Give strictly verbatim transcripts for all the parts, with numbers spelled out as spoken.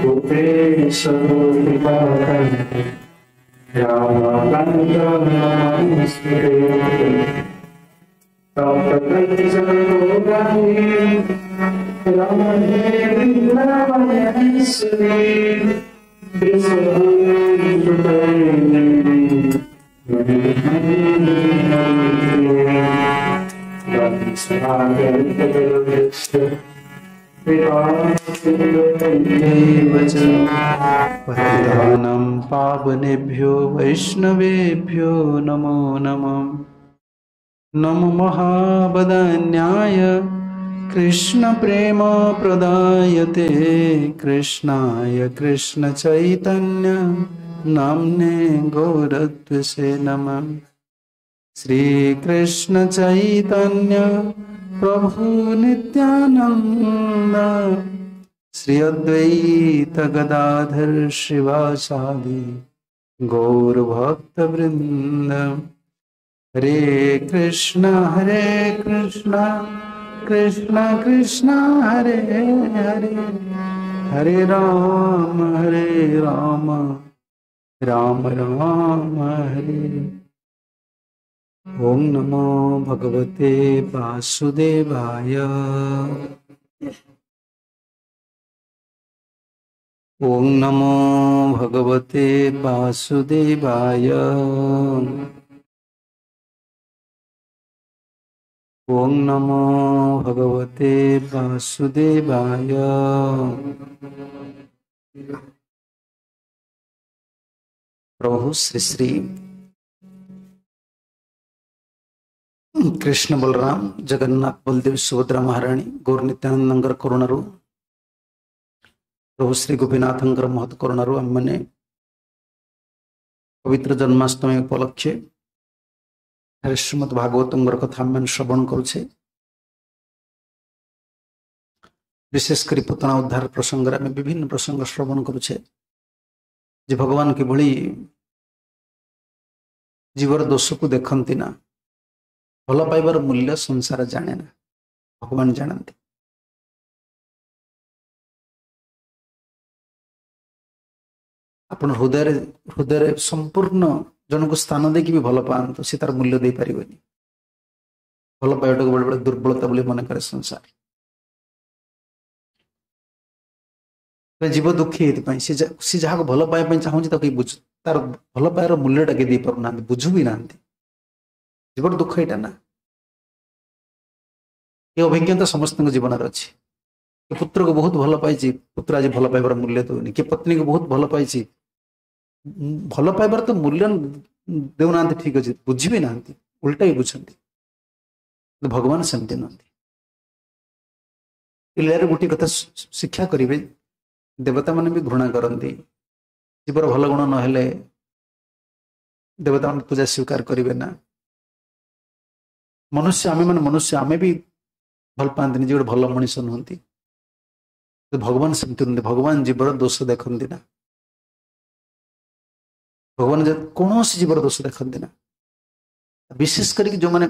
गोपेश पतितानां पावनेभ्यो वैष्णवेभ्यो नमो नमः। नमो महावदान्याय कृष्ण प्रेम प्रदायते कृष्णाय कृष्ण चैतन्य नाम्ने गौरद्विषे नमः। श्री कृष्ण चैतन्य प्रभु नित्यानंद श्री अद्वैत गदाधर शिवासादि गौर भक्त वृंद। हरे कृष्ण हरे कृष्ण कृष्ण कृष्ण हरे हरे हरे राम हरे राम राम राम हरे। ओम नमो भगवते वासुदेवाय। ओम नमो भगवते वासुदेवाय। ओम नमो भगवते वासुदेवाय। प्रभु श्री श्री कृष्ण बलराम जगन्नाथ बलदेव सुभद्रा महाराणी गौर नित्यानंदंकर करुणारू प्रभु श्री गोपीनाथंकर महत करुणारू आमने पवित्र जन्माष्टमी उपलक्षे श्रीमद् भागवतंकर कथा आमने श्रवण करुछे। विशेष करी पुतना उद्धार प्रसंग आम विभिन्न प्रसंग श्रवण करुछे जे भगवान किभली जीवर दोष को देखंती ना, भल पाइबार मूल्य संसार जाने ना, भगवान जानती। आपण हृदय हृदय संपूर्ण जनक स्थान देकी भी भल पांतु से तार मूल्य दे पारिबनी। भल पाइबाटा बेले बेले दुर्बलता बोली मन करे संसार। जीव दुखी एथिपाई से से जहाँ भल पाइबा पई चाहूँ ताको बुझ तार भल पाइबार मूल्यटा के दे पारुनाहांती, बुझु भी नाहांती। जीवर दुख एटा ना, ए अभिज्ञता समस्त जीवन अच्छी। के पुत्र को बहुत भल पाई, पुत्र आज भल पाइबार मूल्य दौनी। के पत्नी को बहुत भल पाई, भल पाइबार तो मूल्य देउनाहांती, ठीक अच्छे, बुझी भी नाहांती, उल्टा ही बुझंती। भगवान सेमती नुहंती। लीलार गोटे कथा शिक्षा करेंगे, देवता मैंने भी घृणा करती। जीवर भल गुण नहेले देवता मैंने पूजा स्वीकार करेंगे ना। मनुष्य आम मैंने मनुष्य आम भी भल पाती जे गोटे भल मनीष नुहंती। भगवान सेमती नुहंती। भगवान जीवर दोष देखती ना, भगवान कौन जीवर दोष देखती ना। विशेष करके जो मैंने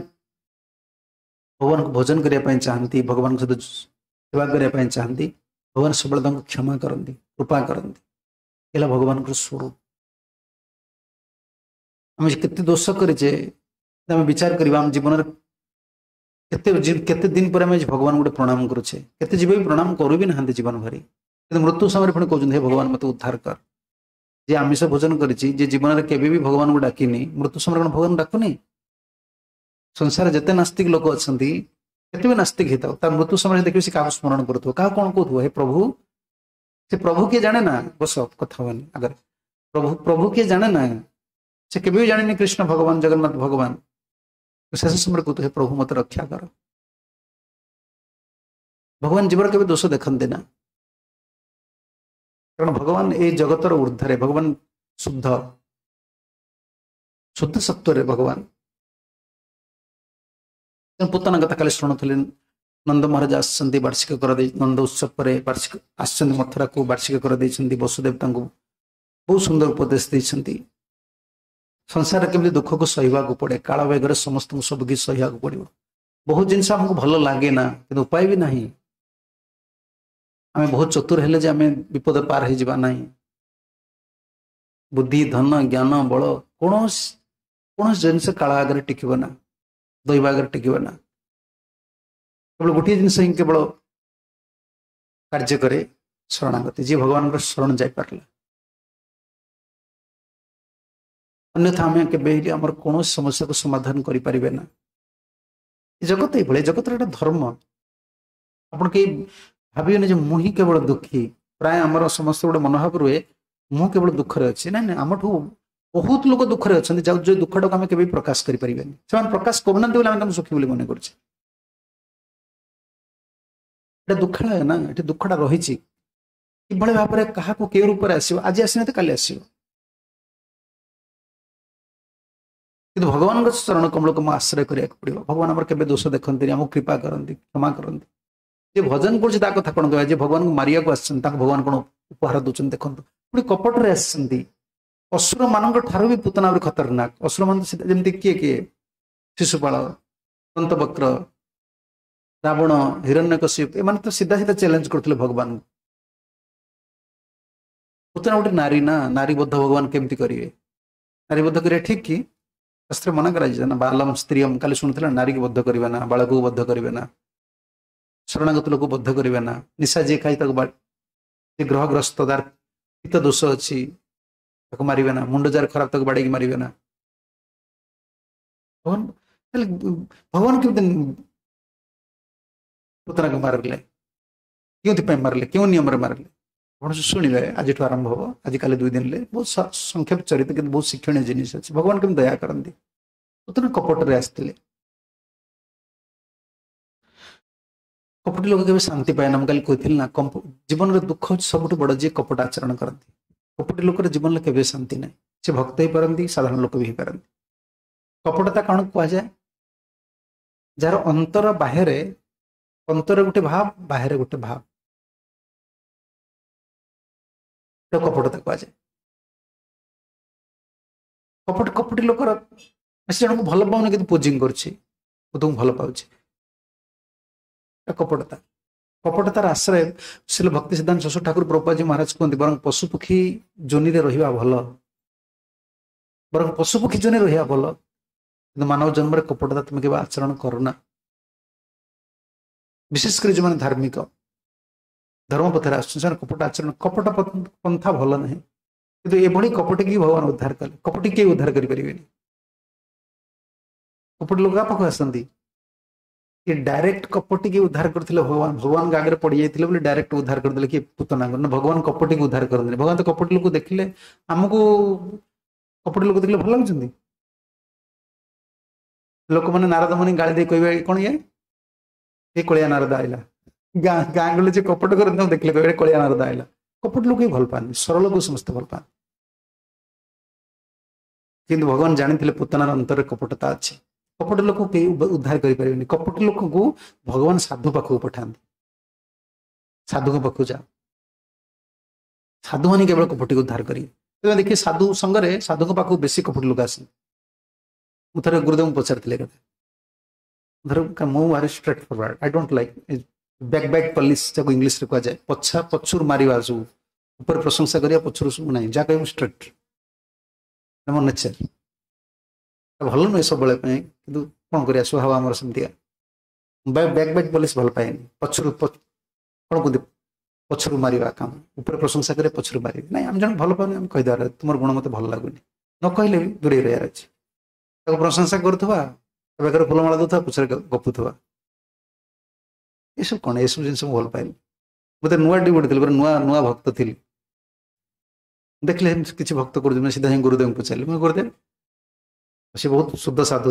भगवान को भोजन करने चाहती, भगवान सहित सेवा करने चाहती, भगवान सब क्षमा करती, कृपा करती। एला भगवान स्वरूप। आम केते दोष करे विचार करवा आम जीवन केते दिन पर आम भगवान गोटे प्रणाम करुचे, केते जीव भी प्रणाम करू भी ना जीवन भरी, किन्तु मृत्यु समय पुणी कहते हे भगवान मत उद्धार कर। जे आमिष भोजन करिछि, जे जीवन रे केबे भी भगवान को डाकिनी, मृत्यु समय कौन भगवान डाकुनी? संसार जेते नास्तिक लोक अछंती, केते भी नास्तिक हेताउ, तार मृत्यु समय देखिबे से काहा स्मरण करथुबो, काहा कोन कहथुबो, हे प्रभु। से प्रभु के जाने ना, बस कथा होनी अगर प्रभु प्रभु के जाने ना, से केबे भी जानेनी कृष्ण भगवान जगन्नाथ भगवान। शेष समय कहथुबो हे प्रभु मत रक्षा कर। भगवान जीवर केबे दोष देखंती ना, कारण भगवान ए जगतर ऊर्ध्वरे, भगवान शुद्ध शुद्ध सत्व भगवान। पुतना कथा काली शुणुले, नंद महाराज आसती वार्षिक कर नंद उत्सव पर वार्षिक आसती मथुरा को वार्षिक कर वसुदेव तांको बहुत सुंदर उपदेश देते। संसार केमी दुख को सहीबाक पड़े, काल बेगर समस्त सब कि सहीबाक पड़ो। बहुत जिनस आमको भल लगे ना, किन्तु उपाय भी नहीं। ଆମେ ବହୁତ ଚତୁର ହେଲେ ଯେ ଆମେ ବିପଦ ପାର ହେଇଯିବା ନାହିଁ। ବୁଦ୍ଧି, ଧନ, ଜ୍ଞାନ, ବଳ କୌଣସି କୌଣସି ଜିନିଷ କାଳ ଆଗରେ ଟିକିବ ନା, ଦୈବ ଆଗରେ ଟିକିବ ନା। କେବଳ ଗୋଟିଏ ଜିନିଷ ହିଁ କେବଳ କାର୍ଯ୍ୟ କରେ, ଶରଣାଗତି। ଯିଏ ଭଗବାନଙ୍କର ଶରଣ ଯାଇପାରିଲା, ଅନ୍ୟଥା ଆମେ କେବେ ହେଲେ ଆମର କୌଣସି ସମସ୍ୟାକୁ ସମାଧାନ କରିପାରିବେ ନା। ଏ ଜଗତ ଏଇଭଳି, ଜଗତର ଗୋଟେ ଧର୍ମ। ଆପଣ କେହି ଭାବିବେନି ଯେ ମୁଁ ହିଁ କେବଳ ଦୁଃଖୀ। ପ୍ରାୟ ଆମର ସମସ୍ତେ ଗୋଟେ ମନୋଭାବ ରୁହେ ମୁଁ କେବଳ ଦୁଃଖରେ ଅଛି। ନାଇଁ ନାଇଁ, ଆମଠୁ ବହୁତ ଲୋକ ଦୁଃଖରେ ଅଛନ୍ତି, ଯାଉ ଯୋଉ ଦୁଃଖଟାକୁ ଆମେ କେବେ ପ୍ରକାଶ କରିପାରିବେନି। ସେମାନେ ପ୍ରକାଶ କରୁନାହାନ୍ତି ବୋଲି ଆମେ ତାଙ୍କୁ ସୁଖୀ ବୋଲି ମନେ କରୁଛେ। ଏଟା ଦୁଃଖାଳୟ ନା, ଏଠି ଦୁଃଖଟା ରହିଛି। କିଭଳି ଭାବରେ କାହାକୁ କେଉଁ ରୂପରେ ଆସିବ, ଆଜି ଆସିନାହାନ୍ତି କାଲି ଆସିବ। କିନ୍ତୁ ଭଗବାନଙ୍କ ଚରଣ କମଳକୁ ମୁଁ ଆଶ୍ରୟ କରିବାକୁ ପଡିବ। ଭଗବାନ ଆମର କେବେ ଦୋଷ ଦେଖନ୍ତିନି, ଆମକୁ କୃପା କରନ୍ତି, କ୍ଷମା କରନ୍ତି। ଯିଏ ଭଜନ କରୁଛି ତା କଥା କଣ କହିବା? ଯିଏ ଭଗବାନଙ୍କୁ ମାରିବାକୁ ଆସିଛନ୍ତି ତାଙ୍କୁ ଭଗବାନ କଣ ଉପହାର ଦଉଛନ୍ତି ଦେଖନ୍ତୁ। ପୁଣି କପଟରେ ଆସିଛନ୍ତି। ଅସୁର ମାନଙ୍କ ଠାରୁ ବି ପୁତନା ଆହୁରି ଖତରନାକ। ଅସୁର ମାନ ଯେମିତି କିଏ କିଏ, ଶିଶୁପାଳ, ଦନ୍ତବକ୍ର, ରାବଣ, ହିରଣ୍ୟକଶିପ, ଏମାନେ ତ ସିଧା ସିଧା ଚ୍ୟାଲେଞ୍ଜ କରୁଥିଲେ ଭଗବାନଙ୍କୁ। ପୁତନା ଗୋଟେ ନାରୀ ନା, ନାରୀ ବଦ୍ଧ ଭଗବାନ କେମିତି କରିବେ? ନାରୀ ବଦ୍ଧ କରିବା ଠିକ କି? ଶାସ୍ତ୍ର ମନା କରାଯାଇଛି ନା, ବାଲମ ସ୍ତ୍ରୀୟମ। କାଲି ଶୁଣୁଥିଲା, ନାରୀକୁ ବଦ୍ଧ କରିବେ ନା, ବାଳକକୁ ବଦ୍ଧ କରିବେ ନା, ଶରଣାଗତ ଲୋକକୁ ବଦ୍ଧ କରିବେ ନା, ନିଶା ଯିଏ ଖାଇ ତାକୁ, ଯିଏ ଗ୍ରହଗ୍ରସ୍ତ ତାର ପିତ୍ତ ଦୋଷ ଅଛି ତାକୁ ମାରିବେ ନା, ମୁଣ୍ଡ ଯାର ଖରାପ ତାକୁ ବାଡେଇକି ମାରିବେ ନା। ଭଗବାନ ତାହେଲେ ଭଗବାନ କେମିତି ପୁତନାକୁ ମାରିଲେ? କେଉଁଥିପାଇଁ ମାରିଲେ? କେଉଁ ନିୟମରେ ମାରିଲେ? ଆପଣ ଶୁଣିବେ, ଆଜିଠୁ ଆରମ୍ଭ ହବ, ଆଜିକାଲି ଦୁଇ ଦିନରେ। ବହୁତ ସଂକ୍ଷେପ ଚରିତ କିନ୍ତୁ ବହୁତ ଶିକ୍ଷଣୀୟ ଜିନିଷ ଅଛି। ଭଗବାନ କେମିତି ଦୟା କରନ୍ତି। ପୁତନା କପଟରେ ଆସିଥିଲେ। କପଟି ଲୋକ କେବେ ଶାନ୍ତି ପାଏ ନା। ମୁଁ କାଲି କହିଥିଲି ନା, ଜୀବନରେ ଦୁଃଖ ହଉଛି ସବୁଠୁ ବଡ ଯିଏ କପଟ ଆଚରଣ କରନ୍ତି। କପଟି ଲୋକର ଜୀବନରେ କେବେ ଶାନ୍ତି ନାହିଁ। ସେ ଭକ୍ତ ହେଇପାରନ୍ତି, ସାଧାରଣ ଲୋକ ବି ହେଇପାରନ୍ତି। କପଟତା କଣ କୁହାଯାଏ? ଯାହାର ଅନ୍ତର ବାହାରେ, ଅନ୍ତର ଗୋଟେ ଭାବ, ବାହାରେ ଗୋଟେ ଭାବ, କପଟତା କୁହାଯାଏ। କପଟ କପଟି ଲୋକର ସେ ଜଣକୁ ଭଲ ପାଉନି କିନ୍ତୁ ପୋଜିଂ କରୁଛି, ମୁଁ ତୁମକୁ ଭଲ ପାଉଛି, କପଟତା। କପଟତାର ଆଶ୍ରୟ ଶ୍ରୀଲ ଭକ୍ତି ସିଦ୍ଧାନ୍ତ ସରସ୍ୱତୀ ଠାକୁର ପ୍ରଭୁପାଦ ମହାରାଜ କୁହନ୍ତି, ବରଂ ପଶୁପକ୍ଷୀ ଯୋନିରେ ରହିବା ଭଲ, ବରଂ ପଶୁପକ୍ଷୀ ଯୋନିରେ ରହିବା ଭଲ, କିନ୍ତୁ ମାନବ ଜନ୍ମରେ କପଟତା ତୁମେ କେବେ ଆଚରଣ କରୁନା। ବିଶେଷ କରି ଯେଉଁମାନେ ଧାର୍ମିକ ଧର୍ମ ପଥରେ ଆସୁଛନ୍ତି ସେମାନେ କପଟ ଆଚରଣ, କପଟ ପନ୍ଥା ଭଲ ନାହିଁ। କିନ୍ତୁ ଏଭଳି କପଟିକି ଭଗବାନ ଉଦ୍ଧାର କଲେ। କପଟି କେହି ଉଦ୍ଧାର କରିପାରିବେନି। କପଟି ଲୋକ କାହା ପାଖକୁ ଆସନ୍ତି? ଇଏ ଡାଇରେକ୍ଟ କପଟିକି ଉଦ୍ଧାର କରିଥିଲେ ଭଗବାନ। ଭଗବାନଙ୍କ ଆଗରେ ପଡିଯାଇଥିଲେ ବୋଲି ଡାଇରେକ୍ଟ ଉଦ୍ଧାର କରିଦେଲେ କି ପୁତନାଙ୍କୁ? ନା, ଭଗବାନ କପଟିକୁ ଉଦ୍ଧାର କରନ୍ତିନି। ଭଗବାନ ତ କପଟି ଲୋକ ଦେଖିଲେ, ଆମକୁ କପଟି ଲୋକ ଦେଖିଲେ ଭଲ ଲାଗୁଛନ୍ତି? ଲୋକମାନେ ନାରଦ ମୁନି ଗାଳି ଦେଇ କହିବେ କଣ ଇଏ ଏ କଳିଆ ନାରଦ ଆଇଲା। ଗାଁ ଗାଁ ଗଲେ ଯେ କପଟ କରନ୍ତି ତାଙ୍କୁ ଦେଖିଲେ କହିବେ କଳିଆ ନାରଦ ଆଇଲା। କପଟ ଲୋକ ହିଁ ଭଲ ପାଆନ୍ତି, ସରଳକୁ ସମସ୍ତେ ଭଲ ପାଆନ୍ତି। କିନ୍ତୁ ଭଗବାନ ଜାଣିଥିଲେ ପୁତନାର ଅନ୍ତରରେ କପଟତା ଅଛି। କପଟ ଲୋକ କେହି ଉଦ୍ଧାର କରିପାରିବେନି। କପଟ ଲୋକଙ୍କୁ ଭଗବାନ ସାଧୁ ପାଖକୁ ପଠାନ୍ତି। ସାଧୁଙ୍କ ପାଖକୁ ଯାଅ, ସାଧୁମାନେ କେବଳ କପଟିକୁ ଉଦ୍ଧାର କରିବେ। ତେବେ ଦେଖିବେ ସାଧୁ ସଙ୍ଗରେ ସାଧୁଙ୍କ ପାଖକୁ ବେଶୀ କପଟ ଲୋକ ଆସନ୍ତି। ମୁଁ ଥରେ ଗୁରୁଦେବଙ୍କୁ ପଚାରିଥିଲି କଥା, ଧର ମୁଁ ଭାରି straightforward, I don't like back back polish, ଯାକୁ ଇଂଲିଶରେ କୁହାଯାଏ, ପଛା ପଛରୁ ମାରିବା, ସବୁ ଉପରେ ପ୍ରଶଂସା କରିବା ପଛରୁ ସବୁ ନାହିଁ, ଯାହା କହିବ ଷ୍ଟ୍ରେଟ୍, ମୋ ନେଚର ଭଲ ନୁହେଁ ସବୁବେଳେ ପାଇଁ, କିନ୍ତୁ କଣ କରିବା ସ୍ୱଭାବ ଆମର ସେମିତିକା। ବ୍ୟାକ୍ ବ୍ୟାକ୍ ପଲିସ ଭଲ ପାଏନି, ପଛରୁ କଣ କୁହନ୍ତି ପଛରୁ ମାରିବା କାମ, ଉପରେ ପ୍ରଶଂସା କରିବା ପଛରୁ ମାରିବେ ନାଇଁ। ଆମେ ଜଣେ ଭଲ ପାଉନି ଆମେ କହିଦେବାର ତୁମର ଗୁଣ ମତେ ଭଲ ଲାଗୁନି, ନ କହିଲେ ବି ଦୂରେଇ ରହିବାର ଅଛି। ତାକୁ ପ୍ରଶଂସା କରୁଥିବା, ବେକରେ ଫୁଲମାଳ ଦଉଥିବା, ପଛରେ ଗପୁଥିବା, ଏସବୁ କଣ? ଏସବୁ ଜିନିଷ ମୁଁ ଭଲ ପାଏନି। ମୁଁ ତ ନୂଆ ଡିଭୋଟି ଥିଲି, ନୂଆ ନୂଆ ଭକ୍ତ ଥିଲି। ଦେଖିଲେ ଏମିତି କିଛି ଭକ୍ତ କରୁଛନ୍ତି, ସିଧା ଯାଇ ଗୁରୁଦେବଙ୍କୁ ପଚାରିଲି, ମୁଁ ଗୁରୁଦେବ ସେ ବହୁତ ଶୁଦ୍ଧ ସାଧୁ,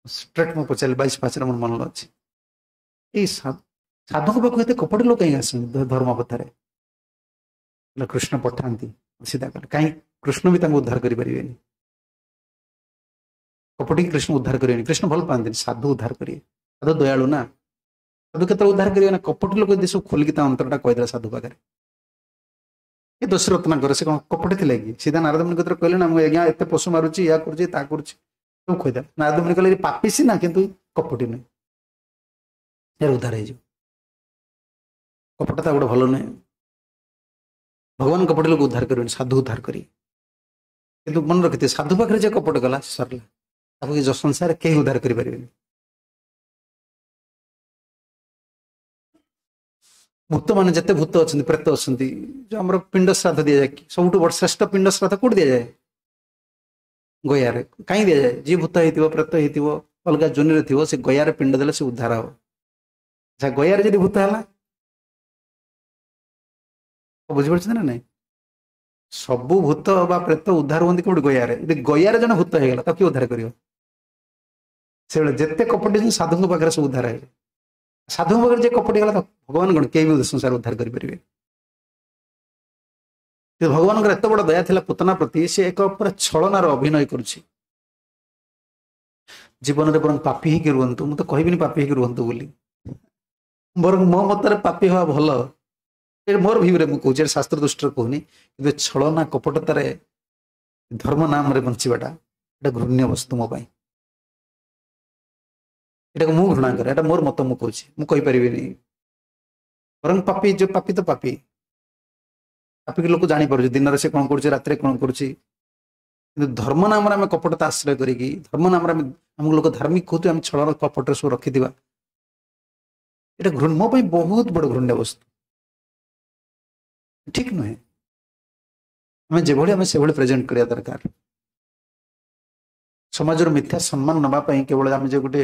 ଷ୍ଟ୍ରେଟ୍ ମୁଁ ପଚାରିଲି, ବାଇଶ ପାଞ୍ଚରେ ମୋର ମନ ଅଛି, ଏଇ ସାଧୁଙ୍କ ପାଖକୁ ଏତେ କପଟ ଲୋକ କାହିଁକି ଆସନ୍ତି ଧର୍ମ ପଥରେ? କୃଷ୍ଣ ପଠାନ୍ତି। ସିଧା କଲେ କାହିଁ କୃଷ୍ଣ ବି ତାଙ୍କୁ ଉଦ୍ଧାର କରିପାରିବେନି। କପଟିକି କୃଷ୍ଣ ଉଦ୍ଧାର କରିବେନି। କୃଷ୍ଣ ଭଲ ପାଆନ୍ତିନି, ସାଧୁ ଉଦ୍ଧାର କରିବେ। ସାଧୁ ଦୟାଳୁ ନା, ସାଧୁ କେତେବେଳେ ଉଦ୍ଧାର କରିବେ ନା। କପଟି ଲୋକ ଯଦି ସବୁ ଖୋଲିକି ତା ଅନ୍ତରଟା କହିଦେଲା ସାଧୁ ପାଖରେ, ଏ ଦୋଷ ରତ୍ନାକର ସେ କଣ କପଟି ଥିଲେ କି? ସିଧା ନାରଦ ମୁନି କତିରେ କହିଲେ ନା, ମୁଁ ଆଜ୍ଞା ଏତେ ପଶୁ ମାରୁଛି, ୟା କରୁଛି, ତା କରୁଛି, ସବୁ କହିଦେଲା। ନାରଦ ମୁନି କହିଲେ ପାପି ସିନା କିନ୍ତୁ କପଟି ନୁହେଁ, ଏହାର ଉଦ୍ଧାର ହେଇଯିବ। କପଟତା ଗୋଟେ ଭଲ ନୁହେଁ। ଭଗବାନ କପଟ ଲୋକ ଉଦ୍ଧାର କରିବେନି, ସାଧୁ ଉଦ୍ଧାର କରିବେ। କିନ୍ତୁ ମନେ ରଖିଥିବେ, ସାଧୁ ପାଖରେ ଯେ କପଟ କଲା ସରିଲା, ତାକୁ ଏ ସଂସାରରେ କେହି ଉଦ୍ଧାର କରିପାରିବେନି। ଭୂତ ମାନେ ଯେତେ ଭୂତ ଅଛନ୍ତି, ପ୍ରେତ ଅଛନ୍ତି, ଯୋଉ ଆମର ପିଣ୍ଡ ଶ୍ରାଦ୍ଧ ଦିଆଯାଏ, ସବୁଠୁ ବଡ ଶ୍ରେଷ୍ଠ ପିଣ୍ଡ ଶ୍ରାଦ୍ଧ କୋଉଠି ଦିଆଯାଏ? ଗୟାରେ। କାହିଁ ଦିଆଯାଏ? ଯିଏ ଭୂତ ହେଇଥିବ, ପ୍ରେତ ହେଇଥିବ, ଅଲଗା ଜୋନିରେ ଥିବ, ସେ ଗୟାରେ ପିଣ୍ଡ ଦେଲେ ସେ ଉଦ୍ଧାର ହବ। ଆଚ୍ଛା, ଗୟାରେ ଯଦି ଭୂତ ହେଲା, ବୁଝିପାରୁଛନ୍ତି ନା ନାଇଁ? ସବୁ ଭୂତ ବା ପ୍ରେତ ଉଦ୍ଧାର ହୁଅନ୍ତି କୋଉଠି? ଗୟାରେ। ଯଦି ଗୟାରେ ଜଣେ ଭୂତ ହେଇଗଲା, ତାକୁ କିଏ ଉଦ୍ଧାର କରିବ? ସେଭଳି ଯେତେ କପଟି ସାଧୁଙ୍କ ପାଖରେ ସବୁ ଉଦ୍ଧାର ହେବେ। ସାଧୁଙ୍କ ପାଖରେ ଯେ କପଟି ହେଇଗଲା, ଭଗବାନ କଣ କେହି ବି ସଂସାର ଉଦ୍ଧାର କରିପାରିବେ? ଭଗବାନଙ୍କର ଏତେ ବଡ ଦୟା ଥିଲା ପୁତନା ପ୍ରତି, ସେ ଏକ ପୁରା ଛଳନାର ଅଭିନୟ କରୁଛି। ଜୀବନରେ ବରଂ ପାପି ହେଇକି ରୁହନ୍ତୁ, ମୁଁ ତ କହିବିନି ପାପି ହେଇକି ରୁହନ୍ତୁ ବୋଲି, ବରଂ ମୋ ମତରେ ପାପି ହବା ଭଲ। ମୋର ଭିଉରେ ମୁଁ କହୁଛି, ଶାସ୍ତ୍ର ଦୃଷ୍ଟିରେ କହୁନି। କିନ୍ତୁ ଛଳନା କପଟତାରେ ଧର୍ମ ନାମରେ ବଞ୍ଚିବାଟା ଏଟା ଘୃଣ୍ୟ ବସ୍ତୁ ମୋ ପାଇଁ। ଏଟାକୁ ମୁଁ ଘୃଣା କରେ, ଏଟା ମୋର ମତ, ମୁଁ କହୁଛି, ମୁଁ କହିପାରିବିନି। ବରଂ ପାପି, ଯୋଉ ପାପି ତ ପାପି, ପାପିକି ଲୋକ ଜାଣିପାରୁଛି ଦିନରେ ସେ କଣ କରୁଛି, ରାତିରେ କଣ କରୁଛି। କିନ୍ତୁ ଧର୍ମ ନାମରେ ଆମେ କପଟତା ଆଶ୍ରୟ କରିକି, ଧର୍ମ ନାମରେ ଆମେ ଆମକୁ ଲୋକ ଧାର୍ମିକ କହୁଥିବେ, ଆମେ ଛଳନା କପଟରେ ସବୁ ରଖିଥିବା, ଏଇଟା ମୋ ପାଇଁ ବହୁତ ବଡ ଘୃଣ୍ୟ ବସ୍ତୁ, ଠିକ ନୁହେଁ। ଆମେ ଯେଭଳି ଆମେ ସେଭଳି ପ୍ରେଜେଣ୍ଟ କରିବା ଦରକାର। ସମାଜର ମିଥ୍ୟା ସମ୍ମାନ ନେବା ପାଇଁ କେବଳ ଆମେ ଯେ ଗୋଟେ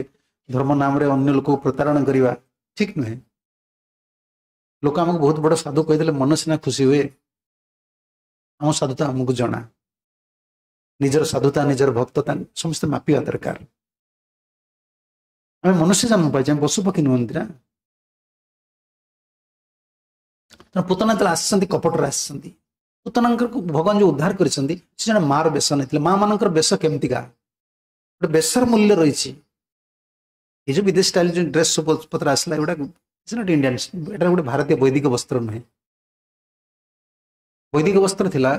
ଧର୍ମ ନାମରେ ଅନ୍ୟ ଲୋକକୁ ପ୍ରତାରଣା କରିବା ଠିକ ନୁହେଁ। ଲୋକ ଆମକୁ ବହୁତ ବଡ ସାଧୁ କହିଦେଲେ ମନ ସିନା ଖୁସି ହୁଏ, ଆମ ସାଧୁତା ଆମକୁ ଜଣା। ନିଜର ସାଧୁତା, ନିଜର ଭକ୍ତତା ସମସ୍ତେ ମାପିବା ଦରକାର। ଆମେ ମନୁଷ୍ୟ ଜନ୍ମ ପାଇଛେ, ଆମେ ପଶୁ ପକ୍ଷୀ ନୁହନ୍ତି ନା। ତେଣୁ ପୁତନା ଯେତେବେଳେ ଆସିଛନ୍ତି, କପଟରେ ଆସିଛନ୍ତି। ପୁତନାଙ୍କର ଭଗବାନ ଯୋଉ ଉଦ୍ଧାର କରିଛନ୍ତି, ସେ ଜଣେ ମାର ବେଶ ନେଇଥିଲେ। ମା ମାନଙ୍କର ବେଶ କେମିତିକା, ଗୋଟେ ବେଶର ମୂଲ୍ୟ ରହିଛି। ଏ ଯୋଉ ବିଦେଶ ଷ୍ଟାଇଲ ଯୋଉ ଡ୍ରେସ୍ ସବୁ ପତ୍ର ଆସିଲା, ଏଗୁଡ଼ା not Indian, ଏଟା ଗୋଟେ ଭାରତୀୟ ବୈଦିକ ବସ୍ତ୍ର ନୁହେଁ। ବୈଦିକ ବସ୍ତ୍ର ଥିଲା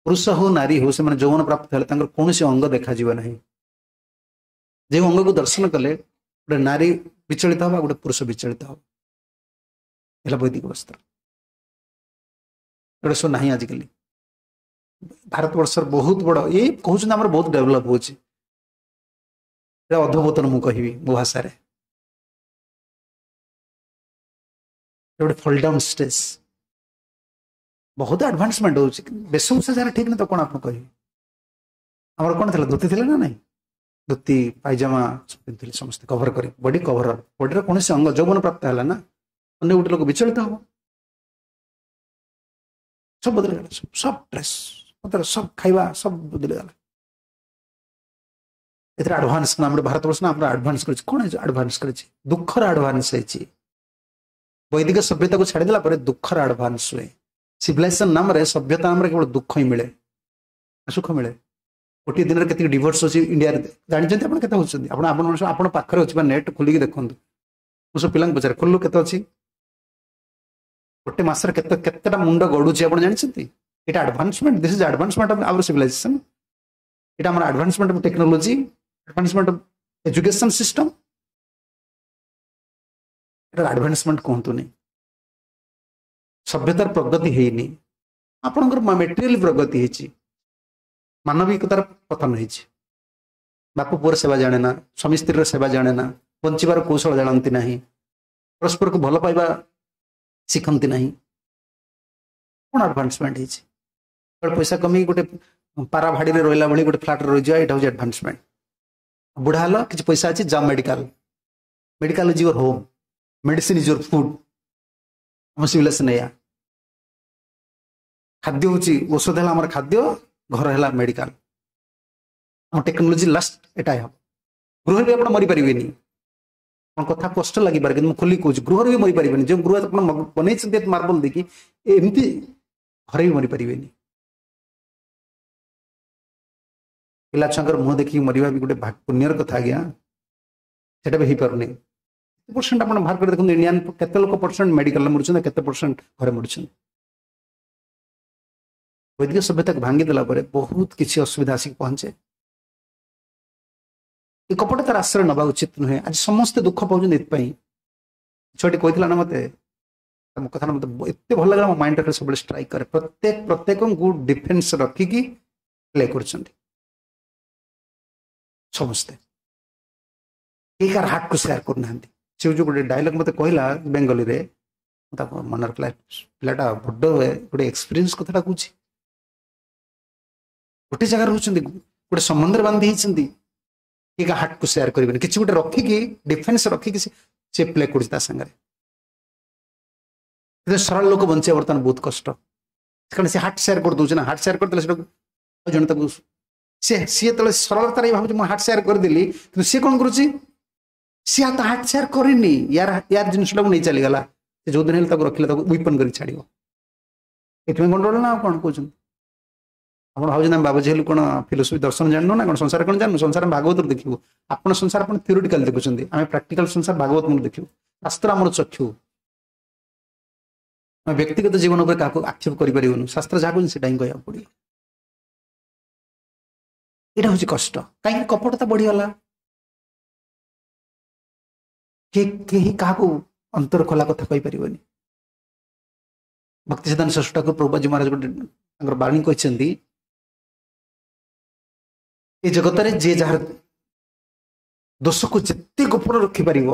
ପୁରୁଷ ହଉ ନାରୀ ହଉ, ସେମାନେ ଯୌବନ ପ୍ରାପ୍ତ ହେଲେ ତାଙ୍କର କୌଣସି ଅଙ୍ଗ ଦେଖାଯିବ ନାହିଁ। ଯେଉଁ ଅଙ୍ଗକୁ ଦର୍ଶନ କଲେ ଗୋଟେ ନାରୀ ବିଚଳିତ ହବ, ଗୋଟେ ପୁରୁଷ ବିଚଳିତ ହବ। ହେଲା ବୈଦିକ ବସ୍ତ୍ର। ଏଗୁଡ଼ା ସବୁ ନାହିଁ ଆଜିକାଲି ଭାରତବର୍ଷର। ବହୁତ ବଡ ଏଇ କହୁଛନ୍ତି ଆମର ବହୁତ ଡେଭଲପ ହଉଛି, ଏଇଟା ଅଧୋପତନ ମୁଁ କହିବି ମୋ ଭାଷାରେ। ଗୋଟେ ଫଲ୍ ଡାଉନ୍ ଷ୍ଟେଜ୍, ବହୁତ ଆଡଭାନ୍ସମେଣ୍ଟ ହଉଛି। ବେଶଭୂଷା ଯାହାର ଠିକ ନାହିଁ ତ କଣ ଆପଣ କହିବେ? ଆମର କଣ ଥିଲା? ଧୋତି ଥିଲା ନା ନାଇଁ? ଧୋତି ପାଇଜାମା ପିନ୍ଧୁଥିଲେ ସମସ୍ତେ, କଭର କରି, ବଡି କଭର, ବଡିର କୌଣସି ଅଙ୍ଗ ଯୌବନ ପ୍ରାପ୍ତ ହେଲା ନା ଅନ୍ୟ ଗୋଟେ ଲୋକ ବିଚଳିତ ହବ। ସବୁ ବଦଳିଗଲା, ସବୁ ଡ୍ରେସ୍ ପତ୍ର, ସବୁ ଖାଇବା, ସବୁ ବଦଳିଗଲା। ଏଥିରେ ଆଡଭାନ୍ସ ନା ଆମର ଭାରତବର୍ଷ ନା ଆମର ଆଡଭାନ୍ସ କରିଛି। କଣ ଆଡଭାନ୍ସ କରିଛି? ଦୁଃଖର ଆଡଭାନ୍ସ ହେଇଛି। ବୈଦିକ ସଭ୍ୟତାକୁ ଛାଡ଼ିଦେଲା ପରେ ଦୁଃଖର ଆଡଭାନ୍ସ ହୁଏ। ସିଭିଲାଇଜେସନ ନାମରେ, ସଭ୍ୟତା ନାମରେ କେବଳ ଦୁଃଖ ହିଁ ମିଳେ, ସୁଖ ମିଳେ। ଗୋଟିଏ ଦିନରେ କେତିକି ଡିଭୋର୍ସ ଅଛି ଇଣ୍ଡିଆରେ ଜାଣିଛନ୍ତି ଆପଣ? କେତେ ହଉଛନ୍ତି? ଆପଣ ଆପଣ ଆପଣ ପାଖରେ ଅଛି ବା ନେଟ୍ ଖୋଲିକି ଦେଖନ୍ତୁ। ମୁଁ ସବୁ ପିଲାଙ୍କୁ ପଚାରେ, ଖୋଲିଲୁ କେତେ ଅଛି? ଗୋଟେ ମାସରେ କେତେ କେତେଟା ମୁଣ୍ଡ ଗଡୁଛି ଆପଣ ଜାଣିଛନ୍ତି? ଏଇଟା advancement, this is advancement of our civilization. ଏଇଟା ଆମର advancement of technology, advancement of education system. ଏଟା ଆଡଭାନ୍ସମେଣ୍ଟ କୁହନ୍ତୁନି। ସଭ୍ୟତାର ପ୍ରଗତି ହେଇନି, ଆପଣଙ୍କର ମେଟେରିଆଲ ପ୍ରଗତି ହେଇଛି, ମାନବିକତାର ପତନ ହେଇଛି। ବାପ ପୁଅର ସେବା ଜାଣେ ନା, ସ୍ୱାମୀ ସ୍ତ୍ରୀର ସେବା ଜାଣେ ନା, ବଞ୍ଚିବାର କୌଶଳ ଜାଣନ୍ତି ନାହିଁ, ପରସ୍ପରକୁ ଭଲ ପାଇବା ଶିଖନ୍ତି ନାହିଁ। କଣ ଆଡଭାନ୍ସମେଣ୍ଟ ହେଇଛି? ପଇସା କମେଇକି ଗୋଟେ ପାରା ଭାଡ଼ିରେ ରହିଲା ଭଳି ଗୋଟେ ଫ୍ଲାଟରେ ରହିଯିବା, ଏଇଟା ହଉଛି ଆଡଭାନ୍ସମେଣ୍ଟ। ବୁଢା ହେଲ, କିଛି ପଇସା ଅଛି, ଯାଅ medical. Medical is your home, medicine is your food. ଆମ ସିଭିଲାଇଜେସନ ଏଇଆ। ଖାଦ୍ୟ ହଉଛି ଔଷଧ, ହେଲା ଆମର ଖାଦ୍ୟ, ଘର ହେଲା ମେଡିକାଲ। ଆମ ଟେକ୍ନୋଲୋଜି ଲାଷ୍ଟ ଏଟା ହବ। ଗୃହରେ ବି ଆପଣ ମରିପାରିବେନି। ଆପଣ କଥା କଷ୍ଟ ଲାଗିପାରେ, କିନ୍ତୁ ମୁଁ ଖୋଲିକି କହୁଛି, ଗୃହରେ ବି ମରିପାରିବେନି। ଯେଉଁ ଗୃହ ଆପଣ ବନେଇଛନ୍ତି ମାର୍ବଲ ଦେଇକି, ଏମିତି ଘରେ ବି ମରିପାରିବେନି। ପିଲା ଛୁଆଙ୍କର ମୁହଁ ଦେଖିକି ମରିବା ବି ଗୋଟେ ପୁଣ୍ୟର କଥା ଆଜ୍ଞା, ସେଟା ବି ହେଇପାରୁନି। ପରସେଣ୍ଟ ଆପଣ ବାହାର କରି ଦେଖନ୍ତୁ, ଇଣ୍ଡିଆନ କେତେ ଲୋକ ପରସେଣ୍ଟ ମେଡିକାଲରେ ମରୁଛନ୍ତି, କେତେ ପରସେଣ୍ଟ ଘରେ ମରୁଛନ୍ତି। ବୈଦିକ ସଭ୍ୟତାକୁ ଭାଙ୍ଗିଦେଲା ପରେ ବହୁତ କିଛି ଅସୁବିଧା ଆସିକି ପହଞ୍ଚେ। ଏ କପଟ ତାର ଆଶ୍ରୟ ନେବା ଉଚିତ ନୁହେଁ। ଆଜି ସମସ୍ତେ ଦୁଃଖ ପାଉଛନ୍ତି ଏଥିପାଇଁ। ଛୁଆଟି କହିଥିଲା ନା ମତେ, ତମ କଥାଟା ମୋତେ ଏତେ ଭଲ ଲାଗିଲା, ମୋ ମାଇଣ୍ଡଟା ଖାଲି ସବୁବେଳେ ଷ୍ଟ୍ରାଇକ୍ କରେ। ପ୍ରତ୍ୟେକ ପ୍ରତ୍ୟେକଙ୍କୁ ଡିଫେନ୍ସ ରଖିକି ପ୍ଲେ କରୁଛନ୍ତି ସମସ୍ତେ, କେହି କାହାର ହାର୍ଟକୁ ସେୟାର କରୁନାହାନ୍ତି। ସେ ଯୋଉ ଗୋଟେ ଡାଇଲଗ ମୋତେ କହିଲା ବେଙ୍ଗଲୀରେ, ମୁଁ ତାକୁ ମନେ ରଖିଲା, ପିଲାଟା ବଡ଼ ଗୋଟେ ଏକ୍ସପିରିଏନ୍ସ କଥାଟା କହୁଛି। ଗୋଟେ ଜାଗାରେ ରହୁଛନ୍ତି, ଗୋଟେ ସମ୍ବନ୍ଧରେ ବାନ୍ଧି ହେଇଛନ୍ତି, କିଏ କାହା ହାର୍ଟକୁ ସେୟାର କରିବେନି, କିଛି ଗୋଟେ ରଖିକି ଡିଫେନ୍ସ ରଖିକି ସେ ପ୍ଲେ କରୁଛି ତା ସାଙ୍ଗରେ। କିନ୍ତୁ ସରଳ ଲୋକ ବଞ୍ଚିବା ବର୍ତ୍ତମାନ ବହୁତ କଷ୍ଟ, କାରଣ ସେ ହାର୍ଟ ସେୟାର କରିଦଉଛି ନା। ହାର୍ଟ ସେୟାର କରିଦେଲେ ସେଟାକୁ ଜଣେ ତାକୁ ସେ ସିଏ ଯେତେବେଳେ ସରଳତାରେ ଭାବୁଛି ମୁଁ ହାର୍ଟ ସେୟାର କରିଦେଲି, କିନ୍ତୁ ସିଏ କ'ଣ କରୁଛି, ସିଏ ତା ହାର୍ଟ ସେୟାର କରିନି, ୟାର ୟାର ଜିନିଷଟାକୁ ନେଇ ଚାଲିଗଲା। ସେ ଯୋଉଦିନ ହେଲେ ତାକୁ ରଖିଲେ ତାକୁ ୱିପନ୍ କରିକି ଛାଡ଼ିବ। ଏଥିପାଇଁ ଗଣ୍ଡଗୋଳ ନା ଆଉ କ'ଣ କହୁଛନ୍ତି ଆପଣ? ଭାବୁଛନ୍ତି ଆମେ ବାବାଜୀ ହେଲୁ କ'ଣ ଫିଲୋସଫି ଦର୍ଶନ ଜାଣିନୁ ନା କ'ଣ? ସଂସାର କ'ଣ ଜାଣିନୁ? ସଂସାର ଆମେ ଭାଗବତରୁ ଦେଖିବୁ। ଆପଣ ସଂସାର ଆପଣ ଥିଓରିଟିକାଲ ଦେଖୁଛନ୍ତି, ଆମେ ପ୍ରାକ୍ଟିକାଲ ସଂସାର ଭାଗବତ ଦେଖିବୁ। ଶାସ୍ତ୍ର ଆମର ଚକ୍ଷୁ। ଆମେ ବ୍ୟକ୍ତିଗତ ଜୀବନ ଉପରେ କାହାକୁ ଆକ୍ଷେପ କରିପାରିବୁନୁ। ଶାସ୍ତ୍ର ଯାହା କହୁଛନ୍ତି ସେଇଟା ହିଁ କହିବାକୁ ପଡ଼ିବ। ଏଇଟା ହଉଛି କଷ୍ଟ। କାହିଁକି କପଟତା ବଢିଗଲା, କେହି କାହାକୁ ଅନ୍ତର ଖୋଲା କଥା କହିପାରିବନି। ଭକ୍ତି ସିଦ୍ଧାନ୍ତ ସରସ୍ୱତୀ ଠାକୁର ପ୍ରଭୁପାଦ ମହାରାଜ ଗୋଟେ ତାଙ୍କର ବାଣୀ କହିଛନ୍ତି, ଏ ଜଗତରେ ଯିଏ ଯାହାର ଦୋଷକୁ ଯେତେ ଗୋପନ ରଖିପାରିବ,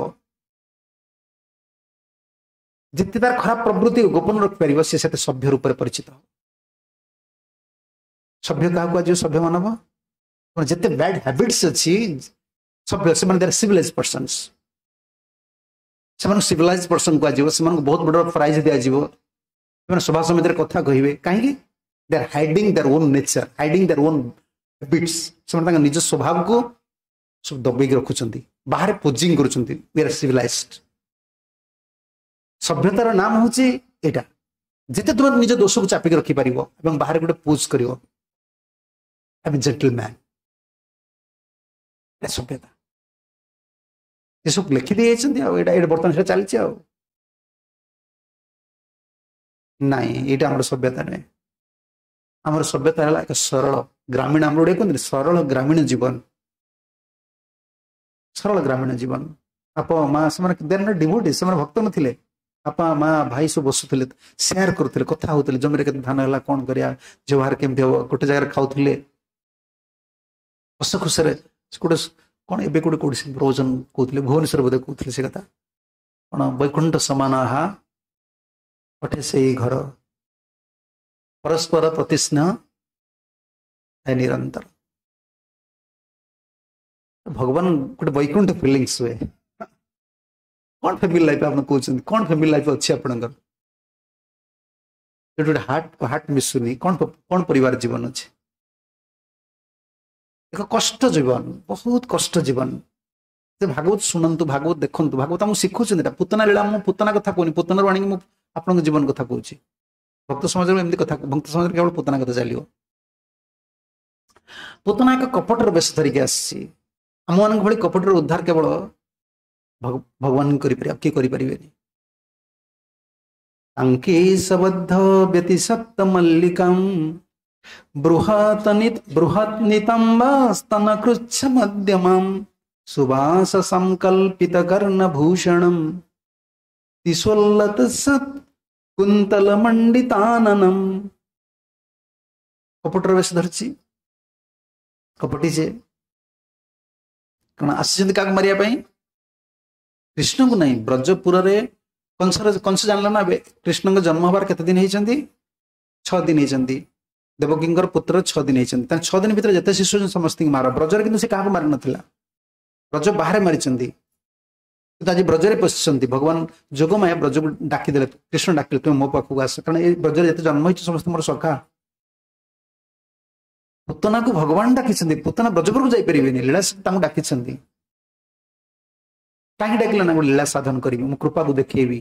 ଯେତେ ତାର ଖରାପ ପ୍ରବୃତ୍ତି ଗୋପନ ରଖିପାରିବ, ସେ ସେତେ ସଭ୍ୟ ରୂପରେ ପରିଚିତ ହବ। ସଭ୍ୟ କାହାକୁ କୁହାଯିବ? ସଭ୍ୟ ମାନବ ଯେତେ ବ୍ୟାଡ୍ ହ୍ୟାବିଟ୍ସ ଅଛି ସଭ୍ୟ, ସେମାନେ ଦେର୍ ସିଭିଲାଇଜ ପର୍ସନ୍ସ। ସେମାନଙ୍କୁ ସିଭିଲାଇଜ ପର୍ସନ କୁହାଯିବ, ସେମାନଙ୍କୁ ବହୁତ ବଡ଼ ପ୍ରାଇଜ ଦିଆଯିବ, ସେମାନେ ସଭା ସମିତିରେ କଥା କହିବେ। କାହିଁକି? They are hiding their own nature, hiding their own habits. ସେମାନେ ତାଙ୍କ ନିଜ ସ୍ୱଭାବକୁ ସବୁ ଦବେଇକି ରଖୁଛନ୍ତି, ବାହାରେ ପୋଜିଂ କରୁଛନ୍ତି, we are civilised. ସଭ୍ୟତାର ନାମ ହଉଛି ଏଇଟା, ଯେତେ ତୁମେ ନିଜ ଦୋଷକୁ ଚାପିକି ରଖିପାରିବ ଏବଂ ବାହାରେ ଗୋଟେ ପୋଜ କରିବ, I M gentleman, ଏଇଟା ସଭ୍ୟତା। ଏସବୁ ଲେଖି ଦେଇଯାଇଛନ୍ତି ଆଉ ଏଇଟା ଏଇଟା ବର୍ତ୍ତମାନ ସେଟା ଚାଲିଛି। ଆଉ ନାଇଁ, ଏଇଟା ଆମର ସଭ୍ୟତା ନୁହେଁ। ଆମର ସଭ୍ୟତା ହେଲା ଏକ ସରଳ ଗ୍ରାମୀଣ, ଆମର ଓଡ଼ିଆ କୁହନ୍ତି ସରଳ ଗ୍ରାମୀଣ ଜୀବନ, ସରଳ ଗ୍ରାମୀଣ ଜୀବନ। ବାପା ମା ସେମାନେ ଦେର୍ not devotee, ସେମାନେ ଭକ୍ତ ନଥିଲେ। ବାପା ମା ଭାଇ ସବୁ ବସୁଥିଲେ, ସେୟାର କରୁଥିଲେ, କଥା ହଉଥିଲେ, ଜମିରେ କେତେ ଧାନ ହେଲା, କଣ କରିବା, ବ୍ୟବହାର କେମିତି ହବ, ଗୋଟେ ଜାଗାରେ ଖାଉଥିଲେ ହସ ଖୁସିରେ। ଗୋଟେ କଣ ଏବେ ଗୋଟେ କୋଉଠି ପ୍ରବଚନ କହୁଥିଲେ, ଭୁବନେଶ୍ୱର ବୋଧେ କହୁଥିଲେ ସେ କଥା, କଣ ବୈକୁଣ୍ଠ ସମାନାହା ଅଠେ ସେଇ ଘର, ପରସ୍ପର ପ୍ରତିସ୍ନେହ ନିରନ୍ତର। ଭଗବାନ ଗୋଟେ ବୈକୁଣ୍ଠ ଫିଲିଙ୍ଗସ୍ ହୁଏ। କଣ ଫ୍ୟାମିଲି ଲାଇଫ ଆପଣ କହୁଛନ୍ତି? କଣ ଫ୍ୟାମିଲି ଲାଇଫ ଅଛି ଆପଣଙ୍କର? ଯୋଉଠି ଗୋଟେ ହାର୍ଟ ହାର୍ଟ ମିଶୁନି, କଣ କଣ ପରିବାର ଜୀବନ ଅଛି? ଏକ କଷ୍ଟ ଜୀବନ, ବହୁତ କଷ୍ଟ ଜୀବନ। ସେ ଭାଗବତ ଶୁଣନ୍ତୁ, ଭାଗବତ ଦେଖନ୍ତୁ, ଭାଗବତ ଆମକୁ ଶିଖୁଛନ୍ତି। ଏଇଟା ପୁତନା ଲୀଳା, ମୁଁ ପୁତନା କଥା କହୁନି, ପୁତନାରୁ ଆଣିକି ମୁଁ ଆପଣଙ୍କ ଜୀବନ କଥା କହୁଛି। ଭକ୍ତ ସମାଜରେ ଏମିତି କଥା, ଭକ୍ତ ସମାଜରେ କେବଳ ପୁତନା କଥା ଚାଲିବ। ପୁତନା ଏକ କପଟର ବେଶ ଧରିକି ଆସିଛି। ଆମମାନଙ୍କ ଭଳି କପଟର ଉଦ୍ଧାର କେବଳ ଭଗବାନ କରିପାରିବେ, ଆଉ କିଏ କରିପାରିବେନି। ତାଙ୍କେ ସବଦ୍ଧ ବ୍ୟତିସକ୍ତ ମଲ୍ଲିକାಂ ବୃହତନିତ ବୃହତ୍ନିତମ୍ବାସ୍ତନ କୃଚ୍ଛ ମଧ୍ୟମାಂ ସୁବାସ ସଂକଳ୍ପିତ କର୍ଣ୍ଣଭୂଷଣಂ ତିସୋଲ୍ଲତ ସତ୍ କୁନ୍ତଲ ମଣ୍ଡିତାନନମ୍। କପଟର ବେଶ ଧରିଛି, କପଟି ଯେ କଣ ଆସିଛନ୍ତି କାହାକୁ ମାରିବା ପାଇଁ? କୃଷ୍ଣଙ୍କୁ ନାହିଁ। ବ୍ରଜପୁରରେ କଂସର କଂସ ଜାଣିଲା ନା ଏବେ କୃଷ୍ଣଙ୍କ ଜନ୍ମ ହବାର କେତେ ଦିନ ହେଇଛନ୍ତି? ଛଅ ଦିନ ହେଇଛନ୍ତି। ଦେବକୀଙ୍କର ପୁତ୍ର ଛଅ ଦିନ ହେଇଛନ୍ତି। ତାଙ୍କ ଛଅ ଦିନ ଭିତରେ ଯେତେ ଶିଶୁ ଅଛନ୍ତି ସମସ୍ତଙ୍କୁ ମାର। ବ୍ରଜରେ କିନ୍ତୁ ସେ କାହାକୁ ମାରି ନଥିଲା, ବ୍ରଜ ବାହାରେ ମାରିଛନ୍ତି। କିନ୍ତୁ ଆଜି ବ୍ରଜରେ ପଶିଛନ୍ତି। ଭଗବାନ ଯୋଗମାୟା ବ୍ରଜକୁ ଡାକିଦେଲେ, କୃଷ୍ଣ ଡାକିଲେ ତୁମେ ମୋ ପାଖକୁ ଆସ, କାରଣ ଏ ବ୍ରଜରେ ଯେତେ ଜନ୍ମ ହେଇଛି ସମସ୍ତେ ମୋର ସଖା। ପୁତନାକୁ ଭଗବାନ ଡାକିଛନ୍ତି, ପୁତନା ବ୍ରଜପୁରକୁ ଯାଇପାରିବେନି, ଲୀଳା ତାଙ୍କୁ ଡାକିଛନ୍ତି। କାହିଁକି ଡାକିଲେ ନା ଗୋଟେ ଲୀଳା ସାଧନ କରିବି, ମୁଁ କୃପାକୁ ଦେଖେଇବି।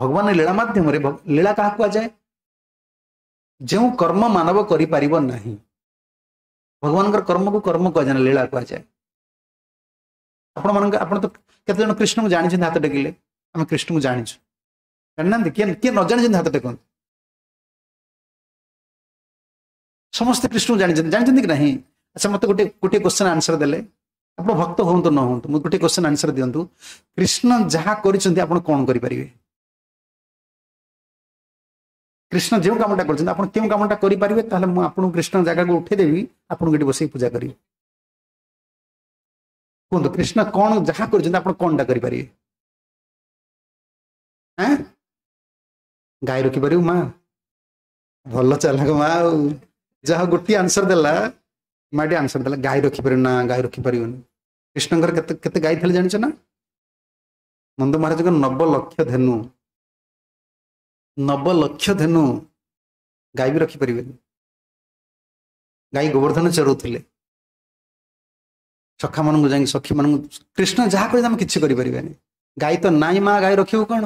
ଭଗବାନ ଲୀଳା ମାଧ୍ୟମରେ, ଲୀଳା କାହାକୁ କୁହାଯାଏ? ଯେଉଁ କର୍ମ ମାନବ କରିପାରିବ ନାହିଁ, ଭଗବାନଙ୍କର କର୍ମକୁ କର୍ମ କୁହାଯାଏ ନା, ଲୀଳା କୁହାଯାଏ। ଆପଣ ମାନଙ୍କ ଆପଣ ତ କେତେ ଜଣ କୃଷ୍ଣଙ୍କୁ ଜାଣିଛନ୍ତି? ହାତ ଟେକିଲେ। ଆମେ କୃଷ୍ଣଙ୍କୁ ଜାଣିଛୁ, ଜାଣିନାହାନ୍ତି? କିଏ କିଏ ନ ଜାଣିଛନ୍ତି ହାତ ଟେକନ୍ତୁ। ସମସ୍ତେ କୃଷ୍ଣଙ୍କୁ ଜାଣିଛନ୍ତି, ଜାଣିଛନ୍ତି କି ନାହିଁ? ଆଚ୍ଛା, ମତେ ଗୋଟେ ଗୋଟିଏ କ୍ୱେଶ୍ଚନ ଆନ୍ସର ଦେଲେ, ଆପଣ ଭକ୍ତ ହୁଅନ୍ତୁ ନ ହୁଅନ୍ତୁ, ମୁଁ ଗୋଟେ କ୍ୱେଶ୍ଚନ ଆନ୍ସର ଦିଅନ୍ତୁ। କୃଷ୍ଣ ଯାହା କରିଛନ୍ତି ଆପଣ କଣ କରିପାରିବେ? କୃଷ୍ଣ ଯେଉଁ କାମଟା କରିଛନ୍ତି ଆପଣ କେଉଁ କାମଟା କରିପାରିବେ ତାହେଲେ ମୁଁ ଆପଣଙ୍କୁ କୃଷ୍ଣ ଜାଗାକୁ ଉଠେଇଦେବି ଆପଣଙ୍କୁ ଏଠି ବସେଇକି ପୂଜା କରିବି କୁହନ୍ତୁ କୃଷ୍ଣ କ'ଣ ଯାହା କରିଛନ୍ତି ଆପଣ କ'ଣଟା କରିପାରିବେ ଆଁ ଗାଈ ରଖିପାରିବୁ ମା ଭଲ ଚାଲାକ ମା ଆଉ ଯାହା ଗୋଟିଏ ଆନ୍ସର ଦେଲା ମାଟି ଆନ୍ସର ଦେଲା ଗାଈ ରଖିପାରିବୁ ନା ଗାଈ ରଖିପାରିବନି କୃଷ୍ଣଙ୍କର କେତେ କେତେ ଗାଈ ଥିଲେ ଜାଣିଛ ନା ନନ୍ଦ ମହାରାଜଙ୍କ ନବ ଲକ୍ଷ ଧେନୁ ନବ ଲକ୍ଷ ଧେନୁ ଗାଈ ବି ରଖିପାରିବେନି ଗାଈ ଗୋବର୍ଦ୍ଧନ ଚରଉଥିଲେ ସଖାମାନଙ୍କୁ ଯାଇକି ସଖୀମାନଙ୍କୁ କୃଷ୍ଣ ଯାହା କହିଲେ ଆମେ କିଛି କରିପାରିବାନି ଗାଈ ତ ନାଇଁ ମା ଗାଈ ରଖିବୁ କ'ଣ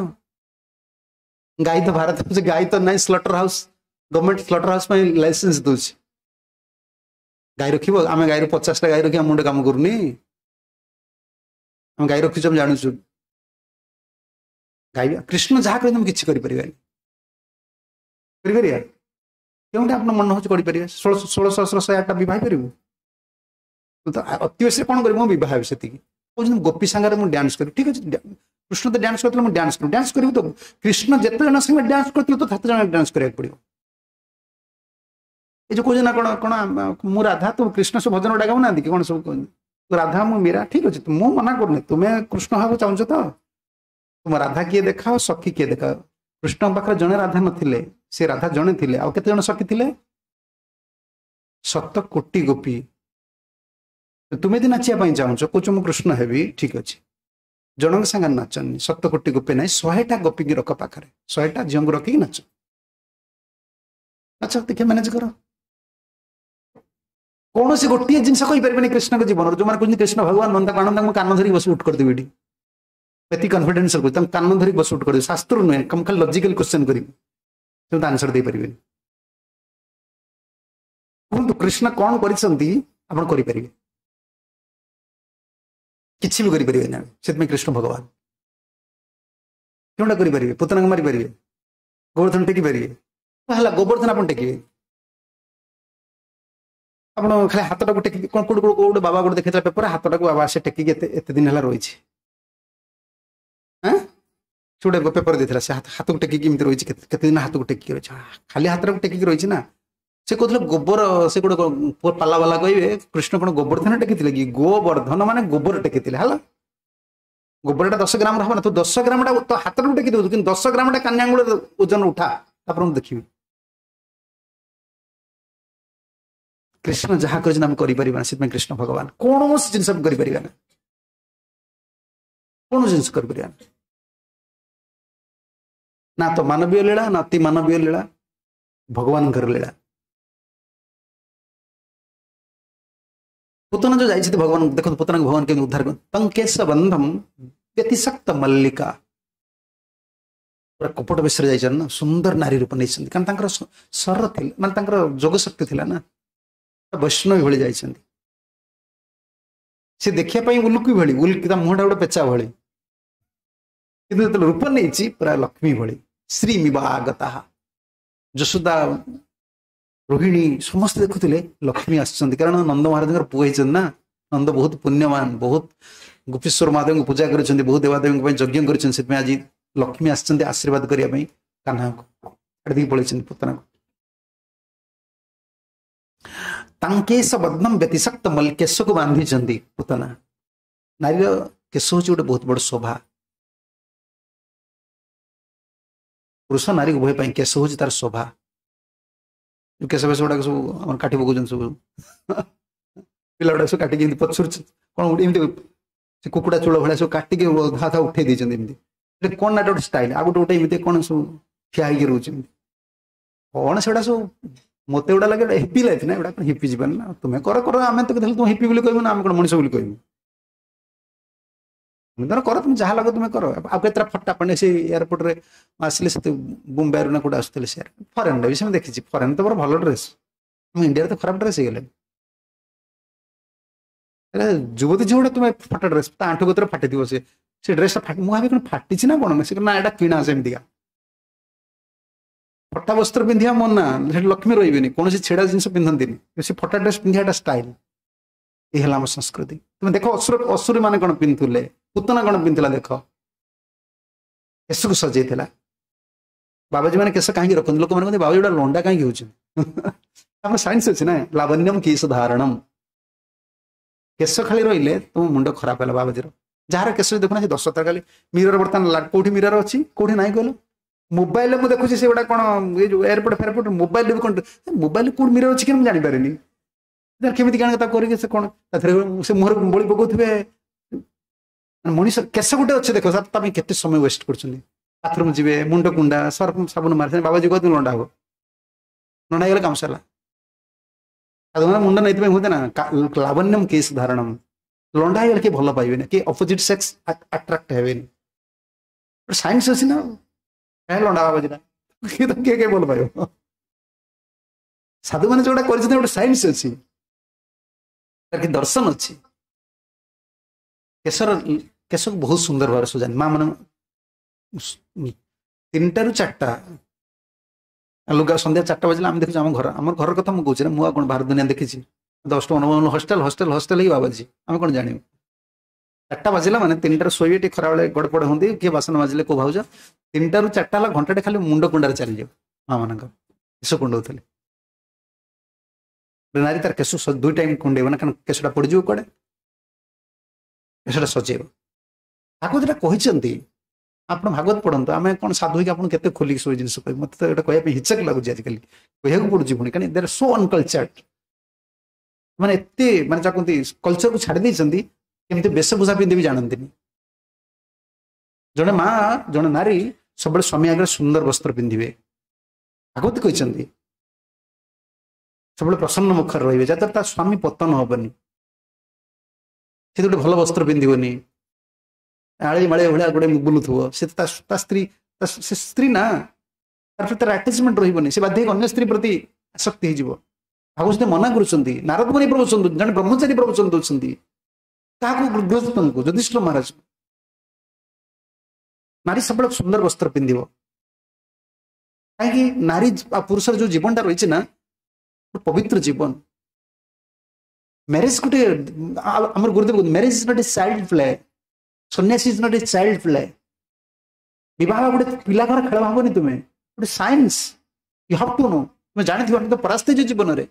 ଗାଈ ତ ଭାରତ ଗାଈ ତ ନାଇଁ slaughter house government slaughter house ପାଇଁ ଲାଇସେନ୍ସ ଦଉଛି ଗାଈ ରଖିବ ଆମେ ଗାଈର ପଚାଶଟା ଗାଈ ରଖି ଆମ ମୁଣ୍ଡ କାମ କରୁନି ଆମେ ଗାଈ ରଖିଛୁ ଆମେ ଜାଣୁଛୁ ଗାଈ କୃଷ୍ଣ ଯାହା କହିଲେ ଆମେ କିଛି କରିପାରିବାନି କରିପାରିବା କେଉଁଟା ଆପଣ ମନ ହଉଛି କରିପାରିବେ ଷୋଳ ଷୋଳ ସହସ୍ର ଶହେ ଆଠଟା ବିବାହ କରିବୁ ତ ଅତି ବେଶୀରେ କ'ଣ କରିବୁ ମୁଁ ବିବାହ ହେବି ସେତିକି କହୁଛନ୍ତି ଗୋପୀ ସାଙ୍ଗରେ ମୁଁ ଡ୍ୟାନ୍ସ କରିବି ଠିକ ଅଛି କୃଷ୍ଣ ତ ଡ୍ୟାନ୍ସ କରିଥିଲେ ମୁଁ ଡ୍ୟାନ୍ସ କରିବି ଡ୍ୟାନ୍ସ କରିବୁ ତ କୃଷ୍ଣ ଯେତେ ଜଣ ସାଙ୍ଗରେ ଡ୍ୟାନ୍ସ କରିଥିଲେ ତ ସେତେ ଜଣ ଡ୍ୟାନ୍ସ କରିବାକୁ ପଡିବ ଏ ଯୋଉ କହୁଛନ୍ତି ନା କ'ଣ କ'ଣ ମୁଁ ରାଧା ତୁ କୃଷ୍ଣ ସବୁ ଭଜନ ଗୁଡ଼ା ଗାଉନାହାନ୍ତି କି କ'ଣ ସବୁ ରାଧା ମୁଁ ମୀରା ଠିକ ଅଛି ମୁଁ ମନା କରୁନି ତୁମେ କୃଷ୍ଣ ହେବାକୁ ଚାହୁଁଛ ତ ତୁମ ରାଧା କିଏ ଦେଖାଅ ସଖୀ କିଏ ଦେଖାଅ କୃଷ୍ଣଙ୍କ ପାଖରେ ଜଣେ ରାଧା ନଥିଲେ ସେ ରାଧା ଜଣେ ଥିଲେ ଆଉ କେତେ ଜଣ ସଖୀ ଥିଲେ ଶତ କୋଟି ଗୋପୀ ତୁମେ ଯଦି ନାଚିବା ପାଇଁ ଚାହୁଁଛ କହୁଛ ମୁଁ କୃଷ୍ଣ ହେବି ଠିକ ଅଛି ଜଣଙ୍କ ସାଙ୍ଗରେ ନାଚନି ଶତ କୋଟି ଗୋପୀ ନାହିଁ ଶହେଟା ଗୋପୀକି ରଖ ପାଖରେ ଶହେଟା ଝିଅଙ୍କୁ ରଖିକି ନାଚ ନାଚ ଦେଖିବା ମ୍ୟାନେଜ କର କୌଣସି ଗୋଟିଏ ଜିନିଷ କହିପାରିବେନି କୃଷ୍ଣଙ୍କ ଜୀବନରେ ଯୋଉମାନେ କହୁଛନ୍ତି କୃଷ୍ଣ ଭଗବାନ ନନ୍ଦ ଆଣନ୍ଦ ତାଙ୍କୁ କାନ ଧରିକି ବସି ଉଠ କରିଦେବି ଏଠି ଏତିକି କନଫିଡେନ୍ସ ରଖୁଛି ତାଙ୍କୁ କାନ ଧରିକି ବସି ଉଠ କରିଦେବି ଶାସ୍ତ୍ର ନୁହେଁ ମୁଁ ଖାଲି ଲଜିକାଲ କ୍ୱେଶ୍ଚନ କରିବି ସେ ଆନ୍ସର ଦେଇପାରିବେନି କୁହନ୍ତୁ କୃଷ୍ଣ କ'ଣ କରିଛନ୍ତି ଆପଣ କରିପାରିବେ କିଛି ବି କରିପାରିବେନି ଆମେ ସେଥିପାଇଁ କୃଷ୍ଣ ଭଗବାନ କେଉଁଟା କରିପାରିବେ ପୁତନାକୁ ମାରିପାରିବେ ଗୋବର୍ଦ୍ଧନ ଟେକି ପାରିବେ ହେଲା ଗୋବର୍ଦ୍ଧନ ଆପଣ ଟେକିବେ ଆପଣ ଖାଲି ହାତଟାକୁ ଟେକି କ'ଣ କୋଉଠି କୋଉଠି ବାବା ଗୋଟେ ଦେଖେଇଥିଲା ପେପର ହାତଟାକୁ ବାବା ସେ ଟେକିକି ଏତେ ଏତେ ଦିନ ହେଲା ରହିଛି ଆଁ ସେ ଗୋଟେ ପେପର ଦେଇଥିଲା ସେ ହାତକୁ ଟେକିକି ଏମିତି ରହିଛି କେତେ ଦିନ ହାତକୁ ଟେକିକି ରହିଛି ଖାଲି ହାତଟାକୁ ଟେକିକି ରହିଛି ନା ସେ କହୁଥିଲେ ଗୋବର ସେ ଗୋଟେ ପାଲା ବାଲା କହିବେ କୃଷ୍ଣ କ'ଣ ଗୋବର୍ଦ୍ଧନ ଟେକିଥିଲେ କି ଗୋବର୍ଦ୍ଧନ ମାନେ ଗୋବର ଟେକିଥିଲେ ହେଲା ଗୋବରଟା ଦଶ ଗ୍ରାମର ହବ ନା ତୁ ଦଶ ଗ୍ରାମଟା ତୋ ହାତଟାକୁ ଟେକି ଦଉଛୁ କିନ୍ତୁ ଦଶ ଗ୍ରାମଟା କାନ୍ୟାଙ୍ଗୁଳ ଓଜନ ଉଠା ତାପରେ ମୁଁ ଦେଖିବି କୃଷ୍ଣ ଯାହା କରିଛନ୍ତି ଆମେ କରିପାରିବା ନା ସେଥିପାଇଁ କୃଷ୍ଣ ଭଗବାନ କୌଣସି ଜିନିଷ ଆମେ କରିପାରିବା ନା କୌଣସି ଜିନିଷ କରିପାରିବା ନା ନା ତ ମାନବୀୟ ଲୀଳା ନା ଅତି ମାନବୀୟ ଲୀଳା ଭଗବାନଙ୍କର ଲୀଳା ପୁତନା ଯୋଉ ଯାଇଛନ୍ତି ଭଗବାନ ଦେଖନ୍ତୁ ପୁତନାକୁ ଭଗବାନ କେମିତି ଉଦ୍ଧାର କରନ୍ତି ତଙ୍କେଶ ବନ୍ଧମ ବ୍ୟତିଶକ୍ତ ମଲ୍ଲିକା ପୁରା କପଟ ବେଶରେ ଯାଇଛନ୍ତି ନା ସୁନ୍ଦର ନାରୀ ରୂପ ନେଇଛନ୍ତି କାରଣ ତାଙ୍କର ଶର ଥିଲା ମାନେ ତାଙ୍କର ଯୋଗ ଶକ୍ତି ଥିଲା ନା ବୈଷ୍ଣବୀ ଭଳି ଯାଇଛନ୍ତି ସେ ଦେଖିବା ପାଇଁ ଉଲୁକି ଭଳି ଉଲୁକି ତା ମୁହଁଟା ଗୋଟେ ପେଚା ଭଳି କିନ୍ତୁ ଯେତେବେଳେ ରୂପ ନେଇଛି ପୁରା ଲକ୍ଷ୍ମୀ ଭଳି ଶ୍ରୀ ମିବାଗତା ଯଶୋଦା ରୋହିଣୀ ସମସ୍ତେ ଦେଖୁଥିଲେ ଲକ୍ଷ୍ମୀ ଆସିଛନ୍ତି କାରଣ ନନ୍ଦ ମହାରାଜଙ୍କର ପୁଅ ହେଇଛନ୍ତି ନା ନନ୍ଦ ବହୁତ ପୁଣ୍ୟବାନ ବହୁତ ଗୋପେଶ୍ୱର ମହାଦେବଙ୍କୁ ପୂଜା କରିଛନ୍ତି ବହୁତ ଦେବାଦେବୀଙ୍କ ପାଇଁ ଯଜ୍ଞ କରିଛନ୍ତି ସେଥିପାଇଁ ଆଜି ଲକ୍ଷ୍ମୀ ଆସିଛନ୍ତି ଆଶୀର୍ବାଦ କରିବା ପାଇଁ କାହ୍ନାକୁ ଛାଡ଼ିଦେଇକି ପଳେଇଛନ୍ତି ପୁତନାକୁ ତାଙ୍କେଶ ବଦ୍ନମ ବ୍ୟତିଶକ୍ତ ମଲ୍ଲି କେଶକୁ ବାନ୍ଧିଛନ୍ତି ପୁତନା ନାରୀର କେଶ ହଉଛି ଗୋଟେ ବହୁତ ବଡ ଶୋଭା ପୁରୁଷ ନାରୀ ଉଭୟ ପାଇଁ କେଶ ହଉଛି ତାର ଶୋଭା କେଶ ଫେଶ ଗୁଡାକ ସବୁ ଆମର କାଟି ପକଉଛନ୍ତି ସବୁ ପିଲା ଗୁଡାକ ସବୁ କାଟିକି ଏମିତି ପଛରୁ କ'ଣ ଗୋଟେ ଏମିତି ସେ କୁକୁଡ଼ା ଚୂଳ ଭଳିଆ ସବୁ କାଟିକି ଅଧା ଅଧା ଉଠେଇ ଦେଇଛନ୍ତି ଏମିତି ଏଟା କ'ଣ ନା ଗୋଟେ ଷ୍ଟାଇଲ ଆଉ ଗୋଟେ ଗୋଟେ ଏମିତି କ'ଣ ସବୁ ଠିଆ ହେଇକି ରହୁଛି ଏମିତି କ'ଣ ସେଗୁଡ଼ା ସବୁ ମୋତେ ଏଗୁଡ଼ା ଲାଗେ ହେପି ଲାଇଫ୍ ନା ଏଗୁଡ଼ା କ'ଣ ହେପି ଯିବାନି ନା ତୁମେ କର କର ଆମେ ତ ତୁମ ହେପି ବୋଲି କହିବୁ ନା ଆମେ କ'ଣ ମଣିଷ ବୋଲି କହିବୁ ତୁମେ ତର କର ତୁମେ ଯାହା ଲାଗ ତୁମେ କର ଆଉ କେତେଟା ଫଟା ପାଣି ସେ ଏୟାରପୋର୍ଟରେ ଆସିଲେ ସେ ମୁମ୍ବାଇରୁ ନା କୋଉଠି ଆସୁଥିଲେ ସେ ଫରେନ୍ରେ ବି ସେମିତି ଦେଖିଛି ଫରେନ୍ ତ ମୋର ଭଲ ଡ୍ରେସ୍ ଆମ ଇଣ୍ଡିଆରେ ତ ଖରାପ ଡ୍ରେସ୍ ହେଇଗଲାଣି ହେଲେ ଯୁବତୀ ଝିଅ ଗୋଟେ ତୁମେ ଫଟା ଡ୍ରେସ୍ ତା ଆଣ୍ଠୁ ଗତରେ ଫାଟିଥିବ ସେ ସେ ଡ୍ରେସଟା ଫାଟି ମୁଁ ଭାବି କ'ଣ ଫାଟିଛି ନା କ'ଣ ସେ ନା ଏଇଟା କିଣା ସେମିତିକା ଫଟା ବସ୍ତ୍ର ପିନ୍ଧିବା ମନା ସେଠି ଲକ୍ଷ୍ମୀ ରହିବେନି କୌଣସି ଛେଡ଼ା ଜିନିଷ ପିନ୍ଧନ୍ତିନି ସେ ଫଟା ଡ୍ରେସ୍ ପିନ୍ଧିବାଟା ଷ୍ଟାଇଲ ଏ ହେଲା ଆମ ସଂସ୍କୃତି ତୁମେ ଦେଖ ଅସୁର ଅସୁର ମାନେ କ'ଣ ପିନ୍ଧୁଥିଲେ ପୁତନା କ'ଣ ପିନ୍ଧୁଥିଲା ଦେଖ କେଶକୁ ସଜେଇଥିଲା ବାବାଜୀ ମାନେ କେଶ କାହିଁକି ରଖନ୍ତି? ଲୋକମାନେ କହନ୍ତି ବାବାଜୀ ଗୁଡ଼ା ଲଣ୍ଡା କାହିଁକି ହଉଛନ୍ତି? ଆମର ସାଇନ୍ସ ଅଛି ନା, ଲାବଣ୍ୟମ କେଶ ଧାରଣମ। କେଶ ଖାଲି ରହିଲେ ତୁମ ମୁଣ୍ଡ ଖରାପ ହେଲା ବାବାଜୀର। ଯାହାର କେଶ ଦେଖୁନା ସେ ଦଶଥର ଖାଲି ମିରର, ବର୍ତ୍ତମାନ କୋଉଠି ମିରର ଅଛି କୋଉଠି ନାହିଁ କହିଲ? ମୋବାଇଲରେ ମୁଁ ଦେଖୁଛି ସେଗୁଡ଼ା କ'ଣ ଏଇ ଯୋଉ ଏୟାରପୋର୍ଟ ଫେୟାରପୋର୍ଟ ମୋବାଇଲରେ ବି କ'ଣ, ମୋବାଇଲରେ କୋଉଠି ମିରର ଅଛି କି ମୁଁ ଜାଣିପାରିନି। କେମିତି କାଣ ତାକୁ କରିକି ସେ କ'ଣ ତାଥିରେ ସେ ମୁହଁରେ ବୋଳି ପକଉଥିବେ। ମଣିଷ କେଶ ଗୋଟେ ଅଛି ଦେଖ ତା ପାଇଁ କେତେ ସମୟ ୱେଷ୍ଟ କରୁଛନ୍ତି। ବାଥରୁମ୍ ଯିବେ, ମୁଣ୍ଡ କୁଣ୍ଡା, ସର୍ଫ ସାବୁନ ମାରିଛନ୍ତି, ବାବାଜୀ କହନ୍ତି ଲଣ୍ଡା ହବ, ଲଣ୍ଡା ହେଇଗଲେ କାମ ସରିଲା। ସାଧୁମାନେ ମୁଣ୍ଡ ନେଇଥିପାଇଁ ହୁଅନ୍ତି ନା, ଲାବଣ୍ୟମ କେଶ ଧାରଣମ। ଲଣ୍ଡା ହେଇଗଲେ କିଏ ଭଲ ପାଇବେନି, କିଏ ଅପୋଜିଟ୍ ସେକ୍ସ ଆଟ୍ରାକ୍ଟ ହେବେନି। ସାଇନ୍ସ ଅଛି ନା, କାହିଁ ଲଣ୍ଡା ବାବାଜୀଟା କିଏ ତ କିଏ କିଏ ଭଲ ପାଇବ? ସାଧୁମାନେ ଯୋଉଟା କରିଛନ୍ତି ଗୋଟେ ସାଇନ୍ସ ଅଛି, ତାର କି ଦର୍ଶନ ଅଛି। କେଶର କେଶକୁ ବହୁତ ସୁନ୍ଦର ଭାବରେ ସଜାନ୍ତି ମା ମାନେ। ତିନିଟାରୁ ଚାରିଟା ଲୁଗା, ସନ୍ଧ୍ୟା ଚାରିଟା ବାଜିଲେ ଆମେ ଦେଖୁଛୁ ଆମ ଘର, ଆମର ଘର କଥା ମୁଁ କହୁଛି ନା, ମୁଁ ଆଉ କ'ଣ ବାହାର ଦୁନିଆ ଦେଖିଛି? ଦଶଟା ଅନୁଭବ ହଷ୍ଟେଲ ହଷ୍ଟେଲ ହଷ୍ଟେଲ ହେଇକି ବାବାଜୀ, ଆମେ କ'ଣ ଜାଣିବୁ? ଚାରିଟା ବାଜିଲା ମାନେ ତିନିଟାରୁ ଶୋଇବେ, ଟିକେ ଖରାବେଳେ ଗଡ଼ପଡ଼ ହୁଅନ୍ତି, କିଏ ବାସନ ମାଜିଲେ କୋଉ ଭାଉଜ। ତିନିଟାରୁ ଚାରିଟା ହେଲା ଘଣ୍ଟାଟେ ଖାଲି ମୁଣ୍ଡ କୁଣ୍ଡାରେ ଚାଲିଯିବ ମା ମାନଙ୍କ, କେଶ କୁଣ୍ଡଉଥିଲେ। ନାରୀ ତାର କେଶ ଦୁଇ ଟାଇମ୍ କୁଣ୍ଡେଇବ ନା, କାରଣ କେଶଟା ପଡ଼ିଯିବ କୁଆଡ଼େ, କେଶଟା ସଜେଇବ। ଭାଗବତ ଏଟା କହିଛନ୍ତି, ଆପଣ ଭାଗବତ ପଢ଼ନ୍ତୁ। ଆମେ କ'ଣ ସାଧୁ ହେଇକି ଆପଣ କେତେ ଖୋଲିକି ସବୁ ଜିନିଷ କହିବୁ? ମୋତେ ତ ଏଇଟା କହିବା ପାଇଁ ହିଚକ ଲାଗୁଛି ଆଜିକାଲି, କହିବାକୁ ପଡୁଛି ପୁଣି, କାରଣ ଦେ ଆର୍ ସୋ ଅନକଲଚର୍ଡ। ମାନେ ଏତେ ମାନେ ଯାହା କୁହନ୍ତି କଲଚରକୁ ଛାଡ଼ି ଦେଇଛନ୍ତି, କେମିତି ବେଶଭୂଷା ପିନ୍ଧି ବି ଜାଣନ୍ତିନି। ଜଣେ ମା, ଜଣେ ନାରୀ ସବୁବେଳେ ସ୍ୱାମୀ ଆଗରେ ସୁନ୍ଦର ବସ୍ତ୍ର ପିନ୍ଧିବେ, ଭାଗବତ କହିଛନ୍ତି। ସବୁବେଳେ ପ୍ରସନ୍ନ ମୁଖରେ ରହିବେ, ଯାହାଦ୍ୱାରା ତା ସ୍ୱାମୀ ପତନ ହବନି। ସେ ଗୋଟେ ଭଲ ବସ୍ତ୍ର ପିନ୍ଧିବନି, ଆଳି ମାଳି ଭଳିଆ ଗୋଟେ ବୁଲୁଥିବ, ସେ ତା ସ୍ତ୍ରୀ, ସେ ସ୍ତ୍ରୀ ନା, ତାର ପ୍ରତି ତାର ଆଟାଚମେଣ୍ଟ ରହିବନି, ସେ ବାଧ୍ୟ ହେଇକି ଅନ୍ୟ ସ୍ତ୍ରୀ ପ୍ରତି ଆସକ୍ତି ହେଇଯିବ। ଭାଗବତ ମନା କରୁଛନ୍ତି, ନାରଦ ମୁନି ପ୍ରବଚନ, ଜଣେ ବ୍ରହ୍ମଚାରୀ ପ୍ରବଚନ ଦଉଛନ୍ତି କାହାକୁ? ଗୃହସ୍ଥଙ୍କୁ, ଯୁଧିଷ୍ଠିର ମହାରାଜ। ନାରୀ ସବୁବେଳେ ସୁନ୍ଦର ବସ୍ତ୍ର ପିନ୍ଧିବ। କାହିଁକି? ନାରୀ ଆଉ ପୁରୁଷର ଯୋଉ ଜୀବନଟା ରହିଛି ନା, ପବିତ୍ର ଜୀବନ। ମ୍ୟାରେଜ ଗୋଟେ, ଆମର ଗୁରୁଦେବ କୁହନ୍ତି, marriage is not a child play, sannyas is not a child play. ବିବାହ ଗୋଟେ ପିଲା ଘର ଖେଳ ଭାବନି ତୁମେ, ଗୋଟେ science, you have to know. ତୁମେ ଜାଣିଥିବ ଆମେ ତ ପରାସ୍ତ ହେଇଛୁ ଜୀବନରେ,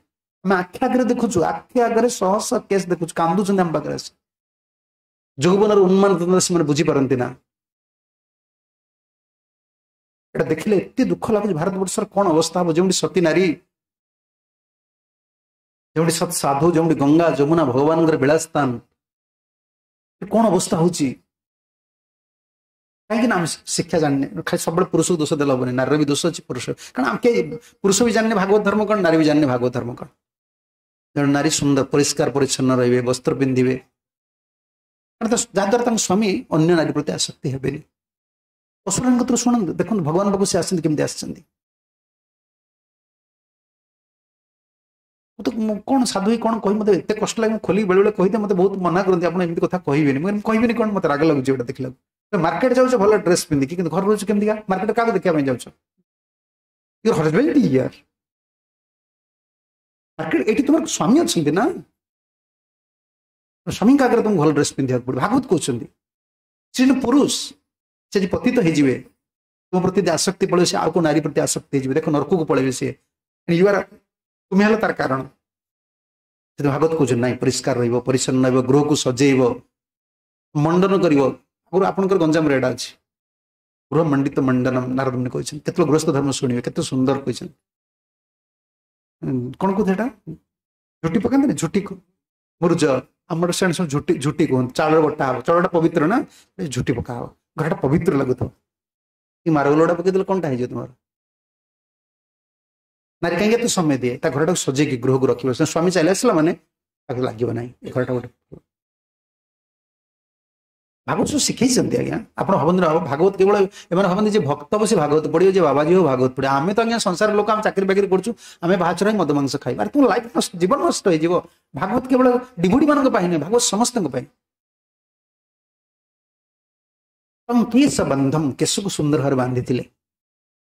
ଆମେ ଆଖି ଆଗରେ ଦେଖୁଛୁ, ଆଖି ଆଗରେ ଶହ ଶହ କେସ୍ ଦେଖୁଛୁ, କାନ୍ଦୁଛନ୍ତି ଆମ ପାଖରେ ଆସି। ଯୌବନର ଉନ୍ମାନ ସେମାନେ ବୁଝିପାରନ୍ତି ନା। ଏଟା ଦେଖିଲେ ଏତେ ଦୁଃଖ ଲାଗୁଛି, ଭାରତବର୍ଷର କଣ ଅବସ୍ଥା ହବ, ଯେଉଁଠି ସତୀ ନାରୀ, ଯେଉଁଠି ସତ୍ ସାଧୁ, ଯେଉଁଠି ଗଙ୍ଗା ଯମୁନା ଭଗବାନଙ୍କର ବିଳାସସ୍ଥାନ, କଣ ଅବସ୍ଥା ହଉଛି? କାହିଁକି ନା ଆମେ ଶିକ୍ଷା ଜାଣିନେ। ଖାଲି ସବୁବେଳେ ପୁରୁଷକୁ ଦୋଷ ଦେଲେ ହବନି, ନାରୀର ବି ଦୋଷ ଅଛି, ପୁରୁଷ, କାରଣ ଆମେ କେହି ପୁରୁଷ ବି ଜାଣିନେ ଭାଗବତ ଧର୍ମ କଣ, ନାରୀ ବି ଜାଣିନେ ଭାଗବତ ଧର୍ମ କଣ। ଜଣେ ନାରୀ ସୁନ୍ଦର ପରିଷ୍କାର ପରିଚ୍ଛନ୍ନ ରହିବେ, ବସ୍ତ୍ର ପିନ୍ଧିବେ, କାରଣ ଯାହାଦ୍ୱାରା ତାଙ୍କ ସ୍ୱାମୀ ଅନ୍ୟ ନାରୀ ପ୍ରତି ଆସକ୍ତି ହେବେନି। ଅସୁରଙ୍କ କତିରୁ ଶୁଣନ୍ତୁ, ଦେଖନ୍ତୁ ଭଗବାନ ପାଖକୁ ସେ ଆସିଛନ୍ତି, କେମିତି ଆସିଛନ୍ତି। ମୁଁ ତ କ'ଣ ସାଧୁ ହେଇ କ'ଣ କହିବି, ମୋତେ ଏତେ କଷ୍ଟ ଲାଗେ, ମୁଁ ଖୋଲିକି ବେଳେବେଳେ କହିଦିଏ, ମୋତେ ବହୁତ ମନା କରନ୍ତି ଆପଣ ଏମିତି କଥା କହିବେନି। ମୁଁ କହିବିନି କ'ଣ, ମୋତେ ରାଗ ଲାଗୁଛି ଏଇଟା ଦେଖିଲାକୁ। ମାର୍କେଟ ଯାଉଛ ଭଲ ଡ୍ରେସ୍ ପିନ୍ଧିକି, କିନ୍ତୁ ଘରେ ରହୁଛ କେମିତିକା? ମାର୍କେଟ କାହାକୁ ଦେଖିବା ପାଇଁ ଯାଉଛ? Your husband year market, ଏଇଠି ତୁମର ସ୍ୱାମୀ ଅଛନ୍ତି ନା, ସ୍ୱାମୀଙ୍କ ଆଗରେ ତୁମକୁ ଭଲ ଡ୍ରେସ୍ ପିନ୍ଧିବାକୁ ପଡ଼ିବ। ଭାଗବତ କହୁଛନ୍ତି ସେ ଜଣେ ପୁରୁଷ, ସେ ଯଦି ପତିତ ହେଇଯିବେ, ତୁମ ପ୍ରତି ଯଦି ଆସକ୍ତି ପଳେଇବ, ସେ ଆଉ କୋଉ ନାରୀ ପ୍ରତି ଆସକ୍ତି ହେଇଯିବେ, ଦେଖ ନରକକୁ ପଳେଇବେ ସିଏ। You ଆର୍, ତୁମେ ହେଲ ତାର କାରଣ। ସେଥିପାଇଁ ଭାଗବତ କହୁଛନ୍ତି ନାଇଁ, ପରିଷ୍କାର ରହିବ, ପରିଚ୍ଛନ୍ନ ରହିବ, ଗୃହକୁ ସଜେଇବ, ମଣ୍ଡନ କରିବ। ଆଗରୁ ଆପଣଙ୍କର ଗଞ୍ଜାମରେ ଏଇଟା ଅଛି, ଗୃହ ମଣ୍ଡିତ ମଣ୍ଡନ ନାରଦ ମୁନି କହିଛନ୍ତି। କେତେବେଳେ ଗୃହସ୍ଥ ଧର୍ମ ଶୁଣିବେ, କେତେ ସୁନ୍ଦର କହିଛନ୍ତି। କଣ କହୁଥିଲେ ଏଟା? ଝୁଟି ପକାନ୍ତିନି, ଝୁଟି ମୁରୁଜ, ଆମର ସେଣେ ସବୁ ଝୁଟି ଝୁଟି କୁହନ୍ତି। ଚାଉଳ ବଟା ହବ, ଚାଉଳଟା ପବିତ୍ର ନା, ଝୁଟି ପକା ହବ, ଘରଟା ପବିତ୍ର ଲାଗୁଥିବ। କି ମାରଗୋଲଟା ପକେଇଦେଲେ କଣଟା ହେଇଯିବ ତୁମର? ନାରୀ କାହିଁକି ଏତେ ସମୟ ଦିଏ? ତା ଘରଟାକୁ ସଜେଇକି ଗୃହକୁ ରଖିବ। ସ୍ୱାମୀ ଚାଲି ଆସିଲା ମାନେ ତାକୁ ଲାଗିବ ନାହିଁ ଏ ଘରଟା ଗୋଟେ। ଭାଗବତ ସବୁ ଶିଖେଇଛନ୍ତି ଆଜ୍ଞା। ଆପଣ ଭାବନ୍ତି ନା ଭାଗବତ କେବଳ, ଏମାନେ ଭାବନ୍ତି ଯେ ଭକ୍ତ ହବ ସେ ଭାଗବତ ପଢିବ, ଯେ ବାବାଜୀ ହବ ଭାଗବତ ପଢିବ। ଆମେ ତ ଆଜ୍ଞା ସଂସାର ଲୋକ, ଆମେ ଚାକିରି ବାକିରି କରୁଛୁ, ଆମେ ବାହାଚର ମଦ ମାଂସ ଖାଇବା, ଆରେ ତୁମ ଲାଇଫ ନଷ୍ଟ, ଜୀବନ ନଷ୍ଟ ହେଇଯିବ। ଭାଗବତ କେବଳ ଡିଭୋଟି ମାନଙ୍କ ପାଇଁ ନୁହେଁ, ଭାଗବତ ସମସ୍ତଙ୍କ ପାଇଁ। କେଶ ବନ୍ଧମ, କେଶକୁ ସୁନ୍ଦର ଭାବରେ ବାନ୍ଧିଥିଲେ।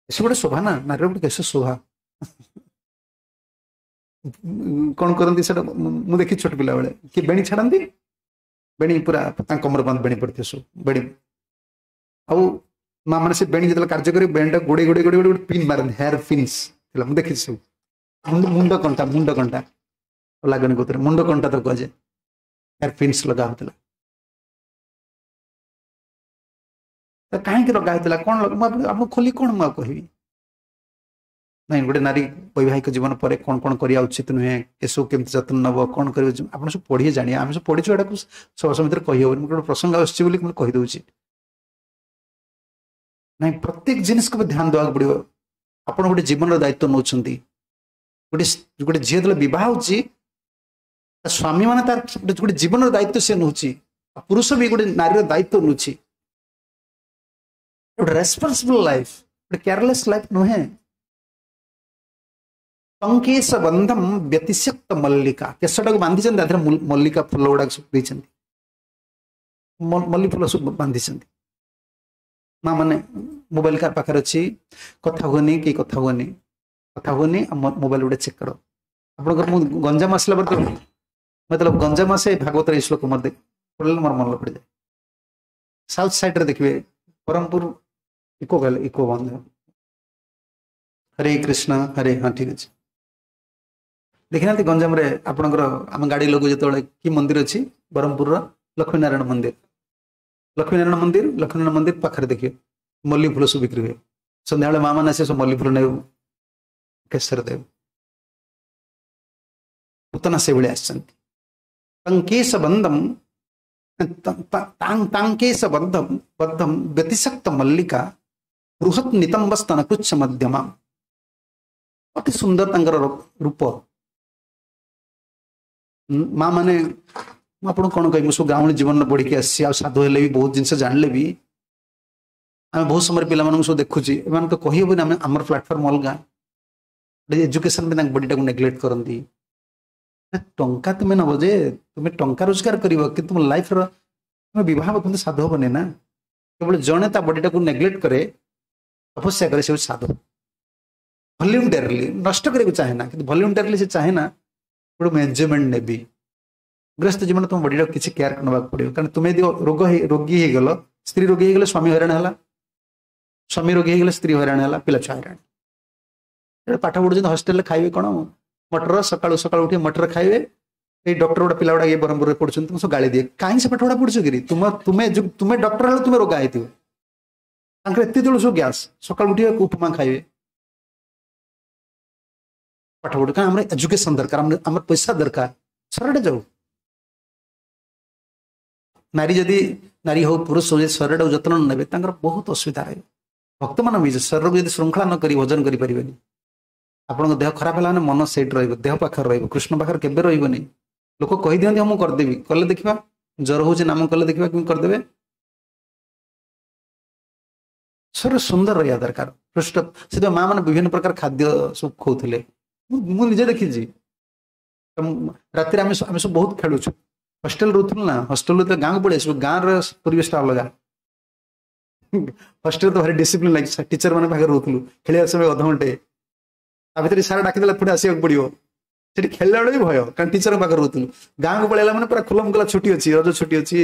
କେଶ ଗୋଟେ ଶୋଭା ନା, ନାରୀର ଗୋଟେ କେଶ ଶୋଭା। କଣ କରନ୍ତି ସେଟା ମୁଁ ଦେଖି ଛୋଟ ପିଲାବେଳେ, କିଏ ବେଣୀ ଛାଡ଼ନ୍ତି, ବେଣୀ ପୁରା ତାଙ୍କ କମର ବନ୍ଦ ବେଣୀ ପଡ଼ିଥିବ ସବୁ ବେଣୀ, ଆଉ ମା ମାନେ ସେ ବେଣୀ ଯେତେବେଳେ କାର୍ଯ୍ୟ କରିବେ ବେଣୀଟା ଗୋଡ଼େଇ ଗୋଡ଼େଇ ଗୋଡ଼େଇ ଗୋଟେ ପିନ୍ ମାରନ୍ତି, ହେୟାର ପିନ୍ସ ଥିଲା, ମୁଁ ଦେଖିଛି ସବୁ। ମୁଣ୍ଡ କଣ୍ଟା, ମୁଣ୍ଡ କଣ୍ଟା ଲାଗନି କୋଉଥିରେ, ମୁଣ୍ଡ କଣ୍ଟା ତ କୁହାଯାଏ, ହେୟାର ପିନ୍ସ ଲଗା ହଉଥିଲା। ତ କାହିଁକି ଲଗା ହେଇଥିଲା, କ'ଣ ମୁଁ ଆପଣଙ୍କୁ ଖୋଲି କ'ଣ ମୁଁ ଆଉ କହିବି? ନାଇଁ, ଗୋଟେ ନାରୀ ବୈବାହିକ ଜୀବନ ପରେ କ'ଣ କ'ଣ କରିବା ଉଚିତ ନୁହେଁ, ଏସବୁ କେମିତି ଯତ୍ନ ନେବ, କ'ଣ କରିବ, ଆପଣ ସବୁ ପଢ଼ିଏ ଜାଣିବା। ଆମେ ସବୁ ପଢ଼ିଛୁ, ଏଟାକୁ ସଭା ସମିତିରେ କହିହେବନି। ମୁଁ ଗୋଟେ ପ୍ରସଙ୍ଗ ଆସୁଛି ବୋଲି ମୁଁ କହିଦେଉଛି। ନାଇଁ, ପ୍ରତ୍ୟେକ ଜିନିଷକୁ ବି ଧ୍ୟାନ ଦେବାକୁ ପଡ଼ିବ। ଆପଣ ଗୋଟେ ଜୀବନର ଦାୟିତ୍ୱ ନେଉଛନ୍ତି। ଗୋଟେ ଗୋଟେ ଝିଅ ଯେତେବେଳେ ବିବାହ ହେଉଛି, ତା ସ୍ୱାମୀ ମାନେ ତାର ଗୋଟେ ଜୀବନର ଦାୟିତ୍ୱ ସେ ନେଉଛି, ପୁରୁଷ ବି ଗୋଟେ ନାରୀର ଦାୟିତ୍ୱ ନେଉଛି। ଗୋଟେ ରେସ୍ପନ୍ସିବଲ ଲାଇଫ, ଗୋଟେ କେୟାରଲେସ୍ ଲାଇଫ ନୁହେଁ। ଟଙ୍କେଶ ବନ୍ଧମ ବ୍ୟତିଶକ୍ତ ମଲ୍ଲିକା, କେଶଟାକୁ ବାନ୍ଧିଛନ୍ତି, ତା ଦେହରେ ମଲ୍ଲିକା ଫୁଲ ଗୁଡାକ ସବୁ ଦେଇଛନ୍ତି, ମଲ୍ଲି ଫୁଲ ସବୁ ବାନ୍ଧିଛନ୍ତି। ମା ମାନେ ମୋବାଇଲ କାହା ପାଖରେ ଅଛି, କଥା ହୁଅନି, କେହି କଥା ହୁଅନି, କଥା ହୁଅନି, ଆଉ ମୋବାଇଲ ଗୋଟେ ଚେକ୍ କର। ଆପଣଙ୍କର ମୁଁ ଗଞ୍ଜାମ ଆସିଲା ପରେ ତ ମତଲବ ଗଞ୍ଜାମ ଆସେ, ଭାଗବତର ଏଇ ଶ୍ଲୋକ ମୋର ପଡ଼ିଲେ ମୋର ମନେ ପଡ଼ିଯାଏ। ସାଉଥ ସାଇଡ୍ରେ ଦେଖିବେ ବ୍ରହ୍ମପୁର ଇକୋ ଗଲେ ଇକୋ ବନ୍ଦ। ହରେ କୃଷ୍ଣ ହରେ, ହଁ ଠିକ ଅଛି। ଦେଖିନାହାନ୍ତି ଗଞ୍ଜାମରେ ଆପଣଙ୍କର ଆମ ଗାଡ଼ି ଲୋକ ଯେତେବେଳେ କି ମନ୍ଦିର ଅଛି ବ୍ରହ୍ମପୁରର ଲକ୍ଷ୍ମୀନାରାୟଣ ମନ୍ଦିର, ଲକ୍ଷ୍ମୀନାରାୟଣ ମନ୍ଦିର, ଲକ୍ଷ୍ମୀନାରାୟଣ ମନ୍ଦିର ପାଖରେ ଦେଖିବେ ମଲ୍ଲି ଫୁଲ ସବୁ ବିକ୍ରି ହୁଏ। ସନ୍ଧ୍ୟାବେଳେ ମା ମାନେ ଆସେ ସବୁ ମଲ୍ଲି ଫୁଲ ନେବେ, କେଶର ଦେବେ। ପୁତନା ସେଇଭଳି ଆସିଛନ୍ତି। ତାଙ୍କେଶ ବନ୍ଦମ ତାଙ୍କେଶ ବଦ୍ଧମ ବଦ୍ଧମ ବ୍ୟତିଶକ୍ତ ମଲ୍ଲିକା ବୃହତ୍ ନିତମ୍ବ ସ୍ତନ କୃଚ୍ଛ ମଧ୍ୟମା। ଅତି ସୁନ୍ଦର ତାଙ୍କର ରୂପ। ମା ମାନେ ମୁଁ ଆପଣଙ୍କୁ କ'ଣ କହିବି, ମୁଁ ସବୁ ଗାଉଁଲି ଜୀବନରେ ବଢ଼ିକି ଆସିଛି, ଆଉ ସାଧୁ ହେଲେ ବି ବହୁତ ଜିନିଷ ଜାଣିଲେ ବି ଆମେ ବହୁତ ସମୟରେ ପିଲାମାନଙ୍କୁ ସବୁ ଦେଖୁଛି, ଏମାନେ ତ କହିହେବନି, ଆମେ ଆମର ପ୍ଲାଟଫର୍ମ ଅଲଗା। ଏଜୁକେସନ ବି ତାଙ୍କ ବଡିଟାକୁ ନେଗ୍ଲେକ୍ଟ କରନ୍ତି। ଟଙ୍କା ତୁମେ ନବ ଯେ, ତୁମେ ଟଙ୍କା ରୋଜଗାର କରିବ, କିନ୍ତୁ ତୁମ ଲାଇଫର ତୁମେ ବିବାହ ହେବ କିନ୍ତୁ ସାଧୁ ହବନି ନା। କେବଳ ଜଣେ ତା ବଡିଟାକୁ ନେଗ୍ଲେକ୍ଟ କରେ, ତପସ୍ୟା କରେ, ସେ ହେଉଛି ସାଧୁ। ଭଲ୍ୟୁଣ୍ଟାରିଲି ନଷ୍ଟ କରିବାକୁ ଚାହେଁ ନା, କିନ୍ତୁ ଭଲ୍ୟୁଣ୍ଟାରିଲି ସେ ଚାହେଁ ନା ଗୋଟେ ମୁଁ ଏନ୍ଜୟମେଣ୍ଟ ନେବି। ଗୃହସ୍ଥ ଜୀବନ ତୁମ ବଡିଟାକୁ କିଛି କେୟାର ନେବାକୁ ପଡ଼ିବ। କାରଣ ତୁମେ ଯଦି ରୋଗ ହେଇ ରୋଗୀ ହେଇଗଲ, ସ୍ତ୍ରୀ ରୋଗୀ ହେଇଗଲେ ସ୍ୱାମୀ ହଇରାଣ ହେଲା, ସ୍ୱାମୀ ରୋଗୀ ହେଇଗଲେ ସ୍ତ୍ରୀ ହଇରାଣ ହେଲା, ପିଲା ଛୁଆ ହଇରାଣ। ପାଠ ପଢୁଛନ୍ତି ହଷ୍ଟେଲରେ ଖାଇବେ କ'ଣ, ମଟର, ସକାଳୁ ସକାଳୁ ଉଠି ମଟର ଖାଇବେ। ଏଇ ଡକ୍ଟର ଗୁଡ଼ା ପିଲା ଗୁଡ଼ା ଏଇ ବ୍ରହ୍ମପୁରରେ ପଢୁଛନ୍ତି, ମୁଁ ସବୁ ଗାଳି ଦିଏ, କାହିଁକି ସେ ପାଠ ଗୁଡ଼ା ପଢୁଛ କିରି? ତୁମ ତୁମେ ତୁମେ ଡକ୍ଟର ହେଲେ ତୁମେ ରୋଗା ହେଇଥିବ। ତାଙ୍କର ଏତେ ତେଳୁ ସବୁ ଗ୍ୟାସ୍, ସକାଳୁ ଉଠିବେ ଉପମା ଖାଇବେ, ପାଠ ପଢୁ। କାରଣ ଆମର ଏଜୁକେସନ ଦରକାର, ଆମର ପଇସା ଦରକାର, ଶରୀରଟା ଯାଉ। ନାରୀ ଯଦି ନାରୀ ହଉ ପୁରୁଷ ହଉ, ଯଦି ଶରୀରଟାକୁ ଯତ୍ନ ନ ନେବେ ତାଙ୍କର ବହୁତ ଅସୁବିଧା ରହିବ। ଭକ୍ତମାନ ବି ଶରୀରକୁ ଯଦି ଶୃଙ୍ଖଳା ନ କରି ଭଜନ କରିପାରିବେନି। ଆପଣଙ୍କ ଦେହ ଖରାପ ହେଲା ମାନେ ମନ ସେଇଠି ରହିବ, ଦେହ ପାଖରେ ରହିବ, କୃଷ୍ଣ ପାଖରେ କେବେ ରହିବନି। ଲୋକ କହିଦିଅନ୍ତି ହଁ ମୁଁ କରିଦେବି, କଲେ ଦେଖିବା, ଜ୍ୱର ହଉଛି ନାମ କଲେ ଦେଖିବା କେମିତି କରିଦେବେ। ଶରୀର ସୁନ୍ଦର ରହିବା ଦରକାର, ପୃଷ୍ଠ। ସେଥିପାଇଁ ମା ମାନେ ବିଭିନ୍ନ ପ୍ରକାର ଖାଦ୍ୟ ସବୁ ଖୋଉଥିଲେ, ମୁଁ ନିଜେ ଦେଖିଛି। ରାତିରେ ଆମେ ଆମେ ସବୁ ବହୁତ ଖେଳୁଛୁ, ହଷ୍ଟେଲ ରହୁଥିଲୁ ନା, ହଷ୍ଟେଲରୁ ତ ଗାଁକୁ ପଳେଇ ଆସିବୁ, ଗାଁର ପରିବେଶଟା ଅଲଗା। ହଷ୍ଟେଲ ତ ଭାରି ଡିସିପ୍ଲିନ ଲାଗି, ଟିଚର ମାନେ ପାଖରେ ରହୁଥିଲୁ, ଖେଳିବା ସମୟ ଅଧଘଣ୍ଟେ, ତା ଭିତରେ ସାର୍ ଡାକିଦେଲା ପୁଣି ଆସିବାକୁ ପଡ଼ିବ। ସେଠି ଖେଳିଲା ବେଳେ ବି ଭୟ, କାରଣ ଟିଚରଙ୍କ ପାଖରେ ରହୁଥିଲୁ। ଗାଁକୁ ପଳେଇଲା ମାନେ ପୁରା ଖୁଲମ ଖୁଲା ଛୁଟି ଅଛି, ରଜ ଛୁଟି ଅଛି,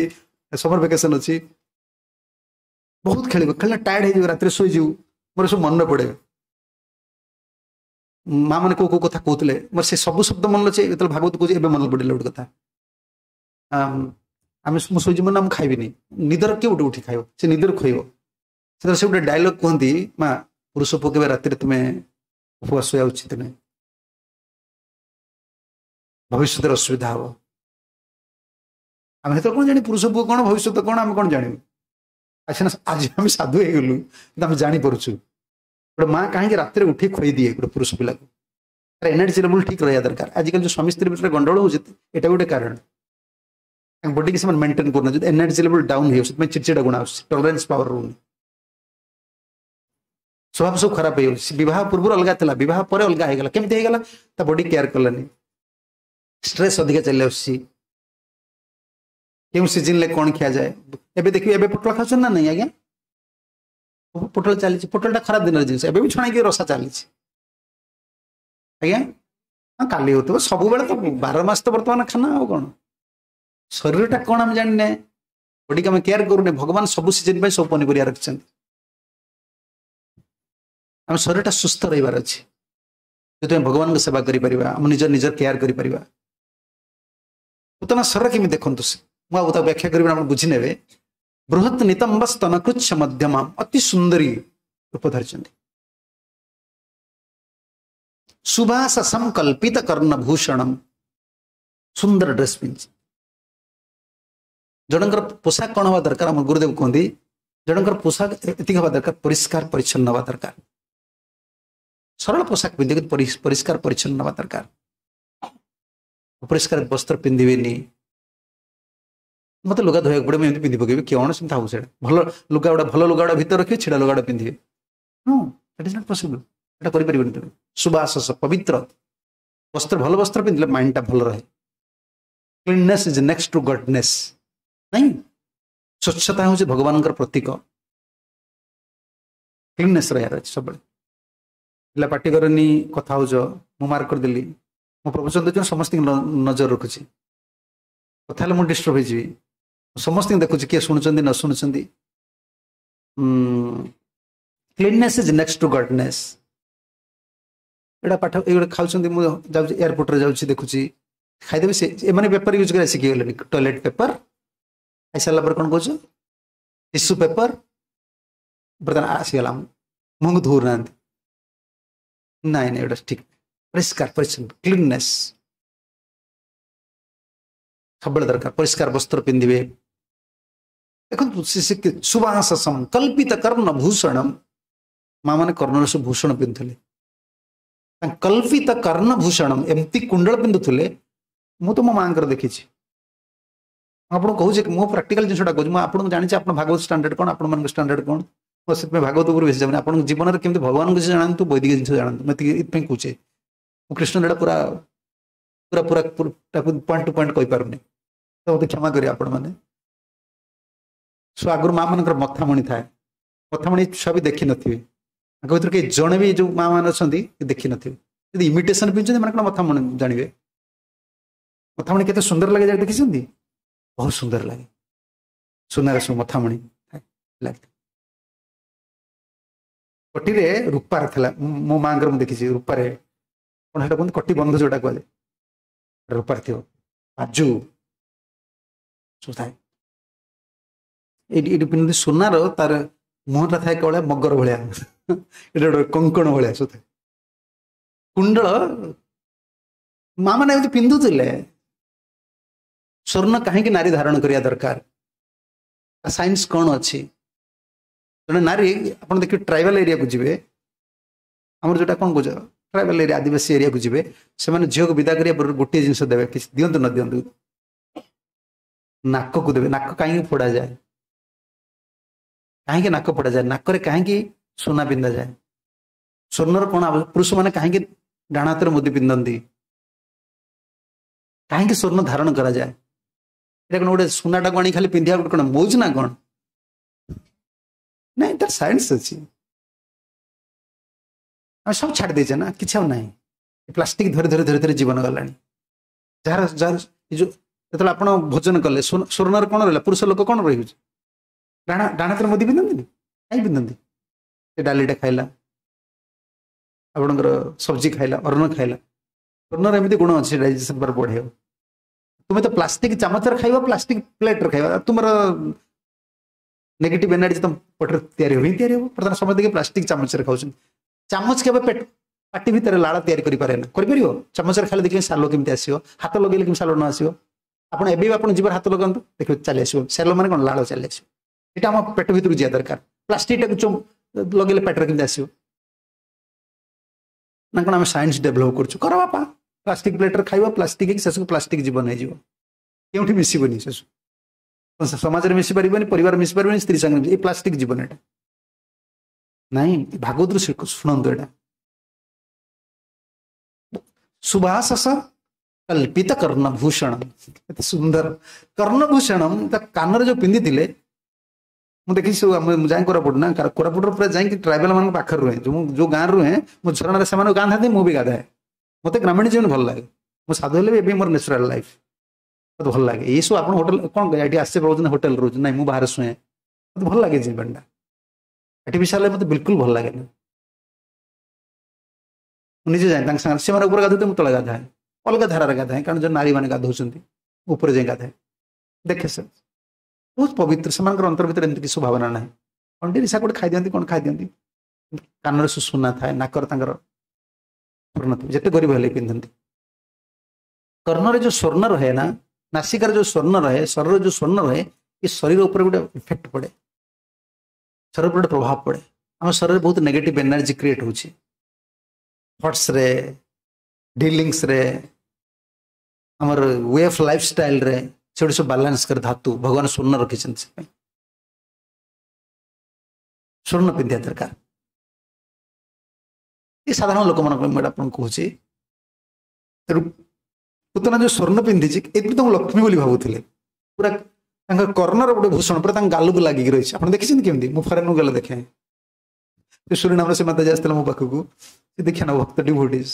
ସମର ଭେକେସନ ଅଛି, ବହୁତ ଖେଳିବ। ଖେଳିଲା ଟାୟାର୍ଡ ହେଇଯିବ, ରାତିରେ ଶୋଇଯିବୁ। ମୋର ସବୁ ମନେ ପଡ଼େ ମା ମାନେ କୋଉ କୋଉ କଥା କହୁଥିଲେ, ମୋର ସେ ସବୁ ଶବ୍ଦ ମନେ ଅଛି। ଯେତେବେଳେ ଭାଗବତ କହୁଛି ଏବେ ମନେ ପଡ଼ିଲା ଗୋଟେ କଥା। ଆମେ ମୁଁ ଶୋଇଯିବୁ ନା ମୁଁ ଖାଇବିନି, ନିଦର କିଏ ଗୋଟେ ଉଠି ଖାଇବ, ସେ ନିଦରୁ ଖୋଇବ। ସେତେବେଳେ ସେ ଗୋଟେ ଡାଇଲଗ କୁହନ୍ତି, ମା ପୁରୁଷ ପୁଅ କେବେ ରାତିରେ ତୁମେ ଉପବାସ ଶୋଇବା ଉଚିତ ନୁହେଁ, ଭବିଷ୍ୟତରେ ଅସୁବିଧା ହବ। ଆମେ ସେତେବେଳେ କ'ଣ ଜାଣି ପୁରୁଷ ପୁଅ କ'ଣ, ଭବିଷ୍ୟତ କ'ଣ, ଆମେ କ'ଣ ଜାଣିବୁ? ଆଚ୍ଛା ଆଜି ଆମେ ସାଧୁ ହେଇଗଲୁ, କିନ୍ତୁ ଆମେ ଜାଣିପାରୁଛୁ ଗୋଟେ ମା କାହିଁକି ରାତିରେ ଉଠି ଖୋଇ ଦିଏ ଗୋଟେ ପୁରୁଷ ପିଲାକୁ। ତାର ଏନର୍ଜି ଲେଭେଲ ଠିକ ରହିବା ଦରକାର। ଆଜିକାଲି ଯୋଉ ସ୍ୱାମୀ ସ୍ତ୍ରୀ ଭିତରେ ଗଣ୍ଡଗୋଳ ହଉଛି, ଏଇଟା ଗୋଟେ କାରଣ। ତାଙ୍କ ବଡିକି ସେମାନେ ମେଣ୍ଟେନ୍ କରୁନାହାନ୍ତି, ଯଦି ଏନର୍ଜି ଲେଭେଲ ଡାଉନ୍ ହେଇଯାଉଛି ସେଥିପାଇଁ ଚିଡ଼ଚିଡ଼ା ଗୁଣ ଆସୁଛି, ଟଲରେନ୍ସ ପାୱାର ରହୁନି, ସ୍ୱଭାବ ସବୁ ଖରାପ ହେଇଯାଉଛି। ବିବାହ ପୂର୍ବରୁ ଅଲଗା ଥିଲା, ବିବାହ ପରେ ଅଲଗା ହେଇଗଲା। କେମିତି ହେଇଗଲା? ତା ବଡି କେୟାର କଲାନି, ଷ୍ଟ୍ରେସ୍ ଅଧିକା ଚାଲି ଆସୁଛି। କେଉଁ ସିଜନରେ କ'ଣ ଖିଆଯାଏ ଏବେ ଦେଖିବେ, ଏବେ ପୋଟଳ ଖାଉଛନ୍ତି ନା ନାଇଁ ଆଜ୍ଞା? ପୋଟଳ ଚାଲିଛି, ପୋଟଳଟା ଖରାପ ଦିନର ଜିନିଷ, ଏବେ ବି ଛଣାଇକି ରସା ଚାଲିଛି ଆଜ୍ଞା। ହଁ କାଲି ହଉଥିବ, ସବୁବେଳେ ତ ବାର ମାସ ତ ବର୍ତ୍ତମାନ ଖାନା, ଆଉ କ'ଣ? ଶରୀରଟା କ'ଣ ଆମେ ଜାଣିନେ, ବଡିକି ଆମେ କେୟାର କରୁନେ। ଭଗବାନ ସବୁ ସିଜନ ପାଇଁ ସବୁ ପନିପରିବା ରଖିଛନ୍ତି। ଆମ ଶରୀରଟା ସୁସ୍ଥ ରହିବାର ଅଛି, ଯଦି ଆମେ ଭଗବାନଙ୍କ ସେବା କରିପାରିବା, ଆମ ନିଜ ନିଜର କେୟାର କରିପାରିବା। ପୁତନା ଶରୀର କେମିତି ଦେଖନ୍ତୁ, ମୁଁ ଆଉ ତାକୁ ବ୍ୟାଖ୍ୟା କରିବି, ଆପଣ ବୁଝିନେବେ। ବୃହତ୍ ନିତମ୍ବ ସ୍ତନକୃଚ୍ଛ ମଧ୍ୟମା, ଅତି ସୁନ୍ଦରୀ ରୂପ ଧରିଛନ୍ତି। ସୁବାସ ସଂକଳ୍ପିତ କର୍ଣ୍ଣଭୂଷଣମ, ସୁନ୍ଦର ଡ୍ରେସ୍ ପିନ୍ଧିଛି। ଜଣଙ୍କର ପୋଷାକ କ'ଣ ହେବା ଦରକାର? ଆମ ଗୁରୁଦେବ କୁହନ୍ତି ଜଣଙ୍କର ପୋଷାକ ଏତିକି ହେବା ଦରକାର, ପରିଷ୍କାର ପରିଚ୍ଛନ୍ନ ହେବା ଦରକାର। ସରଳ ପୋଷାକ ପିନ୍ଧିବେ, ପରିଷ୍କାର ପରିଚ୍ଛନ୍ନ ହେବା ଦରକାର। ଅପରିଷ୍କାର ବସ୍ତ୍ର ପିନ୍ଧିବେନି। ମତେ ଲୁଗା ଧୋଇବାକୁ ପଡେ, ମୁଁ ଏମିତି ପିନ୍ଧି ପକେଇବି, କ'ଣ ସେମିତି ହବ? ସେଇଟା ଭଲ ଲୁଗା ଗୁଡ଼ା, ଭଲ ଲୁଗା ଗୁଡ଼ା ଭିତରେ ରଖିବେ, ଛିଡ଼ା ଲୁଗା ଗୁଡ଼ା ପିନ୍ଧିବେ? ହଁ, that is not possible. ଏଟା କରିପାରିବନି ତୁମେ। ସୁବାସ ପବିତ୍ର ବସ୍ତ୍ର, ଭଲ ବସ୍ତ୍ର ପିନ୍ଧିଲେ ମାଇଣ୍ଡଟା ଭଲ ରହେ। Cleanness is next to godness. ନାଇଁ, ସ୍ୱଚ୍ଛତା ହେଉଛି ଭଗବାନଙ୍କର ପ୍ରତୀକ। କ୍ଲିନନେସ୍ ରହିବାର ଅଛି ସବୁବେଳେ। ପିଲା ପାଟି କରନି, କଥା ହଉଛ, ମୁଁ ମାର୍କ କରିଦେଲି। ମୁଁ ପ୍ରବଚନ ଦେଉଛି, ସମସ୍ତଙ୍କୁ ନଜର ରଖୁଛି। କଥା ହେଲେ ମୁଁ ଡିଷ୍ଟର୍ବ ହେଇଯିବି। ସମସ୍ତଙ୍କୁ ଦେଖୁଛି କିଏ ଶୁଣୁଛନ୍ତି ନ ଶୁଣୁଛନ୍ତି। Cleanness is next to godness. ଏଇଟା ପାଠ ଏଇଗୁଡ଼ା ଖାଉଛନ୍ତି। ମୁଁ ଯାଉଛି, ଏୟାରପୋର୍ଟରେ ଯାଉଛି, ଦେଖୁଛି ଖାଇଦେବେ ସେ। ଏମାନେ ପେପର ୟୁଜ୍ କରିବା ଶିଖିଗଲେଣି। ଟଏଲେଟ୍ ପେପର ଖାଇସାରିଲା ପରେ କ'ଣ କହୁଛ? ଟିସୁ ପେପର ବର୍ତ୍ତମାନ ଆସିଗଲା। ମୁହଁକୁ ଧୋଉନାହାନ୍ତି। ନାଇଁ ନାଇଁ, ଏଇଟା ଠିକ। ପରିଷ୍କାର ପରିଚ୍ଛନ୍ନ, କ୍ଲିନନେସ୍ ସବୁବେଳେ ଦରକାର। ପରିଷ୍କାର ବସ୍ତ୍ର ପିନ୍ଧିବେ। ଦେଖନ୍ତୁ, ସୁବାସ ସଂକଳ୍ପିତ କର୍ଣ୍ଣ ଭୂଷଣମ, ମା ମାନେ କର୍ଣ୍ଣରେ ସବୁ ଭୂଷଣ ପିନ୍ଧୁଥିଲେ। କଳ୍ପିତ କର୍ଣ୍ଣ ଭୂଷଣମ, ଏମିତି କୁଣ୍ଡଳ ପିନ୍ଧୁଥିଲେ। ମୁଁ ତ ମୋ ମାଙ୍କର ଦେଖିଛି। ମୁଁ ଆପଣଙ୍କୁ କହୁଛି, ମୁଁ ପ୍ରାକ୍ଟିକାଲ ଜିନିଷଟା କହୁଛି। ମୁଁ ଆପଣଙ୍କୁ ଜାଣିଛି ଆପଣ ଭାଗବତ ଷ୍ଟାଣ୍ଡାର୍ଡ କ'ଣ, ଆପଣମାନଙ୍କ ଷ୍ଟାଣ୍ଡାର୍ଡ କ'ଣ। ମୁଁ ସେଥିପାଇଁ ଭାଗବତ ଉପରେ ବେଶୀ ଯାଉନି। ଆପଣଙ୍କ ଜୀବନରେ କେମିତି ଭଗବାନଙ୍କ କିଛି ଜାଣନ୍ତୁ, ବୈଦିକ ଜିନିଷ ଜାଣନ୍ତୁ, ମୁଁ ଏତିକି ଏଥିପାଇଁ କହୁଛି। ମୁଁ କୃଷ୍ଣ ଲୀଳା ପୁରା ପୁରା ପୁରା ତାକୁ ପଏଣ୍ଟ ଟୁ ପଏଣ୍ଟ କହିପାରୁନି, ତ ମୋତେ କ୍ଷମା କରିବେ ଆପଣମାନେ। ସୋ ଆଗରୁ ମା ମାନଙ୍କର ମଥାମଣି ଥାଏ। ମଥାମଣି ଛୁଆ ବି ଦେଖିନଥିବେ। ତାଙ୍କ ଭିତରୁ କେହି ଜଣେ ବି ଯୋଉ ମା ମାନେ ଅଛନ୍ତି ଦେଖିନଥିବେ। ଯଦି ଇମିଟେସନ ପିନ୍ଧୁଛନ୍ତି, ମାନେ କ'ଣ ମଥାମଣି ଜାଣିବେ? ମଥାମଣି କେତେ ସୁନ୍ଦର ଲାଗେ ଯାଇ ଦେଖିଛନ୍ତି? ବହୁତ ସୁନ୍ଦର ଲାଗେ। ସୁନାର ସବୁ ମଥାମଣି ଲାଗେ। କଟିରେ ରୂପାର ଥିଲା ମୋ ମାଙ୍କର, ମୁଁ ଦେଖିଛି। ରୂପାରେ କ'ଣ ସେଟା କୁହନ୍ତି, କଟି ବନ୍ଧ ଯୋଉଟା କୁହାଯାଏ, ରୂପାର ଥିବ, ବାଜୁ ସବୁ ଥାଏ। ଏଇଠି ଏଇଠି ପିନ୍ଧନ୍ତି ସୁନାର। ତାର ମୁହଁଟା ଥାଏ କେବଳ ମଗର ଭଳିଆ, ଏଇଟା ଗୋଟେ କଙ୍କଣ ଭଳିଆ ସବୁ ଥାଏ। କୁଣ୍ଡଳ ମା ମାନେ ଏମିତି ପିନ୍ଧୁଥିଲେ। ସ୍ୱର୍ଣ୍ଣ କାହିଁକି ନାରୀ ଧାରଣ କରିବା ଦରକାର? ସାଇନ୍ସ କ'ଣ ଅଛି? ଜଣେ ନାରୀ, ଆପଣ ଦେଖିବେ ଟ୍ରାଇବାଲ ଏରିଆକୁ ଯିବେ, ଆମର ଯୋଉଟା କ'ଣ କହୁଛ ଟ୍ରାଇବାଲ ଏରିଆ, ଆଦିବାସୀ ଏରିଆକୁ ଯିବେ, ସେମାନେ ଝିଅକୁ ବିଦା କରିବା ପୂର୍ବରୁ ଗୋଟିଏ ଜିନିଷ ଦେବେ, କିଛି ଦିଅନ୍ତୁ ନ ଦିଅନ୍ତୁ, ନାକକୁ ଦେବେ। ନାକ କାହିଁକି ଫୋଡ଼ାଯାଏ? କାହିଁକି ନାକ ଫୋଡ଼ାଯାଏ? ନାକରେ କାହିଁକି ସୁନା ପିନ୍ଧାଯାଏ? ସ୍ୱର୍ଣ୍ଣର କ'ଣ? ପୁରୁଷମାନେ କାହିଁକି ଡାହାଣ ହାତରେ ମୁଦି ପିନ୍ଧନ୍ତି? କାହିଁକି ସ୍ୱର୍ଣ୍ଣ ଧାରଣ କରାଯାଏ? ଏଇଟା କ'ଣ ଗୋଟେ ସୁନାଟାକୁ ଆଣି ଖାଲି ପିନ୍ଧିବା ଗୋଟେ କ'ଣ ମଉଜ ନା କ'ଣ? ନାଇଁ, ତାର ସାଇନ୍ସ ଅଛି। ଆମେ ସବୁ ଛାଡ଼ି ଦେଇଛେ ନା, କିଛି ଆଉ ନାହିଁ। ପ୍ଲାଷ୍ଟିକ ଧରି ଧରି ଧରି ଧରି ଜୀବନ ଗଲାଣି। ଯାହାର ଯାହାର ଯୋଉ ଯେତେବେଳେ ଆପଣ ଭୋଜନ କଲେ, ସ୍ୱର୍ଣ୍ଣରେ କ'ଣ ରହିଲା? ପୁରୁଷ ଲୋକ କ'ଣ ରହିଛି? ଡାହାଣ ଡାହାଣ ହାତରେ ମୁଦି ପିନ୍ଧନ୍ତିନି? କାହିଁ ପିନ୍ଧନ୍ତି? ସେ ଡାଲିଟା ଖାଇଲା, ଆପଣଙ୍କର ସବଜି ଖାଇଲା, ଅନ୍ନ ଖାଇଲା। ସ୍ୱର୍ଣ୍ଣର ଏମିତି ଗୁଣ ଅଛି, ଡାଇଜେସନ ପାୱାର ବଢେଇବ। ତୁମେ ତ ପ୍ଲାଷ୍ଟିକ ଚାମଚରେ ଖାଇବ, ପ୍ଲାଷ୍ଟିକ ପ୍ଲେଟରେ ଖାଇବ, ତୁମର ନେଗେଟିଭ ଏନର୍ଜି ତମ ପେଟରେ ତିଆରି ହେବ ହିଁ ତିଆରି ହେବ। ବର୍ତ୍ତମାନ ସମସ୍ତେ ପ୍ଲାଷ୍ଟିକ ଚାମଚରେ ଖାଉଛନ୍ତି। ଚାମଚ କେବେ ପେଟ ପାଟି ଭିତରେ ଲାଳ ତିଆରି କରିପାରେ ନା, କରିପାରିବ? ଚାମଚରେ ଖାଲି ଦେଖିଲେ ସାଲୋ କେମିତି ଆସିବ? ହାତ ଲଗେଇଲେ କେମିତି ସାଲୋ ନ ଆସିବ? ଆପଣ ଏବେ ବି ଆପଣ ଜିଭରେ ହାତ ଲଗାନ୍ତୁ, ଦେଖିବେ ଚାଲି ଆସିବ। ସାଲୋ ମାନେ କ'ଣ? ଲାଳ ଚାଲି ଆସିବ। ଏଇଟା ଆମ ପେଟ ଭିତରକୁ ଯିବା ଦରକାର। ପ୍ଲାଷ୍ଟିକଟାକୁ ଲଗେଇଲେ ପେଟରେ କେମିତି ଆସିବ ନା କ'ଣ? ଆମେ ସାଇନ୍ସ ଡେଭଲପ କରୁଛୁ। କର ବାପା, ପ୍ଲାଷ୍ଟିକ ପ୍ଲେଟରେ ଖାଇବ, ପ୍ଲାଷ୍ଟିକ ହେଇକି ଶେଷକୁ ପ୍ଲାଷ୍ଟିକ ଜୀବନ ହେଇଯିବ। କେଉଁଠି ମିଶିବନି, ଶେଷକୁ ସମାଜରେ ମିଶି ପାରିବନି, ପରିବାର ମିଶି ପାରିବନି, ସ୍ତ୍ରୀ ସାଙ୍ଗରେ। ଏଇ ପ୍ଲାଷ୍ଟିକ ଜୀବନ ଏଇଟା ନାଇଁ। ଭାଗବତରୁ ଶୁଣନ୍ତୁ ଏଇଟା। ସୁବାସ କଳ୍ପିତ କର୍ଣ୍ଣଭୂଷଣ, ଏତେ ସୁନ୍ଦର କର୍ଣ୍ଣଭୂଷଣ। ତା କାନରେ ଯୋଉ ପିନ୍ଧିଥିଲେ, ମୁଁ ଦେଖିଛି ସବୁ। ମୁଁ ଯାଇ କୋରାପୁଟ ନା, କୋରାପୁଟର ପୁରା ଯାଇକି ଟ୍ରାଇବାଲ ମାନଙ୍କ ପାଖରେ ରୁହେ। ଯୋଉ ଯୋଉ ଗାଁରେ ରୁହେ, ମୁଁ ଝରଣାରେ ସେମାନେ ଗାଧାନ୍ତି, ମୁଁ ବି ଗାଧାଏ। ମତେ ଗ୍ରାମୀଣ ଜୀବନ ଭଲ ଲାଗେ। ମୁଁ ସାଧୁ ହେଲେ ବି ଏବେ ମୋର ନ୍ୟାଚୁରାଲ ଲାଇଫ ମତେ ଭଲ ଲାଗେ। ଏଇସବୁ ଆପଣ ହୋଟେଲ କ'ଣ ଏଠି ଆସି ରହୁଛନ୍ତି, ହୋଟେଲ ରହୁଛନ୍ତି? ନାଇଁ, ମୁଁ ବାହାରେ ଶୁଏ। ମତେ ଭଲ ଲାଗେ ଜୀବନଟା। ଆର୍ଟିଫିସିଆଲ ମତେ ବିଲକୁଲ ଭଲ ଲାଗେନି। ମୁଁ ନିଜେ ଯାଏ ତାଙ୍କ ସାଙ୍ଗରେ, ସେମାନେ ଉପରେ ଗାଧୋଉଥିବେ, ମୁଁ ତଳେ ଗାଧାଏ, ଅଲଗା ଧାରାରେ ଗାଧାଏ, କାରଣ ଯେଉଁ ନାରୀମାନେ ଗାଧଉଛନ୍ତି ଉପରେ ଯାଇ ଗାଧାଏ। ଦେଖେ ସେ ବହୁତ ପବିତ୍ର, ସେମାନଙ୍କର ଅନ୍ତର ଭିତରେ ଏମିତି କିଛି ଭାବନା ନାହିଁ। ଅଣ୍ଡି ରିସା ଗୋଟେ ଖାଇଦିଅନ୍ତି, କ'ଣ ଖାଇଦିଅନ୍ତି, କାନରେ ସୁନା ଥାଏ, ନାକରେ ତାଙ୍କର ସ୍ୱର୍ଣ୍ଣ ଥିବ, ଯେତେ ଗରିବ ହେଲେ ପିନ୍ଧନ୍ତି। କର୍ଣ୍ଣରେ ଯୋଉ ସ୍ୱର୍ଣ୍ଣ ରହେ ନା, ନାସିକାରେ ଯୋଉ ସ୍ୱର୍ଣ୍ଣ ରହେ, ଶରୀରରେ ଯୋଉ ସ୍ୱର୍ଣ୍ଣ ରହେ, ଏ ଶରୀର ଉପରେ ଗୋଟେ ଇଫେକ୍ଟ ପଡ଼େ, ଶରୀର ଉପରେ ଗୋଟେ ପ୍ରଭାବ ପଡ଼େ। ଆମ ଶରୀରରେ ବହୁତ ନେଗେଟିଭ ଏନର୍ଜି କ୍ରିଏଟ୍ ହେଉଛି, ଥଟ୍ସରେ, ଡିଲିଙ୍ଗସରେ, ଆମର we of life ଷ୍ଟାଇଲରେ, ସେଗୁଡ଼ି ସବୁ ବାଲାନ୍ସ କରେ ଧାତୁ। ଭଗବାନ ସ୍ୱର୍ଣ୍ଣ ରଖିଛନ୍ତି, ସେଥିପାଇଁ ସ୍ୱର୍ଣ୍ଣ ପିନ୍ଧିବା ଦରକାର। ଏ ସାଧାରଣ ଲୋକମାନଙ୍କ ପାଇଁ ମୁଁ ଏଇଟା ଆପଣଙ୍କୁ କହୁଛି। ତେଣୁ ପୁତନା ଯୋଉ ସ୍ୱର୍ଣ୍ଣ ପିନ୍ଧିଛି, ଏଥିପାଇଁ ତାଙ୍କୁ ଲକ୍ଷ୍ମୀ ବୋଲି ଭାବୁଥିଲେ। ପୁରା ତାଙ୍କ କର୍ଣ୍ଣର ଗୋଟେ ଭୂଷଣ ପୁରା ତାଙ୍କ ଗାଲକୁ ଲାଗିକି ରହିଛି। ଆପଣ ଦେଖିଛନ୍ତି କେମିତି? ମୁଁ ଫରେନକୁ ଗଲେ ଦେଖେ, ସେ ସୁରିନାମର ସେ ମାତାଜୀ ଆସିଥିଲା ମୋ ପାଖକୁ, ସେ ଦେଖିଆ ନା ଭକ୍ତ ଡିଭୋଟିସ୍,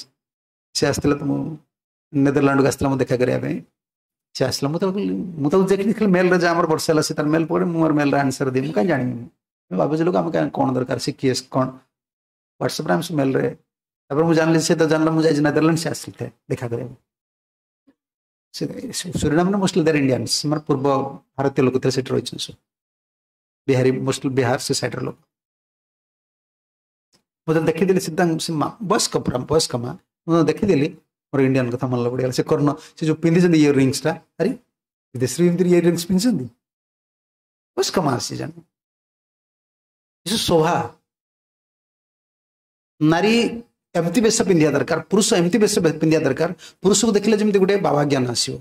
ସେ ଆସିଥିଲା ତ ମୁଁ ନେଦରଲ୍ୟାଣ୍ଡକୁ ଆସିଥିଲା ମୁଁ ଦେଖା କରିବା ପାଇଁ। ସେ ଆସିଲା, ମୁଁ ତାକୁ ମୁଁ ତାକୁ ଦେଖିଲି ଖାଲି ମେଲ୍ରେ, ଯାହା ଆମର ବର୍ଷା ହେଲା ସେ ତାର ମେଲ୍ ପଡ଼େ, ମୁଁ ମୋର ମେଲ୍ରେ ଆନ୍ସର ଦିଏ। ମୁଁ କାହିଁ ଜାଣିବି, ମୁଁ ବାବୁଜୀ ଲୋକ, ଆମେ କାହିଁ କ'ଣ ଦରକାର ସେ କିଏ କ'ଣ, ହ୍ୱାଟ୍ସଆପ୍ରେ ଆମେ ସେ ମେଲ୍ରେ। ତାପରେ ମୁଁ ଜାଣିଲି, ସେ ତ ଜାଣିଲା ମୁଁ ଯାଇଛି ନେଦରଲ୍ୟାଣ୍ଡ, ସେ ଆସିଥାଏ ଦେଖା କରିବାକୁ। ସେ ସୁରିନାମରେ ମୋଷ୍ଟଲି ଦେର୍ ଇଣ୍ଡିଆନ୍ସ, ମାନେ ପୂର୍ବ ଭାରତୀୟ ଲୋକ ଥିଲେ, ସେଠି ରହିଛନ୍ତି ସବୁ ବିହାରୀ, ମୋଷ୍ଟଲି ବିହାର ସେ ସାଇଡ଼ର ଲୋକ। ମୁଁ ଯେତେବେଳେ ଦେଖିଦେଲି ସେ ତାଙ୍କ ସେ ମା ବୟସ୍କ, ପୁରା ବୟସ୍କ ମା, ମୁଁ ଦେଖିଦେଲି ମୋର ଇଣ୍ଡିଆନ କଥା ମନେ ପଡ଼ିଗଲା। ସେ କର୍ଣ୍ଣ ସେ ଯୋଉ ପିନ୍ଧିଛନ୍ତି ଇୟର ରିଙ୍ଗସଟା, ଆରେ ବିଦେଶରେ ଏମିତି ଇୟର ରିଙ୍ଗସ୍ ପିନ୍ଧିଛନ୍ତି ବୟସ୍କ ମା ଆସି ଜାଣେ। ଏ ଶୋଭା, ନାରୀ ଏମିତି ବେଶ ପିନ୍ଧିବା ଦରକାର, ପୁରୁଷ ଏମିତି ବେଶ ପିନ୍ଧିବା ଦରକାର, ପୁରୁଷକୁ ଦେଖିଲେ ଯେମିତି ଗୋଟେ ବାବା ଜ୍ଞାନ ଆସିବ,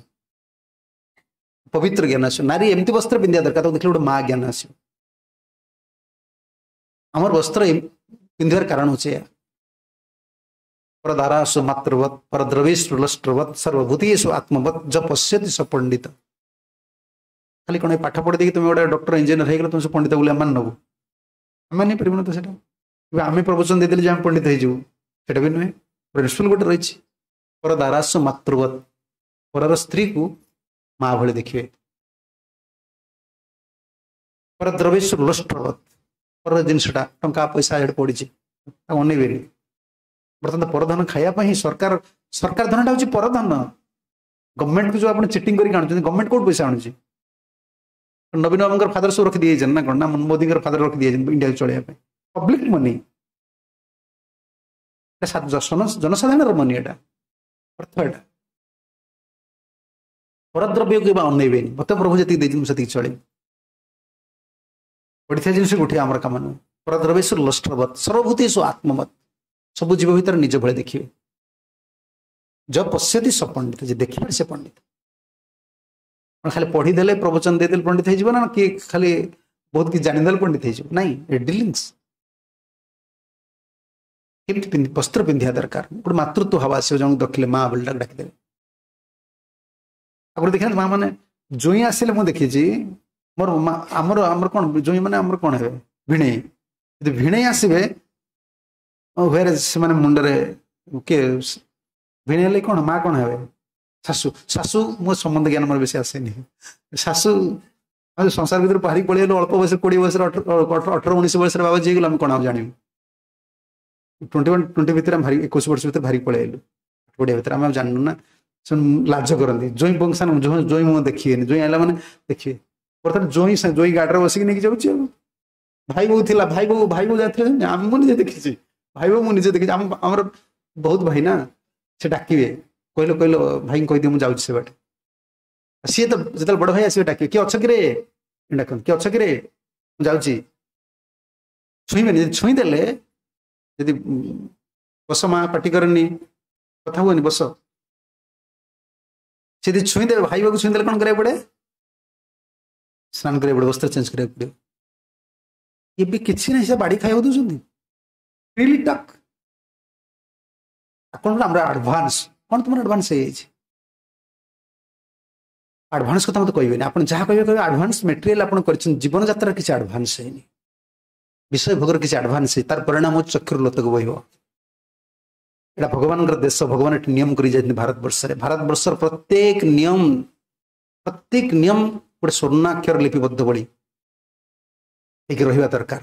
ପବିତ୍ର ଜ୍ଞାନ ଆସିବ। ନାରୀ ଏମିତି ବସ୍ତ୍ର ପିନ୍ଧିବା ଦରକାର, ତାକୁ ଦେଖିଲେ ଗୋଟେ ମା ଜ୍ଞାନ ଆସିବ। ଆମର ବସ୍ତ୍ର ପିନ୍ଧିବାର କାରଣ ହେଉଛି ଏହା। ପରଦାରାସୁ ମାତୃବତ୍ ପରଦ୍ରବେଶୁ ଲଷ୍ଟ୍ରବତ୍ ସର୍ବଭୂତେଷୁ ଆତ୍ମବତ୍ ଯ ପଶ୍ୟତି ସ ପଣ୍ଡିତ। ଖାଲି କ'ଣ ପାଠ ପଢ଼ି ଦେଇକି ତୁମେ ଗୋଟେ ଡକ୍ଟର ଇଞ୍ଜିନିୟର ହେଇଗଲେ ତୁମେ ସେ ପଣ୍ଡିତ ବୋଲି ଆମେ ନେବୁ? ଆମେ ମାନିପାରିବୁନି ତ ସେଇଟା। ଆମେ ପ୍ରବଚନ ଦେଇଦେଲେ ଯେ ଆମେ ପଣ୍ଡିତ ହେଇଯିବୁ, ସେଇଟା ବି ନୁହେଁ। ପ୍ରିନ୍ସିପଲ୍ ଗୋଟେ ରହିଛି। ପରଦାରାସୁ ମାତୃବତ୍, ପରର ସ୍ତ୍ରୀକୁ ମା ଭଳି ଦେଖିବେ। ପରଦ୍ରବେଶୁ ଲଷ୍ଟ୍ରବତ୍, ପରର ଜିନିଷଟା ଟଙ୍କା ପଇସା ଏଠି ପଡ଼ିଛି ତାକୁ ଅନେଇବେନି। ବର୍ତ୍ତମାନ ପରଧନ ଖାଇବା ପାଇଁ ସରକାର, ସରକାର ଧନଟା ହେଉଛି ପରଧନ। ଗଭର୍ଣ୍ଣମେଣ୍ଟକୁ ଯୋଉ ଆପଣ ଚିଟିଂ କରିକି ଆଣୁଛନ୍ତି, ଗଭର୍ଣ୍ଣମେଣ୍ଟ କୋଉଠୁ ପଇସା ଆଣୁଛି? ନବୀନ ବାବୁଙ୍କର ଫାଦର ସବୁ ରଖି ଦିଆଯାଇଛନ୍ତି ନା କ'ଣ, ନା ମୋଦିଙ୍କର ଫାଦର ରଖି ଦିଆଯାଇଛନ୍ତି ଇଣ୍ଡିଆକୁ ଚଳେଇବା ପାଇଁ? ପବ୍ଲିକ ମନି, ଜନସାଧାରଣର ମନି, ଏଟା ଅର୍ଥ। ଏଟା ପରଦ୍ରବ୍ୟକୁ କେବେ ଅନେଇବେନି। ମତେ ପ୍ରଭୁ ଯେତିକି ଦେଇଛନ୍ତି ମୁଁ ସେତିକି ଚଳିବି, ପଡ଼ିଥିବା ଜିନିଷକୁ ଉଠିବା ଆମର କାମ ନୁହେଁ। ପରଦ୍ରବ୍ୟେଷୁ ଲଷ୍ଟ୍ରବତ୍ ସର୍ବଭୂତେଷୁ ଆତ୍ମବତ୍, ସବୁ ଜୀବ ଭିତରେ ନିଜ ଭଳି ଦେଖିବେ। ଯ ପଶ୍ୟତି ସ ପଣ୍ଡିତ, ଯେ ଦେଖିବେ ସେ ପଣ୍ଡିତ। ଖାଲି ପଢିଦେଲେ ପ୍ରବଚନ ଦେଇଦେଲେ ପଣ୍ଡିତ ହେଇଯିବ ନା, କିଏ ଖାଲି ବହୁତ କିଛି ଜାଣିଦେଲେ ପଣ୍ଡିତ ହେଇଯିବ ନାଇଁ। ଏ ଡିଲିଙ୍ଗସ୍ କେମିତି ବସ୍ତ୍ର ପିନ୍ଧିବା ଦରକାର, ଗୋଟେ ମାତୃତ୍ୱ ଭାବ ଆସିବ, ଜଣକୁ ଦେଖିଲେ ମା ବୋଲି ଡାକିଦେବେ। ଆଗରୁ ଦେଖିନାହାନ୍ତି ମା ମାନେ ଜୋଇଁ ଆସିଲେ? ମୁଁ ଦେଖିଛି ମୋର ଆମର ଆମର କ'ଣ ଜୋଇଁ ମାନେ ଆମର କ'ଣ ହେବେ, ଭିଣେଇ। ଯଦି ଭିଣେଇ ଆସିବେ ହୁଏରେ ସେମାନେ ମୁଣ୍ଡରେ କିଏ ଭିଣେଇ ହେଲେ କ'ଣ ମା କ'ଣ ହେବେ, ଶାଶୁ। ଶାଶୁ ମୋ ସମ୍ବନ୍ଧ ଜ୍ଞାନ ମୋର ବେଶୀ ଆସେନି। ଶାଶୁ ସଂସାର ଭିତରେ ବାହାରିକି ପଳେଇଗଲୁ ଅଳ୍ପ ବୟସରେ, କୋଡ଼ିଏ ବୟସରେ, ଅଠର ଅଠର ଉଣେଇଶ ବୟସରେ ବାବାଜୀ ହେଇଗଲୁ, ଆମେ କ'ଣ ଆଉ ଜାଣିବୁ? ଟ୍ୱେଣ୍ଟି ୱାନ୍ ଟ୍ୱେଣ୍ଟି ଭିତରେ ଆମେ ଭାରି, ଏକୋଇଶ ବର୍ଷ ଭିତରେ ବାହାରିକି ପଳେଇ ଆଇଲୁ କୋଡ଼ିଏ ଭିତରେ, ଆମେ ଆଉ ଜାଣିନୁ ନା। ସେମାନେ ଲାଜ କରନ୍ତି ଜୋଇଁ ବଂଶାନ, ଜୋଇଁ ମୁହଁ ଦେଖିବେନି, ଜୋଇଁ ଆଇଲା ମାନେ ଦେଖିବେ। ବର୍ତ୍ତମାନ ଜୋଇଁ ଜୋଇଁ ଗାଡ଼ିରେ ବସିକି ନେଇକି ଯାଉଛି। ଆଉ ଭାଇ ବୋଉ ଥିଲା, ଭାଇ ବୋଉ ଭାଇ ବୋଉ ଯାଇଥିଲେ, ଆମେ ମୁଁ ନିଜେ ଦେଖିଛି ଭାଇ ବୋଉ, ମୁଁ ନିଜେ ଦେଖିଛି। ଆମ ଆମର ବହୁତ ଭାଇ ନା, ସେ ଡାକିବେ, କହିଲ କହିଲ ଭାଇଙ୍କୁ କହିଦିଅ ମୁଁ ଯାଉଛି ସେ ବାଟେ। ସିଏ ତ ଯେତେବେଳେ ବଡ଼ ଭାଇ ଆସିବେ ଡାକିବେ, କିଏ ଅଛ କିରେ ଡାକନ୍ତି, କିଏ ଅଛ କିରେ ମୁଁ ଯାଉଛି। ଛୁଇଁବେନି, ଯଦି ଛୁଇଁଦେଲେ, ଯଦି ବସ ମା ପାଟି କରନି, କଥା ହୁଅନି, ବସ, ସେ ଯଦି ଛୁଇଁଦେବେ, ଭାଇ ବୋଉକୁ ଛୁଇଁଦେଲେ କ'ଣ କରିବାକୁ ପଡ଼େ? ସ୍ନାନ କରିବାକୁ ପଡ଼େ, ବସ୍ତ୍ର ଚେଞ୍ଜ କରିବାକୁ ପଡ଼ିବ। ଏବେ କିଛି ନାହିଁ, ସେ ବାଡ଼ି ଖାଇବାକୁ ଦଉଛନ୍ତି, ଫ୍ରିଲି ଟକ୍। ଆପଣ ଆମର ଆଡଭାନ୍ସ କ'ଣ, ତୁମର ଆଡଭାନ୍ସ ହେଇଯାଇଛି? ଆଡଭାନ୍ସ କଥା ମତେ କହିବେନି। ଆପଣ ଯାହା କହିବେ କହିବେ, ଆଡଭାନ୍ସ ମେଟେରିଆଲ ଆପଣ କରିଛନ୍ତି, ଜୀବନ ଯାତ୍ରାର କିଛି ଆଡଭାନ୍ସ ହେଇନି, ବିଷୟ ଭୋଗର କିଛି ଆଡଭାନ୍ସ ହେଇ, ତାର ପରିଣାମ ହେଉଛି ଚକ୍ଷୁରୁ ଲୋତକ ବହିବ। ଏଇଟା ଭଗବାନଙ୍କର ଦେଶ, ଭଗବାନ ଏଠି ନିୟମ କରି ଯାଇଛନ୍ତି ଭାରତବର୍ଷରେ। ଭାରତବର୍ଷର ପ୍ରତ୍ୟେକ ନିୟମ, ପ୍ରତ୍ୟେକ ନିୟମ ଗୋଟେ ସ୍ୱର୍ଣ୍ଣାକ୍ଷର ଲିପିବଦ୍ଧ ଭଳି ହେଇକି ରହିବା ଦରକାର।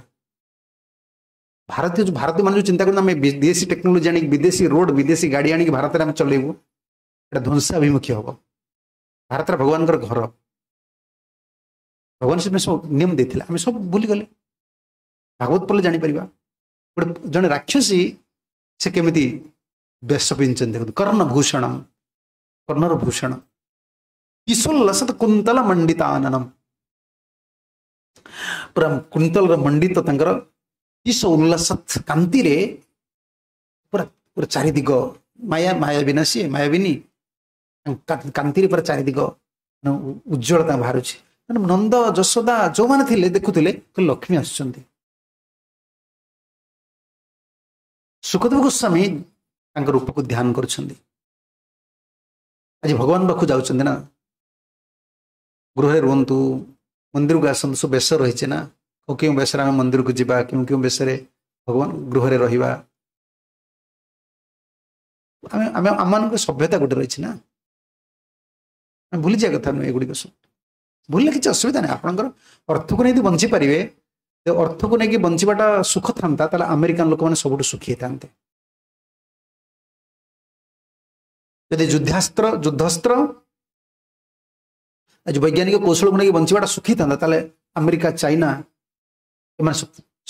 ଭାରତୀୟ ଯୋଉ ଭାରତୀୟମାନେ ଯୋଉ ଚିନ୍ତା କରନ୍ତି ଆମେ ବିଦେଶୀ ଟେକ୍ନୋଲୋଜି ଆଣିକି ବିଦେଶୀ ରୋଡ ବିଦେଶୀ ଗାଡ଼ି ଆଣିକି ଭାରତରେ ଆମେ ଚଲେଇବୁ ଏଟା ଧ୍ୱଂସାଭିମୁଖୀ ହବ ଭାରତରେ ଭଗବାନଙ୍କର ଘର ଭଗବାନ ସେଥିପାଇଁ ସବୁ ନିୟମ ଦେଇଥିଲେ ଆମେ ସବୁ ଭୁଲିଗଲେ ଭାଗବତ ପଢ଼ିଲେ ଜାଣିପାରିବା ଗୋଟେ ଜଣେ ରାକ୍ଷସୀ ସେ କେମିତି ବେଶ ପିନ୍ଧିଛନ୍ତି ଦେଖନ୍ତୁ କର୍ଣ୍ଣଭୂଷଣ କର୍ଣ୍ଣର ଭୂଷଣ କିଶୋଲ୍ଲସତ କୁନ୍ତଳ ମଣ୍ଡିତାନନମ ପୁରା କୁନ୍ତଳର ମଣ୍ଡିତ ତାଙ୍କର କିଶ ଉଲ୍ଲାସତ କାନ୍ତିରେ ପୁରା ପୁରା ଚାରିଦିଗ ମାୟା ମାୟାବିନା ସିଏ ମାୟାବିନୀ କାନ୍ତିରେ ପୁରା ଚାରିଦିଗ ଉଜ୍ଜଳତା ବାହାରୁଛି ମାନେ ନନ୍ଦ ଯଶୋଦା ଯୋଉମାନେ ଥିଲେ ଦେଖୁଥିଲେ ଲକ୍ଷ୍ମୀ ଆସୁଛନ୍ତି ସୁଖଦେବ ଗୋସ୍ୱାମୀ ତାଙ୍କ ରୂପକୁ ଧ୍ୟାନ କରୁଛନ୍ତି ଆଜି ଭଗବାନ ପାଖକୁ ଯାଉଛନ୍ତି ନା ଗୃହରେ ରୁହନ୍ତୁ ମନ୍ଦିରକୁ ଆସନ୍ତୁ ସବୁ ବେଶ ରହିଛି ନା କେଉଁ ବେଶରେ ଆମେ ମନ୍ଦିରକୁ ଯିବା କେଉଁ କେଉଁ ବେଶରେ ଭଗବାନ ଗୃହରେ ରହିବା ଆମେ ଆମେ ଆମମାନଙ୍କ ସଭ୍ୟତା ଗୋଟେ ରହିଛି ନା ଆମେ ଭୁଲିଯିବା କଥା ନୁହେଁ ଏଗୁଡ଼ିକ ସବୁ ଭୁଲିଲେ କିଛି ଅସୁବିଧା ନାହିଁ ଆପଣଙ୍କର ଅର୍ଥକୁ ନେଇ ବଞ୍ଚି ପାରିବେ ଅର୍ଥକୁ ନେଇକି ବଞ୍ଚିବାଟା ସୁଖ ଥାନ୍ତା ତାହେଲେ ଆମେରିକାନ ଲୋକମାନେ ସବୁଠୁ ସୁଖୀ ହେଇଥାନ୍ତେ ଯଦି ଯୁଦ୍ଧାସ୍ତ୍ର ଯୁଦ୍ଧାସ୍ତ୍ର ଆଜି ବୈଜ୍ଞାନିକ କୌଶଳକୁ ନେଇକି ବଞ୍ଚିବାଟା ସୁଖୀ ଥାନ୍ତା ତାହେଲେ ଆମେରିକା ଚାଇନା ଏମାନେ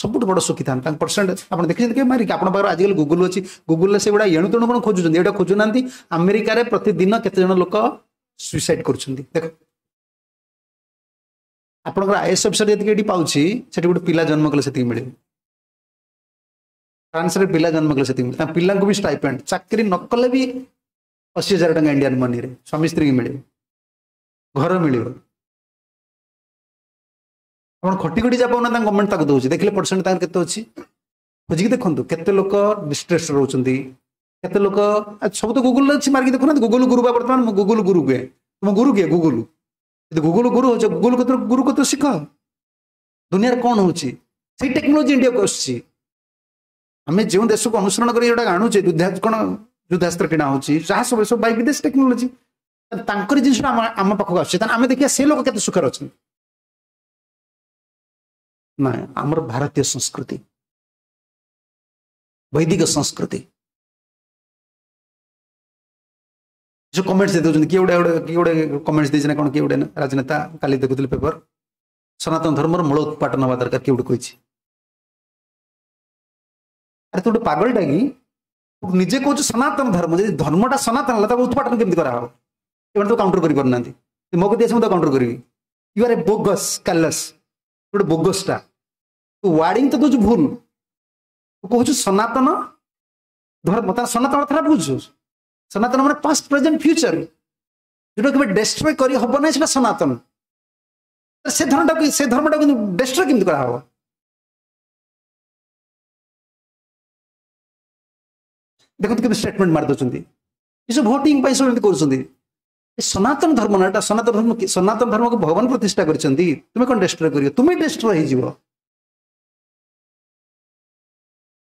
ସବୁଠୁ ବଡ଼ ସୁଖୀ ଥାନ୍ତେ ତାଙ୍କ ପରସେଣ୍ଟ ଆପଣ ଦେଖିଛନ୍ତି କେବେ ମାରିକି ଆପଣଙ୍କ ପାଖରେ ଆଜିକାଲି ଗୁଗୁଲ ଅଛି ଗୁଗୁଲରେ ସେଗୁଡ଼ା ଏଣୁ ତେଣୁ କ'ଣ ଖୋଜୁଛନ୍ତି ଏଇଟା ଖୋଜୁନାହାନ୍ତି ଆମେରିକାରେ ପ୍ରତିଦିନ କେତେ ଜଣ ଲୋକ ସୁଇସାଇଡ୍ କରୁଛନ୍ତି ଦେଖ ଆପଣଙ୍କର ଆଇଏଏସ୍ ଅଫିସର ଯେତିକି ଏଠି ପାଉଛି ସେଠି ଗୋଟେ ପିଲା ଜନ୍ମ କଲେ ସେତିକି ମିଳିବ ଫ୍ରାନ୍ସରେ ପିଲା ଜନ୍ମ କଲେ ସେତିକି ମିଳିବ ତାଙ୍କ ପିଲାଙ୍କୁ ବି ଷ୍ଟାଇପେଣ୍ଡ ଚାକିରି ନ କଲେ ବି ଅଶୀ ହଜାର ଟଙ୍କା ଇଣ୍ଡିଆନ ମନିରେ ସ୍ୱାମୀ ସ୍ତ୍ରୀକି ମିଳିବ ଘର ମିଳିବ ଆପଣ ଖଟି ଖଟି ଯାହା ପାଉନା ତାଙ୍କ ଗଭର୍ଣ୍ଣମେଣ୍ଟ ତାକୁ ଦଉଛି ଦେଖିଲେ ପରସେଣ୍ଟ ତାଙ୍କର କେତେ ଅଛି ଖୋଜିକି ଦେଖନ୍ତୁ କେତେ ଲୋକ ଡିଷ୍ଟ୍ରେସ୍ ରହୁଛନ୍ତି କେତେ ଲୋକ ସବୁ ତ ଗୁଗୁଲରେ ଅଛି ମାରିକି ଦେଖୁନାହାନ୍ତି ଗୁଗୁଲ ଗୁରୁ ବା ବର୍ତ୍ତମାନ ମୁଁ ଗୁଗୁଲ ଗୁରୁ କୁହେ ତୁମ ଗୁରୁ କିଏ ଗୁଗୁଲ ଯଦି ଗୁଗୁଲ ଗୁରୁ ହଉଛ ଗୁଗୁଲ କତିରୁ ଗୁରୁ କତିରୁ ଶିଖ ଦୁନିଆରେ କ'ଣ ହଉଛି ସେଇ ଟେକ୍ନୋଲୋଜି ଇଣ୍ଡିଆକୁ ଆସୁଛି ଆମେ ଯେଉଁ ଦେଶକୁ ଅନୁସରଣ କରି ଯୋଉଟା ଆଣୁଛେ ଯୁଦ୍ଧ କ'ଣ ଯୁଦ୍ଧାସ୍ତ୍ର କିଣା ହଉଛି ଯାହା ସବୁ ସବୁ ବାଇ ବିଦେଶ ଟେକ୍ନୋଲୋଜି ତାଙ୍କରି ଜିନିଷଟା ଆମ ଆମ ପାଖକୁ ଆସୁଛି ତାହେଲେ ଆମେ ଦେଖିବା ସେ ଲୋକ କେତେ ସୁଖରେ ଅଛନ୍ତି ନା ଆମର ଭାରତୀୟ ସଂସ୍କୃତି ବୈଦିକ ସଂସ୍କୃତି ଯୋଉ କମେଣ୍ଟସ ଦେଇ ଦଉଛନ୍ତି କିଏ ଗୋଟେ ଗୋଟେ କିଏ ଗୋଟେ କମେଣ୍ଟସ ଦେଇଛି ନା କ'ଣ କିଏ ଗୋଟେ ରାଜନେତା କାଲି ଦେଖୁଥିଲି ପେପର ସନାତନ ଧର୍ମର ମୂଳ ଉତ୍ପାଟନ ହବା ଦରକାର କିଏ ଗୋଟେ କହିଛି ଆରେ ତୁ ଗୋଟେ ପାଗଳଟା କି ନିଜେ କହୁଛୁ ସନାତନ ଧର୍ମ ଯଦି ଧର୍ମଟା ସନାତନ ହେଲା ତାକୁ ଉତ୍ପାଟନ କେମିତି କରାହବ ଏମାନେ ତ କାଉଣ୍ଟର କରିପାରୁନାହାନ୍ତି ମୋ କତି ଅଛି ମୁଁ ତ କାଉଣ୍ଟର କରିବି you R A bogus callous ଗୋଟେ ବୋଗସଟା ତୁ ୱାର୍ଡିଂ ତ ଦଉଛୁ ଭୁଲ ତୁ କହୁଛୁ ସନାତନ ଧର୍ମ ତାର ସନାତନ ଅର୍ଥଟା ବୁଝୁଛୁ ସନାତନ ମାନେ ପାଷ୍ଟ ପ୍ରେଜେଣ୍ଟ ଫ୍ୟୁଚର ଯୋଉଟା କେବେ ଡେଷ୍ଟ୍ରୟ କରି ହବ ନାହିଁ ସେଟା ସନାତନ ସେ ଧର୍ମଟାକୁ ସେ ଧର୍ମଟାକୁ ଡେଷ୍ଟ୍ରୟ କେମିତି କରାହବ ଦେଖନ୍ତୁ କେମିତି ଷ୍ଟେଟମେଣ୍ଟ ମାରି ଦଉଛନ୍ତି ଏସବୁ ଭୋଟିଂ ପାଇଁ ସବୁ ଏମିତି କରୁଛନ୍ତି ସନାତନ ଧର୍ମ ନା ଏଟା ସନାତନ ଧର୍ମ ସନାତନ ଧର୍ମକୁ ଭଗବାନ ପ୍ରତିଷ୍ଠା କରିଛନ୍ତି ତୁମେ କ'ଣ ଡେଷ୍ଟ୍ରୟ କରିବ ତୁମେ ଡେଷ୍ଟ୍ରୟ ହେଇଯିବ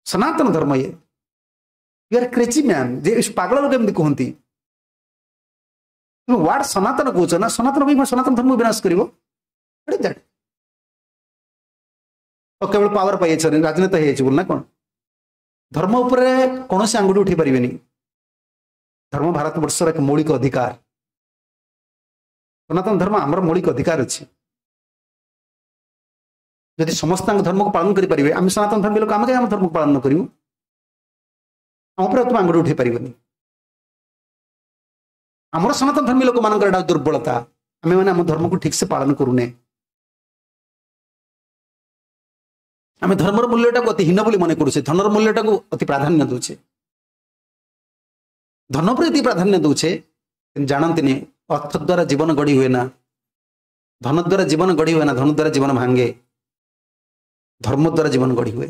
ସନାତନ ଧର୍ମ ଇଏ you R crazy man ଯେ ପାଗଳ ଲୋକ ଏମିତି କୁହନ୍ତି ତୁମେ ୱାର୍ଡ ସନାତନ କହୁଛ ନା ସନାତନ ପାଇଁ ସନାତନ ଧର୍ମ ବିନାଶ କରିବ that କେବଳ ପାୱାର ପାଇଯାଇଛ ରାଜନେତା ହେଇଯାଇଛି ବୋଲି ନା କ'ଣ ଧର୍ମ ଉପରେ କୌଣସି ଆଙ୍ଗୁଠି ଉଠେଇ ପାରିବେନି ଧର୍ମ ଭାରତବର୍ଷର ଏକ ମୌଳିକ ଅଧିକାର ସନାତନ ଧର୍ମ ଆମର ମୌଳିକ ଅଧିକାର ଅଛି ଯଦି ସମସ୍ତଙ୍କ ଧର୍ମକୁ ପାଳନ କରିପାରିବେ ଆମେ ସନାତନ ଧର୍ମୀ ଲୋକ ଆମେ କାହିଁ ଆମ ଧର୍ମକୁ ପାଳନ ନ କରିବୁ ଆମ ଉପରେ ତୁମେ ଆଙ୍ଗୁଠି ଉଠେଇ ପାରିବନି ଆମର ସନାତନ ଧର୍ମୀ ଲୋକମାନଙ୍କର ଏଟା ଦୁର୍ବଳତା ଆମେ ମାନେ ଆମ ଧର୍ମକୁ ଠିକ ସେ ପାଳନ କରୁନେ ଆମେ ଧର୍ମର ମୂଲ୍ୟଟାକୁ ଅତି ହୀନ ବୋଲି ମନେ କରୁଛେ ଧନର ମୂଲ୍ୟଟାକୁ ଅତି ପ୍ରାଧାନ୍ୟ ଦଉଛେ ଧନ ଉପରେ ଏତିକି ପ୍ରାଧାନ୍ୟ ଦଉଛେ କିନ୍ତୁ ଜାଣନ୍ତିନି ଅର୍ଥ ଦ୍ୱାରା ଜୀବନ ଗଢି ହୁଏ ନା ଧନ ଦ୍ୱାରା ଜୀବନ ଗଢି ହୁଏ ନା ଧନ ଦ୍ୱାରା ଜୀବନ ଭାଙ୍ଗେ ଧର୍ମ ଦ୍ୱାରା ଜୀବନ ଗଢି ହୁଏ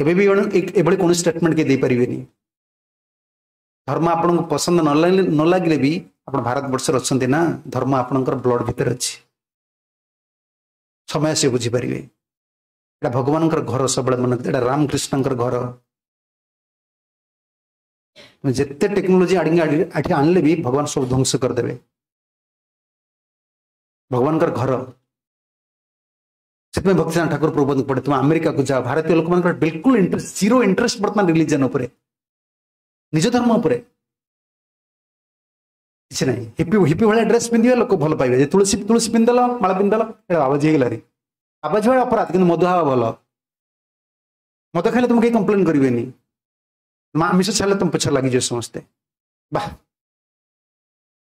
ଏବେ ବି ଏଭଳି କୌଣସି ଷ୍ଟେଟମେଣ୍ଟ କେହି ଦେଇପାରିବେନି ଧର୍ମ ଆପଣଙ୍କୁ ପସନ୍ଦ ନ ଲାଗିଲେ ନ ଲାଗିଲେ ବି ଆପଣ ଭାରତବର୍ଷରେ ଅଛନ୍ତି ନା ଧର୍ମ ଆପଣଙ୍କର ବ୍ଲଡ ଭିତରେ ଅଛି ସମୟ ସେ ବୁଝିପାରିବେ ଏଇଟା ଭଗବାନଙ୍କର ଘର ସବୁବେଳେ ମନେ ଏଇଟା ରାମକୃଷ୍ଣଙ୍କର ଘର ଯେତେ ଟେକ୍ନୋଲୋଜି ଆଣିକି ଏଠି ଆଣିଲେ ବି ଭଗବାନ ସବୁ ଧ୍ୱଂସ କରିଦେବେ ଭଗବାନଙ୍କର ଘର ସେଥିପାଇଁ ଭକ୍ତିନାଥ ଠାକୁର ପ୍ରଭୁପାଦଙ୍କୁ ପଢେ ତୁମେ ଆମେରିକାକୁ ଯାଅ ଭାରତୀୟ ଲୋକମାନଙ୍କର ବିଲକୁଲ ଇଣ୍ଟରେଷ୍ଟ ଜିରୋ ଇଣ୍ଟରେଷ୍ଟ ବର୍ତ୍ତମାନ ରିଲିଜନ ଉପରେ ନିଜ ଧର୍ମ ଉପରେ କିଛି ନାହିଁ ହିପି ହିପି ଭଳିଆ ଡ୍ରେସ୍ ପିନ୍ଧିବେ ଲୋକ ଭଲ ପାଇବେ ଯେ ତୁଳସୀ ତୁଳସୀ ପିନ୍ଧିଦେଲ ମାଳ ପିନ୍ଧିଦେଲ ଏଇଟା ବାବାଜୀ ହେଇଗଲାରେ ବାବାଜୀ ଭଳିଆ ଅପରାଧ କିନ୍ତୁ ମଦ ହବା ଭଲ ମଦ ଖାଇଲେ ତୁମକୁ କେହି କମ୍ପ୍ଲେନ୍ କରିବେନି ଆମିଷ ଛାଡ଼ିଲେ ତୁମ ପଛ ଲାଗିଯିବ ସମସ୍ତେ ବାহ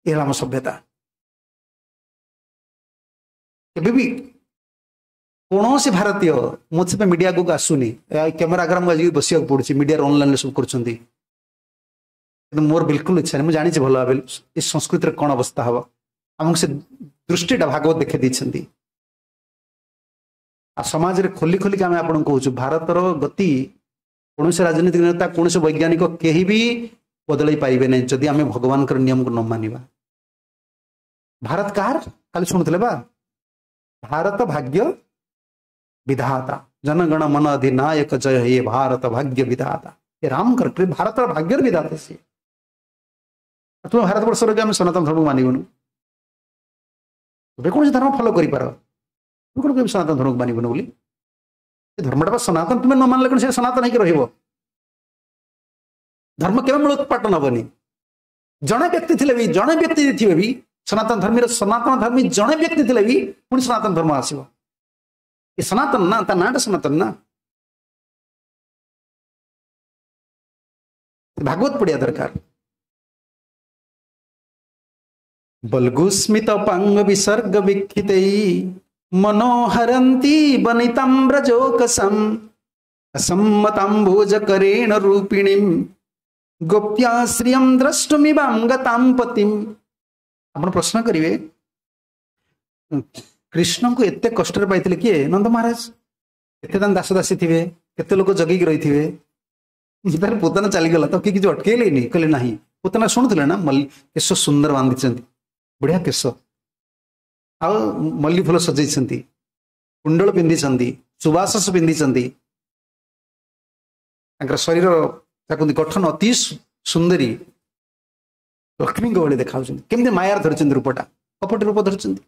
ଏ ହେଲା ଆମ ସଭ୍ୟତା କେବେ ବି କୌଣସି ଭାରତୀୟ ମୁଁ ସେଥିପାଇଁ ମିଡିଆ ଆଗକୁ ଆସୁନି କ୍ୟାମେରା ଆଗରେ ଆମକୁ ଆଜି ବସିବାକୁ ପଡୁଛି ମିଡିଆର ଅନଲାଇନରେ ସବୁ କରୁଛନ୍ତି କିନ୍ତୁ ମୋର ବିଲକୁଲ ଇଚ୍ଛା ନାହିଁ ମୁଁ ଜାଣିଛି ଭଲ ଭାବେ ଏ ସଂସ୍କୃତିର କ'ଣ ଅବସ୍ଥା ହବ ଆମକୁ ସେ ଦୃଷ୍ଟିଟା ଭାଗବତ ଦେଖେଇ ଦେଇଛନ୍ତି ଆଉ ସମାଜରେ ଖୋଲି ଖୋଲିକି ଆମେ ଆପଣଙ୍କୁ କହୁଛୁ ଭାରତର ଗତି କୌଣସି ରାଜନୈତିକ ନେତା କୌଣସି ବୈଜ୍ଞାନିକ କେହି ବି ବଦଳାଇ ପାରିବେ ନାହିଁ ଯଦି ଆମେ ଭଗବାନଙ୍କର ନିୟମକୁ ନ ମାନିବା ଭାରତ କାହାର କାଲି ଶୁଣୁଥିଲେ ବା ଭାରତ ଭାଗ୍ୟ ବିଧାତା ଜନଗଣ ମନ ଅଧିନାୟକ ଜୟ ହେ ଭାରତ ଭାଗ୍ୟ ବିଧାତା ଏ ରାମଙ୍କର ଭାରତର ଭାଗ୍ୟର ବିଧାତା ସିଏ ତୁମେ ଭାରତବର୍ଷର ବି ଆମେ ସନାତନ ଧର୍ମକୁ ମାନିବୁନୁ ତୁମେ କୌଣସି ଧର୍ମ ଫଲୋ କରିପାର ତୁମେ କ'ଣ କହିବ ସନାତନ ଧର୍ମକୁ ମାନିବୁନୁ ବୋଲି ସେ ଧର୍ମଟା ବା ସନାତନ ତୁମେ ନ ମାନିଲେ କ'ଣ ସେ ସନାତନ ହେଇକି ରହିବ ଧର୍ମ କେବେ ମୂଳୋତ୍ପାଟନ ହବନି ଜଣେ ବ୍ୟକ୍ତି ଥିଲେ ବି ଜଣେ ବ୍ୟକ୍ତି ଥିବେ ବି ସନାତନ ଧର୍ମୀର ସନାତନ ଧର୍ମୀ ଜଣେ ବ୍ୟକ୍ତି ଥିଲେ ବି ପୁଣି ସନାତନ ଧର୍ମ ଆସିବ ଏ ସନାତନ ନା ତା ନାଁଟା ସନାତନ ନା ଭାଗବତ ପଢିବା ଦରକାର ବଲ୍ଗୁସ୍ମିତ ପାଙ୍ଗ ବିସର୍ଗ ବିକ୍ଷିତೈ ମନୋହରନ୍ତି ବନିତାମ୍ବ୍ରଜୋକସମ୍ असम्मताम्भोजकरेण रूपिणीं गोप्याश्रियं द्रष्टुमिवां गतां पतिं। ଆପଣ ପ୍ରଶ୍ନ କରିବେ କୃଷ୍ଣଙ୍କୁ ଏତେ କଷ୍ଟରେ ପାଇଥିଲେ କିଏ? ନନ୍ଦ ମହାରାଜ। କେତେ ତାଙ୍କ ଦାସ ଦାସୀ ଥିବେ, କେତେ ଲୋକ ଜଗିକି ରହିଥିବେ। ତାର ପୁତନା ଚାଲିଗଲା ତ କିଏ କିଛି ଅଟକେଇଲେନି, କହିଲେ ନାହିଁ। ପୁତନା ଶୁଣୁଥିଲେ ନା, ମଲ୍ଲି କେଶ ସୁନ୍ଦର ବାନ୍ଧିଛନ୍ତି, ବଢିଆ କେଶ, ଆଉ ମଲ୍ଲି ଫୁଲ ସଜେଇଛନ୍ତି, କୁଣ୍ଡଳ ପିନ୍ଧିଛନ୍ତି, ସୁବାସ ପିନ୍ଧିଛନ୍ତି, ତାଙ୍କର ଶରୀର ତାକୁ ଗଠନ ଅତି ସୁନ୍ଦରୀ, ଲକ୍ଷ୍ମୀଙ୍କ ଭଳି ଦେଖାଉଛନ୍ତି। କେମିତି ମାୟାର ଧରିଛନ୍ତି ରୂପଟା, କପଟ ରୂପ ଧରିଛନ୍ତି।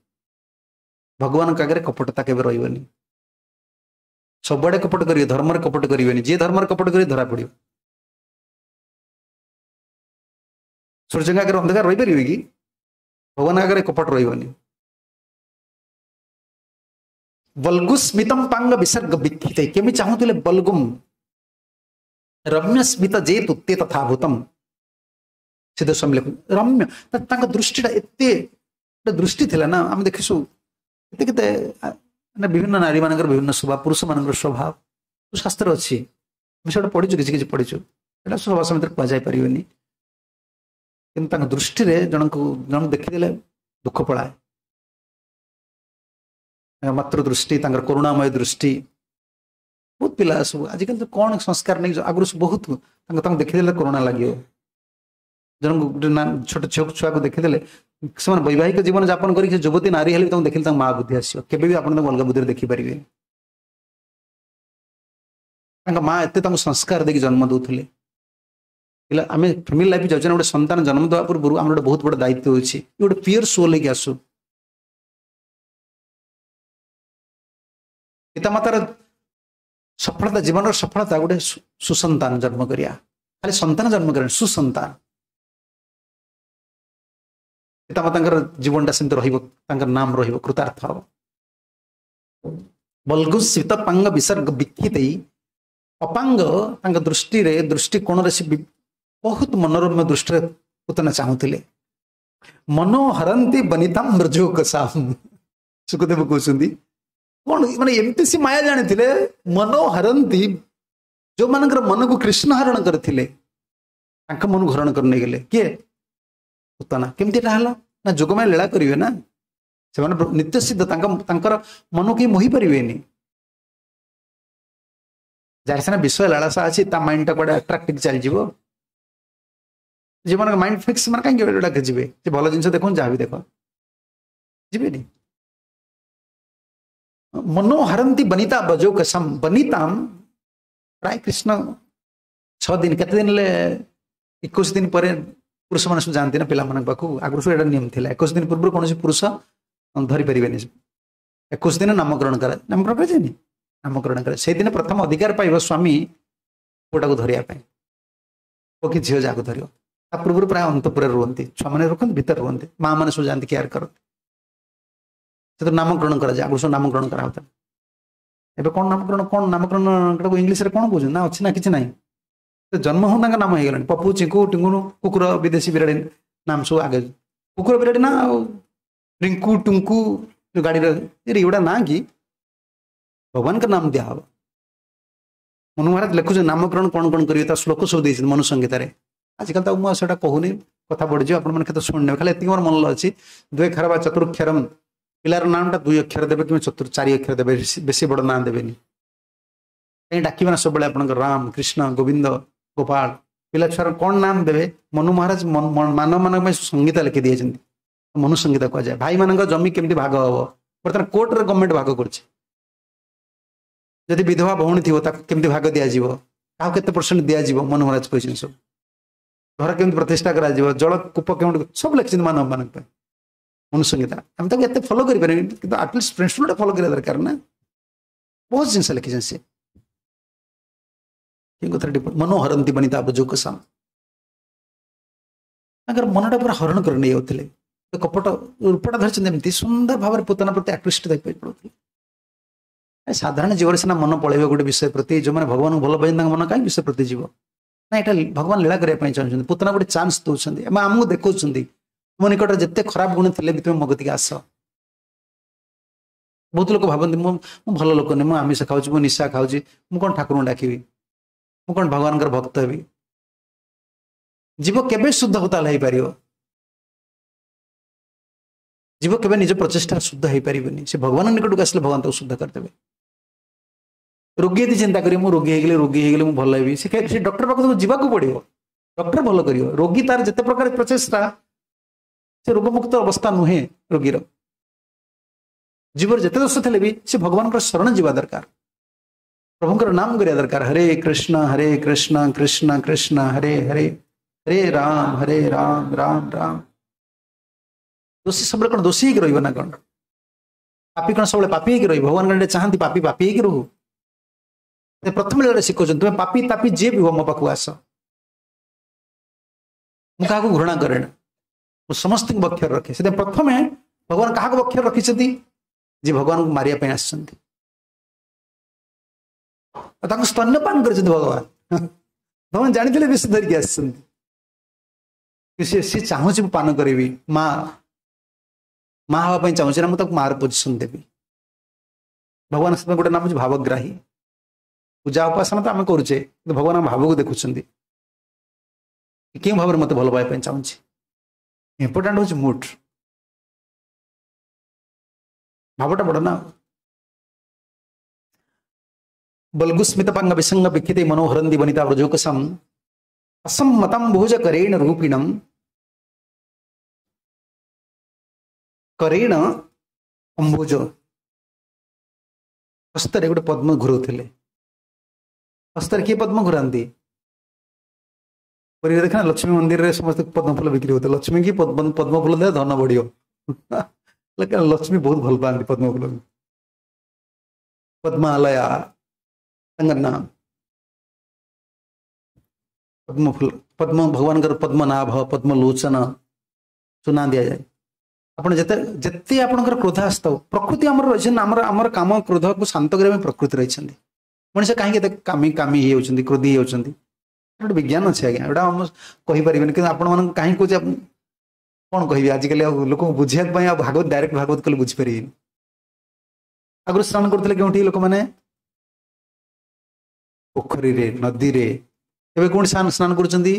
ଭଗବାନଙ୍କ ଆଗରେ କପଟତା କେବେ ରହିବନି। ସବୁଆଡେ କପଟ କରିବେ, ଧର୍ମରେ କପଟ କରିବେନି। ଯିଏ ଧର୍ମରେ କପଟ କରିବେ ଧରା ପଡିବ। ସୂର୍ଯ୍ୟଙ୍କ ଆଗରେ ଅନ୍ଧକାର ରହିପାରିବେ କି? ଭଗବାନଙ୍କ ଆଗରେ କପଟ ରହିବନି। ବଲ୍ଗୁସ୍ମିତಂ ପାଙ୍ଗ ବିସର୍ଗ ବିକ୍ଷିତ, କେମିତି ଚାହୁଁଥିଲେ ବଲ୍ଗୁମ୍ ରମ୍ୟ ସ୍ମିତ ଯେ ତୁତେ ତଥାଭୂତମ। ସିଦ୍ଧ ସ୍ୱାମୀ ଲେଖୁ ରମ୍ୟ, ତାଙ୍କ ଦୃଷ୍ଟିଟା ଏତେ ଗୋଟେ ଦୃଷ୍ଟି ଥିଲା ନା। ଆମେ ଦେଖିଛୁ କେତେ କେତେ ମାନେ ବିଭିନ୍ନ ନାରୀ ମାନଙ୍କର ବିଭିନ୍ନ ସ୍ୱଭାବ, ପୁରୁଷ ମାନଙ୍କର ସ୍ୱଭାବ ଶାସ୍ତ୍ର ଅଛି, ଆମେ ସେଟା ପଢିଛୁ, କିଛି କିଛି ପଢିଛୁ, ଏଇଟା ସଭା ସମିତିରେ କୁହାଯାଇ ପାରିବନି। କିନ୍ତୁ ତାଙ୍କ ଦୃଷ୍ଟିରେ ଜଣଙ୍କୁ ଜଣକୁ ଦେଖିଦେଲେ ଦୁଃଖ ପଳାଏ। ମାତୃ ଦୃଷ୍ଟି, ତାଙ୍କର କରୁଣାମୟ ଦୃଷ୍ଟି। ବହୁତ ପିଲା ସବୁ ଆଜିକାଲି ତ କ'ଣ ସଂସ୍କାର ନେଇକି ଆଗରୁ ସବୁ ବହୁତ ତାଙ୍କ ତାଙ୍କୁ ଦେଖିଦେଲେ କରୁଣା ଲାଗିବ। ଜଣଙ୍କୁ ଗୋଟେ ନା ଛୋଟ ଝିଅ ଛୁଆକୁ ଦେଖିଦେଲେ ସେମାନେ ବୈବାହିକ ଜୀବନ ଯାପନ କରିକି ଯୁବତୀ ନାରୀ ହେଲେ ବି ତାଙ୍କୁ ଦେଖିଲେ ତାଙ୍କ ମା ବୁଦ୍ଧି ଆସିବ। କେବେ ବି ଆପଣ ତାଙ୍କୁ ଅଲଗା ବୁଦ୍ଧିରେ ଦେଖିପାରିବେନି। ତାଙ୍କ ମା ଏତେ ତାଙ୍କୁ ସଂସ୍କାର ଦେଇକି ଜନ୍ମ ଦଉଥିଲେ। ପିଲା ଆମେ ଫ୍ୟାମିଲି ଲାଇଫ୍ ଯାଉଛେ ନା, ଗୋଟେ ସନ୍ତାନ ଜନ୍ମ ଦେବା ପୂର୍ବରୁ ଆମର ଗୋଟେ ବହୁତ ବଡ଼ ଦାୟିତ୍ୱ ଅଛି, ଗୋଟେ ପିଓର ସୋଲ୍ ହେଇକି ଆସୁ। ପିତାମାତାର ସଫଳତା, ଜୀବନର ସଫଳତା ଗୋଟେ ସୁସନ୍ତାନ ଜନ୍ମ କରିବା। ଖାଲି ସନ୍ତାନ ଜନ୍ମ କରିବା, ସୁସନ୍ତାନ। ପିତାମାତାଙ୍କର ଜୀବନଟା ସେମିତି ରହିବ, ତାଙ୍କର ନାମ ରହିବ, କୃତାର୍ଥ ହବ। ବଲ୍ଗୁସ୍ମିତ ପାଙ୍ଗ ବିସର୍ଗ ବିକ୍ଷିତେଇ ଅପାଙ୍ଗ, ତାଙ୍କ ଦୃଷ୍ଟିରେ ଦୃଷ୍ଟିକୋଣରେ ସେ ବହୁତ ମନୋରମ୍ୟ ଦୃଷ୍ଟିରେ ପୁତନା ଚାହୁଁଥିଲେ। ମନୋହରନ୍ତି ବନିତାମ ବ୍ରଜୋକସାମ, ସୁଖଦେବ କହୁଛନ୍ତି କଣ ମାନେ ଏମିତି ସେ ମାୟା ଜାଣିଥିଲେ। ମନୋହରନ୍ତି, ଯୋଉମାନଙ୍କର ମନକୁ କୃଷ୍ଣ ହରଣ କରିଥିଲେ ତାଙ୍କ ମନକୁ ହରଣ କରି ନେଇଗଲେ କିଏ? ପୁତନା। କେମିତି ଏଟା ହେଲା ନା ଯୋଗମାୟା ଲୀଳା କରିବେ ନା, ସେମାନେ ନିତ୍ୟ ସିଦ୍ଧ, ତାଙ୍କ ତାଙ୍କର ମନକୁ କେହି ମୋହି ପାରିବେନି। ଯାହାର ସିନା ବିଷୟ ଲାଳସା ଅଛି ତା ମାଇଣ୍ଡଟା କୁଆଡେ ଆଟ୍ରାକ୍ଟିଭ ଚାଲିଯିବ। ଯେଉଁମାନଙ୍କ ମାଇଣ୍ଡ ଫିକ୍ସ, ସେମାନେ କାହିଁକି ଏଗୁଡ଼ାକ ଯିବେ? ସେ ଭଲ ଜିନିଷ ଦେଖନ୍ତୁ, ଯାହା ବି ଦେଖ, ଯିବେନି। ମନୋହରନ୍ତି ବନିତା ବଜୋକସମ, ବନିତାମ ପ୍ରାୟ କୃଷ୍ଣ ଛଅ ଦିନ କେତେ ଦିନ ହେଲେ ଏକୋଇଶ ଦିନ ପରେ ପୁରୁଷମାନେ ସବୁ ଯାଆନ୍ତି ନା ପିଲାମାନଙ୍କ ପାଖକୁ। ଆଗରୁ ସବୁ ଏଇଟା ନିୟମ ଥିଲା, ଏକୋଇଶ ଦିନ ପୂର୍ବରୁ କୌଣସି ପୁରୁଷ ଧରିପାରିବେନି। ଏକୋଇଶ ଦିନ ନାମକରଣ କରା ନାମକରଣ କରାଯାଏନି ନାମକରଣ କରା ସେଇଦିନ ପ୍ରଥମ ଅଧିକାର ପାଇବ ସ୍ୱାମୀ ପୁଅଟାକୁ ଧରିବା ପାଇଁ ପୁଅ କି ଝିଅ ଯାହାକୁ ଧରିବ ତା ପୂର୍ବରୁ ପ୍ରାୟ ଅନ୍ତପୁରରେ ରୁହନ୍ତି ଛୁଆମାନେ ରଖନ୍ତି ଭିତରେ ରୁହନ୍ତି ମା ମାନେ ସବୁ ଯାଆନ୍ତି କେୟାର କରନ୍ତି ସେଥିରେ ନାମକରଣ କରାଯାଏ ଆଗରୁ ସବୁ ନାମକରଣ କରାହଉଥିଲା ଏବେ କ'ଣ ନାମକରଣ କ'ଣ ନାମକରଣ ଇଂଲିଶରେ କ'ଣ କହୁଛନ୍ତି ନା ଅଛି ନା କିଛି ନାହିଁ ଜନ୍ମ ହଉ ତାଙ୍କ ନାମ ହେଇଗଲାଣି ପପୁ ଚିଙ୍କୁ ଟିଙ୍ଗୁଣୁ କୁକୁର ବିଦେଶୀ ବିରାଡ଼ି ନାମ ସବୁ ଆଗେ କୁକୁର ବିରାଡ଼ି ନା ଆଉ ରିଙ୍କୁ ଟୁଙ୍କୁ ଗାଡ଼ିର ଏଗୁଡ଼ା ନାଁ କି ଭଗବାନଙ୍କ ନାମ ଦିଆହବ ମନୁ ମହାରାଜ ଲେଖୁଛନ୍ତି ନାମକରଣ କ'ଣ କ'ଣ କରିବେ ତା ଶ୍ଲୋକ ସବୁ ଦେଇଛନ୍ତି ମନୁ ସଂହିତାରେ ଆଜିକାଲି ତ ମୁଁ ଆଉ ସେଇଟା କହୁନି କଥା ବଢ଼ିଯିବ ଆପଣମାନେ କେତେ ଶୁଣିନେବେ ଖାଲି ଏତିକି ମୋର ମନ ଅଛି ଦୁଇ ଅକ୍ଷର ବା ଚତୁରକ୍ଷରମ ପିଲାର ନାମଟା ଦୁଇ ଅକ୍ଷର ଦେବେ କିମ୍ବା ଚତୁର ଚାରି ଅକ୍ଷର ଦେବେ ବେଶୀ ବଡ଼ ନାଁ ଦେବେନି କାହିଁ ଡାକିବେ ନା ସବୁବେଳେ ଆପଣଙ୍କର ରାମ କୃଷ୍ଣ ଗୋବିନ୍ଦ ଗୋପାଳ ପିଲା ଛୁଆର କ'ଣ ନାମ ଦେବେ ମନୁ ମହାରାଜ ମାନବମାନଙ୍କ ପାଇଁ ସଂହିତା ଲେଖି ଦେଇଛନ୍ତି ମନୁ ସଂହିତା କୁହାଯାଏ ଭାଇମାନଙ୍କ ଜମି କେମିତି ଭାଗ ହବ ବର୍ତ୍ତମାନ କୋର୍ଟରେ ଗଭର୍ଣ୍ଣମେଣ୍ଟ ଭାଗ କରୁଛି ଯଦି ବିଧବା ଭଉଣୀ ଥିବ ତାକୁ କେମିତି ଭାଗ ଦିଆଯିବ କାହାକୁ କେତେ ପରସେଣ୍ଟ ଦିଆଯିବ ମନୁ ମହାରାଜ କହିଛନ୍ତି ସବୁ ଘର କେମିତି ପ୍ରତିଷ୍ଠା କରାଯିବ ଜଳ କୂପ କେଉଁଠି ସବୁ ଲେଖିଛନ୍ତି ମାନବମାନଙ୍କ ପାଇଁ ମନୁ ସଂହିତା ଆମେ ତାକୁ ଏତେ ଫଲୋ କରିପାରିବେନି କିନ୍ତୁ ଆଟଲିଷ୍ଟ ପ୍ରିନ୍ସିପଲଟା ଫଲୋ କରିବା ଦରକାର ନା ବହୁତ ଜିନିଷ ଲେଖିଛନ୍ତି ସେ କେଉଁ କଥାରେ ମନୋହରନ୍ତି ବନିତା ବ୍ରଜୋକସାମ ତାଙ୍କର ମନଟା ପୁରା ହରଣ କରି ନେଇଯାଉଥିଲେ କପଟ ରୂପଟା ଧରିଛନ୍ତି ଏମିତି ସୁନ୍ଦର ଭାବରେ ପୁତନା ପ୍ରତି ଆକୃଷ୍ଟ ହେଇକି ପଡୁଥିଲେ ସାଧାରଣ ଜୀବରେ ସିନା ମନ ପଳେଇବ ଗୋଟେ ବିଷୟ ପ୍ରତି ଯେଉଁମାନେ ଭଗବାନଙ୍କୁ ଭଲ ପାଇଛନ୍ତି ତାଙ୍କ ମନ କାହିଁ ବିଷୟ ପ୍ରତି ଯିବ ନା ଏଇଟା ଭଗବାନ ଲୀଳା କରିବା ପାଇଁ ଚାହୁଁଛନ୍ତି ପୁତନା ଗୋଟେ ଚାନ୍ସ ଦଉଛନ୍ତି ଏବଂ ଆମକୁ ଦେଖାଉଛନ୍ତି ତୁମ ନିକଟରେ ଯେତେ ଖରାପ ଗୁଣ ଥିଲେ ବି ତୁମେ ମୋ କତିକି ଆସ ବହୁତ ଲୋକ ଭାବନ୍ତି ମୁଁ ମୁଁ ଭଲ ଲୋକ ନୁହେଁ ମୁଁ ଆମିଷ ଖାଉଛି ମୁଁ ନିଶା ଖାଉଛି ମୁଁ କ'ଣ ଠାକୁରଙ୍କୁ ଡାକିବି ମୁଁ କ'ଣ ଭଗବାନଙ୍କର ଭକ୍ତ ହେବି ଜୀବ କେବେ ଶୁଦ୍ଧ ତାହେଲେ ହେଇପାରିବ ଜୀବ କେବେ ନିଜ ପ୍ରଚେଷ୍ଟା ଶୁଦ୍ଧ ହେଇପାରିବନି ସେ ଭଗବାନ ନିକଟକୁ ଆସିଲେ ଭଗବାନ ତାକୁ ଶୁଦ୍ଧ କରିଦେବେ ରୋଗୀ ଯଦି ଚିନ୍ତା କରିବ ମୁଁ ରୋଗୀ ହେଇଗଲେ ରୋଗୀ ହେଇଗଲେ ମୁଁ ଭଲ ହେବି ସେ ସେ ଡକ୍ଟର ପାଖକୁ ଯିବାକୁ ପଡିବ ଡକ୍ଟର ଭଲ କରିବ ରୋଗୀ ତାର ଯେତେ ପ୍ରକାର ପ୍ରଚେଷ୍ଟା ସେ ରୋଗମୁକ୍ତ ଅବସ୍ଥା ନୁହେଁ ରୋଗୀର ଜୀବର ଯେତେ ଦୋଷ ଥିଲେ ବି ସେ ଭଗବାନଙ୍କର ଶରଣ ଯିବା ଦରକାର ପ୍ରଭୁଙ୍କର ନାମ କରିବା ଦରକାର ହରେ କୃଷ୍ଣ ହରେ କୃଷ୍ଣ କୃଷ୍ଣ କୃଷ୍ଣ ହରେ ହରେ ହରେ ରାମ ହରେ ରାମ ରାମ ରାମ ଦୋଷୀ ସବୁବେଳେ କ'ଣ ଦୋଷୀ ହେଇକି ରହିବ ନା କ'ଣ ପାପି କ'ଣ ସବୁବେଳେ ପାପି ହେଇକି ରହିବ ଭଗବାନ କଣ ଚାହାନ୍ତି ପାପି ପାପି ହେଇକି ରହୁ ପ୍ରଥମ ଲୀଳାରେ ଶିଖଉଛନ୍ତି ତୁମେ ପାପି ତାପି ଯିଏ ବି ହୁଅ ମୋ ପାଖକୁ ଆସ ମୁଁ କାହାକୁ ଘୃଣା କରେ ନା ମୁଁ ସମସ୍ତଙ୍କୁ ବକ୍ଷରେ ରଖେ ସେଥିପାଇଁ ପ୍ରଥମେ ଭଗବାନ କାହାକୁ ବକ୍ଷରେ ରଖିଛନ୍ତି ଯିଏ ଭଗବାନଙ୍କୁ ମାରିବା ପାଇଁ ଆସିଛନ୍ତି ତାଙ୍କୁ ସ୍ତନ୍ୟପାନ କରିଛନ୍ତି ଭଗବାନ ଭଗବାନ ଜାଣିଥିଲେ ବିଷ ଧରିକି ଆସିଛନ୍ତି ସେ ସିଏ ଚାହୁଁଛି ମୁଁ ପାନ କରିବି ମା ମା ହେବା ପାଇଁ ଚାହୁଁଛି ନା ମୁଁ ତାକୁ ମାର ପୋଜିସନ ଦେବି ଭଗବାନ ସେଥିପାଇଁ ଗୋଟେ ନାମ ହେଉଛି ଭାବଗ୍ରାହୀ ପୂଜା ଉପାସନା ତ ଆମେ କରୁଛେ କିନ୍ତୁ ଭଗବାନ ଆମ ଭାବକୁ ଦେଖୁଛନ୍ତି କେଉଁ ଭାବରେ ମୋତେ ଭଲ ପାଇବା ପାଇଁ ଚାହୁଁଛି ଇମ୍ପୋର୍ଟାଣ୍ଟ ହେଉଛି ମୁଡ୍ ଭାବଟା ବଡ଼ ନା ବଲ୍ଗୁସ୍ମିତ ପାଙ୍ଗ ବିସଙ୍ଗ ବିକ୍ଷିତେ ମନୋହରନ୍ତି ବନିତା ବ୍ରଜୋକସମ୍ असम्मतं भुज करेण रूपिणम କରେଣ ଅମ୍ବୁଜ ହସ୍ତରେ ଗୋଟେ ପଦ୍ମ ଘୁରଉଥିଲେ ହସ୍ତରେ କିଏ ପଦ୍ମ ଘୁରାନ୍ତି ପୁରୀରେ ଦେଖ ନା ଲକ୍ଷ୍ମୀ ମନ୍ଦିରରେ ସମସ୍ତେ ପଦ୍ମ ଫୁଲ ବିକ୍ରି ହଉଥିଲେ ଲକ୍ଷ୍ମୀ କି ପଦ୍ମ ଫୁଲ ଦେଲେ ଧନ ବଢିବ ଲକ୍ଷ୍ମୀ ବହୁତ ଭଲ ପାଆନ୍ତି ପଦ୍ମ ଫୁଲ ପଦ୍ମାଲୟା ତାଙ୍କର ନାମ ପଦ୍ମ ଫୁଲ ପଦ୍ମ ଭଗବାନଙ୍କର ପଦ୍ମନାଭ ପଦ୍ମଲୋଚନ ସୁନା ଦିଆଯାଏ ଆପଣ ଯେତେ ଯେତେ ଆପଣଙ୍କର କ୍ରୋଧ ଆସିଥାଉ ପ୍ରକୃତି ଆମର ରହିଛନ୍ତି ଆମର ଆମର କାମ କ୍ରୋଧକୁ ଶାନ୍ତ କରିବା ପାଇଁ ପ୍ରକୃତି ରହିଛନ୍ତି ମଣିଷ କାହିଁକି ଏତେ କାମି କାମି ହେଇଯାଉଛନ୍ତି କ୍ରୋଧି ହେଇଯାଉଛନ୍ତି ଗୋଟେ ବିଜ୍ଞାନ ଅଛି ଆଜ୍ଞା ଏଇଟା ଆମ କହିପାରିବେନି କିନ୍ତୁ ଆପଣମାନଙ୍କୁ କାହିଁକି କହୁଛି କ'ଣ କହିବି ଆଜିକାଲି ଆଉ ଲୋକଙ୍କୁ ବୁଝିବା ପାଇଁ ଆଉ ଭାଗବତ ଡାଇରେକ୍ଟ ଭାଗବତ କଲେ ବୁଝିପାରିବେନି ଆଗରୁ ସ୍ନାନ କରୁଥିଲେ କେଉଁଠି ଲୋକମାନେ ପୋଖରୀରେ ନଦୀରେ ଏବେ କୋଉଠି ସ୍ନାନ କରୁଛନ୍ତି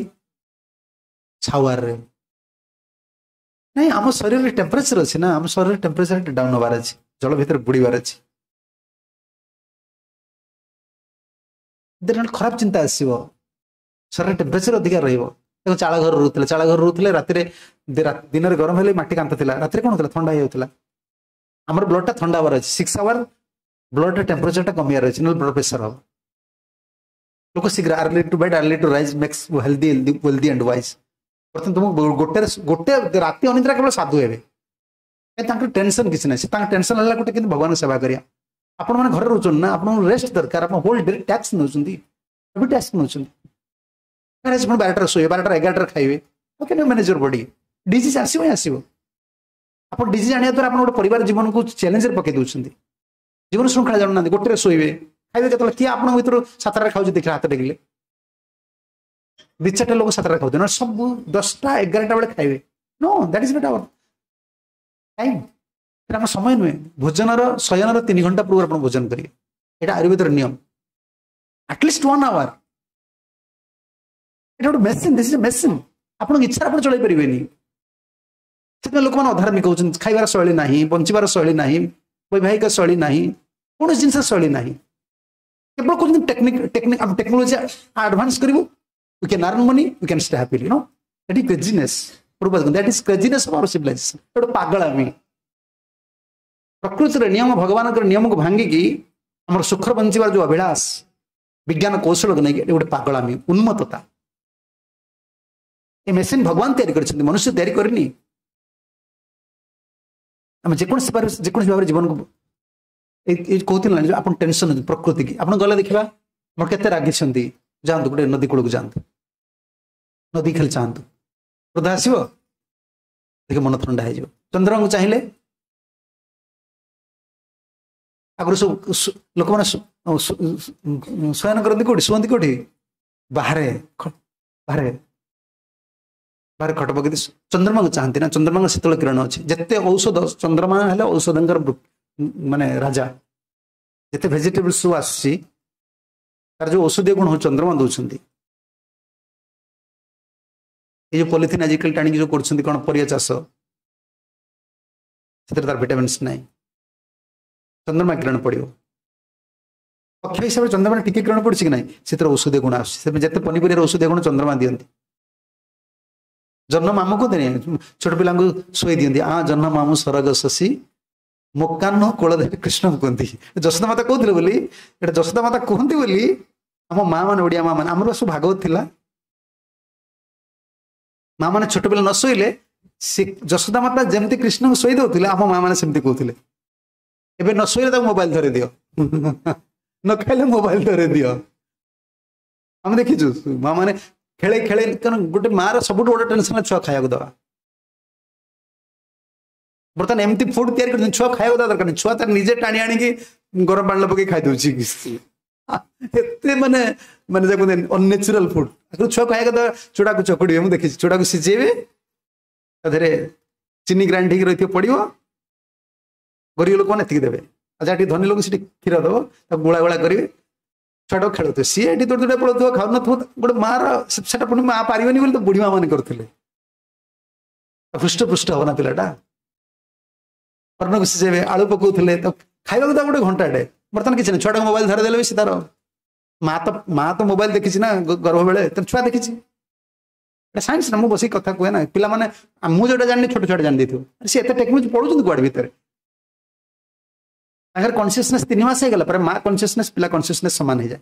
ସାୱାରରେ ନାଇଁ ଆମ ଶରୀରରେ ଟେମ୍ପରେଚର ଅଛି ନା ଆମ ଶରୀରରେ ଟେମ୍ପରେଚର ଡାଉନ୍ ହବାର ଅଛି ଜଳ ଭିତରେ ବୁଡ଼ିବାର ଅଛି ଖରାପ ଚିନ୍ତା ଆସିବ ଶରୀରରେ ଟେମ୍ପରେଚର ଅଧିକା ରହିବ ଦେଖ ଚାଳ ଘର ରହୁଥିଲେ ଚାଳ ଘର ରହୁଥିଲେ ରାତିରେ ଦିନରେ ଗରମ ହେଲେ ମାଟି କାନ୍ଥ ଥିଲା ରାତିରେ କ'ଣ ହଉଥିଲା ଥଣ୍ଡା ହେଇଯାଉଥିଲା ଆମର ବ୍ଲଡଟା ଥଣ୍ଡା ହବାର ଅଛି ସିକ୍ସ ଆୱାର ବ୍ଲଡର ଟେମ୍ପରେଚରଟା କମିବାର ଅଛି ନହେଲେ ବ୍ଲଡ ପ୍ରେସର ହବ ଲୋକ ଶୀଘ୍ର early to bed early to rise makes healthy wealthy and wise ବର୍ତ୍ତମାନ ତୁମକୁ ଗୋଟେ ଗୋଟେ ରାତି ଅନିଦ୍ରା କେବଳ ସାଧୁ ହେବେ ତାଙ୍କର ଟେନସନ୍ କିଛି ନାହିଁ। ସେ ତାଙ୍କ ଟେନସନ୍ ହେଲା ଗୋଟେ କିନ୍ତୁ ଭଗବାନଙ୍କ ସେବା କରିବା। ଆପଣମାନେ ଘରେ ରହୁଛନ୍ତି ନା, ଆପଣଙ୍କୁ ରେଷ୍ଟ ଦରକାର। ଆପଣ ହୋଲ୍ ଡେ ଟ୍ୟାକ୍ସ ନେଉଛନ୍ତି, ଏବେ ଟ୍ୟାକ୍ସ ନେଉଛନ୍ତି। ଆପଣ ବାରଟାରେ ଶୋଇବେ, ବାରଟା ଏଗାରଟାରେ ଖାଇବେ। Can you manage your body? Disease ଆସିବ ହିଁ ଆସିବ। ଆପଣ ଡିଜିଜ୍ ଆଣିବା ଦ୍ୱାରା ଆପଣ ଗୋଟେ ପରିବାର ଜୀବନକୁ ଚ୍ୟାଲେଞ୍ଜରେ ପକେଇ ଦେଉଛନ୍ତି। ଜୀବନ ଶୃଙ୍ଖଳା ଜାଣୁନାହାନ୍ତି। ଗୋଟେରେ ଶୋଇବେ, ଖାଇବେ କେତେବେଳେ? କିଏ ଆପଣଙ୍କ ଭିତରୁ ସାତଟାରେ ଖାଉଛି ଦେଖିଲେ ହାତ ଟେକିଲେ? ଦି ଚାରିଟା ଲୋକ ସାତଟାରେ ଖାଉଛନ୍ତି, ନହେଲେ ସବୁ ଦଶଟା ଏଗାରଟା ବେଳେ ଖାଇବେ। No, that is not our time. ସେଟା ଆମ ସମୟ ନୁହେଁ। ଭୋଜନର ଶୟନର ତିନି ଘଣ୍ଟା ପୂର୍ବରୁ ଆପଣ ଭୋଜନ କରିବେ, ଏଇଟା ଆୟୁର୍ବେଦର ନିୟମ। At least one hour. ଏଇଟା ଗୋଟେ ମେସିନ୍, this is machine. ଆପଣଙ୍କ ଇଚ୍ଛାରେ ଆପଣ ଚଳେଇ ପାରିବେନି। ସେଥିପାଇଁ ଲୋକମାନେ ଅଧାର୍ମିକ ହଉଛନ୍ତି। ଖାଇବାର ଶୈଳୀ ନାହିଁ, ବଞ୍ଚିବାର ଶୈଳୀ ନାହିଁ, ବୈବାହିକ ଶୈଳୀ ନାହିଁ, କୌଣସି ଜିନିଷ ଶୈଳୀ ନାହିଁ। କେବଳ କହୁଛନ୍ତି ଟେକ୍ନିକ ଟେକ୍ନିକ, ଆମେ ଟେକ୍ନୋଲୋଜି ଆଡଭାନ୍ସ କରିବୁ, we can earn money, we can stay happily. No, that is craziness. That is craziness of our civilization. ଗୋଟେ ପାଗଳାମି। ପ୍ରକୃତିର ନିୟମ, ଭଗବାନଙ୍କର ନିୟମକୁ ଭାଙ୍ଗିକି ଆମର ସୁଖର ବଞ୍ଚିବାର ଯୋଉ ଅଭିଳାଷ ବିଜ୍ଞାନ କୌଶଳକୁ ନେଇକି, ଏଠି ଗୋଟେ ପାଗଳାମି, ଉନ୍ମତ୍ତତା। ଏ ମେସିନ୍ ଭଗବାନ ତିଆରି କରିଛନ୍ତି, ମନୁଷ୍ୟ ତିଆରି କରିନି। ଆମେ ଯେକୌଣସି ଯେକୌଣସି ଭାବରେ ଜୀବନକୁ ଏଇ କହୁଥିଲେ ନା, ଆପଣ ଟେନସନ ପ୍ରକୃତି କି ଆପଣ ଗଲେ ଦେଖିବା ଆପଣ କେତେ ରାଗିଛନ୍ତି। ଯାଆନ୍ତୁ, ଗୋଟେ ନଦୀ କୂଳକୁ ଯାଆନ୍ତୁ, ନଦୀ ଖାଲି ଚାହାନ୍ତୁ, କ୍ରୋଧ ଆସିବ ଦେଖେ, ମନ ଥଣ୍ଡା ହେଇଯିବ। ଚନ୍ଦ୍ରଙ୍କୁ ଚାହିଁଲେ, ଆଗରୁ ସବୁ ଲୋକମାନେ ଶୟନ କରନ୍ତି କୋଉଠି, ଶୁଅନ୍ତି କୋଉଠି? ବାହାରେ, ବାହାରେ ବାହାରେ ଖଟ ପକେଇ ଚନ୍ଦ୍ରମାକୁ ଚାହାନ୍ତି ନା। ଚନ୍ଦ୍ରମାଙ୍କ ଶୀତଳ କିରଣ ଅଛି। ଯେତେ ଔଷଧ, ଚନ୍ଦ୍ରମା ହେଲେ ଔଷଧଙ୍କର ମାନେ ରାଜା। ଯେତେ ଭେଜିଟେବଲ ସବୁ ଆସୁଛି, ତାର ଯୋଉ ଔଷଧୀୟ ଗୁଣ ହଉଛି ଚନ୍ଦ୍ରମା ଦଉଛନ୍ତି। ଏଇ ଯୋଉ ପଲିଥିନ୍ ଆଜିକାଲି ଟାଣିକି ଯୋଉ କରୁଛନ୍ତି କ'ଣ ପରିବା ଚାଷ, ସେଥିରେ ତାର ଭିଟାମିନ୍ସ ନାହିଁ। ଚନ୍ଦ୍ରମା କିରଣ ପଡ଼ିବ, ପକ୍ଷ ହିସାବରେ ଚନ୍ଦ୍ରମା ଟିକେ କିରଣ ପଡୁଛି କି ନାହିଁ, ସେଥିରେ ଔଷଧୀୟ ଗୁଣ ଆସୁଛି। ସେଥିପାଇଁ ଯେତେ ପନିପରିବାର ଔଷଧୀୟ ଗୁଣ ଚନ୍ଦ୍ରମା ଦିଅନ୍ତି। ଜହ୍ନ ମାମୁଁ କୁହନ୍ତିନି, ଛୋଟ ପିଲାଙ୍କୁ ଶୋଇ ଦିଅନ୍ତି, ଆ ଜହ୍ନ ମାମୁଁ ସରଗ ଶଶୀ ମୋକାହ୍ନ କୋଳ। କୃଷ୍ଣ କୁହନ୍ତି, ଯଶୋଦା ମାତା କହୁଥିଲେ ବୋଲି, ଏଇଟା ଯଶୋଦା ମାତା କୁହନ୍ତି ବୋଲି ଆମ ମା ମାନେ, ଓଡ଼ିଆ ମା ମାନେ, ଆମର ସବୁ ଭାଗବତ ଥିଲା। ମା ମାନେ ଛୋଟ ପିଲା ନ ଶୋଇଲେ ସେ ଯଶୋଦା ମାତା ଯେମିତି କୃଷ୍ଣଙ୍କୁ ଶୋଇ ଦଉଥିଲେ, ଆମ ମା ମାନେ ସେମିତି କହୁଥିଲେ। ଏବେ ନ ଶୋଇଲେ ତାକୁ ମୋବାଇଲ ଧରେଇ ଦିଅ, ନ ଖାଇଲେ ମୋବାଇଲ ଧରେଇ ଦିଅ। ଆମେ ଦେଖିଛୁ ମା ମାନେ ଖେଳେ ଖେଳେ, କାରଣ ଗୋଟେ ମାର ସବୁଠୁ ବଡ ଟେନସନ ଛୁଆ ଖାଇବାକୁ ଦେବା। ବର୍ତ୍ତମାନ ଏମିତି ଫୁଡ ତିଆରି କରୁଛନ୍ତି, ଛୁଆ ଖାଇବାକୁ ଦେବା ଦରକାର ନାହିଁ, ଛୁଆ ତାର ନିଜେ ଟାଣି ଆଣିକି ଗରମ ପାଣିରେ ପକେଇ ଖାଇଦଉଛି। ଏତେ ମାନେ ମାନେ ଯାକୁ ଅନନେଚୁରାଲ ଫୁଡ। ଆଗରୁ ଛୁଆ ଖାଇବାକୁ ଦେବା, ଚୁଡ଼ାକୁ ଚକୁଡ଼ିବେ, ମୁଁ ଦେଖିଛି, ଚୁଡ଼ାକୁ ସିଝେଇବେ, ତା ଦେହରେ ଚିନି ଗ୍ରାଇଣ୍ଡ ହେଇକି ରହିଥିବ ପଡ଼ିବ। ଗରିବ ଲୋକମାନେ ଏତିକି ଦେବେ, ଆଉ ଯାହା ଟିକେ ଧନୀ ଲୋକ ସେଠି କ୍ଷୀର ଦେବ, ତାକୁ ଗୋଳା ଗୋଳା କରିବେ, ଛୁଆଟାକୁ ଖେଳୁଥିବେ, ସିଏ ଏଠି ଦୌଡ଼ି ଦୌଡ଼ି ପଳଉଥିବ, ଖାଉନଥିବ। ଗୋଟେ ମାର ସେଟା ପୁଣି ମା ପାରିବନି ବୋଲି ତ ବୁଢ଼ୀ ମା ମାନେ କରୁଥିଲେ। ହୃଷ୍ଟ ପୃଷ୍ଟ ହବ ନା ପିଲାଟା। କର୍ଣ୍ଣକୁ ସିଝେଇବେ, ଆଳୁ ପକଉଥିଲେ, ତ ଖାଇବାକୁ ତାକୁ ଗୋଟେ ଘଣ୍ଟାଟେ। ବର୍ତ୍ତମାନ କିଛି ନାହିଁ, ଛୁଆଟାକୁ ମୋବାଇଲ ଧରେଇ ଦେଲେ ବି ସେ ତାର ମା ତ ମା ତ ମୋବାଇଲ ଦେଖିଛି ନା ଗର୍ଭ ବେଳେ, ତେଣୁ ଛୁଆ ଦେଖିଛି। ଏଟା ସାଇନ୍ସ ନା, ମୁଁ ବସିକି କଥା କୁହେ ନା। ପିଲାମାନେ, ମୁଁ ଯୋଉଟା ଜାଣିନି ଛୋଟ ଛୁଆଟା ଜାଣି ଦେଇଥିବ। ସେ ଏତେ ଟେକ୍ନୋଲୋଜି ପଢୁଛନ୍ତି କୁଆଡେ ଭିତରେ? ତାଙ୍କର କନସିୟସନେସ୍ ତିନି ମାସ ହେଇଗଲା ପରେ ମା କନସିୟସନେସ୍, ପିଲା କନସିୟସନେସ୍ ସମାନ ହେଇଯାଏ।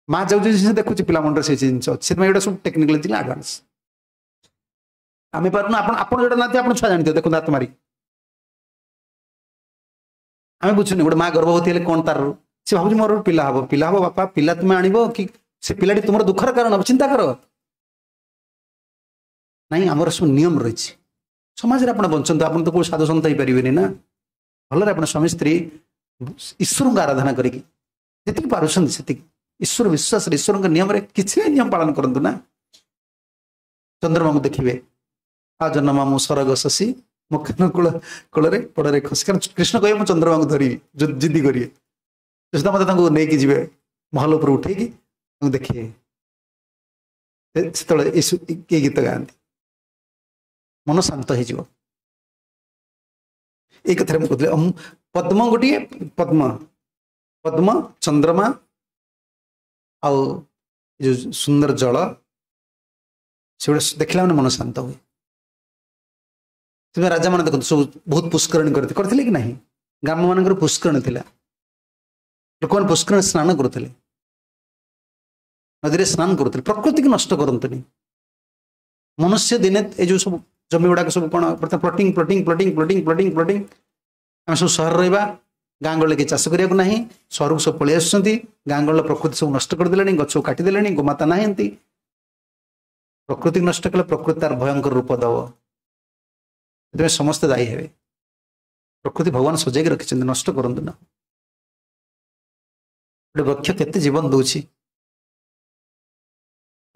ମା ଯୋଉ ଜିନିଷ ଦେଖୁଛି, ପିଲା ମୁଣ୍ଡରେ ସେଇ ଜିନିଷ ଅଛି। ସେଥିପାଇଁ ଏଇଟା ସବୁ ଟେକ୍ନିକାଲି ଆଡଭାନ୍ସ। ଆମେ ପାରୁନୁ। ଆପଣ ଆପଣ ଯୋଉଟା ନାହାନ୍ତି, ଆପଣ ଛୁଆ ଜାଣିଥିବ, ଦେଖନ୍ତୁ ହାତ ମାରି। ଆମେ ବୁଝୁନି ଗୋଟେ ମା ଗର୍ଭବତୀ ହେଲେ କ'ଣ ତାର ସେ ଭାବୁଛି, ମୋର ପିଲା ହବ, ପିଲା ହବ। ବାପା, ପିଲା ତୁମେ ଆଣିବ କି ସେ ପିଲାଟି ତୁମର ଦୁଃଖର କାରଣ ହବ, ଚିନ୍ତା କର। ନାଇଁ, ଆମର ସବୁ ନିୟମ ରହିଛି ସମାଜରେ। ଆପଣ ବଞ୍ଚନ୍ତୁ, ଆପଣ ତ କୋଉ ସାଧୁ ସନ୍ଥ ହେଇପାରିବେନି ନା। ଭଲରେ ଆପଣ ସ୍ୱାମୀ ସ୍ତ୍ରୀ ଈଶ୍ୱରଙ୍କୁ ଆରାଧନା କରିକି ଯେତିକି ପାରୁଛନ୍ତି ସେତିକି ଈଶ୍ୱର ବିଶ୍ୱାସରେ, ଈଶ୍ୱରଙ୍କ ନିୟମରେ କିଛି ନିୟମ ପାଳନ କରନ୍ତୁ ନା। ଚନ୍ଦ୍ରମାକୁ ଦେଖିବେ, ଆ ଜହ୍ନ ମାମୁଁ ସରଗ ଶଶୀ ମୁଖାନ କୂଳ କୂଳରେ ପଡ଼ରେ ଖସି। କାରଣ କୃଷ୍ଣ କହିବେ, ମୁଁ ଚନ୍ଦ୍ରମାକୁ ଧରିବି, ଜିଦ୍ଦି କରିବେ। ଯଶୋଦା ମାତା ତାଙ୍କୁ ନେଇକି ଯିବେ, ମହଲ ଉପରେ ଉଠେଇକି ତାଙ୍କୁ ଦେଖିବେ। ସେତେବେଳେ ଏଇ ଗୀତ ଗାଆନ୍ତି, ମନ ଶାନ୍ତ ହେଇଯିବ। ଏଇ କଥାରେ ମୁଁ କହୁଥିଲି, ପଦ୍ମ ଗୋଟିଏ, ପଦ୍ମ ପଦ୍ମ ଚନ୍ଦ୍ରମା ଆଉ ଯୋଉ ସୁନ୍ଦର ଜଳ, ସେଗୁଡ଼ା ଦେଖିଲା ମାନେ ମନ ଶାନ୍ତ ହୁଏ। ସେଥିପାଇଁ ରାଜାମାନେ ଦେଖନ୍ତୁ ସବୁ ବହୁତ ପୁଷ୍କରଣୀ କରିଥିଲେ, କରିଥିଲେ କି ନାହିଁ? ଗ୍ରାମମାନଙ୍କର ପୁଷ୍କରଣୀ ଥିଲା, ଲୋକମାନେ ପୁଷ୍କରଣୀ ସ୍ନାନ କରୁଥିଲେ, ନଦୀରେ ସ୍ନାନ କରୁଥିଲେ। ପ୍ରକୃତିକୁ ନଷ୍ଟ କରନ୍ତୁନି ମନୁଷ୍ୟ। ଦିନେ ଏ ଯୋଉ ସବୁ ଜମି ଗୁଡ଼ାକ ସବୁ କ'ଣ ବର୍ତ୍ତମାନ plotting plotting plotting plotting plotting plotting ଆମେ ସବୁ ସହର ରହିବା ଗାଁ ଗହଳିରେ କେହି ଚାଷ କରିବାକୁ ନାହିଁ ସହରକୁ ସବୁ ପଳେଇ ଆସୁଛନ୍ତି ଗାଁ ଗହଳିର ପ୍ରକୃତି ସବୁ ନଷ୍ଟ କରିଦେଲେଣି ଗଛକୁ କାଟିଦେଲେଣି ଗୋମାତା ନାହାନ୍ତି ପ୍ରକୃତିକୁ ନଷ୍ଟ କଲେ ପ୍ରକୃତି ତାର ଭୟଙ୍କର ରୂପ ଦେବ ସେଥିପାଇଁ ସମସ୍ତେ ଦାୟୀ ହେବେ ପ୍ରକୃତି ଭଗବାନ ସଜେଇକି ରଖିଛନ୍ତି ନଷ୍ଟ କରନ୍ତୁ ନା ଗୋଟେ ବୃକ୍ଷ କେତେ ଜୀବନ ଦଉଛି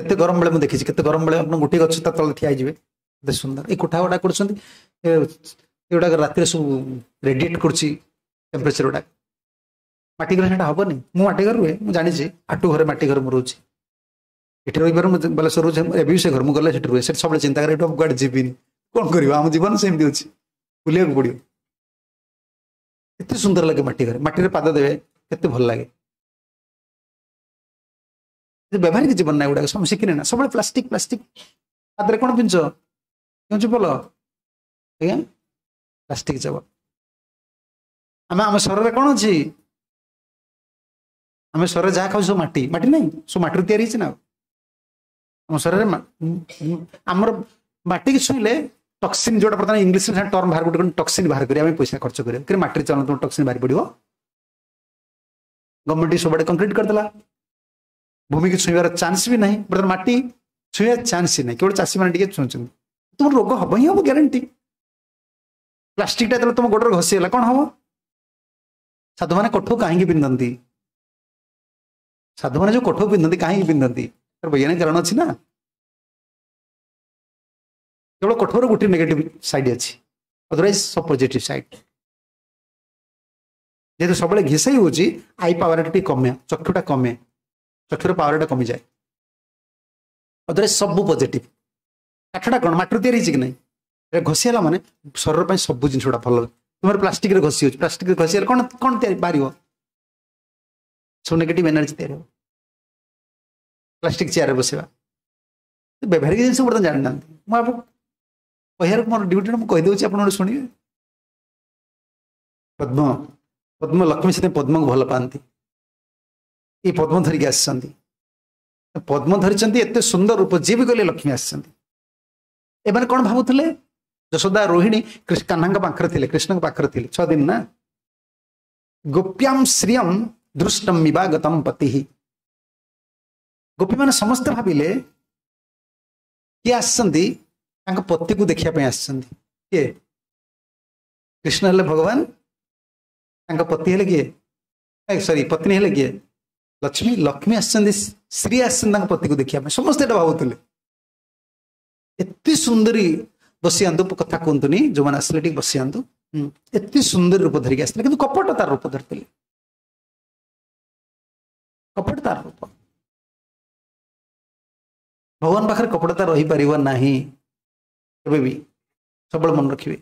କେତେ ଗରମ ବେଳେ ମୁଁ ଦେଖିଛି କେତେ ଗରମ ବେଳେ ଆପଣ ଗୋଟିଏ ଗଛ ତା ତଳେ ଠିଆ ହେଇଯିବେ କେତେ ସୁନ୍ଦର ଏଇ କୋଠା ଗୁଡ଼ା କରୁଛନ୍ତି ଏଗୁଡ଼ାକ ରାତିରେ ସବୁ ରେଡିଏଟ୍ କରୁଛି ଟେମ୍ପରେଚର ଗୁଡ଼ାକ ମାଟି ଘରେ ସେଇଟା ହବନି ମୁଁ ମାଟି ଘରେ ରୁହେ ମୁଁ ଜାଣିଛି ଆଟୁ ଘରେ ମାଟି ଘରେ ମୁଁ ରହୁଛି ଏଠି ରହିବାରୁ ମୁଁ ବାଲେଶ୍ୱର ରହୁଛି ଏବେ ବି ସେ ଘର ମୁଁ ଗଲେ ସେଠି ରୁହେ ସେଠି ସବୁବେଳେ ଚିନ୍ତା କରେ ଏଠୁ କୁଆଡ଼େ ଯିବିନି କ'ଣ କରିବ ଆମ ଜୀବନ ସେମିତି ଅଛି ବୁଲିବାକୁ ପଡ଼ିବ କେତେ ସୁନ୍ଦର ଲାଗେ ମାଟି ଘରେ ମାଟିରେ ପାଦ ଦେବେ କେତେ ଭଲ ଲାଗେ ବ୍ୟବହାରିକ ଜୀବନ ନା ଏଗୁଡ଼ାକ ସବୁ ଶିଖିନେ ନା ସବୁବେଳେ ପ୍ଲାଷ୍ଟିକ ପ୍ଲାଷ୍ଟିକ ପାଦରେ କ'ଣ ପିନ୍ଧୁଛ କେଉଁ ଚପଲ ଆଜ୍ଞା ପ୍ଲାଷ୍ଟିକ ଚପଲ ଆମେ ଆମ ଶରୀରରେ କ'ଣ ଅଛି ଆମେ ଶରୀରରେ ଯାହା ଖାଉଛୁ ସବୁ ମାଟି ମାଟି ନାହିଁ ସବୁ ମାଟିରୁ ତିଆରି ହେଇଛି ନା ଆମ ଶରୀରରେ ଆମର ମାଟିକି ଛୁଇଁଲେ ଟକ୍ସିନ୍ ଯୋଉଟା ବର୍ତ୍ତମାନ ଇଂଲିଶରେ ଟର୍ମ ବାହାର ଗୋଟେ ଟକ୍ସିନ୍ ବାହାର କରିବା ଆମେ ପଇସା ଖର୍ଚ୍ଚ କରିବା କିନ୍ତୁ ମାଟିରେ ଚାଲନ୍ତୁ ତୁମ ଟକ୍ସିନ୍ ବାହାରି ପଡ଼ିବ ଗଭର୍ଣ୍ଣମେଣ୍ଟ ସବୁଆଡ଼େ କଂକ୍ରିଟ କରିଦେଲା ଭୂମିକୁ ଛୁଇଁବାର ଚାନ୍ସ ବି ନାହିଁ ବର୍ତ୍ତମାନ ମାଟି ଛୁଇଁବା ଚାନ୍ସ ହିଁ ନାହିଁ କେବଳ ଚାଷୀମାନେ ଟିକେ ଛୁଉଁଛନ୍ତି ତୁମର ରୋଗ ହବ ହିଁ ହବ ଗ୍ୟାରେଣ୍ଟି ପ୍ଲାଷ୍ଟିକଟା ଯେତେବେଳେ ତୁମ ଗୋଡ଼ରେ ଘଷିଗଲା କ'ଣ ହବ ସାଧୁମାନେ କଠଉ କାହିଁକି ପିନ୍ଧନ୍ତି ସାଧୁମାନେ ଯୋଉ କଠଉ ପିନ୍ଧନ୍ତି କାହିଁକି ପିନ୍ଧନ୍ତି ତାର ବୈଜ୍ଞାନିକ କାରଣ ଅଛି ନା କେବଳ କଠଉର ଗୋଟିଏ ନେଗେଟିଭ ସାଇଡ୍ ଅଛି ଅଦରୱାଇଜ ସବୁ ପଜିଟିଭ ସାଇଡ୍ ଯେହେତୁ ସବୁବେଳେ ଘିସେଇ ହେଉଛି I ପାୱାରଟା ଟିକେ କମେ ଚକ୍ଷୁଟା କମେ ଚକ୍ଷୁର ପାୱାରଟା କମିଯାଏ ଅଦରୱାଇଜ ସବୁ ପଜିଟିଭ କାଠଟା କ'ଣ ମାଟିରୁ ତିଆରି ହେଇଛି କି ନାହିଁ ଏଟା ଘଷି ହେଲା ମାନେ ଶରୀର ପାଇଁ ସବୁ ଜିନିଷ ଗୁଡ଼ା ଭଲ ତୁମର ପ୍ଲାଷ୍ଟିକରେ ଘଷି ହେଉଛି ପ୍ଲାଷ୍ଟିକରେ ଘଷି ହେଲେ କ'ଣ କ'ଣ ତିଆରି ବାହାରିବ ସବୁ ନେଗେଟିଭ ଏନର୍ଜି ତିଆରି ହେବ ପ୍ଲାଷ୍ଟିକ ଚେୟାରରେ ବସିବା ବ୍ୟବହାରିକ ଜିନିଷ ବର୍ତ୍ତମାନ ଜାଣିନାହାନ୍ତି ମୁଁ ଆପଣ କହିବାର ମୋର ଡ୍ୟୁଟିଟା ମୁଁ କହିଦେଉଛି ଆପଣ ଗୋଟେ ଶୁଣିବେ ପଦ୍ମ ପଦ୍ମ ଲକ୍ଷ୍ମୀ ସେଥିପାଇଁ ପଦ୍ମକୁ ଭଲ ପାଆନ୍ତି ଏଇ ପଦ୍ମ ଧରିକି ଆସିଛନ୍ତି ପଦ୍ମ ଧରିଛନ୍ତି ଏତେ ସୁନ୍ଦର ରୂପ ଯିଏ ବି କହିଲେ ଲକ୍ଷ୍ମୀ ଆସିଛନ୍ତି ଏମାନେ କ'ଣ ଭାବୁଥିଲେ ଯଶୋଦା ରୋହିଣୀ କାହ୍ନାଙ୍କ ପାଖରେ ଥିଲେ କୃଷ୍ଣଙ୍କ ପାଖରେ ଥିଲେ ଛଅ ଦିନ ନା ଗୋପ୍ୟାମ ଶ୍ରିୟମ ଦୃଷ୍ଟମ ଇବାଗତମ ପତି ଗୋପୀମାନେ ସମସ୍ତେ ଭାବିଲେ କିଏ ଆସିଛନ୍ତି ତାଙ୍କ ପତିକୁ ଦେଖିବା ପାଇଁ ଆସିଛନ୍ତି କିଏ କୃଷ୍ଣ ହେଲେ ଭଗବାନ ତାଙ୍କ ପତି ହେଲେ କିଏ ସରି ପତ୍ନୀ ହେଲେ କିଏ ଲକ୍ଷ୍ମୀ ଲକ୍ଷ୍ମୀ ଆସିଛନ୍ତି ଶ୍ରୀ ଆସିଛନ୍ତି ତାଙ୍କ ପତିକୁ ଦେଖିବା ପାଇଁ ସମସ୍ତେ ଏଇଟା ଭାବୁଥିଲେ ଏତେ ସୁନ୍ଦରୀ ବସିଯାଆନ୍ତୁ କଥା କୁହନ୍ତୁନି ଯୋଉମାନେ ଆସିଲେ ଟିକେ ବସିଯାଆନ୍ତୁ ଏତେ ସୁନ୍ଦର ରୂପ ଧରିକି ଆସିଥିଲେ କିନ୍ତୁ କପଟ ତାର ରୂପ ଧରିଥିଲେ କପଟ ତାର ରୂପ ଭଗବାନ ପାଖରେ କପଟତା ରହିପାରିବ ନାହିଁ କେବେ ବି ସବୁବେଳେ ମନେ ରଖିବେ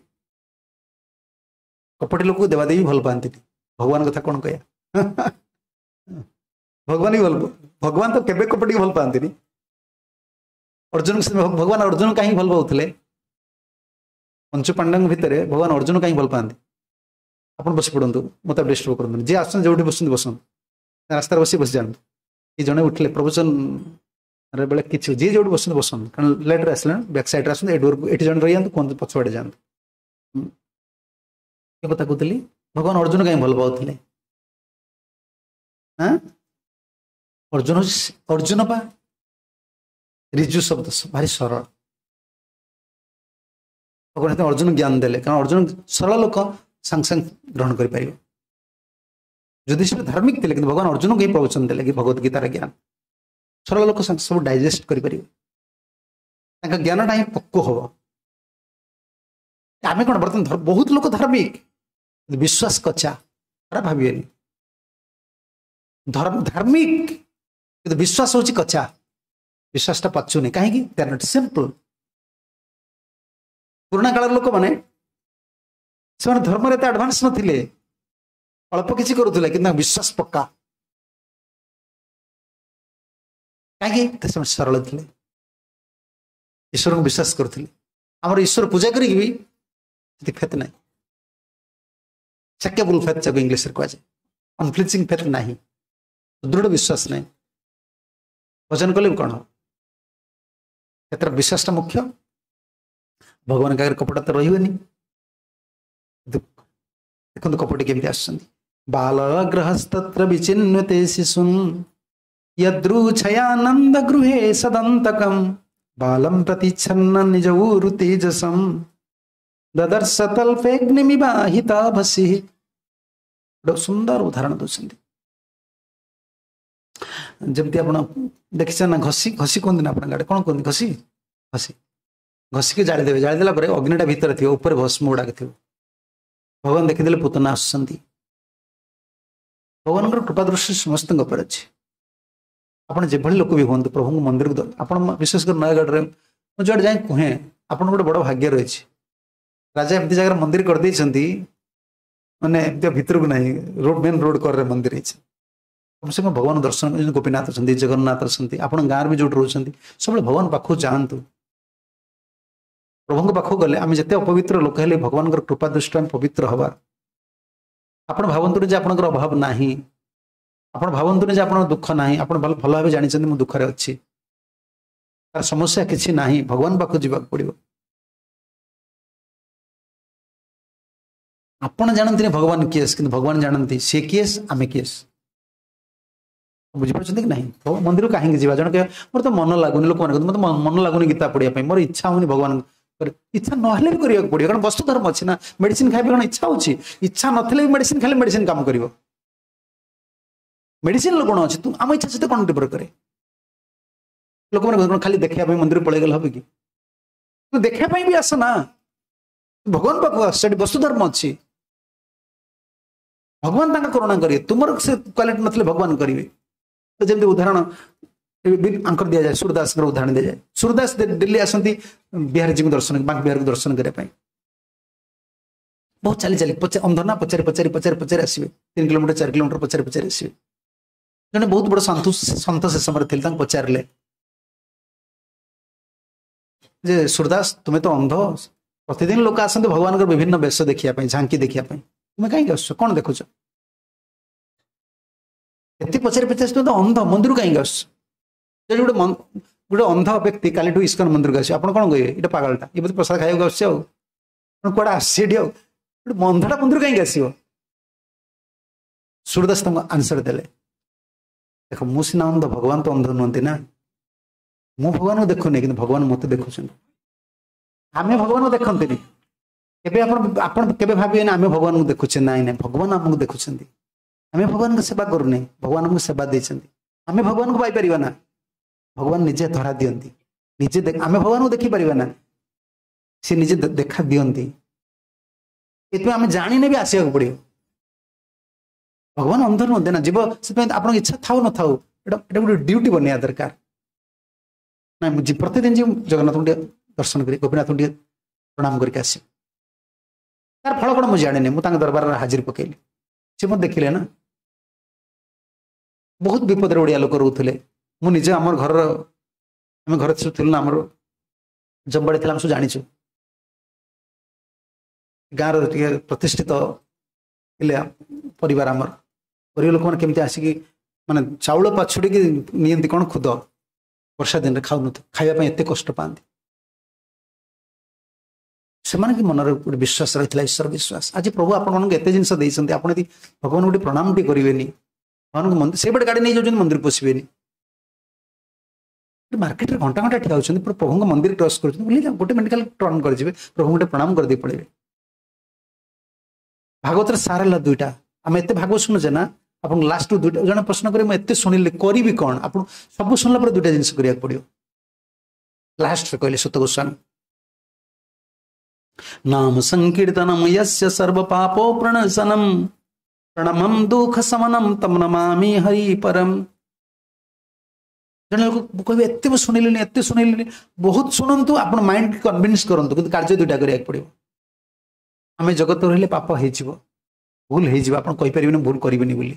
କପଟି ଲୋକକୁ ଦେବାଦେବୀ ଭଲ ପାଆନ୍ତିନି ଭଗବାନ କଥା କ'ଣ କହିବା ଭଗବାନ ବି ଭଲ ଭଗବାନ ତ କେବେ କପଟିକି ଭଲ ପାଆନ୍ତିନି ଅର୍ଜୁନ ଭଗବାନ ଅର୍ଜୁନ କାହିଁକି ଭଲ ପାଉଥିଲେ ପଞ୍ଚପାଣ୍ଡଙ୍କ ଭିତରେ ଭଗବାନ ଅର୍ଜୁନ କାହିଁକି ଭଲ ପାଆନ୍ତି ଆପଣ ବସି ପଡ଼ନ୍ତୁ ମୋତେ ଡିଷ୍ଟର୍ବ କରନ୍ତୁନି ଯିଏ ଆସୁଛନ୍ତି ଯୋଉଠି ବସୁଛନ୍ତି ବସନ୍ତୁ ରାସ୍ତାରେ ବସି ବସି ଯାଆନ୍ତୁ କି ଜଣେ ଉଠିଲେ ପ୍ରବଚନ ବେଳେ କିଛି ଯିଏ ଯୋଉଠି ବସନ୍ତି ବସନ୍ତୁ କାରଣ ଲେଟ୍ରେ ଆସିଲେଣି ବ୍ୟାକ୍ ସାଇଡ଼୍ରେ ଆସନ୍ତୁ ଏ ଡୋରକୁ ଏଠି ଜଣେ ରହିଯାଆନ୍ତୁ କୁହନ୍ତୁ ପଛଆଡ଼େ ଯାଆନ୍ତୁ କି କଥା କହୁଥିଲି ଭଗବାନ ଅର୍ଜୁନ କାହିଁ ଭଲ ପାଉଥିଲେ ହଁ ଅର୍ଜୁନ ଅର୍ଜୁନ ପା ରିଜୁ ଶବ୍ଦ ଭାରି ସରଳ ଭଗବାନ ଅର୍ଜୁନ ଜ୍ଞାନ ଦେଲେ କାରଣ ଅର୍ଜୁନ ସରଳ ଲୋକ ସାଙ୍ଗେ ସାଙ୍ଗେ ଗ୍ରହଣ କରିପାରିବ ଯୁଧିଷ୍ଠିର ଧାର୍ମିକ ଥିଲେ କିନ୍ତୁ ଭଗବାନ ଅର୍ଜୁନଙ୍କୁ ହିଁ ପ୍ରବଚନ ଦେଲେ କି ଭଗବତ ଗୀତାର ଜ୍ଞାନ ସରଳ ଲୋକ ସବୁ ଡାଇଜେଷ୍ଟ କରିପାରିବେ ତାଙ୍କ ଜ୍ଞାନଟା ହିଁ ପକ୍ୱ ହବ ଆମେ କ'ଣ ବର୍ତ୍ତମାନ ବହୁତ ଲୋକ ଧାର୍ମିକ ବିଶ୍ୱାସ କଚା ଖରାପ ଭାବିବେନି ଧର୍ମ ଧାର୍ମିକ କିନ୍ତୁ ବିଶ୍ୱାସ ହଉଛି କଚା ବିଶ୍ୱାସଟା ପଚୁନି କାହିଁକି ଦେ are not simple ପୁରୁଣା କାଳର ଲୋକମାନେ ସେମାନେ ଧର୍ମରେ ଏତେ ଆଡଭାନ୍ସ ନଥିଲେ ଅଳ୍ପ କିଛି କରୁଥିଲେ କିନ୍ତୁ ତାଙ୍କ ବିଶ୍ୱାସ ପକ୍କା କାହିଁକି ସେମାନେ ସରଳ ଥିଲେ ଈଶ୍ୱରଙ୍କୁ ବିଶ୍ୱାସ କରୁଥିଲେ ଆମର ଈଶ୍ୱର ପୂଜା କରିକି ବି ସେଠି ଫେତ୍ ନାହିଁ ସେକେବୁଲ ଫେତ୍ ଯାକୁ ଇଂଲିଶରେ କୁହାଯାଏ ଅନଫ୍ଲିଚିଂ ଫେତ୍ ନାହିଁ ସୁଦୃଢ଼ ବିଶ୍ୱାସ ନାହିଁ ଭଜନ କଲେ ବି କ'ଣ ହବ ସେଥିରେ ବିଶ୍ୱାସଟା ମୁଖ୍ୟ ଭଗବାନଙ୍କ ଆଗରେ କପଟ ତ ରହିବନି। ଦେଖନ୍ତୁ କପଟି କେମିତି ଆସୁଛନ୍ତି। ବାଲ ଗ୍ରହସ୍ତତ୍ର ବିଚିନ୍ୱତେ ଶିଶୁନ୍ ୟଦୃଛୟାନନ୍ଦ ଗୃହେ ସଦନ୍ତକମ୍ ବାଲಂ ପ୍ରତିଚ୍ଛନ୍ନ ନିଜ ଊରୁ ତେଜସମ୍ ଦଦର୍ଶ ତଲ୍ପେଗ୍ନିମିବାହିତାଭସି। ଗୋଟେ ସୁନ୍ଦର ଉଦାହରଣ ଦଉଛନ୍ତି। ଯେମିତି ଆପଣ ଦେଖିଛନ୍ତି ନା ଘଷି, ଘଷି କୁହନ୍ତି ନା ଆପଣଙ୍କ ଆଡ଼େ କ'ଣ କୁହନ୍ତି? ଘଷି, ଘଷି ଘଷିକି ଜାଳିଦେବେ, ଜାଳିଦେଲା ପରେ ଅଗ୍ନିଟା ଭିତରେ ଥିବ, ଉପରେ ଭସ୍ମ ଗୁଡ଼ାକ ଥିବ। ଭଗବାନ ଦେଖିଦେଲେ ପୁତନା ଆସୁଛନ୍ତି। ଭଗବାନଙ୍କର କୃପା ଦୃଷ୍ଟି ସମସ୍ତଙ୍କ ଉପରେ ଅଛି। ଆପଣ ଯେଭଳି ଲୋକ ବି ହୁଅନ୍ତୁ ପ୍ରଭୁଙ୍କ ମନ୍ଦିରକୁ, ଆପଣ ବିଶେଷ କରି ନୟାଗଡ଼ରେ ମୁଁ ଯୁଆଡ଼େ ଯାଇ କୁହେ, ଆପଣଙ୍କ ଗୋଟେ ବଡ଼ ଭାଗ୍ୟ ରହିଛି। ରାଜା ଏମିତି ଜାଗାରେ ମନ୍ଦିର କରିଦେଇଛନ୍ତି, ମାନେ ଏମିତି ଭିତରକୁ ନାହିଁ, ରୋଡ ମେନ୍ ରୋଡ କରରେ ମନ୍ଦିର ହେଇଛି। କମ ସେ କମ ଭଗବାନ ଦର୍ଶନ, ଗୋପୀନାଥ ଅଛନ୍ତି, ଜଗନ୍ନାଥ ଅଛନ୍ତି, ଆପଣ ଗାଁରେ ବି ଯୋଉଠି ରହୁଛନ୍ତି ସବୁବେଳେ ଭଗବାନ ପାଖକୁ ଯାଆନ୍ତୁ। ପ୍ରଭୁଙ୍କ ପାଖକୁ ଗଲେ ଆମେ ଯେତେ ଅପବିତ୍ର ଲୋକ ହେଲେ ଭଗବାନଙ୍କର କୃପା ଦୃଷ୍ଟି ଆମେ ପବିତ୍ର ହବା। ଆପଣ ଭାବନ୍ତୁନି ଯେ ଆପଣଙ୍କର ଅଭାବ ନାହିଁ, ଆପଣ ଭାବନ୍ତୁନି ଯେ ଆପଣଙ୍କର ଦୁଃଖ ନାହିଁ। ଆପଣ ଭଲ ଭଲ ଭାବେ ଜାଣିଛନ୍ତି ମୁଁ ଦୁଃଖରେ ଅଛି, ତାର ସମସ୍ୟା କିଛି ନାହିଁ, ଭଗବାନ ପାଖକୁ ଯିବାକୁ ପଡ଼ିବ। ଆପଣ ଜାଣନ୍ତିନି ଭଗବାନ କିଏ, କିନ୍ତୁ ଭଗବାନ ଜାଣନ୍ତି ସିଏ କିଏ, ଆମେ କିଏ। ବୁଝିପାରୁଛନ୍ତି କି ନାହିଁ? ମନ୍ଦିରକୁ କାହିଁକି ଯିବା? ଜଣେ କହିବ ମୋର ତ ମନ ଲାଗୁନି, ଲୋକମାନେ କହନ୍ତି ମୋତେ ମନ ଲାଗୁନି ଗୀତା ପଢିବା ପାଇଁ, ମୋର ଇଚ୍ଛା ହଉନି ଭଗବାନ। ଇଚ୍ଛା ନହେଲେ ବି କରିବାକୁ ପଡିବ, କାରଣ ବସ୍ତୁ ଧର୍ମ ଅଛି ନା। ମେଡିସିନ ଖାଇବା କଣ ଇଚ୍ଛା ହଉଛି? ଇଚ୍ଛା ନଥିଲେ ବି ମେଡିସିନ ଖାଇଲେ ମେଡିସିନ କାମ କରିବ। ମେଡିସିନର ଗୁଣ ଅଛି, ତୁ ଆମ ଇଚ୍ଛା ସହିତ କଣ ନିର୍ଭର କରେ? ଲୋକମାନେ କଣ ଖାଲି ଦେଖିବା ପାଇଁ ମନ୍ଦିର ପଳେଇଗଲେ ହବ କି? ତୁ ଦେଖିବା ପାଇଁ ବି ଆସ ନା, ଭଗବାନ ପାଖକୁ ଆସ, ସେଠି ବସ୍ତୁ ଧର୍ମ ଅଛି। ଭଗବାନ ତାଙ୍କ କରୁଣା କରିବେ, ତୁମର ସେ କ୍ୱାଲିଟି ନଥିଲେ ଭଗବାନ କରିବେ। ତ ଯେମିତି ଉଦାହରଣ ଆଙ୍କର ଦିଆଯାଏ, ସୁରଦାସଙ୍କର ଉଦାହରଣ ଦିଆଯାଏ। ସୁରଦାସ ଦିଲ୍ଲୀ ଆସନ୍ତି ବିହାରୀଜୀଙ୍କୁ ଦର୍ଶନ, ବାଙ୍କ ବିହାରକୁ ଦର୍ଶନ କରିବା ପାଇଁ। ବହୁତ ଚାଲି ଚାଲି, ଅନ୍ଧ ନା, ପଚାରି ପଚାରି ପଚାରି ପଚାରି ଆସିବେ, ତିନି କିଲୋମିଟର ଚାରି କିଲୋମିଟର ପଚାରି ପଚାରି ଆସିବେ। ଜଣେ ବହୁତ ବଡ଼ ସନ୍ତୁ ସନ୍ଥ ସେ ସମୟରେ ଥିଲେ, ତାଙ୍କୁ ପଚାରିଲେ ଯେ ସୁରଦାସ ତୁମେ ତ ଅନ୍ଧ, ପ୍ରତିଦିନ ଲୋକ ଆସନ୍ତି ଭଗବାନଙ୍କର ବିଭିନ୍ନ ବେଶ ଦେଖିବା ପାଇଁ, ଝାଙ୍କି ଦେଖିବା ପାଇଁ, ତୁମେ କାହିଁକି ଆସୁଛ, କଣ ଦେଖୁଛ? ଏତେ ପଚାରି ପଚାରି ତୁମେ ତ ଅନ୍ଧ, ମନ୍ଦିରକୁ କାହିଁକି ଆସୁଛ? ଯଦି ଗୋଟେ ଗୋଟେ ଅନ୍ଧ ବ୍ୟକ୍ତି କାଲିଠୁ ଇସ୍କନ ମନ୍ଦିରକୁ ଆସିବ, ଆପଣ କଣ କହିବେ? ଏଇଟା ପାଗଳଟା, ଏ ବୋଧେ ପ୍ରସାଦ ଖାଇବାକୁ ଆସୁଛି, ଆଉ କୁଆଡ଼େ ଆସୁଛି ଏଠି, ଆଉ ଗୋଟେ ଅନ୍ଧଟା ମନ୍ଦିରକୁ କାହିଁକି ଆସିବ? ସୁରଦାସ ତାଙ୍କୁ ଆନ୍ସର ଦେଲେ, ଦେଖ ମୁଁ ସିନା ଅନ୍ଧ, ଭଗବାନ ତ ଅନ୍ଧ ନୁହନ୍ତି ନା। ମୁଁ ଭଗବାନଙ୍କୁ ଦେଖୁନି, କିନ୍ତୁ ଭଗବାନ ମତେ ଦେଖୁଛନ୍ତି। ଆମେ ଭଗବାନଙ୍କୁ ଦେଖନ୍ତିନି କେବେ। ଆପଣ ଆପଣ କେବେ ଭାବିବେନି ଆମେ ଭଗବାନଙ୍କୁ ଦେଖୁଛେ। ନାଇଁ ନାଇଁ, ଭଗବାନ ଆମକୁ ଦେଖୁଛନ୍ତି। ଆମେ ଭଗବାନଙ୍କ ସେବା କରୁନେ, ଭଗବାନ ଆମକୁ ସେବା ଦେଇଛନ୍ତି। ଆମେ ଭଗବାନଙ୍କୁ ପାଇପାରିବା ନା, ଭଗବାନ ନିଜେ ଧରା ଦିଅନ୍ତି। ନିଜେ ଆମେ ଭଗବାନଙ୍କୁ ଦେଖିପାରିବା ନା, ସେ ନିଜେ ଦେଖା ଦିଅନ୍ତି। ଏଥିପାଇଁ ଆମେ ଜାଣିନେ ବି ଆସିବାକୁ ପଡିବ। ଭଗବାନ ଅନ୍ଧ ନୁହନ୍ତି ନା ଯିବ, ସେଥିପାଇଁ ଆପଣଙ୍କ ଇଚ୍ଛା ଥାଉ ନଥାଉ ଏଇଟା ଏଇଟା ଗୋଟେ ଡ୍ୟୁଟି ବନେଇବା ଦରକାର। ନାଇଁ ମୁଁ ପ୍ରତିଦିନ ଯିବି ଜଗନ୍ନାଥଙ୍କୁ ଟିକେ ଦର୍ଶନ କରି, ଗୋପୀନାଥଙ୍କୁ ଟିକେ ପ୍ରଣାମ କରିକି ଆସିବି। ତାର ଫଳ କଣ ମୁଁ ଜାଣିନି, ମୁଁ ତାଙ୍କ ଦରବାରରେ ହାଜିର ପକେଇଲି, ସେ ମୋତେ ଦେଖିଲେ ନା। ବହୁତ ବିପଦରେ ଓଡ଼ିଆ ଲୋକ ରହୁଥିଲେ। ମୁଁ ନିଜେ ଆମର ଘରର, ଆମେ ଘରେ ସବୁ ଥିଲୁ ନା, ଆମର ଜମିବାଡ଼ି ଥିଲା, ଆମେ ସବୁ ଜାଣିଛୁ। ଗାଁର ଟିକେ ପ୍ରତିଷ୍ଠିତ ଥିଲେ ପରିବାର ଆମର। ଗରିବ ଲୋକମାନେ କେମିତି ଆସିକି ମାନେ ଚାଉଳ ପାଛୁଡ଼ିକି ନିଅନ୍ତି କ'ଣ ଖୁଦ, ବର୍ଷା ଦିନରେ ଖାଉନଥିଲେ, ଖାଇବା ପାଇଁ ଏତେ କଷ୍ଟ ପାଆନ୍ତି। ସେମାନଙ୍କ ମନରେ ଗୋଟେ ବିଶ୍ୱାସ ରହିଥିଲା, ଈଶ୍ୱର ବିଶ୍ୱାସ। ଆଜି ପ୍ରଭୁ ଆପଣମାନଙ୍କୁ ଏତେ ଜିନିଷ ଦେଇଛନ୍ତି, ଆପଣ ଯଦି ଭଗବାନଙ୍କୁ ଗୋଟେ ପ୍ରଣାମ ଟିକେ କରିବେନି, ଭଗବାନଙ୍କୁ ମନ୍ଦିର ସେଇପଟେ ଗାଡ଼ି ନେଇଯାଉଛନ୍ତି, ମନ୍ଦିର ପଶିବେନି, ମାର୍କେଟରେ ଘଣ୍ଟା ଘଣ୍ଟା ଠିଆ ହେଉଛନ୍ତି, ପ୍ରଭୁଙ୍କ ମନ୍ଦିର କ୍ରସ୍ କରୁଛନ୍ତି, ବୁଲି ଗୋଟେ ମିନିଟ୍ ଖାଲି ଟର୍ନ କରିଯିବେ, ପ୍ରଭୁଙ୍କୁ ଗୋଟେ ପ୍ରଣାମ କରିଦେଇ ପଳେଇବେ। ଭାଗବତର ସାର ହେଲା ଦୁଇଟା। ଆମେ ଏତେ ଭାଗବତ ଶୁଣୁଛେ ନା, ଆପଣ ଲାଷ୍ଟରୁ ଦୁଇଟା ଜଣେ ପ୍ରଶ୍ନ କରି ମୁଁ ଏତେ ଶୁଣିଲି କରିବି କ'ଣ? ଆପଣ ସବୁ ଶୁଣିଲା ପରେ ଦୁଇଟା ଜିନିଷ କରିବାକୁ ପଡ଼ିବ। ଲାଷ୍ଟରେ କହିଲେ ସୁତ ଗୋସ୍ୱାମୀ, ନାମ ସଂକୀର୍ତ୍ତନମ ୟସ୍ୟ ସର୍ବ ପାପ ପ୍ରଣଶନମ ପ୍ରଣମମ ଦୁଃଖ ସମନମ ତମ ନମାମି ହରି ପରମ। ଜଣେ ଲୋକ କହିବେ ଏତେ ମୁଁ ଶୁଣିଲିନି, ଏତେ ଶୁଣିଲିନି। ବହୁତ ଶୁଣନ୍ତୁ, ଆପଣ ମାଇଣ୍ଡ କନଭିନ୍ସ କରନ୍ତୁ, କିନ୍ତୁ କାର୍ଯ୍ୟ ଦୁଇଟା କରିବାକୁ ପଡ଼ିବ। ଆମେ ଜଗତ ରହିଲେ ପାପ ହେଇଯିବ, ଭୁଲ ହେଇଯିବ, ଆପଣ କହିପାରିବେନି ଭୁଲ କରିବେନି ବୋଲି।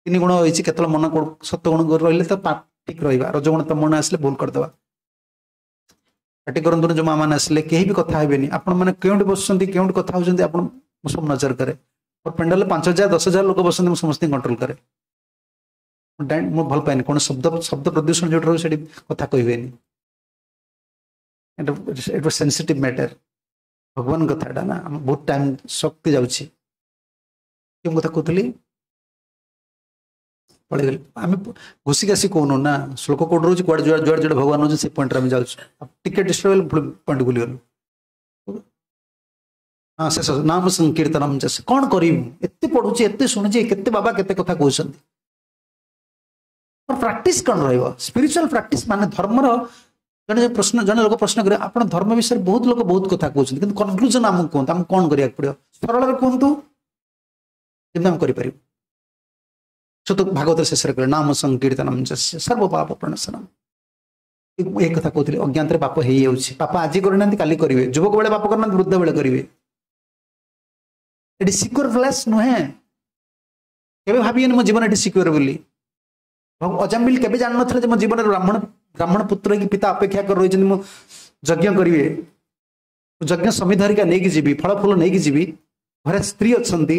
ତିନି ଗୁଣ ହେଇଛି, କେତେବେଳେ ମନ ସତ୍ୟଗୁଣ ରହିଲେ ତ ଠିକ ରହିବା, ରଜଗୁଣ ତମ ମନ ଆସିଲେ ଭୁଲ କରିଦେବା। ପାଟି କରନ୍ତୁନି ଯୋଉ ମା ମାନେ ଆସିଲେ, କେହି ବି କଥା ହେବେନି। ଆପଣ ମାନେ କେଉଁଠି ବସୁଛନ୍ତି, କେଉଁଠି କଥା ହଉଛନ୍ତି, ଆପଣ ମୁଁ ସବୁ ନଜର କରେ। ମୋର ପେଣ୍ଡାଲରେ ପାଞ୍ଚ ହଜାର ଦଶ ହଜାର ଲୋକ ବସନ୍ତି, ମୁଁ ସମସ୍ତଙ୍କୁ କଣ୍ଟ୍ରୋଲ କରେ। ମୁଁ ଭଲ ପାଏନି କୌଣସି ଶବ୍ଦ ଶବ୍ଦ ପ୍ରଦୂଷଣ ଯୋଉଠି ରହିବ ସେଠି କଥା କହିବେନି। ଏଇଟା ସେନ୍ସିଟିଭ୍ ମ୍ୟାଟର ଭଗବାନ କଥାଟା ନା ଆମ ବହୁତ ଟାଇମ୍ ଶକ୍ତି ଯାଉଛି କେଉଁ କଥା କହୁଥିଲି ପଳେଇଗଲି ଆମେ ଘୋଷି ଘାସି କହୁନୁ ନା ଶ୍ଲୋକ କୋଉଠି ରହୁଛି କୁଆଡ଼େ ଯୁଆଡ଼େ ଯୁଆଡ଼େ ଯୁଆଡ଼େ ଭଗବାନ ରହୁଛି ସେ ପଏଣ୍ଟରେ ଆମେ ଯାଉଛୁ ଟିକେ ଡିଷ୍ଟର୍ବ ହେଲେ ପଏଣ୍ଟ ଭୁଲିଗଲୁ ହଁ ଶେଷ ନାମ ସଂକୀର୍ତ୍ତନମ ଯସ୍ୟ କ'ଣ କରିବି ଏତେ ପଢୁଛି ଏତେ ଶୁଣୁଛି କେତେ ବାବା କେତେ କଥା କହୁଛନ୍ତି ପ୍ରାକ୍ଟିସ କ'ଣ ରହିବ ସ୍ପିରିଚୁଆଲ ପ୍ରାକ୍ଟିସ ମାନେ ଧର୍ମର ଜଣେ ପ୍ରଶ୍ନ ଜଣେ ଲୋକ ପ୍ରଶ୍ନ କରିବେ ଆପଣ ଧର୍ମ ବିଷୟରେ ବହୁତ ଲୋକ ବହୁତ କଥା କହୁଛନ୍ତି କିନ୍ତୁ କନକ୍ଲୁଜନ ଆମକୁ କୁହନ୍ତୁ ଆମକୁ କ'ଣ କରିବାକୁ ପଡିବ ସରଳରେ କୁହନ୍ତୁ ଯେମିତି ଆମେ କରିପାରିବୁ ସୁତ ଭାଗବତ ଶେଷରେ କହିଲେ ନାମ ସଂକୀର୍ତ୍ତନମ ଯସ୍ୟ ସର୍ବ ପାପ ପ୍ରଣଶନମ ଏ କଥା କହୁଥିଲି ଅଜ୍ଞାତରେ ପାପ ହେଇଯାଉଛି ପାପ ଆଜି କରିନାହାନ୍ତି କାଲି କରିବେ ଯୁବକ ବେଳେ ପାପ କରିନାହାନ୍ତି ବୃଦ୍ଧ ବେଳେ କରିବେ ଏଠି ସିକ୍ୟୁର ପ୍ଲେସ୍ ନୁହେଁ କେବେ ଭାବିବେନି ମୋ ଜୀବନ ଏଠି ସିକ୍ୟୁର ବୋଲି ଅଜାମିଲ କେବେ ଜାଣିନଥିଲେ ଯେ ମୋ ଜୀବନରେ ବ୍ରାହ୍ମଣ ବ୍ରାହ୍ମଣ ପୁତ୍ର ହେଇକି ପିତା ଅପେକ୍ଷା କରି ରହିଛନ୍ତି ମୁଁ ଯଜ୍ଞ କରିବେ ଯଜ୍ଞ ସମିଧରିକା ନେଇକି ଯିବି ଫଳ ଫୁଲ ନେଇକି ଯିବି ଘରେ ସ୍ତ୍ରୀ ଅଛନ୍ତି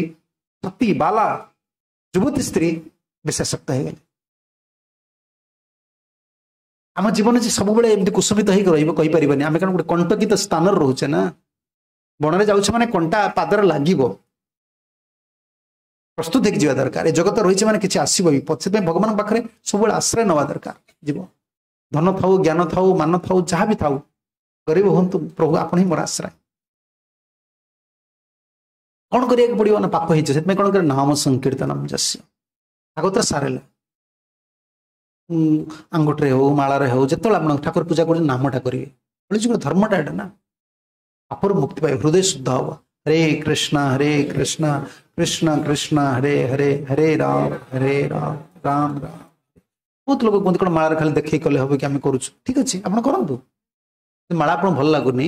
ସତୀ ବାଲା ଯୁବତୀ ସ୍ତ୍ରୀ ବିଶେଷକ୍ତ ହେଇଗଲେ ଆମ ଜୀବନ ଯେ ସବୁବେଳେ ଏମିତି କୁସୁମିତ ହେଇକି ରହିବ କହିପାରିବାନି ଆମେ କାରଣ ଗୋଟେ କଣ୍ଟକିତ ସ୍ଥାନରେ ରହୁଛେ ନା ବଣରେ ଯାଉଛେ ମାନେ କଣ୍ଟା ପାଦରେ ଲାଗିବ ପ୍ରସ୍ତୁତ ହେଇକି ଯିବା ଦରକାର ଏ ଜଗତ ରହିছে ମାନେ କିଛି ଆସିବ ବି ସେଥିପାଇଁ ଭଗବାନଙ୍କ ପାଖରେ ସବୁବେଳେ ଆଶ୍ରୟ ନେବା ଦରକାର ଯିବ ଧନ ଥାଉ ଜ୍ଞାନ ଥାଉ ମାନ ଥାଉ ଯାହା ବି ଥାଉ ଗରିବ ହୁଅନ୍ତୁ ପ୍ରଭୁ ଆପଣ ହିଁ ମୋର ଆଶ୍ରୟ କ'ଣ କରିବାକୁ ପଡିବ ନା ପାପ ହେଇଛି ସେଥିପାଇଁ କ'ଣ କରିବ ନାମ ସଂକୀର୍ତ୍ତନମ ଯସ୍ୟ ଭାଗବତର ସାର ହେଲା ଆଙ୍ଗୁଠିରେ ହଉ ମାଳାରେ ହଉ ଯେତେବେଳେ ଆପଣ ଠାକୁର ପୂଜା କରୁଛନ୍ତି ନାମଟା କରିବେ କଳିଯୁଗର ଧର୍ମଟା ଏଇଟା ନା ପାପରୁ ମୁକ୍ତି ପାଇବେ ହୃଦୟ ଶୁଦ୍ଧ ହବ ହରେ କୃଷ୍ଣ ହରେ କୃଷ୍ଣ କୃଷ୍ଣ କୃଷ୍ଣ ହରେ ହରେ ହରେ ରାମ ହରେ ରାମ ରାମ ରାମ ବହୁତ ଲୋକ କୁହନ୍ତି କ'ଣ ମାଳାରେ ଖାଲି ଦେଖେଇ କଲେ ହବ କି ଆମେ କରୁଛୁ ଠିକ ଅଛି ଆପଣ କରନ୍ତୁ ମାଳା ଆପଣ ଭଲ ଲାଗୁନି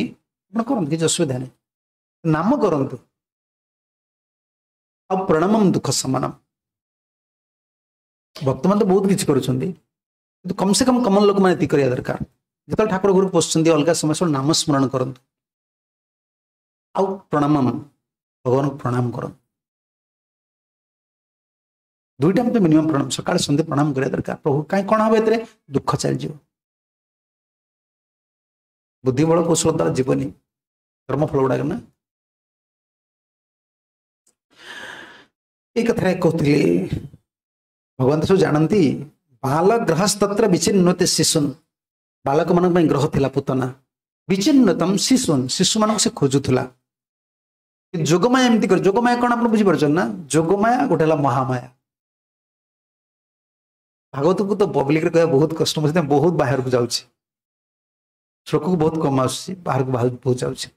ଆପଣ କରନ୍ତୁ କିଛି ଅସୁବିଧା ନାହିଁ ନାମ କରନ୍ତୁ ଆଉ ପ୍ରଣାମମ ଦୁଃଖ ସମାନମ ଭକ୍ତମାନେ ତ ବହୁତ କିଛି କରୁଛନ୍ତି କିନ୍ତୁ କମ ସେ କମ କମନ ଲୋକମାନେ ଏତିକି କରିବା ଦରକାର ଯେତେବେଳେ ଠାକୁର ଘରକୁ ପଶୁଛନ୍ତି ଅଲଗା ସମୟ ସବୁ ନାମ ସ୍ମରଣ କରନ୍ତୁ ଆଉ ପ୍ରଣାମ ଭଗବାନଙ୍କୁ ପ୍ରଣାମ କରନ୍ତୁ ଦୁଇଟା ତ ମିନିମମ୍ ପ୍ରଣାମ ସକାଳେ ସନ୍ଧ୍ୟା ପ୍ରଣାମ କରିବା ଦରକାର ପ୍ରଭୁ କାହିଁ କ'ଣ ହବ ଏଥିରେ ଦୁଃଖ ଚାଲିଯିବ ବୁଦ୍ଧି ବଳ କୌଶଳ ଦ୍ୱାରା ଯିବନି କର୍ମଫଳ ଗୁଡାକ ନା ଏଇ କଥାରେ କହୁଥିଲି ଭଗବାନ ତ ସବୁ ଜାଣନ୍ତି ବାଲ ଗ୍ରହସ୍ତତ୍ର ବିଚିନ୍ନତେ ଶିଶୁନ ବାଳକମାନଙ୍କ ପାଇଁ ଗ୍ରହ ଥିଲା ପୁତନା ବିଚିନ୍ନତମ ଶିଶୁନ ଶିଶୁମାନଙ୍କୁ ସେ ଖୋଜୁଥିଲା ଯୋଗମାୟା ଏମିତି କରେ ଯୋଗମାୟା କ'ଣ ଆପଣ ବୁଝିପାରୁଛନ୍ତି ନା ଯୋଗମାୟା ଗୋଟେ ହେଲା ମହାମାୟା ଭାଗବତକୁ ତ ପବ୍ଲିକରେ କହିବା ବହୁତ କଷ୍ଟ ମୁଁ ସେଥିପାଇଁ ବହୁତ ବାହାରକୁ ଯାଉଛି ଶ୍ଲୋକକୁ ବହୁତ କମ ଆସୁଛି ବାହାରକୁ ବହୁତ ଯାଉଛି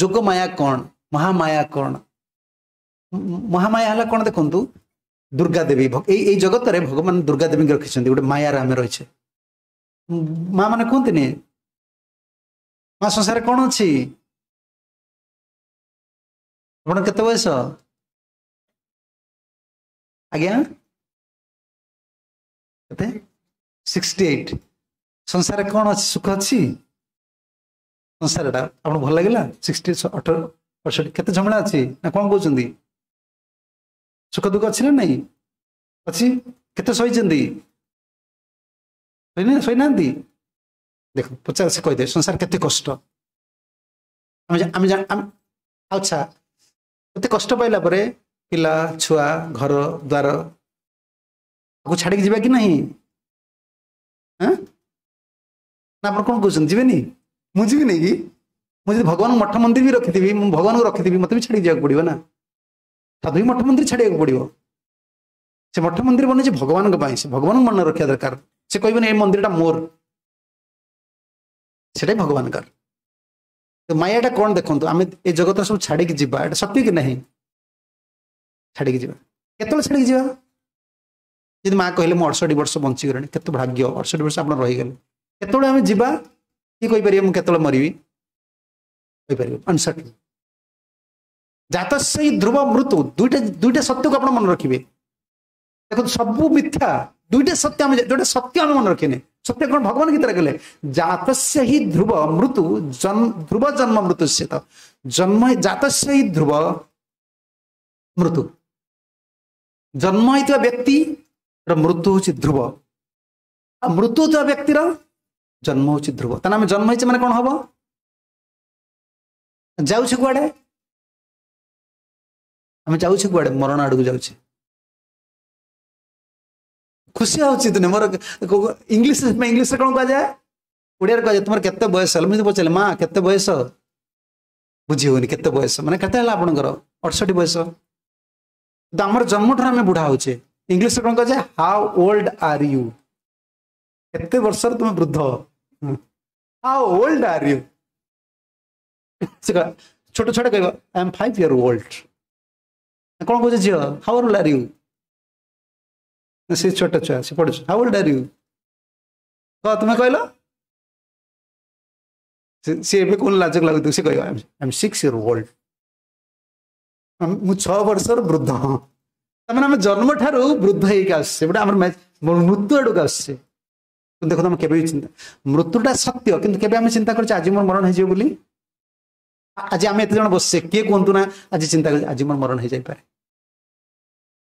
ଯୋଗମାୟା କ'ଣ ମହାମାୟା କ'ଣ ମହାମାୟା ହେଲା କ'ଣ ଦେଖନ୍ତୁ ଦୁର୍ଗା ଦେବୀ ଏଇ ଏଇ ଜଗତରେ ଭଗବାନ ଦୁର୍ଗା ଦେବୀଙ୍କୁ ରଖିଛନ୍ତି ଗୋଟେ ମାୟାରେ ଆମେ ରହିଛେ ମା ମାନେ କୁହନ୍ତିନି ମା ସଂସାରରେ କ'ଣ ଅଛି ଆପଣ କେତେ ବୟସ ଆଜ୍ଞା କେତେ ସିକ୍ସଟି ଏଇଟ୍ ସଂସାରରେ କ'ଣ ଅଛି ସୁଖ ଅଛି ସଂସାରଟା ଆପଣଙ୍କୁ ଭଲ ଲାଗିଲା ସିକ୍ସଟି ଅଠର ଅଠଷଠି କେତେ ଝମେଳା ଅଛି ନା କ'ଣ କହୁଛନ୍ତି ସୁଖ ଦୁଃଖ ଅଛି ନା ନାଇଁ ଅଛି କେତେ ସହିଛନ୍ତି ସହିନାହାନ୍ତି ଦେଖ ପଚାର ସେ କହିଦେବେ ସଂସାର କେତେ କଷ୍ଟ ଆମେ ଆମେ ଆଚ୍ଛା ଏତେ କଷ୍ଟ ପାଇଲା ପରେ ପିଲା ଛୁଆ ଘର ଦ୍ୱାର ତାକୁ ଛାଡ଼ିକି ଯିବା କି ନାହିଁ ନା ଆପଣ କ'ଣ କହୁଛନ୍ତି ଯିବେନି ମୁଁ ଯିବିନି କି ମୁଁ ଯଦି ଭଗବାନଙ୍କୁ ମଠ ମନ୍ଦିର ବି ରଖିଥିବି ମୁଁ ଭଗବାନଙ୍କୁ ରଖିଥିବି ମୋତେ ବି ଛାଡ଼ିକି ଯିବାକୁ ପଡ଼ିବ ନା ସାଧୁ ବି ମଠ ମନ୍ଦିର ଛାଡ଼ିବାକୁ ପଡ଼ିବ ସେ ମଠ ମନ୍ଦିର ବନେଇଛି ଭଗବାନଙ୍କ ପାଇଁ ସେ ଭଗବାନଙ୍କୁ ମନେ ରଖିବା ଦରକାର ସେ କହିବେନି ଏଇ ମନ୍ଦିରଟା ମୋର ସେଟା ଭଗବାନଙ୍କର ତ ମାୟାଟା କ'ଣ ଦେଖନ୍ତୁ ଆମେ ଏ ଜଗତ ସବୁ ଛାଡ଼ିକି ଯିବା ଏଟା ସତ୍ୟ କି ନାହିଁ ଛାଡ଼ିକି ଯିବା କେତେବେଳେ ଛାଡ଼ିକି ଯିବା ଯଦି ମା କହିଲେ ମୁଁ ଅଠଷଠି ବର୍ଷ ବଞ୍ଚିଗଲେଣି କେତେ ଭାଗ୍ୟ ଅଠଷଠି ବର୍ଷ ଆପଣ ରହିଗଲେ କେତେବେଳେ ଆମେ ଯିବା କିଏ କହିପାରିବେ ମୁଁ କେତେବେଳେ ମରିବି କହିପାରିବେ ଅନସର୍ଟେନ ଜାତସ୍ୟ ଧ୍ରୁବ ମୃତ୍ୟୁ ଦୁଇଟା ଦୁଇଟା ସତ୍ୟକୁ ଆପଣ ମନେ ରଖିବେ ଦେଖନ୍ତୁ ସବୁ ମିଥ୍ୟା ଦୁଇଟା ସତ୍ୟ ଆମେ ଯୋଉଟା ସତ୍ୟ ଆମେ ମନେ ରଖିନେ ସତ୍ୟ କ'ଣ ଭଗବାନ ଗୀତାରେ କହିଲେ ଜାତସ୍ୟ ହି ଧ୍ରୁବ ମୃତ୍ୟୁ ଧ୍ରୁବ ଜନ୍ମ ମୃତ୍ୟୁ ତ ଜନ୍ମ ଜାତସ୍ୟ ହି ଧ୍ରୁବ ମୃତ୍ୟୁ ଜନ୍ମ ହେଇଥିବା ବ୍ୟକ୍ତିର ମୃତ୍ୟୁ ହଉଛି ଧ୍ରୁବ ଆଉ ମୃତ୍ୟୁ ହଉଥିବା ବ୍ୟକ୍ତିର ଜନ୍ମ ହେଉଛି ଧ୍ରୁବ। ତାହେଲେ ଆମେ ଜନ୍ମ ହେଇଛେ ମାନେ କ'ଣ ହବ? ଯାଉଛେ କୁଆଡ଼େ? ଆମେ ଯାଉଛେ କୁଆଡ଼େ? ମରଣ ଆଡ଼କୁ ଯାଉଛେ। ଖୁସି ହଉଛି ତୁମେ ମୋର ଇଂଲିଶ ଇଂଲିଶରେ କ'ଣ କୁହାଯାଏ? ଓଡ଼ିଆରେ କୁହାଯାଏ ତୁମର କେତେ ବୟସ ହେଲା? ମୁଁ ପଚାରିଲି ମା କେତେ ବୟସ, ବୁଝି ହଉନି କେତେ ବୟସ ମାନେ କେତେ ହେଲା ଆପଣଙ୍କର? ଅଠଷଠି ବୟସ। କିନ୍ତୁ ଆମର ଜନ୍ମଠାରୁ ଆମେ ବୁଢା ହଉଛେ। ଇଂଲିଶରେ କ'ଣ କୁହାଯାଏ? ହାଉ ଓଲ୍ଡ are you, କେତେ ବର୍ଷର ତୁମେ ବୃଦ୍ଧ। ହାଉ ଓଲ୍ଡ are you. ସେ ଛୋଟ ଛୁଆଟା କହିବ I M five year old. କ'ଣ କହୁଛ ଝିଅ? ହାଉ ଓଲ୍ଡ are you? ସେ ଛୋଟ ଛୁଆ ସେ ପଢୁଛି। ହାଉ ଓଲ୍ଡ are you କହ, ତୁମେ କହିଲ। ସେ ଏବେ କ'ଣ ଲାଜ ଲାଗୁଥିବ, ସେ କହିବ I M six year old, ମୁଁ ଛଅ ବର୍ଷର ବୃଦ୍ଧ। ତାମାନେ ଆମେ ଜନ୍ମ ଠାରୁ ବୃଦ୍ଧ ହେଇକି ଆସୁଛେ, ଗୋଟେ ଆମର ମୃତ୍ୟୁ ଆଡ଼କୁ ଆସୁଛେ। ଦେଖନ୍ତୁ ଆମେ କେବେ ବି ଚିନ୍ତା, ମୃତ୍ୟୁଟା ସତ୍ୟ, କିନ୍ତୁ କେବେ ଆମେ ଚିନ୍ତା କରୁଛେ ଆଜି ମୋର ମରଣ ହେଇଯିବ ବୋଲି? ଆଜି ଆମେ ଏତେ ଜଣ ବସିଛେ, କିଏ କୁହନ୍ତୁ ନା ଆଜି ଚିନ୍ତା କରୁଛେ ଆଜି ମୋର ମରଣ ହେଇଯାଇପାରେ?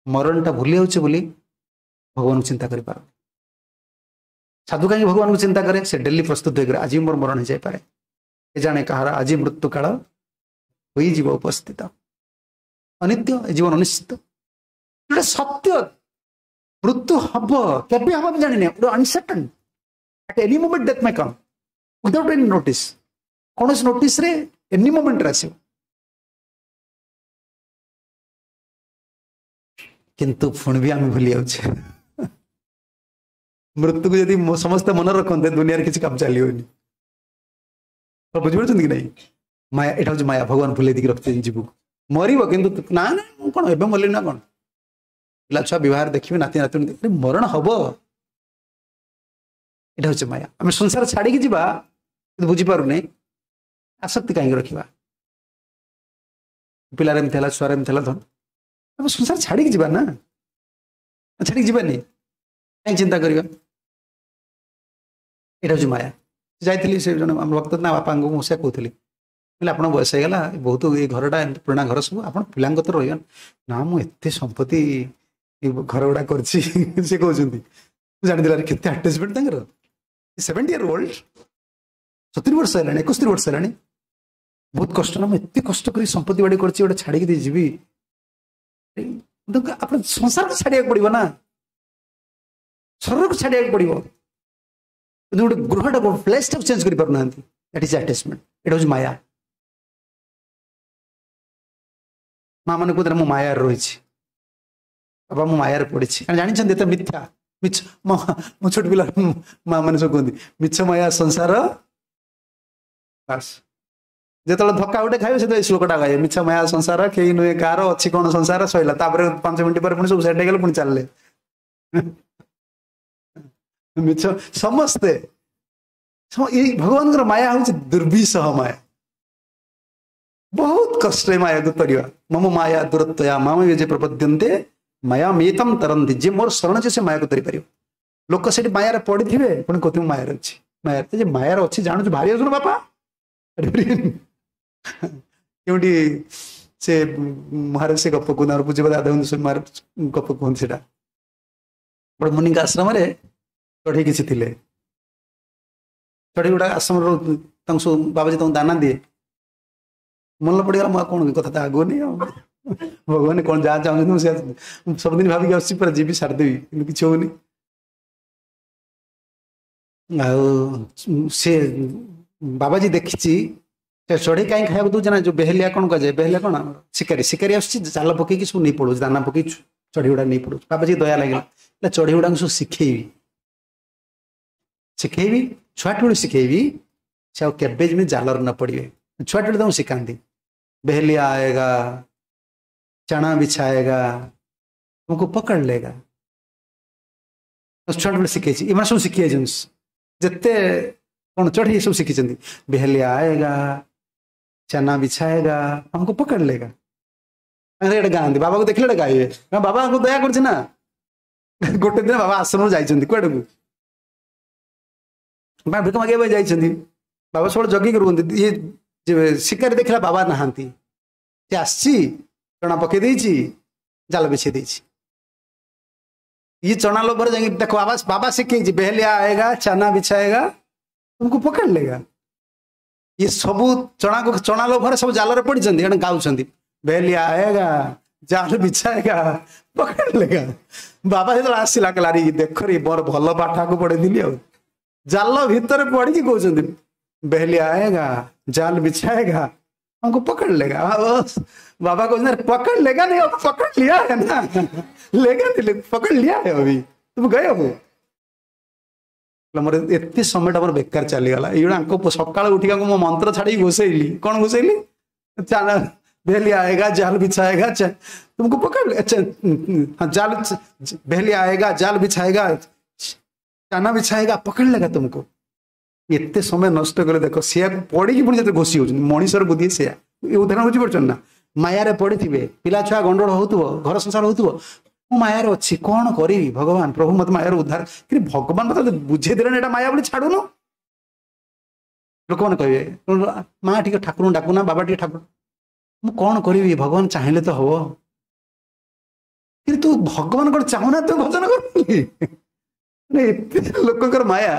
ମରଣଟା ଭୁଲି ଯାଉଛେ ବୋଲି ଭଗବାନଙ୍କୁ ଚିନ୍ତା କରିପାରୁନି। ସାଧୁ କାହିଁକି ଭଗବାନଙ୍କୁ ଚିନ୍ତା କରେ? ସେ ଡେଲି ପ୍ରସ୍ତୁତ ହେଇକରେ ଆଜି ମୋର ମରଣ ହେଇଯାଇପାରେ, ଏ ଜାଣେ କାହାର ଆଜି ମୃତ୍ୟୁ କାଳ ହୋଇଯିବ ଉପସ୍ଥିତ। ଅନିତ୍ୟ ଏ ଜୀବନ ଅନିଶ୍ଚିତ, ଗୋଟେ ସତ୍ୟ। ମୃତ୍ୟୁ ହବ, କେବେ ହବ ଆମେ ଜାଣିନେ, ଗୋଟେ uncertain. At any moment death may come without any notice. କୌଣସି ନୋଟିସରେ ଏନି ମୋମେଣ୍ଟରେ ଆସିବ। କିନ୍ତୁ ପୁଣି ବି ଆମେ ଭୁଲି ଯାଉଛେ। ମୃତ୍ୟୁକୁ ଯଦି ସମସ୍ତେ ମନେ ରଖନ୍ତେ ଦୁନିଆରେ କିଛି କାମ ଚାଲିବନି। ବୁଝିପାରୁଛନ୍ତି କି ନାଇଁ? ମାୟା, ଏଇଟା ହଉଛି ମାୟା। ଭଗବାନ ଭୁଲେଇ ଦେଇକି ରଖିଛନ୍ତି ଜୀବକୁ। ମରିବ କିନ୍ତୁ ନା ନା ମୁଁ କ'ଣ ଏବେ ମରିଲି ନା କ'ଣ, ପିଲା ଛୁଆ ବିବାହ ଦେଖିବେ, ନାତି ନାତୁଣୀ ଦେଖିବେ, ମରଣ ହବ। ଏଇଟା ହଉଛି ମାୟା। ଆମେ ସଂସାର ଛାଡ଼ିକି ଯିବା କିନ୍ତୁ ବୁଝିପାରୁନେ ଆସକ୍ତି କାହିଁକି ରଖିବା। ପିଲାର ଏମିତି ହେଲା, ଛୁଆର ଏମିତି ହେଲା, ଧନ ଆମେ ସଂସାର ଛାଡ଼ିକି ଯିବା ନା, ଛାଡ଼ିକି ଯିବାନି, କାହିଁ ଚିନ୍ତା କରିବା? ଏଇଟା ହଉଛି ମାୟା। ଯାଇଥିଲି ସେ ଜଣେ ଆମ ଭକ୍ତ ନା ବାପାଙ୍କୁ ମୁଁ ସେୟା କହୁଥିଲି, କହିଲେ ଆପଣଙ୍କ ବୟସ ହେଇଗଲା ବହୁତ, ଏଇ ଘରଟା ଏମିତି ପୁରୁଣା ଘର ସବୁ, ଆପଣ ପିଲାଙ୍କ ତ ରହିବ ନା, ମୁଁ ଏତେ ସମ୍ପତ୍ତି ଘର ଗୁଡ଼ା କରିଛି। ସେ କହୁଛନ୍ତି ମୁଁ ଜାଣିଥିଲି କେତେ ଆଟାଚମେଣ୍ଟ ତାଙ୍କର। ସେଭେଣ୍ଟି ଇୟର ଓଲ୍ଡ, ସତୁରି ବର୍ଷ ହେଲାଣି, ଏକସ୍ତରୀ ବର୍ଷ ହେଲାଣି, ବହୁତ କଷ୍ଟ ନା, ମୁଁ ଏତେ କଷ୍ଟ କରି ସମ୍ପତ୍ତି ବାଡ଼ି କରିଛି, ଗୋଟେ ଛାଡ଼ିକି ଦେଇ ଯିବି। ଆପଣ ସଂସାରକୁ ଛାଡ଼ିବାକୁ ପଡ଼ିବ ନା, ଶରୀରକୁ ଛାଡ଼ିବାକୁ ପଡ଼ିବ, କିନ୍ତୁ ଗୋଟେ ଗୃହଟାକୁ ପ୍ଲେସଟାକୁ ଚେଞ୍ଜ କରିପାରୁନାହାନ୍ତି। That is attachment. ଏଇଟା ହେଉଛି ମାୟା। ମା ମାନେ କହୁଥିଲେ ମୁଁ ମାୟାରେ ରହିଛି ବାବା, ମୁଁ ମାୟାରେ ପଡ଼ିଛି। କାରଣ ଜାଣିଛନ୍ତି ଏତେ ମିଥ୍ୟା, ମିଛ। ମୋ ଛୋଟ ପିଲା ମା ମାନେ ସବୁ କୁହନ୍ତି ମିଛ ମାୟା ସଂସାର। ବାସ୍ ଯେତେବେଳେ ଧକ୍କା ଗୋଟେ ଖାଇବେ ସେତେବେଳେ ଶ୍ଲୋକଟା ଗାଇବେ, ମିଛ ମାୟା ସଂସାର କେହି ନୁହେଁ କାହାର, ଅଛି କ'ଣ ସଂସାର, ସଇଲା। ତାପରେ ପାଞ୍ଚ ମିନିଟ୍ ପରେ ପୁଣି ସବୁ ସେଟ୍ ହେଇଗଲେ, ପୁଣି ଚାଲିଲେ ମିଛ। ସମସ୍ତେ ଏଇ ଭଗବାନଙ୍କର ମାୟା ହଉଛି ଦୁର୍ବିସହ ମାୟା। ବହୁତ କଷ୍ଟ ଏ ମାୟାକୁ ତରିବା। ମମ ମାୟା ଦୂରତ୍ୱୟା ମାମ ଯେ ପ୍ରପଦ୍ୟନ୍ତେ ମାୟା ମେତମ ତରନ୍ତି। ଯିଏ ମୋର ଶରଣ ଯେ ସେ ମାୟାକୁ ତରିପାରିବ। ଲୋକ ସେଠି ମାୟାରେ ପଡ଼ିଥିବେ, ପୁଣି କହୁଥିବେ ମାୟାରେ ଅଛି, ମାୟାରେ ଯେ ମାୟାରେ ଅଛି ଜାଣୁଛୁ, ଭାରି ଅଛୁ ବାପା। କେଉଁଠି ସେ ମହାରାଜ ସେ ଗପ କୁହନ୍ତି, ଆମର ପୂଜ୍ୟ ଦାଦା ମହାରାଜ ଗପ କୁହନ୍ତି। ସେଇଟା ଗୋଟେ ମୁନିଙ୍କ ଆଶ୍ରମରେ ଚଢ଼େଇ କିଛି ଥିଲେ, ଚଢ଼େଇ ଗୁଡ଼ା ଆଶ୍ରମରେ ତାଙ୍କୁ ସବୁ ବାବାଜୀ ତାଙ୍କୁ ଦାନା ଦିଏ। ମନେ ପଡ଼ିଗଲା ମୁଁ ଆଉ କ'ଣ କଥା ତ ଆଗୁନି, ଆଉ ଭଗବାନ କ'ଣ ଯାହା ଚାହୁଁଛନ୍ତି ମୁଁ ସେୟା ସବୁଦିନ ଭାବିକି ଆସୁଛି, ପୁରା ଯିବି ସାରିଦେବି, କିନ୍ତୁ କିଛି ହଉନି। ଆଉ ସେ ବାବାଜୀ ଦେଖିଛି ସେ ଚଢ଼େଇ କାହିଁ ଖାଇବାକୁ ଦଉଛି ନା, ଯୋଉ ବେହେଲିଆ କ'ଣ କୁହାଯାଏ, ବେହେଲିଆ କ'ଣ ଶିକାରୀ, ଶିକାରୀ ଆସୁଛି ଜାଲ ପକେଇକି ସବୁ ନେଇ ପଳଉଛି, ଦାନା ପକେଇ ଚଢ଼େଇ ଗୁଡ଼ା ନେଇ ପଳଉଛି। ବାବାଜୀ ଦୟା ଲାଗିଲା, ଚଢ଼େଇ ଗୁଡ଼ାଙ୍କୁ ସବୁ ଶିଖେଇବି ଶିଖେଇବି ଛୁଆଟି ବେଳୁ ଶିଖେଇବି, ସେ ଆଉ କେବେ ଯେମିତି ଜାଲରେ ନ ପଡ଼ିବେ। ଛୁଆଟି ବେଳୁ ତାଙ୍କୁ ଶିଖାନ୍ତି, ବେହେଲିଆ ଆଏଗା ଚଣା ବିଛାଏଗା ତୁମକୁ ପକड़ लेगा। ଛୁଆଟି ବେଳୁ ଶିଖେଇଛି, ଏମାନେ ସବୁ ଶିଖି ଯାଇଛନ୍ତି, ଯେତେ କ'ଣ ଚଢ଼େଇ ସବୁ ଶିଖିଛନ୍ତି। ବେହେଲିଆ ଆଏଗା ଚନା ବିଛାଏଗା ଆମକୁ ପକड़ लेगा। ଏଇଟା ଗାଆନ୍ତି, ବାବାକୁ ଦେଖିଲେ ଏଇଟା ଗାଇବେ, ବାବାଙ୍କୁ ଦୟା କରୁଛି ନା। ଗୋଟେ ଦିନ ବାବା ଆଶ୍ରମରୁ ଯାଇଛନ୍ତି କୁଆଡ଼କୁ, ଭିକ ମାଗିବା ପାଇଁ ଯାଇଛନ୍ତି। ବାବା ସବୁବେଳେ ଜଗିକି ରୁହନ୍ତି। ଇଏ ଶିକାରୀ ଦେଖିଲା ବାବା ନାହାନ୍ତି, ସେ ଆସିଛି ଚଣା ପକେଇ ଦେଇଛି, ଜାଲ ବିଛେଇ ଦେଇଛି। ଇଏ ଚଣା ଲୋଭରେ ଯାଇକି ଦେଖ ବାବା, ବାବା ଶିଖେଇଛି ବେହେଲିଆ ଆଏଗା ଚନା ବିଛାଏଗା तुमको पकड़ लेगा। ଇଏ ସବୁ ଚଣାକୁ ଚଣା ଲୋଭରେ ସବୁ ଜାଲରେ ପଡିଛନ୍ତି, ଏଣେ ଗାଉଛନ୍ତି ବେଲିଆ ଆଏଗା ଜାଲ ବିଛାଏଗା ପକड़ लेगा। ବାବା ଯେତେବେଳେ ଆସିଲା କହିଲା ଆରେ ଦେଖ ରେ ମୋର ଭଲ ପାଠକୁ ପଢେଇଥିଲି, ଆଉ ଜାଲ ଭିତରେ ପଡିକି କହୁଛନ୍ତି ବେଲିଆ ଆଏଗା ଜାଲ ବିଛାଏଗା हमको पकड़ लेगा। बाबा को पकड़ लेगा नहीं, अब पकड़ लिया है ना, लेगा नहीं, पकड़ लिया है अभी तुम गए हो। ମୋର ଏତେ ସମୟଟା ମୋର ବେକାର ଚାଲିଗଲା। ଏଇଗୁଡ଼ା ଆଙ୍କ ସକାଳୁ ଉଠିକି ଆଙ୍କୁ ମୋ ମନ୍ତ୍ର ଛାଡ଼ିକି ଘୋଷେଇଲି। କଣ ଘୋଷେଇଲି? बेली आएगा जाल बिछाएगा तुमको पकड़ ले, हाँ, जाल बेली आएगा जाल बिछाएगा चाना बिछाएगा पकड़ लेगा तुमको। ଏତେ ସମୟ ନଷ୍ଟ କଲେ ଦେଖ, ସେୟାକୁ ପଢିକି ପୁଣି ଯେତେ ଘୋଷି ହଉଛନ୍ତି। ମଣିଷର ବୁଦ୍ଧି ସେୟା। ଏ ଉଦାହରଣ ବୁଝିପାରୁଛନ୍ତି ନା? ମାୟାରେ ପଡିଥିବେ, ପିଲା ଛୁଆ ଗଣ୍ଡଗୋଳ ହଉଥିବ, ଘର ସଂସାର ହଉଥିବ, ମୁଁ ମାୟାରେ ଅଛି, କଣ କରିବି ଭଗବାନ ପ୍ରଭୁ ମତେ ମାୟାରୁ ଉଦ୍ଧାର। କିନ୍ତୁ ଭଗବାନ ମତେ ବୁଝେଇ ଦେଲେଣି ଏଇଟା ମାୟା ବୋଲି, ଛାଡୁନୁ। ଲୋକମାନେ କହିବେ ମା ଟିକେ ଠାକୁରଙ୍କୁ ଡାକୁନା, ବାବା ଟିକେ ଠାକୁର, ମୁଁ କଣ କରିବି ଭଗବାନ ଚାହିଁଲେ ତ ହବ। କିନ୍ତୁ ଭଗବାନ କଣ ଚାହୁଁନା ତୁ ଭଜନ କର ବୋଲି? ମାନେ ଏତେ ଲୋକଙ୍କର ମାୟା।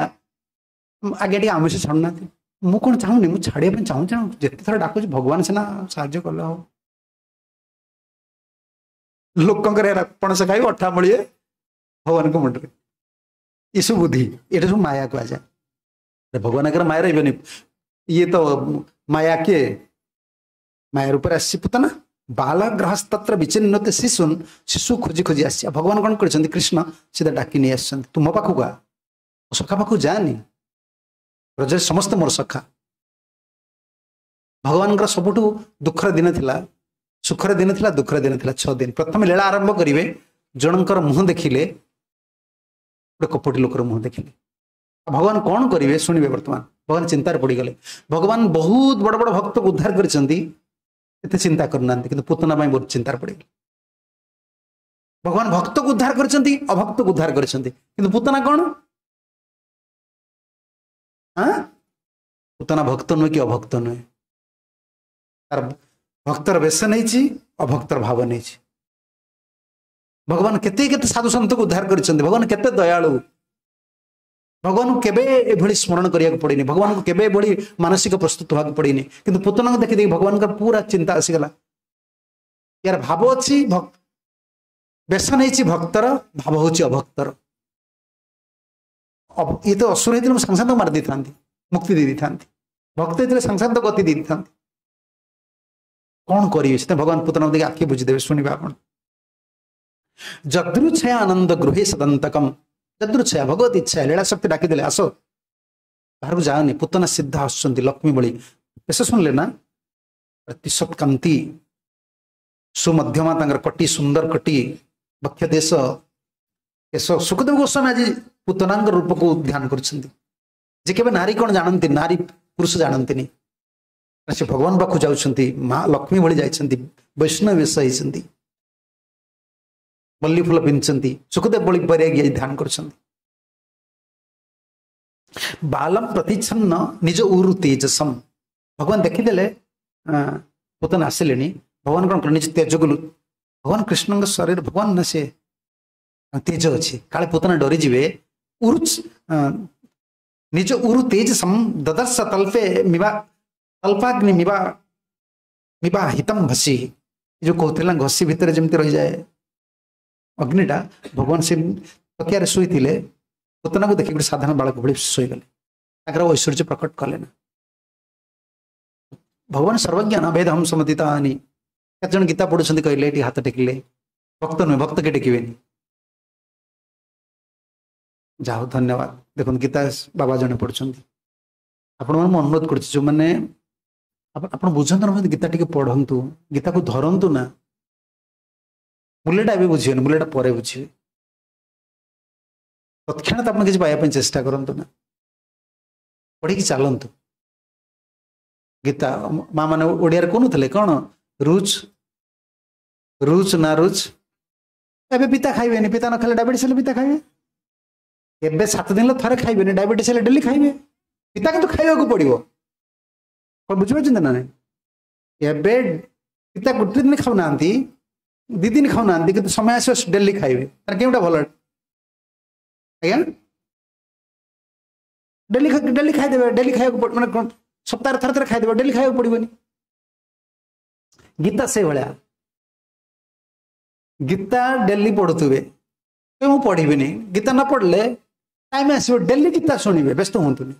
ଆଜ୍ଞା ଟିକେ ଆମିଷ ଛାଡୁନାହାନ୍ତି, ମୁଁ କଣ ଚାହୁଁନି, ମୁଁ ଛାଡିବା ପାଇଁ ଚାହୁଁଛି, ଯେତେ ଥର ଡାକୁଛି ଭଗବାନ ସିନା ସାହାଯ୍ୟ କଲେ ହବ। ଲୋକଙ୍କର ଏରା ପଣସ ଖାଇବ ଅଠା ମଳିଏ ଭଗବାନଙ୍କ ମୁଣ୍ଡରେ। ଏସବୁ ବୁଦ୍ଧି, ଏଇଟା ସବୁ ମାୟା କୁହାଯାଏ। ଭଗବାନଙ୍କର ମାୟା ରହିବନି। ଇଏ ତ ମାୟା କିଏ? ମାୟା ରୂପରେ ଆସିଛି ପୁତନା। ବାଲଗ୍ରହସ୍ତତ୍ର ବିଚିନ୍ନତେ ଶିଶୁନ, ଶିଶୁ ଖୋଜି ଖୋଜି ଆସିଛି। ଆଉ ଭଗବାନ କଣ କରିଛନ୍ତି? କୃଷ୍ଣ ସିଧା ଡାକି ନେଇ ଆସିଛନ୍ତି, ତୁ ମୋ ପାଖକୁ ଆ, ମୋ ସଖା ପାଖକୁ ଯାନି, ବ୍ରଜରେ ସମସ୍ତେ ମୋର ସଖା। ଭଗବାନଙ୍କର ସବୁଠୁ ଦୁଃଖର ଦିନ ଥିଲା, ସୁଖର ଦିନ ଥିଲା, ଦୁଃଖର ଦିନ ଥିଲା ଛଅ ଦିନ। ପ୍ରଥମେ ଲୀଳା ଆରମ୍ଭ କରିବେ, ଜଣଙ୍କର ମୁହଁ ଦେଖିଲେ, ଗୋଟେ କପଟି ଲୋକର ମୁହଁ ଦେଖିଲେ। ଭଗବାନ କଣ କରିବେ ଶୁଣିବେ। ବର୍ତ୍ତମାନ ଭଗବାନ ଚିନ୍ତାରେ ପଡିଗଲେ। ଭଗବାନ ବହୁତ ବଡ ବଡ ଭକ୍ତକୁ ଉଦ୍ଧାର କରିଛନ୍ତି, ଏତେ ଚିନ୍ତା କରୁନାହାନ୍ତି, କିନ୍ତୁ ପୁତନା ପାଇଁ ବହୁତ ଚିନ୍ତାରେ ପଡିଗଲେ। ଭଗବାନ ଭକ୍ତକୁ ଉଦ୍ଧାର କରିଛନ୍ତି, ଅଭକ୍ତକୁ ଉଦ୍ଧାର କରିଛନ୍ତି, କିନ୍ତୁ ପୁତନା କଣ? ହଁ, ପୁତନା ଭକ୍ତ ନୁହେଁ କି ଅଭକ୍ତ ନୁହେଁ। ତାର ଭକ୍ତର ବେଶ ନେଇଛି, ଅଭକ୍ତର ଭାବ ନେଇଛି। ଭଗବାନ କେତେ କେତେ ସାଧୁ ସନ୍ତକୁ ଉଦ୍ଧାର କରିଛନ୍ତି। ଭଗବାନ କେତେ ଦୟାଳୁ। ଭଗବାନଙ୍କୁ କେବେ ଏଭଳି ସ୍ମରଣ କରିବାକୁ ପଡିନି, ଭଗବାନଙ୍କୁ କେବେ ଏଭଳି ମାନସିକ ପ୍ରସ୍ତୁତ ହେବାକୁ ପଡିନି। କିନ୍ତୁ ପୁତନାଙ୍କୁ ଦେଖି ଦେଖି ଭଗବାନଙ୍କର ପୁରା ଚିନ୍ତା ଆସିଗଲା। ୟାର ଭାବ ଅଛି, ବେଶ ନେଇଛି ଭକ୍ତର, ଭାବ ହଉଛି ଅଭକ୍ତର। ଇଏ ତ ଅସୁର ହେଇଥିଲେ ମୁଁ ସାଙ୍ଗେ ସାଙ୍ଗେ ମାରି ଦେଇଥାନ୍ତି, ମୁକ୍ତି ଦେଇ ଦେଇଥାନ୍ତି। ଭକ୍ତ ହେଇଥିଲେ ସାଙ୍ଗେ ସାଙ୍ଗେ ଗତି ଦେଇ ଦେଇଥାନ୍ତି। କଣ କରିବେ? ସେଥିପାଇଁ ଭଗବାନ ପୁତନାକୁ ଦେଖି ଆଖି ବୁଝିଦେବେ। ଶୁଣିବେ ଆପଣ। ଯଦୃଚ୍ଛୟା ଆନନ୍ଦ ଗୃହେ ସଦନ୍ତକମ, ଯଦୃଚ୍ଛୟା ଭଗବତ ଇଚ୍ଛା, ଲୀଳା ଶକ୍ତି ଡାକିଦେଲେ ଆସ, ବାହାରକୁ ଯାଅନି। ପୁତନା ସିଦ୍ଧ ଆସୁଛନ୍ତି ଲକ୍ଷ୍ମୀ ଭଳି। ବେଶ ଶୁଣିଲେ ନା, ପ୍ରତିଶତ କାନ୍ତି, ସୁମଧ୍ୟମା ତାଙ୍କର କଟି, ସୁନ୍ଦର କଟି, ବକ୍ଷ ଦେଶ କେଶ। ସୁଖଦେବ ଗୋସ୍ୱାମୀ ଆଜି ପୁତନାଙ୍କ ରୂପକୁ ଧ୍ୟାନ କରୁଛନ୍ତି। ଯେ କେବେ ନାରୀ କଣ ଜାଣନ୍ତି, ନାରୀ ପୁରୁଷ ଜାଣନ୍ତିନି। ସେ ଭଗବାନ ପାଖକୁ ଯାଉଛନ୍ତି, ମା ଲକ୍ଷ୍ମୀ ଭଳି ଯାଇଛନ୍ତି, ବୈଷ୍ଣବ ବେଶ ହେଇଛନ୍ତି, ମଲ୍ଲି ଫୁଲ ପିନ୍ଧିଛନ୍ତି। ସୁଖଦେବ ଭଳି ବୈରାଗୀ ଆଜି ଧ୍ୟାନ କରୁଛନ୍ତି। ବାଲମ ପ୍ରତିଚ୍ଛନ୍ନ ନିଜ ଉରୁ ତେଜସମ, ଭଗବାନ ଦେଖିଦେଲେ ପୁତନା ଆସିଲେଣି। ଭଗବାନ କଣ କଲେ? ନିଜ ତେଜକୁ, ଭଗବାନ କୃଷ୍ଣଙ୍କ ଶରୀର ଭଗବାନ ନା, ସେ ତେଜ ଅଛି, କାଳେ ପୁତନା ଡରିଯିବେ। ଉରୁ ନିଜ ଉରୁ ତେଜସମ ଦଦର୍ଶ ତଲ୍ପେ ମିବା ତଲ୍ପାଗ୍ନି ମିବା ମିବା ହିତମ ଭସି। ଯୋଉ କହୁଥିଲା ଘଷି ଭିତରେ ଯେମିତି ରହିଯାଏ ଅଗ୍ନିଟା, ଭଗବାନ ସେ ତକିଆରେ ଶୋଇଥିଲେ, ପୁତନାକୁ ଦେଖି ଗୋଟେ ସାଧାରଣ ବାଳକ ଭଳି ଶୋଇଗଲେ। ତାଙ୍କର ଐଶ୍ୱର୍ଯ୍ୟ ପ୍ରକଟ କଲେ ନା। ଭଗବାନ ସର୍ବଜ୍ଞ ନା, ବେଦହମ ସମତିତାନି। କେତେ ଜଣ ଗୀତା ପଢୁଛନ୍ତି କହିଲେ? ଏଠି ହାତ ଟେକିଲେ। ଭକ୍ତ ନୁହେଁ, ଭକ୍ତ କେ ଟେକିବେନି। ଯାଉ, ଧନ୍ୟବାଦ। ଦେଖନ୍ତୁ, ଗୀତା ବାବା ଜଣେ ପଢୁଛନ୍ତି। ଆପଣମାନଙ୍କୁ ମୁଁ ଅନୁରୋଧ କରୁଛି, ଯୋଉମାନେ ଆପଣ ବୁଝନ୍ତୁ ନା, ଗୀତା ଟିକେ ପଢନ୍ତୁ, ଗୀତାକୁ ଧରନ୍ତୁ ନା। ମୂଲ୍ୟଟା ଏବେ ବୁଝିବେନି, ମୂଲ୍ୟଟା ପରେ ବୁଝିବେ। ତତ୍କ୍ଷଣାତ ଆପଣ କିଛି ପାଇବା ପାଇଁ ଚେଷ୍ଟା କରନ୍ତୁ ନା, ପଢିକି ଚାଲନ୍ତୁ ଗୀତା। ମା ମାନେ ଓଡ଼ିଆରେ କହୁନଥିଲେ କଣ? ରୁଚ୍ ରୁଚ୍ ନା ରୁଚ୍। ଏବେ ପିତା ଖାଇବେନି, ପିତା ନ ଖାଇଲେ ଡାଇବେଟିସ୍ ହେଲେ ପିତା ଖାଇବେ। ଏବେ ସାତ ଦିନ ଥରେ ଖାଇବେନି, ଡାଇବେଟିସ୍ ହେଲେ ଡେଲି ଖାଇବେ ପିତା, କିନ୍ତୁ ଖାଇବାକୁ ପଡିବ। କଣ ବୁଝିପାରୁଛନ୍ତି ନା ନାଇଁ? ଏବେ ପିତା ଗୋଟେ ଦିନ ଖାଉନାହାନ୍ତି, ଦି ଦିନ ଖାଉନାହାନ୍ତି, କିନ୍ତୁ ସମୟ ଆସିବ ଡେଲି ଖାଇବେ। ତାର କେଉଁଟା ଭଲ ଆଜ୍ଞା? ଡେଲି ଡେଲି ଖାଇଦେବେ ଡେଲି ଖାଇବାକୁ ମାନେ ସପ୍ତାହରେ ଥରେ ଥରେ ଖାଇଦେବେ ଡେଲି ଖାଇବାକୁ ପଡ଼ିବନି ଗୀତା ସେଇଭଳିଆ ଗୀତା ଡେଲି ପଢୁଥିବେ ମୁଁ ପଢିବିନି ଗୀତା ନ ପଢିଲେ ଟାଇମ୍ ଆସିବ ଡେଲି ଗୀତା ଶୁଣିବେ ବ୍ୟସ୍ତ ହୁଅନ୍ତୁନି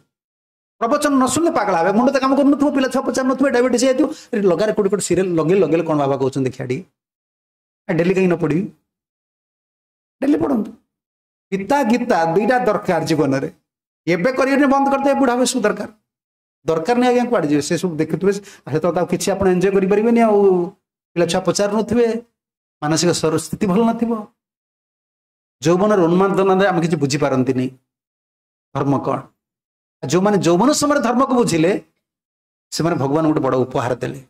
ପ୍ରବଚନ ନ ଶୁଣିଲେ ପାଗଳ ହେବେ ମୁଣ୍ଡ ତ କାମ କରୁନଥିବ ପିଲା ଛୁଆ ପଚାରୁନଥିବେ ଡାଇବେଟିସ୍ ହେଇଯାଇଥିବ ଲଗାରେ କୋଉଠି କୋଉଠି ସିରିଏଲ ଲଗେଇ ଲଗେଇଲେ କ'ଣ ବାବା କହୁଛନ୍ତି ଦେଖିଆ ଟିକେ ଡେଲି କାହିଁକି ନ ପଢିବି ଡେଲି ପଢନ୍ତୁ ଗୀତା ଗୀତା ଦୁଇଟା ଦରକାର ଜୀବନରେ ଏବେ କରିବେନି ବନ୍ଦ କରିଦେବେ ବୁଢା ବୟସକୁ ଦରକାର ଦରକାର ନାହିଁ ଆଜ୍ଞା କୁଆଡ଼େ ଯିବେ ସେ ସବୁ ଦେଖୁଥିବେ ସେତେବେଳେ ଆଉ କିଛି ଆପଣ ଏନ୍ଜୟ କରିପାରିବେନି ଆଉ ପିଲା ଛୁଆ ପଚାରୁନଥିବେ ମାନସିକ ସ୍ଥିତି ଭଲ ନଥିବ ଯୌବନର ଉନ୍ମାଦନାରେ ଆମେ କିଛି ବୁଝିପାରନ୍ତିନି ଧର୍ମ କ'ଣ ଯେଉଁମାନେ ଯୌବନ ସମୟରେ ଧର୍ମକୁ ବୁଝିଲେ ସେମାନେ ଭଗବାନ ଗୋଟେ ବଡ଼ ଉପହାର ଦେଲେ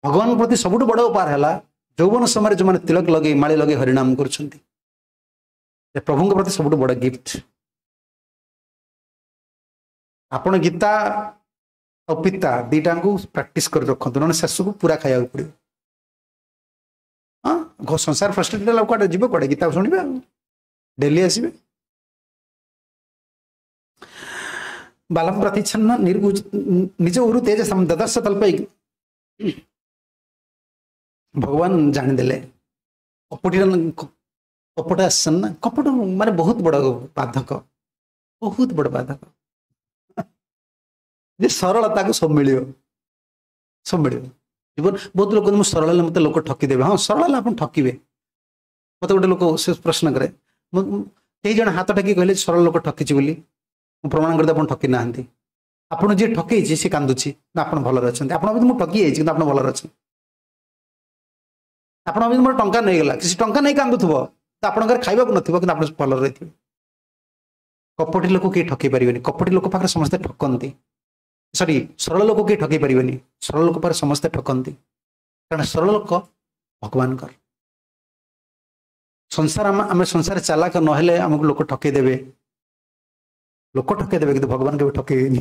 ଭଗବାନଙ୍କ ପ୍ରତି ସବୁଠୁ ବଡ଼ ଉପହାର ହେଲା ଯୌବନ ସମୟରେ ଯେଉଁମାନେ ତିଳକ ଲଗେଇ ମାଳି ଲଗେଇ ହରିନାମ କରୁଛନ୍ତି ପ୍ରଭୁଙ୍କ ପ୍ରତି ସବୁଠୁ ବଡ଼ ଗିଫ୍ଟ ଆପଣ ଗୀତା ଆଉ ପିତା ଦିଟାଙ୍କୁ ପ୍ରାକ୍ଟିସ କରି ରଖନ୍ତୁ ନହେଲେ ଶେଷକୁ ପୁରା ଖାଇବାକୁ ପଡ଼ିବ ହଁ ସଂସାର ଫ୍ରଷ୍ଟ୍ରେଟେଡ୍ ହେଲା କୁଆଡ଼େ ଯିବ କୁଆଡ଼େ ଗୀତା ଶୁଣିବେ ଆଉ ଡେଲି ଆସିବେ ବାଲମ ପ୍ରତିଚ୍ଛନ୍ନ ନିଜ ଉରୁ ତେଜ ଦଦର୍ଶ ତଳ୍ପଇ ଭଗବାନ ଜାଣିଦେଲେ କପଟିର କପଟ ଆସିଛନ୍ତି ନା କପଟ ମାନେ ବହୁତ ବଡ଼ ବାଧକ ବହୁତ ବଡ଼ ବାଧକ ଯେ ସରଳ ତାକୁ ସବୁ ମିଳିବ ସବୁ ମିଳିବ ଜୀବନ ବହୁତ ଲୋକ ମୁଁ ସରଳ ହେଲେ ମୋତେ ଲୋକ ଠକିଦେବେ ହଁ ସରଳ ହେଲେ ଆପଣ ଠକିବେ ମୋତେ ଗୋଟେ ଲୋକ ସେ ପ୍ରଶ୍ନ କରେ ମୁଁ କେହି ଜଣେ ହାତ ଟେକି କହିଲେ ସରଳ ଲୋକ ଠକିଛି ବୋଲି ମୁଁ ପ୍ରମାଣ କରିଦେବି ଆପଣ ଠକି ନାହାନ୍ତି ଆପଣ ଯିଏ ଠକେଇଛି ସେ କାନ୍ଦୁଛି ନା ଆପଣ ଭଲରେ ଅଛନ୍ତି ଆପଣ ଭାବୁଛନ୍ତି ମୁଁ ଠକି ଯାଇଛି କିନ୍ତୁ ଆପଣ ଭଲରେ ଅଛନ୍ତି ଆପଣ ଭାବୁଛନ୍ତି ମୋର ଟଙ୍କା ନେଇଗଲା କିଛି ଟଙ୍କା ନେଇ କାନ୍ଦୁଥିବ ତ ଆପଣଙ୍କର ଖାଇବାକୁ ନଥିବ କିନ୍ତୁ ଆପଣ ଭଲରେ ରହିଥିବେ କପଟି ଲୋକ କେହି ଠକେଇ ପାରିବେନି କପଟି ଲୋକ ପାଖରେ ସମସ୍ତେ ଠକନ୍ତି ସରି ସରଳ ଲୋକ କେହି ଠକେଇ ପାରିବେନି ସରଳ ଲୋକ ପାଖରେ ସମସ୍ତେ ଠକନ୍ତି କାରଣ ସରଳ ଲୋକ ଭଗବାନଙ୍କର ସଂସାର ଆମେ ସଂସାର ଚାଲାକ ନହେଲେ ଆମକୁ ଲୋକ ଠକେଇ ଦେବେ ଲୋକ ଠକେଇ ଦେବେ କିନ୍ତୁ ଭଗବାନ କେବେ ଠକେଇବେନି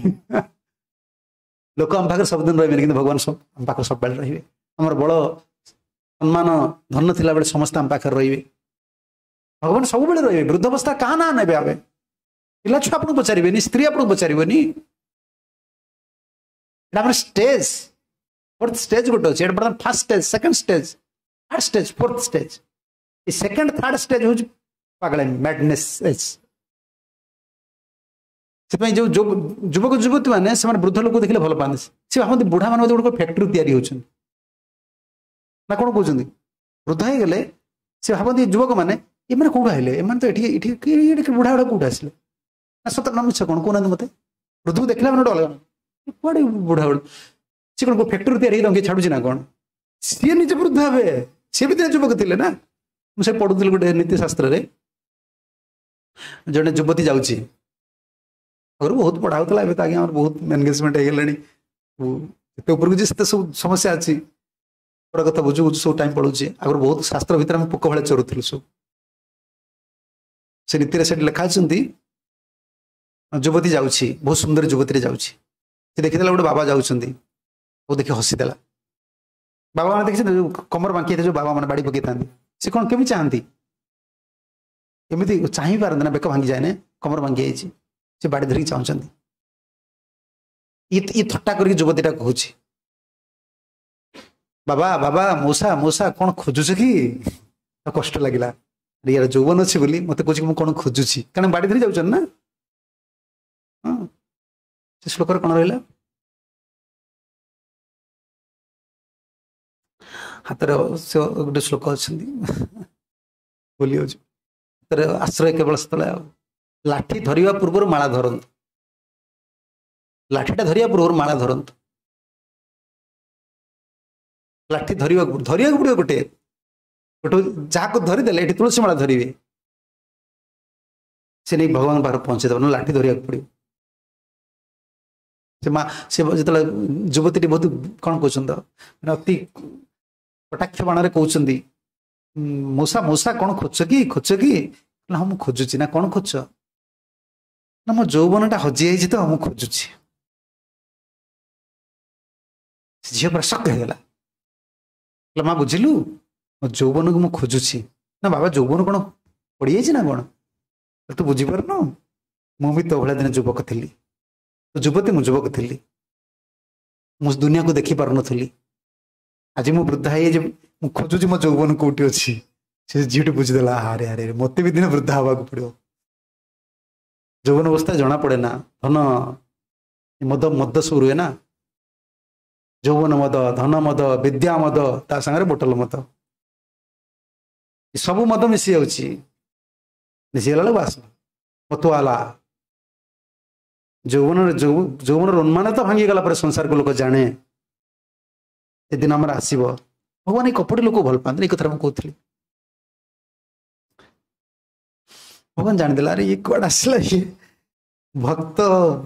ଲୋକ ଆମ ପାଖରେ ସବୁଦିନ ରହିବେନି କିନ୍ତୁ ଭଗବାନ ସବୁ ଆମ ପାଖରେ ସବୁବେଳେ ରହିବେ ଆମର ବଳ ସମ୍ମାନ ଧନ ଥିଲାବେଳେ ସମସ୍ତେ ଆମ ପାଖରେ ରହିବେ ଭଗବାନ ସବୁବେଳେ ରହିବେ ବୃଦ୍ଧାବସ୍ଥା କାହା ନାଁ ନେବେ ଆମେ ପିଲା ଛୁଆ ଆପଣଙ୍କୁ ପଚାରିବେନି ସ୍ତ୍ରୀ ଆପଣଙ୍କୁ ପଚାରିବନି ଏଇଟା ଆମର ଷ୍ଟେଜ୍ ଫୋର୍ଥ ଷ୍ଟେଜ୍ ଗୋଟେ ଅଛି ଏଇଟା ବର୍ତ୍ତମାନ first stage second stage third stage fourth stage ଏ ସେକେଣ୍ଡ ଥାର୍ଡ ଷ୍ଟେଜ୍ ହେଉଛି ପାଗଳାମି ମ୍ୟାଡନେସ୍ ଏଜ୍ ସେଥିପାଇଁ ଯେଉଁ ଯୁବକ ଯୁବତୀ ମାନେ ସେମାନେ ବୃଦ୍ଧ ଲୋକ ଦେଖିଲେ ଭଲ ପାଆନ୍ତି ସେ ଭାବନ୍ତି ବୁଢ଼ା ମାନେ ବୋଧେ ଗୋଟେ ଫ୍ୟାକ୍ଟ୍ରି ତିଆରି ହେଉଛନ୍ତି ନା କ'ଣ କହୁଛନ୍ତି ବୃଦ୍ଧ ହେଇଗଲେ ସେ ଭାବନ୍ତି ଯୁବକମାନେ ଏମାନେ କୋଉଠୁ ଆଇଲେ ଏମାନେ ତ ଏଠି ଏଠି ଏଠି ବୁଢ଼ା ଗୁଡ଼ା କୋଉଠୁ ଆସିଲେ ନା ସତ ନା ମିଛ କ'ଣ କହୁନାହାନ୍ତି ମୋତେ ବୃଦ୍ଧକୁ ଦେଖିଲା ମାନେ ଗୋଟେ ଅଲଗା କୁଆଡ଼େ ବୁଢ଼ା ଗୁଡ଼ା ସେ କ'ଣ ଫ୍ୟାକ୍ଟ୍ରି ତିଆରି ହେଇକି ତାଙ୍କୁ ଛାଡୁଛି ନା କ'ଣ ସିଏ ନିଜେ ବୃଦ୍ଧ ହେବେ ସିଏ ବି ଦିନେ ଯୁବକ ଥିଲେ ନା ମୁଁ ସେ ପଢୁଥିଲି ଗୋଟେ ନୀତି ଶାସ୍ତ୍ରରେ ଜଣେ ଯୁବତୀ ଯାଉଛି ଆଗରୁ ବହୁତ ପଢା ହଉଥିଲା ଏବେ ତ ଆଜ୍ଞା ଆମର ବହୁତ ଏନଗେଜମେଣ୍ଟ ହେଇଗଲାଣି ଯେତେ ଉପରକୁ ଯିଏ ସେତେ ସବୁ ସମସ୍ୟା ଅଛି ବଡ଼ କଥା ବୁଝୁ ବୁଝୁ ସବୁ ଟାଇମ୍ ପଳଉଛି ଆଗରୁ ବହୁତ ଶାସ୍ତ୍ର ଭିତରେ ଆମେ ପୋକ ଭଳିଆ ଚରୁଥିଲୁ ସବୁ ସେ ନୀତିରେ ସେଠି ଲେଖା ଅଛନ୍ତି ଯୁବତୀ ଯାଉଛି ବହୁତ ସୁନ୍ଦର ଯୁବତୀରେ ଯାଉଛି ସେ ଦେଖିଦେଲା ଗୋଟେ ବାବା ଯାଉଛନ୍ତି ତାକୁ ଦେଖି ହସିଦେଲା ବାବା ମାନେ ଦେଖିଛନ୍ତି ଯୋଉ କମର ବାଙ୍କି ହେଇଥାଏ ଯୋଉ ବାବା ମାନେ ବାଡ଼ି ପକେଇଥାନ୍ତି ସେ କ'ଣ କେମିତି ଚାହାନ୍ତି ଏମିତି ଚାହିଁ ପାରନ୍ତି ନା ବେକ ଭାଙ୍ଗି ଯାଏ ନା କମର ଭାଙ୍ଗି ଯାଇଛି ସେ ବାଡ଼ି ଧରିକି ଚାହୁଁଛନ୍ତି ଇଏ ଥଟ୍ଟା କରିକି ଯୁବତୀଟା କହୁଛି ବାବା ବାବା ମଉସା ମଉସା କ'ଣ ଖୋଜୁଛ କି କଷ୍ଟ ଲାଗିଲା ୟାର ଯୌବନ ଅଛି ବୋଲି ମତେ କହୁଛି ମୁଁ କ'ଣ ଖୋଜୁଛି କାରଣ ବାଡ଼ି ଧରି ଯାଉଛନ୍ତି ନା ହଁ ସେ ଶ୍ଲୋକରେ କ'ଣ ରହିଲା ହାତରେ ସେ ଗୋଟେ ଶ୍ଲୋକ ଅଛନ୍ତି ଭୁଲି ଯାଉଛି ହାତରେ ଆଶ୍ରୟ କେବଳ ସେତେବେଳେ ଆଉ ଲାଠି ଧରିବା ପୂର୍ବରୁ ମାଳା ଧରନ୍ତୁ ଲାଠିଟା ଧରିବା ପୂର୍ବରୁ ମାଳା ଧରନ୍ତୁ ଲାଠି ଧରିବାକୁ ଧରିବାକୁ ପଡ଼ିବ ଗୋଟେ ଗୋଟେ ଯାହାକୁ ଧରିଦେଲେ ଏଠି ତୁଳସୀ ମାଳା ଧରିବେ ସେ ନେଇ ଭଗବାନ ପାଖରେ ପହଞ୍ଚେଇଦେବ ନା ଲାଠି ଧରିବାକୁ ପଡ଼ିବ ସେ ମା ସେ ଯେତେବେଳେ ଯୁବତୀଟି ବହୁତ କ'ଣ କହୁଛନ୍ତି ମାନେ ଅତି କଟାକ୍ଷ ବାଣରେ କହୁଛନ୍ତି ମଉସା ମଉସା କ'ଣ ଖୋଜୁଛ କି ଖୋଜୁଛ କି ନା ହଁ ମୁଁ ଖୋଜୁଛି ନା କ'ଣ ଖୋଜୁଛ ନା ମୋ ଯୌବନଟା ହଜିଯାଇଛି ତ ମୁଁ ଖୋଜୁଛି ସେ ଝିଅ ପୁରା ଶକ୍ ହେଇଗଲା କହିଲା ମା ବୁଝିଲୁ ମୋ ଯୌବନକୁ ମୁଁ ଖୋଜୁଛି ନା ବାବା ଯୌବନ କ'ଣ ପଡ଼ିଯାଇଛି ନା କ'ଣ ତୁ ବୁଝିପାରୁନୁ ମୁଁ ବି ତୋ ଭଳିଆ ଦିନେ ଯୁବକ ଥିଲି, ତୁ ଯୁବତୀ ମୁଁ ଯୁବକ ଥିଲି, ମୁଁ ଦୁନିଆକୁ ଦେଖି ପାରୁନଥିଲି, ଆଜି ମୁଁ ବୃଦ୍ଧା ହେଇଯାଇଛି, ମୁଁ ଖୋଜୁଛି ମୋ ଯୌବନ କୋଉଠି ଅଛି। ସେ ଝିଅଟି ବୁଝିଦେଲା, ଆରେ ଆରେ ମତେ ବି ଦିନେ ବୃଦ୍ଧା ହବାକୁ ପଡିବ। ଯୌବନ ଅବସ୍ଥା ଜଣା ପଡେ ନା, ଧନ ମଦ ମଦ ସବୁ ରୁହେ ନା, ଯୌବନ ମଦ, ଧନ ମଦ, ବିଦ୍ୟା ମଦ, ତା ସାଙ୍ଗରେ ବୋଟଲ ମଦ, ସବୁ ମଦ ମିଶି ଯାଉଛି। ମିଶିଗଲା ବେଳକୁ ବାସ ମତୁଆଲା। ଯୌବନରେ ଯୌବନର ଉନ୍ମାଦ ତ ଭାଙ୍ଗିଗଲା ପରେ ସଂସାରକୁ ଲୋକ ଜାଣେ, ସେଦିନ ଆମର ଆସିବ। ଭଗବାନ ଏଇ କପଟି ଲୋକ ଭଲ ପାଆନ୍ତି, ଏଇ କଥାଟା ମୁଁ କହୁଥିଲି। ଭଗବାନ ଜାଣିଦେଲା, ଆରେ ଇଏ କୁଆଡେ ଆସିଲା, ଇଏ ଭକ୍ତ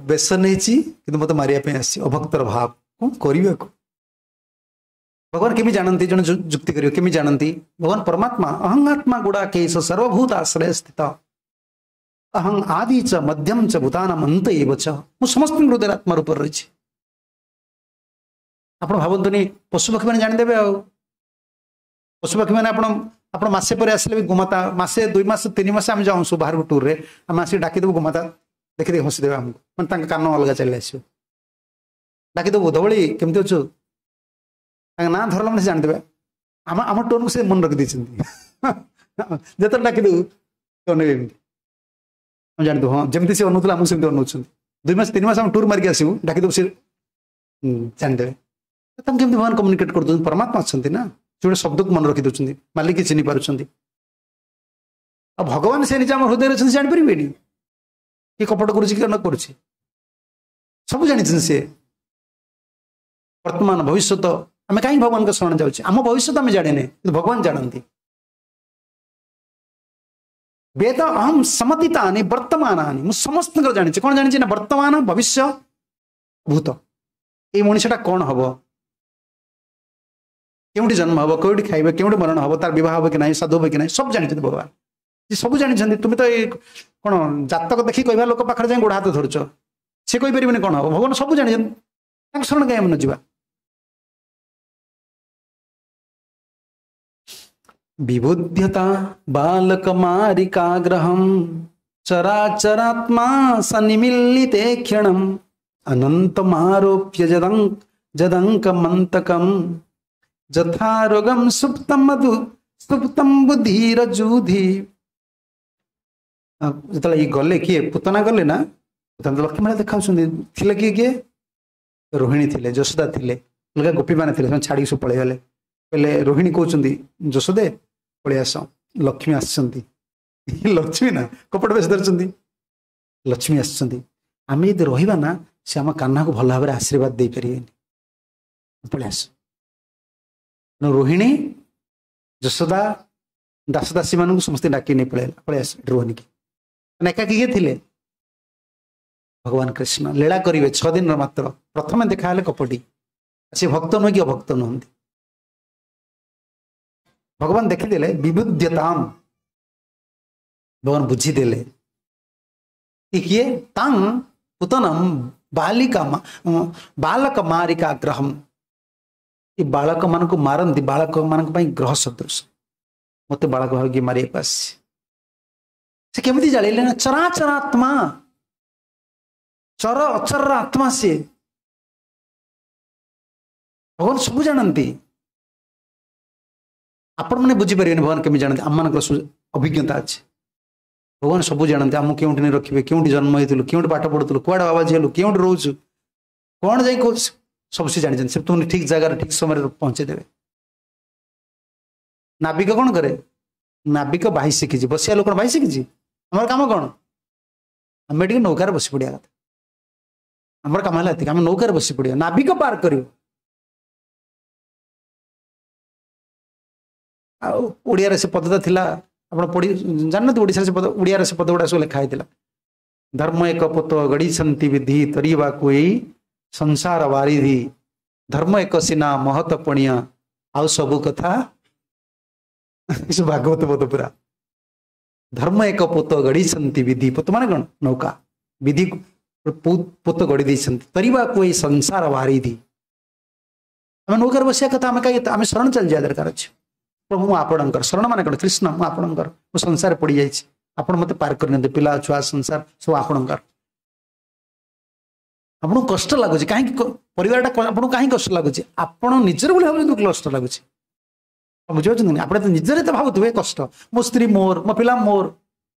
ବେଶ ନେଇଛି କିନ୍ତୁ ମତେ ମାରିବା ପାଇଁ ଆସିଛି, ଅଭକ୍ତର ଭାବ, କଣ କରିବାକୁ। ଭଗବାନ କେମିତି ଜାଣନ୍ତି? ଜଣେ ଯୁକ୍ତି କରିବ କେମିତି ଜାଣନ୍ତି? ଭଗବାନ ପରମାତ୍ମା, ଅହଙ୍ଗାତ୍ମା ଗୁଡାକେଶ ସର୍ବଭୂତ ଆଶ୍ରୟ ସ୍ଥିତ, ଅହଂ ଆଦି ଚ ମଧ୍ୟମ ଚ ଭୂତାନାମ ଅନ୍ତ ଏବ ଚ, ମୁଁ ସମସ୍ତଙ୍କ ହୃଦୟରେ ଆତ୍ମା ରୂପରେ ରହିଛି। ଆପଣ ଭାବନ୍ତୁନି ପଶୁପକ୍ଷୀ ମାନେ ଜାଣିଦେବେ। ଆଉ ପଶୁପକ୍ଷୀ ମାନେ ଆପଣ ଆପଣ ମାସେ ପରେ ଆସିଲେ ବି ଗୋମାତା, ମାସେ ଦୁଇ ମାସ ତିନି ମାସ ଆମେ ଯାଉଁ ସବୁ ବାହାରକୁ ଟୁର୍ରେ, ଆମେ ଆସିକି ଡାକିଦେବୁ, ଗୋମାତା ଦେଖିଦେଇ ହସିଦେବେ ଆମକୁ, ମାନେ ତାଙ୍କ କାନ ଅଲଗା ଚାଲି ଆସିବ। ଡାକିଦେବୁ, ଧବଳି କେମିତି ଅଛୁ, ତାଙ୍କ ନାଁ ଧରିଲା ମାନେ ସେ ଜାଣିଦେବେ। ଆମ ଆମ ଟୋନ୍କୁ ସେ ମନେ ରଖିଦେଇଛନ୍ତି, ଯେତେବେଳେ ଡାକିଦେବୁ ଅନେଇବେ ଏମିତି, ଆମେ ଜାଣିଦେବୁ ହଁ ଯେମିତି ସେ ଅନଉଥିଲେ ଆମକୁ ସେମିତି ଅନଉଛନ୍ତି। ଦୁଇ ମାସ ତିନି ମାସ ଆମେ ଟୁର୍ ମାରିକି ଆସିବୁ, ଡାକିଦେବୁ ସେ ଜାଣିଦେବେ। ତାଙ୍କୁ କେମିତି ଭଗବାନ କମ୍ୟୁନିକେଟ୍ କରିଦେଉଛନ୍ତି? ପରମାତ୍ମା ଅଛନ୍ତି ନା, ସେ ଗୋଟେ ଶବ୍ଦକୁ ମନେ ରଖିଦେଉଛନ୍ତି, ମାଲିକ ଚିହ୍ନି ପାରୁଛନ୍ତି। ଆଉ ଭଗବାନ ସେ ନିଜେ ଆମ ହୃଦୟରେ ଅଛନ୍ତି, ଜାଣିପାରିବେନି କିଏ କପଟ କରୁଛି କିଏ ନ କରୁଛି, ସବୁ ଜାଣିଛନ୍ତି ସିଏ। ବର୍ତ୍ତମାନ ଭବିଷ୍ୟତ, ଆମେ କାହିଁକି ଭଗବାନଙ୍କ ଶରଣ ଯାଉଛେ? ଆମ ଭବିଷ୍ୟତ ଆମେ ଜାଣିନେ, କିନ୍ତୁ ଭଗବାନ ଜାଣନ୍ତି। ବେଦ ଅହಂ ସମତିତାନି ବର୍ତ୍ତମାନାନି, ମୁଁ ସମସ୍ତଙ୍କର ଜାଣିଛି। କଣ ଜାଣିଛି ନା ବର୍ତ୍ତମାନ, ଭବିଷ୍ୟ, ଭୂତ। ଏଇ ମଣିଷଟା କଣ ହବ, କେଉଁଠି ଜନ୍ମ ହବ, କେଉଁଠି ଖାଇବେ, କେଉଁଠି ମରଣ ହବ, ତାର ବିବାହ ହବ କି ନାହିଁ, ସାଧୁ ହବ କି ନାହିଁ, ସବୁ ଜାଣିଛନ୍ତି ଭଗବାନ। ସବୁ ଜାଣିଛନ୍ତି। ତୁମେ ତ ଏଇ କଣ ଜାତକ ଦେଖି କହିବା ଲୋକ ପାଖରେ ଯାଇ ଗୋଡ଼ ହାତ ଧରୁଛ, ସେ କହିପାରିବେନି କଣ ହବ। ଭଗବାନ ସବୁ ଜାଣିଛନ୍ତି, ତାଙ୍କ ଶରଣ କାହିଁ ଆମେ ନ ଯିବା? ବିବୁଧ୍ୟତା ବାଲକ ମାରିକାଗ୍ରହಂ ଚରାଚରାତ୍ମା ସନିମିଲିତେ କ୍ଷଣಂ ଅନନ୍ତମାରୋପ୍ୟ ଯଦଂ ଯଦଙ୍କମନ୍ତକಂ ଯଥାରୋଗಂ ସୁପ୍ତମ ମଧୁ ସୁପ୍ତମ ବୁଦ୍ଧିର ଯୁଧି। ଯେତେବେଳେ ଇଏ ଗଲେ, କିଏ ପୁତନା ଗଲେ ନା, ପୁତନା ତ ଲକ୍ଷ୍ମୀ ମେଳା ଦେଖାଉଛନ୍ତି। ଥିଲେ କିଏ କିଏ? ରୋହିଣୀ ଥିଲେ, ଯଶୋଦା ଥିଲେ, ଅଲଗା ଗୋପୀମାନେ ଥିଲେ, ସେମାନେ ଛାଡ଼ିକି ସବୁ ପଳେଇଗଲେ। କହିଲେ ରୋହିଣୀ କହୁଛନ୍ତି, ଯଶୋଦେ ପଳେଇ ଆସ, ଲକ୍ଷ୍ମୀ ଆସିଛନ୍ତି। ଲକ୍ଷ୍ମୀ ନା କପଟ ବେଶ ଧରିଛନ୍ତି, ଲକ୍ଷ୍ମୀ ଆସିଛନ୍ତି, ଆମେ ଯଦି ରହିବା ନା ସେ ଆମ କାହ୍ନାକୁ ଭଲ ଭାବରେ ଆଶୀର୍ବାଦ ଦେଇପାରିବେନି, ପଳେଇ ଆସ। ରୋହିଣୀ, ଯଶୋଦା, ଦାସଦାସୀ ମାନଙ୍କୁ ସମସ୍ତେ ଡାକି ନେଇ ପଳେଇଲା, ପଳେଇ ଆସ, ଏଠି ରୁହନି କି। ମାନେ ଏକାକି କିଏ ଥିଲେ? ଭଗବାନ କୃଷ୍ଣ ଲୀଳା କରିବେ ଛଅ ଦିନର ମାତ୍ର। ପ୍ରଥମେ ଦେଖା ହେଲେ କପଟି, ସେ ଭକ୍ତ ନୁହେଁ କି ଅଭକ୍ତ ନୁହନ୍ତି। ଭଗବାନ ଦେଖିଦେଲେ ବିବୁଧ୍ୟତାମ, ଭଗବାନ ବୁଝିଦେଲେ କିଏ? ତାଂ ପୁତନମ ବାଲିକା ବାଲକ ମାରିକା ଗ୍ରହମ, ଏ ବାଳକ ମାନଙ୍କୁ ମାରନ୍ତି, ବାଳକ ମାନଙ୍କ ପାଇଁ ଗ୍ରହ ସଦୃଶ, ମତେ ବାଳକ ଭାବିକି ମାରିବାକୁ ଆସିଛି। ସେ କେମିତି ଜାଣିଲେ ନା ଚରାଚର ଆତ୍ମା, ଚର ଅଚରର ଆତ୍ମା ସିଏ। ଭଗବାନ ସବୁ ଜାଣନ୍ତି, ଆପଣମାନେ ବୁଝିପାରିବେନି ଭଗବାନ କେମିତି ଜାଣନ୍ତି। ଆମମାନଙ୍କର ଅଭିଜ୍ଞତା ଅଛି, ଭଗବାନ ସବୁ ଜାଣନ୍ତି। ଆମକୁ କେଉଁଠି ନେଇ ରଖିବେ, କେଉଁଠି ଜନ୍ମ ହେଇଥିଲୁ, କେଉଁଠି ପାଠ ପଢୁଥିଲୁ, କୁଆଡେ ବାବାଜୀ ହେଲୁ, କେଉଁଠି ରହୁଛୁ, କଣ ଯାଇ କହୁଛୁ, ସବୁ ସେ ଜାଣିଛନ୍ତି। ସେ ତୁମକୁ ଠିକ ଜାଗାରେ ଠିକ ସମୟରେ ପହଞ୍ଚେଇ ଦେବେ। ନାବିକ କଣ କରେ? ନାବିକ ବାହି ଶିଖିଛି। ବସିବା ଲୋକ କଣ ବାହି ଶିଖିଛି? ଆମର କାମ କଣ? ଆମେ ଟିକେ ନୌକାରେ ବସି ପଡିବା କଥା। ଆମର କାମ ହେଲା ଏତିକି, ଆମେ ନୌକାରେ ବସି ପଡିବା, ନାବିକ ପାର କରିବ। ଆଉ ଓଡ଼ିଆରେ ସେ ପଦଟା ଥିଲା, ଆପଣ ପଢି ଜାଣିନାହାନ୍ତି? ଓଡ଼ିଶାରେ ସେ ପଦ, ଓଡ଼ିଆରେ ସେ ପଦ ଗୁଡ଼ା ସବୁ ଲେଖା ହେଇଥିଲା। ଧର୍ମ ଏକ ପୋତ ଗଢ଼ିଛନ୍ତି ବିଧି, ତରିବାକୁ ଏଇ ସଂସାର ବାରିଧି, ଧର୍ମ ଏକ ସିନା ମହତ ପଣିଆ, ଆଉ ସବୁ କଥା ଭାଗବତ ପଦ ପୁରା। ଧର୍ମ ଏକ ପୋତ ଗଢ଼ିଛନ୍ତି ବିଧି, ପୋତ ମାନେ କଣ? ନୌକା। ବିଧି ପୋତ ଗଢ଼ି ଦେଇଛନ୍ତି, ତରିବାକୁ ଏଇ ସଂସାର ବାରିଧି। ଆମେ ନୌକାରେ ବସିବା କଥା, ଆମେ କାହିଁ ଆମେ ଶରଣ ଚାଲିଯିବା ଦରକାର ଅଛି। ପ୍ରଭୁ ମୁଁ ଆପଣଙ୍କର ଶରଣ, ମାନେ କଣ? କୃଷ୍ଣ ମୁଁ ଆପଣଙ୍କର, ମୁଁ ସଂସାରରେ ପଡିଯାଇଛି, ଆପଣ ମୋତେ ପାର କରିନିଅନ୍ତୁ, ପିଲା ଛୁଆ ସଂସାର ସବୁ ଆପଣଙ୍କର। ଆପଣଙ୍କୁ କଷ୍ଟ ଲାଗୁଛି କାହିଁକି? ପରିବାରଟା ଆପଣଙ୍କୁ କାହିଁକି କଷ୍ଟ ଲାଗୁଛି? ଆପଣ ନିଜର ବୋଲି ଭାବୁଛନ୍ତି କଷ୍ଟ ଲାଗୁଛି, ବୁଝିପାରୁଛନ୍ତି? ଆପଣ ତ ନିଜରେ ତ ଭାବୁଥିବେ କଷ୍ଟ, ମୋ ସ୍ତ୍ରୀ ମୋର, ମୋ ପିଲା ମୋର,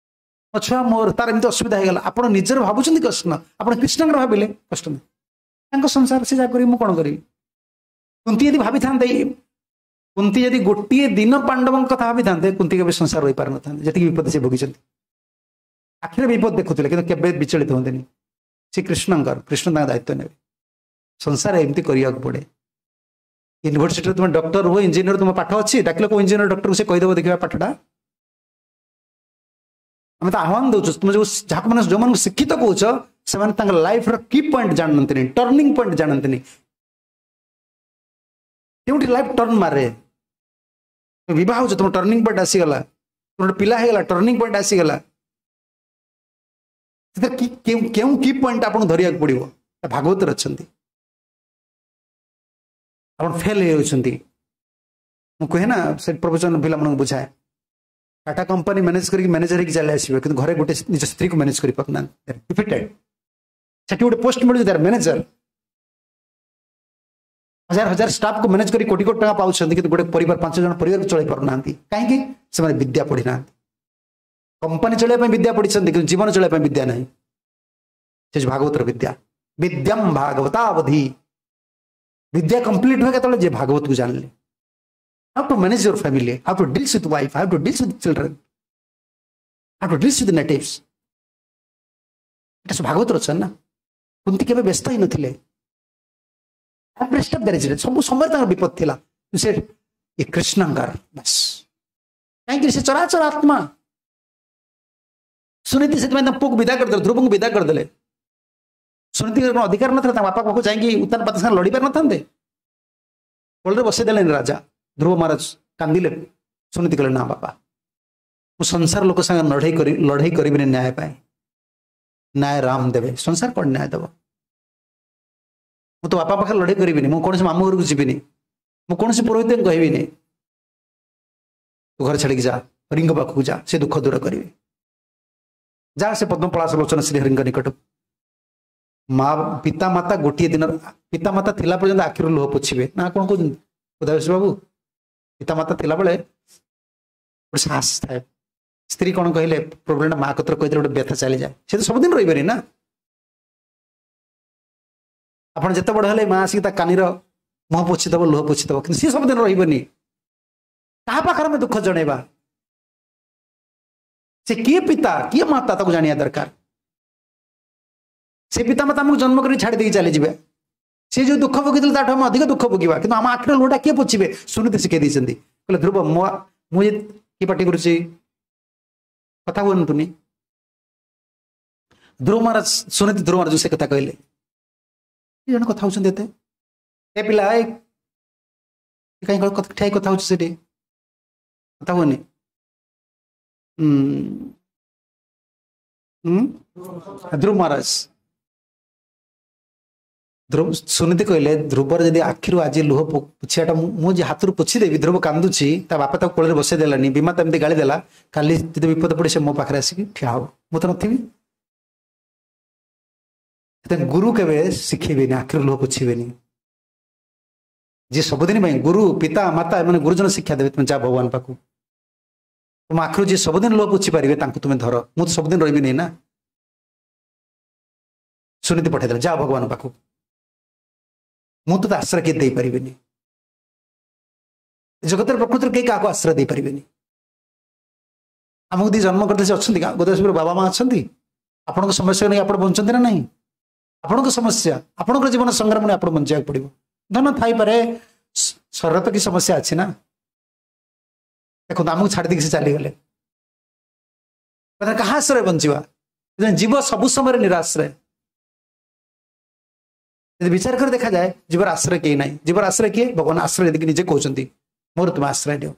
ମୋ ଛୁଆ ମୋର, ତାର ଏମିତି ଅସୁବିଧା ହେଇଗଲା। ଆପଣ ନିଜର ଭାବୁଛନ୍ତି କଷ୍ଟ, ଆପଣ କୃଷ୍ଣଙ୍କର ଭାବିଲେ କଷ୍ଟ ନାହିଁ। ତାଙ୍କ ସଂସାର ସେ ଯାହା କରିବି, ମୁଁ କଣ କରିବି? କୁନ୍ତି ଯଦି ଭାବିଥାନ୍ତେ, କୁନ୍ତି ଯଦି ଗୋଟିଏ ଦିନ ପାଣ୍ଡବଙ୍କ କଥା ଭାବିଥାନ୍ତେ, କୁନ୍ତି କେବେ ସଂସାର ରହିପାରିନଥାନ୍ତେ। ଯେତିକି ବିପଦ ସେ ଭୋଗିଛନ୍ତି, ଆଖିରେ ବିପଦ ଦେଖୁଥିଲେ, କିନ୍ତୁ କେବେ ବିଚଳିତ ହୁଅନ୍ତିନି। ସେ କୃଷ୍ଣଙ୍କର, କୃଷ୍ଣ ତାଙ୍କ ଦାୟିତ୍ୱ ନେବେ। ସଂସାର ଏମିତି କରିବାକୁ ପଡେ। ୟୁନିଭର୍ସିଟିରେ ତୁମେ ଡକ୍ଟର ହୁଅ, ଇଞ୍ଜିନିୟର, ତୁମ ପାଠ ଅଛି, ଡାକିଲେ କୋଉ ଇଞ୍ଜିନିୟର ଡକ୍ଟରକୁ ସେ କହିଦେବ ଦେଖିବା ପାଠଟା? ଆମେ ତ ଆହ୍ୱାନ ଦଉଛୁ, ତୁମେ ଯୋଉ ଯାହାକୁ ମାନେ ଯୋଉମାନଙ୍କୁ ଶିକ୍ଷିତ କହୁଛ, ସେମାନେ ତାଙ୍କ ଲାଇଫର କି ପଏଣ୍ଟ ଜାଣନ୍ତିନି, ଟର୍ଣ୍ଣିଂ ପଏଣ୍ଟ ଜାଣନ୍ତିନି, କେଉଁଠି ଲାଇଫ ଟର୍ନ ମାରେ। ବିବାହ ହଉଛି, ତୁମ ଟର୍ଣ୍ଣିଂ ପଏଣ୍ଟ ଆସିଗଲା, ଗୋଟେ ପିଲା ହେଇଗଲା, ଟର୍ଣ୍ଣିଂ ପଏଣ୍ଟ ଆସିଗଲା। ସେଥିରେ କେଉଁ କେଉଁ କି ପଏଣ୍ଟ ଆପଣଙ୍କୁ ଧରିବାକୁ ପଡିବ? ଭାଗବତରେ ଅଛନ୍ତି। ଆପଣ ଫେଲ୍ ହେଇଯାଉଛନ୍ତି, ମୁଁ କୁହେ ନା ସେ ପ୍ରବଚନ ପିଲାମାନଙ୍କୁ ବୁଝାଏ, ଟାଟା କମ୍ପାନୀ ମ୍ୟାନେଜ କରିକି ମ୍ୟାନେଜର ହେଇକି ଚାଲି ଆସିବେ, କିନ୍ତୁ ଘରେ ଗୋଟେ ନିଜ ସ୍ତ୍ରୀକୁ ମ୍ୟାନେଜ କରିପାରୁନାହାନ୍ତି, ଡିଫିଟେଡ୍। ସେଠି ଗୋଟେ ପୋଷ୍ଟ ମିଳୁଛି, ତାର ମ୍ୟାନେଜର, ହଜାର ହଜାର ଷ୍ଟାଫକୁ ମ୍ୟାନେଜ କରି କୋଟି କୋଟି ଟଙ୍କା ପାଉଛନ୍ତି, କିନ୍ତୁ ଗୋଟେ ପରିବାର, ପାଞ୍ଚ ଜଣ ପରିବାରକୁ ଚଳେଇ ପାରୁନାହାନ୍ତି। କାହିଁକି? ସେମାନେ ବିଦ୍ୟା ପଢିନାହାନ୍ତି। କମ୍ପାନୀ ଚଳେଇବା ପାଇଁ ବିଦ୍ୟା ପଢିଛନ୍ତି, କିନ୍ତୁ ଜୀବନ ଚଳେଇବା ପାଇଁ ବିଦ୍ୟା ନାହିଁ। ସେ ଭାଗବତର ବିଦ୍ୟା, ବିଦ୍ୟାମ ଭାଗବତାବଧି। ବିଦ୍ୟା କମ୍ପ୍ଲିଟ ହୁଏ କେତେବେଳେ? ଯେ ଭାଗବତକୁ ଜାଣିଲେ। How to manage your family, how to deal with wife, how to deal with children, how to deal with natives. ଏଟା ସବୁ ଭାଗବତର ଅଛନ୍ତି ନା। କୁନ୍ତି କେବେ ବ୍ୟସ୍ତ ହେଇନଥିଲେ। ସବୁ ସମୟରେ ତାଙ୍କର ବିପଦ ଥିଲା, ସେ ଏ କୃଷ୍ଣଙ୍କର ବାସ୍। କାହିଁକି? ସେ ଚରାଚର ଆତ୍ମା। ସୁନୀତି ସେଥିପାଇଁ ତାଙ୍କ ପୁଅକୁ ବିଦା କରିଦେଲେ, ଧ୍ରୁବଙ୍କୁ ବିଦା କରିଦେଲେ। ସୁନୀତିଙ୍କର କଣ ଅଧିକାର ନଥିଲା? ତାଙ୍କ ବାପା ପାଖକୁ ଯାଇକି ଉତ୍ତାନ ପାତ ସାଙ୍ଗରେ ଲଢି ପାରିନଥାନ୍ତେ? କୋଳରେ ବସେଇ ଦେଲେନି ରାଜା। ଧ୍ରୁବ ମହାରାଜ କାନ୍ଦିଲେ। ସୁନୀତି କହିଲେ, ନା ବାପା, ମୁଁ ସଂସାର ଲୋକ ସାଙ୍ଗେ ଲଢେଇ କରି ଲଢେଇ କରିବିନି ନ୍ୟାୟ ପାଇଁ। ନ୍ୟାୟ ରାମ ଦେବେ, ସଂସାର କଣ ନ୍ୟାୟ ଦେବ? ମୁଁ ତ ବାପା ପାଖରେ ଲଢେଇ କରିବିନି, ମୁଁ କୌଣସି ମାମୁଁ ଘରକୁ ଯିବିନି, ମୁଁ କୌଣସି ପୁରୋହିତଙ୍କୁ କହିବିନି। ତୁ ଘରେ ଛାଡ଼ିକି ଯା, ହରିଙ୍କ ପାଖକୁ ଯା, ସେ ଦୁଃଖ ଦୂର କରିବେ। ଯା ସେ ପଦ୍ମପଳାସ ଲୋଚନ ଶ୍ରୀହରିଙ୍କ ନିକଟକୁ। ମା ପିତା ମାତା ଗୋଟିଏ ଦିନ, ପିତା ମାତା ଥିଲା ପର୍ଯ୍ୟନ୍ତ ଆଖିରୁ ଲୁହ ପୋଛିବେ ନା କଣ କହୁଛନ୍ତି ଉଦୟ ବାବୁ? ପିତା ମାତା ଥିଲାବେଳେ ଗୋଟେ ସାହସ ଥାଏ। ସ୍ତ୍ରୀ କଣ କହିଲେ ପ୍ରୋବ୍ଲେମଟା ମା କତିରେ କହିଦେଲେ ଗୋଟେ ବ୍ୟଥା ଚାଲିଯାଏ। ସେ ତ ସବୁଦିନ ରହିବେନି ନା। ଆପଣ ଯେତେ ବଡ ହେଲେ ମା ଆସିକି ତା କାନିର ମୁହଁ ପୋଛିଦବ, ଲୁହ ପୋଛିଦବ, କିନ୍ତୁ ସିଏ ସବୁଦିନ ରହିବନି। କାହା ପାଖରେ ଆମେ ଦୁଃଖ ଜଣେଇବା? ସେ କିଏ ପିତା କିଏ ମାତା ତାକୁ ଜାଣିବା ଦରକାର। ସେ ପିତା ମାତା ଆମକୁ ଜନ୍ମ କରି ଛାଡ଼ି ଦେଇକି ଚାଲିଯିବେ। ସେ ଯୋଉ ଦୁଃଖ ଭୋଗିଥିଲେ ତାଠୁ ଆମେ ଅଧିକ ଦୁଃଖ ଭୋଗିବା, କିନ୍ତୁ ଆମ ଆଖିର ଲୁହଟା କିଏ ପୋଛିବେ? ସୁନୀତି ଶିଖେଇ ଦେଇଛନ୍ତି। କହିଲେ, ଧ୍ରୁବ, ମୁଁ ମୁଁ କିଏ ପାଟି କରୁଛି, କଥା ହୁଅନ୍ତୁନି। ଧ୍ରୁବ ମହାରାଜ, ସୁନୀତି ଧ୍ରୁବ ମହାରାଜ ସେ କଥା କହିଲେ, ଜଣେ କଥା ହଉଛନ୍ତି ଏତେ, ଏ ପିଲା ଏ କାହିଁ ଠିଆ କଥା ହଉଛି ସେଠି, କଥା ହୁଅନି। ହୁଁ ଧ୍ରୁବ ମହାରାଜ, ଧ୍ରୁବ ସୁନୀତି କହିଲେ, ଧ୍ରୁବର ଯଦି ଆଖିରୁ ଆଜି ଲୁହ ପୋଛିବାଟା ମୁଁ ଯେ ହାତରୁ ପୋଛିଦେବି, ଧ୍ରୁବ କାନ୍ଦୁଛି, ତା ବାପା ତାକୁ କୋଳରେ ବସେଇ ଦେଲାନି, ବିମା ଏମିତି ଗାଳି ଦେଲା, କାଲି ଯଦି ବିପଦ ପଡେ ସେ ମୋ ପାଖରେ ଆସିକି ଠିଆ ହବ, ମୁଁ ତ ନଥିବି। ସେଥିପାଇଁ ଗୁରୁ କେବେ ଶିଖେଇବେନି, ଆଖିରୁ ଲୁହ ପୋଛିବେନି। ଯିଏ ସବୁଦିନ ପାଇଁ ଗୁରୁ, ପିତା ମାତା, ଏମାନେ ଗୁରୁଜନ ଶିକ୍ଷା ଦେବେ, ତୁମେ ଯା ଭଗବାନ ପାଖକୁ, ତୁମ ଆଖିରୁ ଯିଏ ସବୁଦିନ ଲୁହ ପୋଛି ପାରିବେ ତାଙ୍କୁ ତୁମେ ଧର, ମୁଁ ତ ସବୁଦିନ ରହିବିନି ନା। ସୁନୀତି ପଠେଇଦେଲେ, ଯା ଭଗବାନ ପାଖକୁ, ମୁଁ ତ ଆଶ୍ରୟ କିଏ ଦେଇପାରିବିନି। ଜଗତରେ ପ୍ରକୃତିରେ କେହି କାହାକୁ ଆଶ୍ରୟ ଦେଇପାରିବେନି। ଆମକୁ ଦି ଜନ୍ମ କରିଦେଇ ସେ ଅଛନ୍ତି, ଗୋଦାବରୀ ବାବା ମା ଅଛନ୍ତି। ଆପଣଙ୍କ ସମସ୍ୟା ନେଇ ଆପଣ ବଞ୍ଚନ୍ତି ନା ନାହିଁ? ଆପଣଙ୍କ ସମସ୍ୟା, ଆପଣଙ୍କ ଜୀବନ ସଂଗ୍ରାମ ନେଇ ଆପଣ ବଞ୍ଚିବାକୁ ପଡିବ। ଧନ ଥାଇପାରେ, ଶରୀର ତ କି ସମସ୍ୟା ଅଛି ନା। ଦେଖନ୍ତୁ, ଆମକୁ ଛାଡ଼ି ଦେଇକି ସେ ଚାଲିଗଲେ, କାହା ଆଶ୍ରୟ ବଞ୍ଚିବା? ଜୀବ ସବୁ ସମୟରେ ନିରାଶ୍ରୟ। ଯଦି ବିଚାର କରି ଦେଖାଯାଏ, ଜୀବର ଆଶ୍ରୟ କେହି ନାହିଁ। ଜୀବର ଆଶ୍ରୟ କିଏ? ଭଗବାନ ଆଶ୍ରୟ ଦେଇକି ନିଜେ କହୁଛନ୍ତି, ମୋର ତୁମେ ଆଶ୍ରୟ ନିଅ।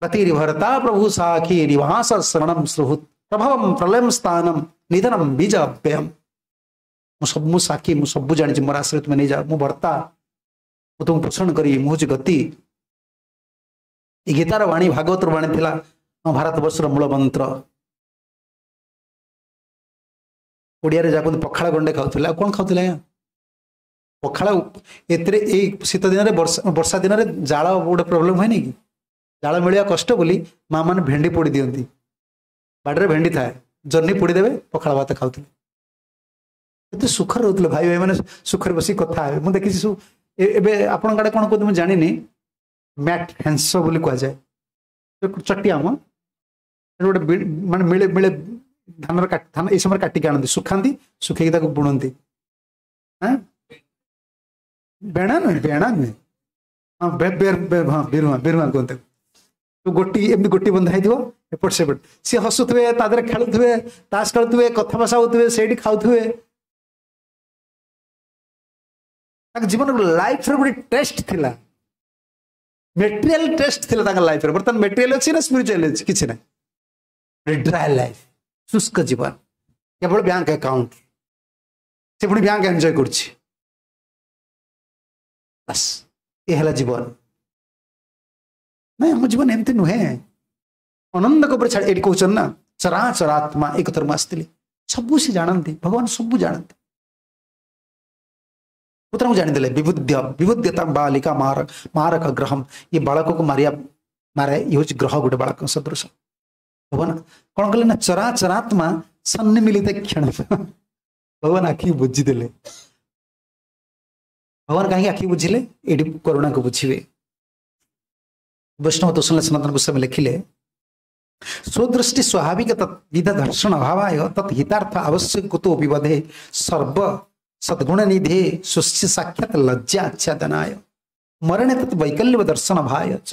ଗତିର୍ଭରତା ପ୍ରଭୁ ସାକ୍ଷୀ ନିବାସ ଶରଣମ ସୁହୃତ୍ ପ୍ରଭବମ ପ୍ରଲୟମ ସ୍ଥାନମ ନିଧନମ ବୀଜ ଅବ୍ୟୟମ। ମୁଁ ସବୁ, ମୁଁ ସାକ୍ଷୀ, ମୁଁ ସବୁ ଜାଣିଛି, ମୋର ଆଶ୍ରୟ ତୁମେ ନେଇଯାଅ। ମୁଁ ଭର୍ତ୍ତା, ମୁଁ ତୁମକୁ ପୋଷଣ କରିବି, ମୁଁ ହଉଛି ଗତି। ଏ ଗୀତାର ବାଣୀ, ଭାଗବତର ବାଣୀ ଥିଲା। ଆମ ଭାରତବର୍ଷର ମୂଳ ମନ୍ତ୍ର। ଓଡ଼ିଆରେ ଯାହା କୁହନ୍ତି ପଖାଳ ଗଣ୍ଡେ ଖାଉଥିଲେ, ଆଉ କ'ଣ ଖାଉଥିଲେ ଆଜ୍ଞା? ପଖାଳ। ଏଥିରେ ଏଇ ଶୀତ ଦିନରେ, ବର୍ଷା ବର୍ଷା ଦିନରେ ଜାଳ ଗୋଟେ ପ୍ରୋବ୍ଲେମ୍ ହୁଏନି କି? ଜାଳ ମିଳିବା କଷ୍ଟ ବୋଲି ମା ମାନେ ଭେଣ୍ଡି ପୋଡ଼ି ଦିଅନ୍ତି। ବାଡ଼ିରେ ଭେଣ୍ଡି ଥାଏ, ଜହ୍ନି ପୋଡ଼ିଦେବେ, ପଖାଳ ଭାତ ଖାଉଥିଲେ। ଏତେ ସୁଖରେ ରହୁଥିଲେ ଭାଇ ଭାଇ ମାନେ, ସୁଖରେ ବସିକି କଥା ହେବେ। ମୁଁ ଦେଖିଛି ସବୁ। ଏବେ ଆପଣଙ୍କ ଆଡ଼େ କ'ଣ କୁହନ୍ତି ମୁଁ ଜାଣିନି, ମ୍ୟାଟ୍ ହେଂସ ବୋଲି କୁହାଯାଏ, ଚଟି ଆମ ଗୋଟେ ମାନେ ମିଳେ ମିଳେ ଧାନର, ଧାନ ଏଇ ସମୟରେ କାଟିକି ଆଣନ୍ତି, ଶୁଖାନ୍ତି, ଶୁଖେଇକି ତାକୁ ବୁଣନ୍ତି। ହଁ, ବେଣା ନୁହେଁ, ବେଣା ନୁହେଁ, ହଁ, ହଁ, ବିରୁଆ, ବିରୁଆ କୁହନ୍ତି। ଗୋଟି ଏମିତି ଗୋଟି ବନ୍ଧା ହେଇଥିବ ଏପଟ ସେପଟ, ସିଏ ହସୁଥିବେ, ତା ଦେହରେ ଖେଳୁଥିବେ, ତାସ ଖେଳୁଥିବେ, କଥା ଭାଷା ହଉଥିବେ, ସେଇଠି ଖାଉଥିବେ। ତାଙ୍କ ଜୀବନ ଲାଇଫର ଗୋଟେ ଟେଷ୍ଟ ଥିଲା, ମେଟେରିଆଲ ଟେଷ୍ଟ ଥିଲା ତାଙ୍କ ଲାଇଫରେ। ବର୍ତ୍ତମାନ ମେଟେରିଆଲ ଅଛି ନା ସ୍ପିରିଚୁଆଲ ଅଛି? କିଛି ନାହିଁ। ଡ୍ରାଏ ଲାଇଫ, ଶୁଷ୍କ ଜୀବନ, କେବଳ ବ୍ୟାଙ୍କ ଆକାଉଣ୍ଟ, ସେ ପୁଣି ବ୍ୟାଙ୍କ ଏନ୍ଜୟ କରୁଛି, ବାସ୍ ଏ ହେଲା ଜୀବନ। ନାଇଁ, ଆମ ଜୀବନ ଏମିତି ନୁହେଁ। ଅନନ୍ଦଙ୍କ ଉପରେ ଛାଡ଼ି ଏଇଠି କହୁଛନ୍ତି ନା, ଚରାଚରାତ୍ମା। ଏ କଥାରୁ ମୁଁ ଆସିଥିଲି। ସବୁ ସେ ଜାଣନ୍ତି, ଭଗବାନ ସବୁ ଜାଣନ୍ତି। ପୁତ୍ରଙ୍କୁ ଜାଣିଦେଲେ। ବିବୁଦ୍ୟ ବିବୁଦ୍ୟତା ବାଲିକା ମାର ମାରକ ଗ୍ରହମ, ଇଏ ବାଳକକୁ ମାରିବା ମାରେ, ଇଏ ହଉଛି ଗ୍ରହ ଗୋଟେ ବାଳକ ସଦୃଶ। ଭଗବାନ କଣ କଲେ ନା, ଚରାଚରାତ୍ମା ସନ୍ନିମିଳିତ କ୍ଷଣ, ଭଗବାନ ଆଖି ବୁଝିଦେଲେ। ଭଗବାନ କାହିଁକି ଆଖି ବୁଝିଲେ? ଏଇଠି କରୁଣାକୁ ବୁଝିବେ। ବୈଷ୍ଣବ ତୋଷଣ ସନାତନ ଗୋସ୍ୱାମୀ ଲେଖିଲେ, ସ୍ୱଦୃଷ୍ଟି ସ୍ୱାଭାବିକ ତଦ୍ବିଧ ଦର୍ଶନ ଅଭାବାୟ ତତ୍ ହିତାର୍ଥ ଆବଶ୍ୟକ କୁତୋ ବିବଧେ ସର୍ବ ସଦ୍ଗୁଣ ନିଧେ ସ୍ୱସ୍ୟ ସାକ୍ଷାତ ଲଜ୍ଜା ଆଚ୍ଛାଦନାୟ ମରଣେ ତତ୍ ବୈକଲ୍ୟ ଦର୍ଶନ ଭାୟ ଚ।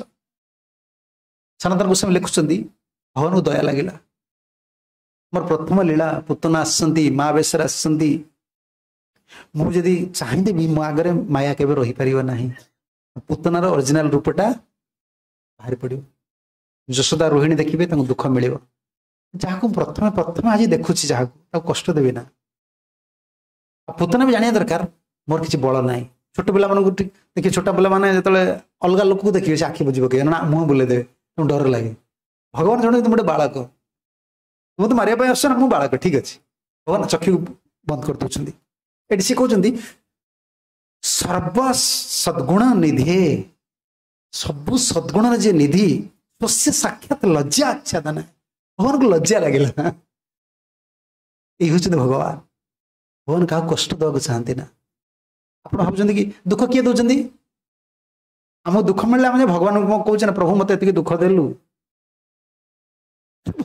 ସନାତନ ଗୋସ୍ୱାମୀ ଲେଖୁଛନ୍ତି, ଭଗବାନଙ୍କୁ ଦୟା ଲାଗିଲା। ମୋର ପ୍ରଥମ ଲୀଳା, ପୁତନା ଆସିଛନ୍ତି, ମା ବେଶରେ ଆସିଛନ୍ତି। ମୁଁ ଯଦି ଚାହିଁଦେବି, ମୋ ଆଗରେ ମାୟା କେବେ ରହିପାରିବ ନାହିଁ। ପୁତନାର ଅରିଜିନାଲ ରୂପଟା ବାହାରି ପଡ଼ିବ। ଯଶୋଦା ରୋହିଣୀ ଦେଖିବେ, ତାଙ୍କୁ ଦୁଃଖ ମିଳିବ। ଯାହାକୁ ପ୍ରଥମେ ପ୍ରଥମେ ଆଜି ଦେଖୁଛି ଯାହାକୁ, ତାକୁ କଷ୍ଟ ଦେବି ନା। ଆଉ ପୁତନା ବି ଜାଣିବା ଦରକାର ମୋର କିଛି ବଳ ନାହିଁ। ଛୋଟ ପିଲାମାନଙ୍କୁ ଦେଖିବେ, ଛୋଟ ପିଲାମାନେ ଯେତେବେଳେ ଅଲଗା ଲୋକକୁ ଦେଖିବେ, ସେ ଆଖି ବୁଝି ପକେଇବେ ନା ମୁହଁ ବୁଲେଇ ଦେବେ, ତାଙ୍କୁ ଡର ଲାଗେ। ଭଗବାନ ଜଣେ, ଗୋଟେ ବାଳକ, ମୁଁ ତ ମାରିବା ପାଇଁ ଆସୁଛ ନା, ମୁଁ ବାଳକ, ଠିକ ଅଛି। ଭଗବାନ ଚକ୍ଷୁ ବନ୍ଦ କରିଦଉଛନ୍ତି। ଏଠି ସେ କହୁଛନ୍ତି ସର୍ବ ସଦ୍ଗୁଣ ନିଧି, ସବୁ ସଦ୍ଗୁଣର ଯିଏ ନିଧି, ସ୍ୱସ୍ୟ ସାକ୍ଷାତ ଲଜ୍ଜା ଆଚ୍ଛାଦନ, ଭଗବାନଙ୍କୁ ଲଜ୍ଜା ଲାଗିଲା। ଏଇ ହଉଛନ୍ତି ଭଗବାନ। ଭଗବାନ କାହାକୁ କଷ୍ଟ ଦେବାକୁ ଚାହାନ୍ତି ନା। ଆପଣ ଭାବୁଛନ୍ତି କି ଦୁଃଖ କିଏ ଦଉଛନ୍ତି? ଆମକୁ ଦୁଃଖ ମିଳିଲେ ଆମେ ଭଗବାନଙ୍କୁ କହୁଛେ ନା, ପ୍ରଭୁ ମତେ ଏତିକି ଦୁଃଖ ଦେଲୁ।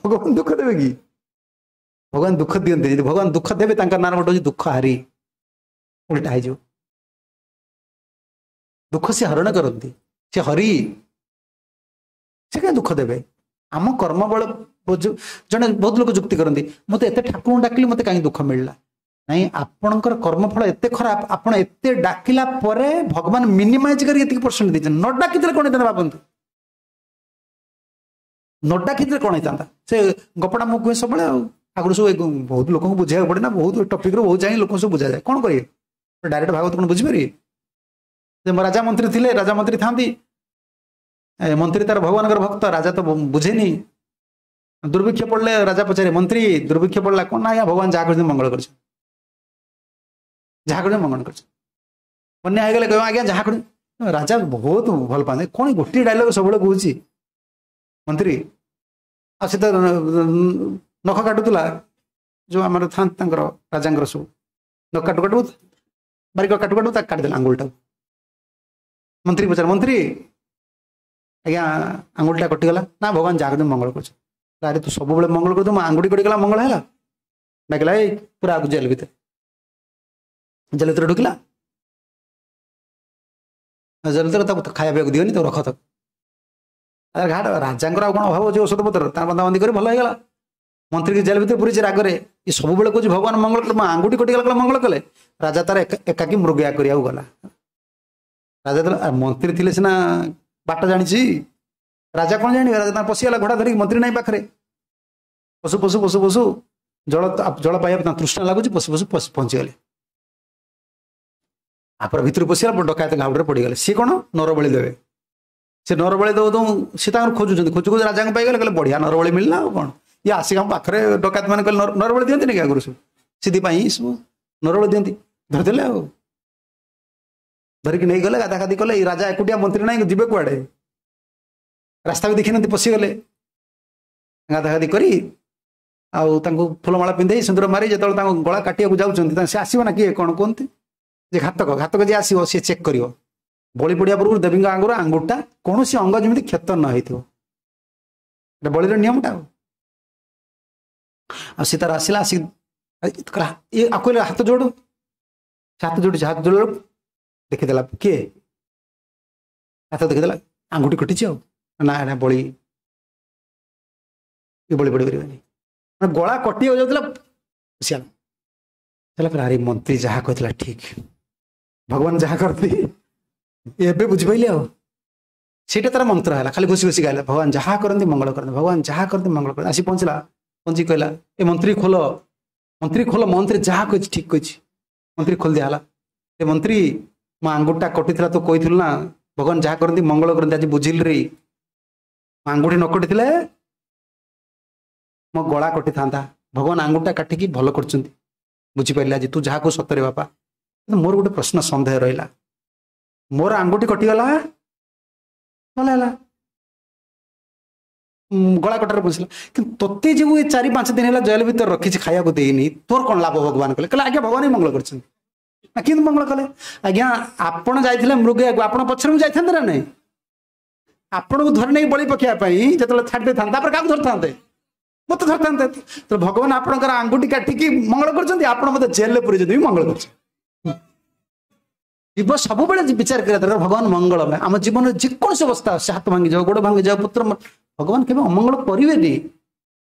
ଭଗବାନ ଦୁଃଖ ଦେବେ କି? ଭଗବାନ ଦୁଃଖ ଦିଅନ୍ତି? ଯଦି ଭଗବାନ ଦୁଃଖ ଦେବେ, ତାଙ୍କ ନାଁ ଗୋଟେ ହଉଛି ଦୁଃଖ ହାରି, ଉଲ୍ଟା ହେଇଯିବ। ଦୁଃଖ ସେ ହରଣ କରନ୍ତି, ସେ ହରି, ସେ କାହିଁ ଦୁଃଖ ଦେବେ? ଆମ କର୍ମ ବଳ। ଜଣେ ବହୁତ ଲୋକ ଯୁକ୍ତି କରନ୍ତି, ମତେ ଏତେ ଠାକୁରଙ୍କୁ ଡାକିଲି, ମତେ କାହିଁ ଦୁଃଖ ମିଳିଲା? ନାଇଁ, ଆପଣଙ୍କର କର୍ମଫଳ ଏତେ ଖରାପ, ଆପଣ ଏତେ ଡାକିଲା ପରେ ଭଗବାନ ମିନିମାଇଜ କରି ଏତିକି ପରସେଣ୍ଟ ଦେଇଛନ୍ତି। ନ ଡାକିଥିଲେ କଣ ହେଇଥାନ୍ତା ଭାବନ୍ତୁ, ନ ଡାକିଥିଲେ କଣ ହେଇଥାନ୍ତା? ସେ ଗପଟା ମୁଁ କୁହେ ସବୁବେଳେ। ଆଉ ଆଗରୁ ସବୁ ବହୁତ ଲୋକଙ୍କୁ ବୁଝେଇବାକୁ ପଡେ ନା, ବହୁତ ଟପିକରୁ ବହୁତ ଯାଇ ଲୋକଙ୍କୁ ସବୁ ବୁଝାଯାଏ। କଣ କରିବେ, ଡାଇରେକ୍ଟ ଭାଗବତ କଣ ବୁଝିପାରିବେ? ଯେ ରାଜା ମନ୍ତ୍ରୀ ଥିଲେ, ରାଜା ମନ୍ତ୍ରୀ ଥାନ୍ତି, ମନ୍ତ୍ରୀ ତାର ଭଗବାନଙ୍କର ଭକ୍ତ, ରାଜା ତ ବୁଝେନି। ଦୁର୍ଭିକ୍ଷ ପଡିଲେ ରାଜା ପଚାରେ, ମନ୍ତ୍ରୀ ଦୁର୍ଭିକ୍ଷ ପଡିଲା, କଣ ନା ଆଜ୍ଞା ଭଗବାନ ଯାହା କରିଛନ୍ତି ମଙ୍ଗଳ କରିଛନ୍ତି, ଯାହା କରିଛନ୍ତି ମଙ୍ଗଳ କରିଛନ୍ତି। ବନ୍ୟା ହେଇଗଲେ କହିବ ଆଜ୍ଞା ଯାହା କରିଛନ୍ତି। ରାଜା ବହୁତ ଭଲ ପାଆନ୍ତି, କଣ ଗୋଟିଏ ଡାଇଲଗ ସବୁବେଳେ କହୁଛି ମନ୍ତ୍ରୀ। ଆଉ ସେ ତ ନଖ କାଟୁଥିଲା, ଯୋଉ ଆମର ଥାନ୍ତି ତାଙ୍କର ରାଜାଙ୍କର ସବୁ, ନଖ କାଟୁ କାଟୁ, ବାରିକ କାଟୁ କାଟୁ ତାକୁ କାଟିଦେଲା ଆଙ୍ଗୁଳିଟାକୁ। ମନ୍ତ୍ରୀ ପଚାର, ମନ୍ତ୍ରୀ ଆଜ୍ଞା ଆଙ୍ଗୁଳିଟା କଟିଗଲା। ନା ଭଗବାନ ଯାହା କରିଛନ୍ତି ମଙ୍ଗଳ କରୁଛନ୍ତି। ଆରେ ତୁ ସବୁବେଳେ ମଙ୍ଗଳ କରୁଛୁ, ମୋ ଆଙ୍ଗୁଳି କଟିଗଲା ମଙ୍ଗଳ ହେଲା? ଡାକିଲା, ଏଇ ପୁରା ଆଗକୁ ଜେଲ ଭିତରେ, ଜେଲ ଭିତରେ ଢୁକିଲା। ଜେଲ ଭିତରେ ତାକୁ ଖାଇବା ପିଇବାକୁ ଦିଅନି, ତାକୁ ରଖ ତାକୁ। ଘାଟ ରାଜାଙ୍କର ଆଉ କଣ ଅଭାବ ଅଛି ଔଷଧ ପତ୍ର? ତାର ବନ୍ଦାବନ୍ଦି କରି ଭଲ ହେଇଗଲା। ମନ୍ତ୍ରୀକି ଜେଲ ଭିତରେ ପୁରୀଛି ରାଗରେ, ଏ ସବୁବେଳେ କହୁଛି ଭଗବାନ ମଙ୍ଗଳ କଲେ, ମୋ ଆଙ୍ଗୁଠି କଟିଗଲା କଲେ ମଙ୍ଗଳ କଲେ। ରାଜା ତାର ଏକାକି ମୃଗୟା କରିବାକୁ ଗଲା। ରାଜା ମନ୍ତ୍ରୀ ଥିଲେ ସିନା ବାଟ ଜାଣିଛି, ରାଜା କଣ ଜାଣିବେ? ରାଜା ତାର ପଶିଗଲା ଘୋଡ଼ା ଧରିକି, ମନ୍ତ୍ରୀ ନାହିଁ ପାଖରେ। ପଶୁ ପଶୁ ପଶୁ ପଶୁ ଜଳ ଜଳ ପାଇବା ତାଙ୍କ ତୃଷ୍ଣା ଲାଗୁଛି, ପଶୁ ପଶୁ ପହଞ୍ଚିଗଲେ। ତାପରେ ଭିତରୁ ପଶିଗଲା, ଡକାୟତ ଘାଉଡ଼ରେ ପଡ଼ିଗଲେ। ସିଏ କଣ ନରବଳି ଦେବେ, ସେ ନରବଳି ଦଉ ଦଉ ସେ ତାଙ୍କର ଖୋଜୁଛନ୍ତି, ଖୋଜୁ ଖୋଜୁ ରାଜାଙ୍କୁ ପାଇଗଲେ। କହିଲେ ବଢ଼ିଆ ନରବଳି ମିଳିଲା ଆଉ କ'ଣ, ଇଏ ଆସିକି ଆମ ପାଖରେ ଡକାୟତ ମାନେ କହିଲେ ନରବଳି ଦିଅନ୍ତିନି କି ଆଗରୁ ସବୁ, ସେଥିପାଇଁ ସବୁ ନରବଳି ଦିଅନ୍ତି। ଧରିଦେଲେ ଆଉ ଧରିକି ନେଇଗଲେ, ଗାଧା ଗାଧି କଲେ। ଏଇ ରାଜା ଏକୁଟିଆ, ମନ୍ତ୍ରୀ ନାହିଁ, ଯିବେ କୁଆଡ଼େ, ରାସ୍ତା ବି ଦେଖିନାହାନ୍ତି, ପଶିଗଲେ। ଗାଧା ଗାଧି କରି ଆଉ ତାଙ୍କୁ ଫୁଲମାଳା ପିନ୍ଧେଇ ସିନ୍ଦୁର ମାରି ଯେତେବେଳେ ତାଙ୍କ ଗଳା କାଟିବାକୁ ଯାଉଛନ୍ତି, ସେ ଆସିବ ନା କିଏ କ'ଣ କୁହନ୍ତି ଯେ ଘାତକ, ଘାତକ ଯିଏ ଆସିବ ସିଏ ଚେକ୍ କରିବ ବଳି ପଡ଼ିବା ପୂର୍ବରୁ ଦେବୀଙ୍କ ଆଙ୍ଗୁର ଆଙ୍ଗୁଠଟା କୌଣସି ଅଙ୍ଗ ଯେମିତି କ୍ଷତ ନ ହେଇଥିବ। ଏଟା ବଳିର ନିୟମଟା। ଆଉ ଆଉ ସେ ତାର ଆସିଲା, ଆସିକି ଇଏ ଆଉ କହିଲେ ହାତ ଯୋଡ଼ୁ, ସେ ହାତ ଯୋଡ଼ିଛି। ହାତ ଯୋଡ଼ିଲା ଦେଖିଦେଲା କିଏ, ହାତ ଦେଖିଦେଲା ଆଙ୍ଗୁଠି କଟିଛି। ଆଉ ନା ଏଟା ବଳି, ଇଏ ବଳି ପଡ଼ି ପାରିବନି। ମାନେ ଗଳା କଟିବାକୁ ଯାଉଥିଲା, ସିଆଲ ହେଲା। କହିଲା ଆରେ ମନ୍ତ୍ରୀ ଯାହା କହିଥିଲା ଠିକ, ଭଗବାନ ଯାହା କରନ୍ତି ଏବେ ବୁଝିପାରିଲି। ଆଉ ସେଇଟା ତାର ମନ୍ତ୍ର ହେଲା, ଖାଲି ଘୋଷି ଘୋଷି ଗାଇଲା, ଭଗବାନ ଯାହା କରନ୍ତି ମଙ୍ଗଳ କରନ୍ତି, ଭଗବାନ ଯାହା କରନ୍ତି ମଙ୍ଗଳ କରନ୍ତି। ଆସି ପହଞ୍ଚିଲା, ପହଞ୍ଚି କହିଲା ଏ ମନ୍ତ୍ରୀ ଖୋଲ, ମନ୍ତ୍ରୀ ଖୋଲ, ମନ୍ତ୍ରୀ ଯାହା କହିଛି ଠିକ କହିଛି। ମନ୍ତ୍ରୀ ଖୋଲି ଦିଆହେଲା। ଏ ମନ୍ତ୍ରୀ ମୋ ଆଙ୍ଗୁଠିଟା କଟିଥିଲା, ତୁ କହିଥିଲୁ ନା ଭଗବାନ ଯାହା କରନ୍ତି ମଙ୍ଗଳ କରନ୍ତି, ଆଜି ବୁଝିଲି ରେ, ମୋ ଆଙ୍ଗୁଠି ନ କଟିଥିଲେ ମୋ ଗଳା କଟିଥାନ୍ତା, ଭଗବାନ ଆଙ୍ଗୁଠିଟା କାଟିକି ଭଲ କରିଛନ୍ତି, ବୁଝିପାରିଲି ଆଜି ତୁ ଯାହାକୁ ସତରେ ବାପା। କିନ୍ତୁ ମୋର ଗୋଟେ ପ୍ରଶ୍ନ ସନ୍ଦେହ ରହିଲା, ମୋର ଆଙ୍ଗୁଠି କଟିଗଲା ଭଲ ହେଲା, ଗଳା କଟାରେ ବସିଲା, କିନ୍ତୁ ତୋତେ ଯୋଉ ଏ ଚାରି ପାଞ୍ଚ ଦିନ ହେଲା ଜେଲ ଭିତରେ ରଖିଛି, ଖାଇବାକୁ ଦେଇନି, ତୋର କ'ଣ ଲାଭ ଭଗବାନ କଲେ? କହିଲେ ଆଜ୍ଞା ଭଗବାନ ହିଁ ମଙ୍ଗଳ କରିଛନ୍ତି। ନା କେମିତି ମଙ୍ଗଳ କଲେ? ଆଜ୍ଞା ଆପଣ ଯାଇଥିଲେ ମୃଗୟାକୁ, ଆପଣ ପଛରେ ମୁଁ ଯାଇଥାନ୍ତେ ନା ନାଇଁ? ଆପଣଙ୍କୁ ଧରି ନେଇ ବଳି ପକେଇବା ପାଇଁ ଯେତେବେଳେ ଛାଡ଼ି ଦେଇଥାନ୍ତେ, ତାପରେ କାହାକୁ ଧରିଥାନ୍ତେ? ମତେ ଧରିଥାନ୍ତେ। ତ ଭଗବାନ ଆପଣଙ୍କର ଆଙ୍ଗୁଠି କାଟିକି ମଙ୍ଗଳ କରିଛନ୍ତି, ଆପଣ ମତେ ଜେଲରେ ପୁରେଇଛନ୍ତି ବି ମଙ୍ଗଳ କରିଛନ୍ତି। ଜୀବ ସବୁବେଳେ ବିଚାର କରିବା ଦରକାର ଭଗବାନ ମଙ୍ଗଳମୟ। ଆମ ଜୀବନରେ ଯେକୌଣସି ଅବସ୍ଥା, ସେ ହାତ ଭାଙ୍ଗିଯାଉ, ଗୋଡ଼ ଭାଙ୍ଗିଯାଉ, ପୁତ୍ର, ଭଗବାନ କେବେ ଅମଙ୍ଗଳ କରିବେନି।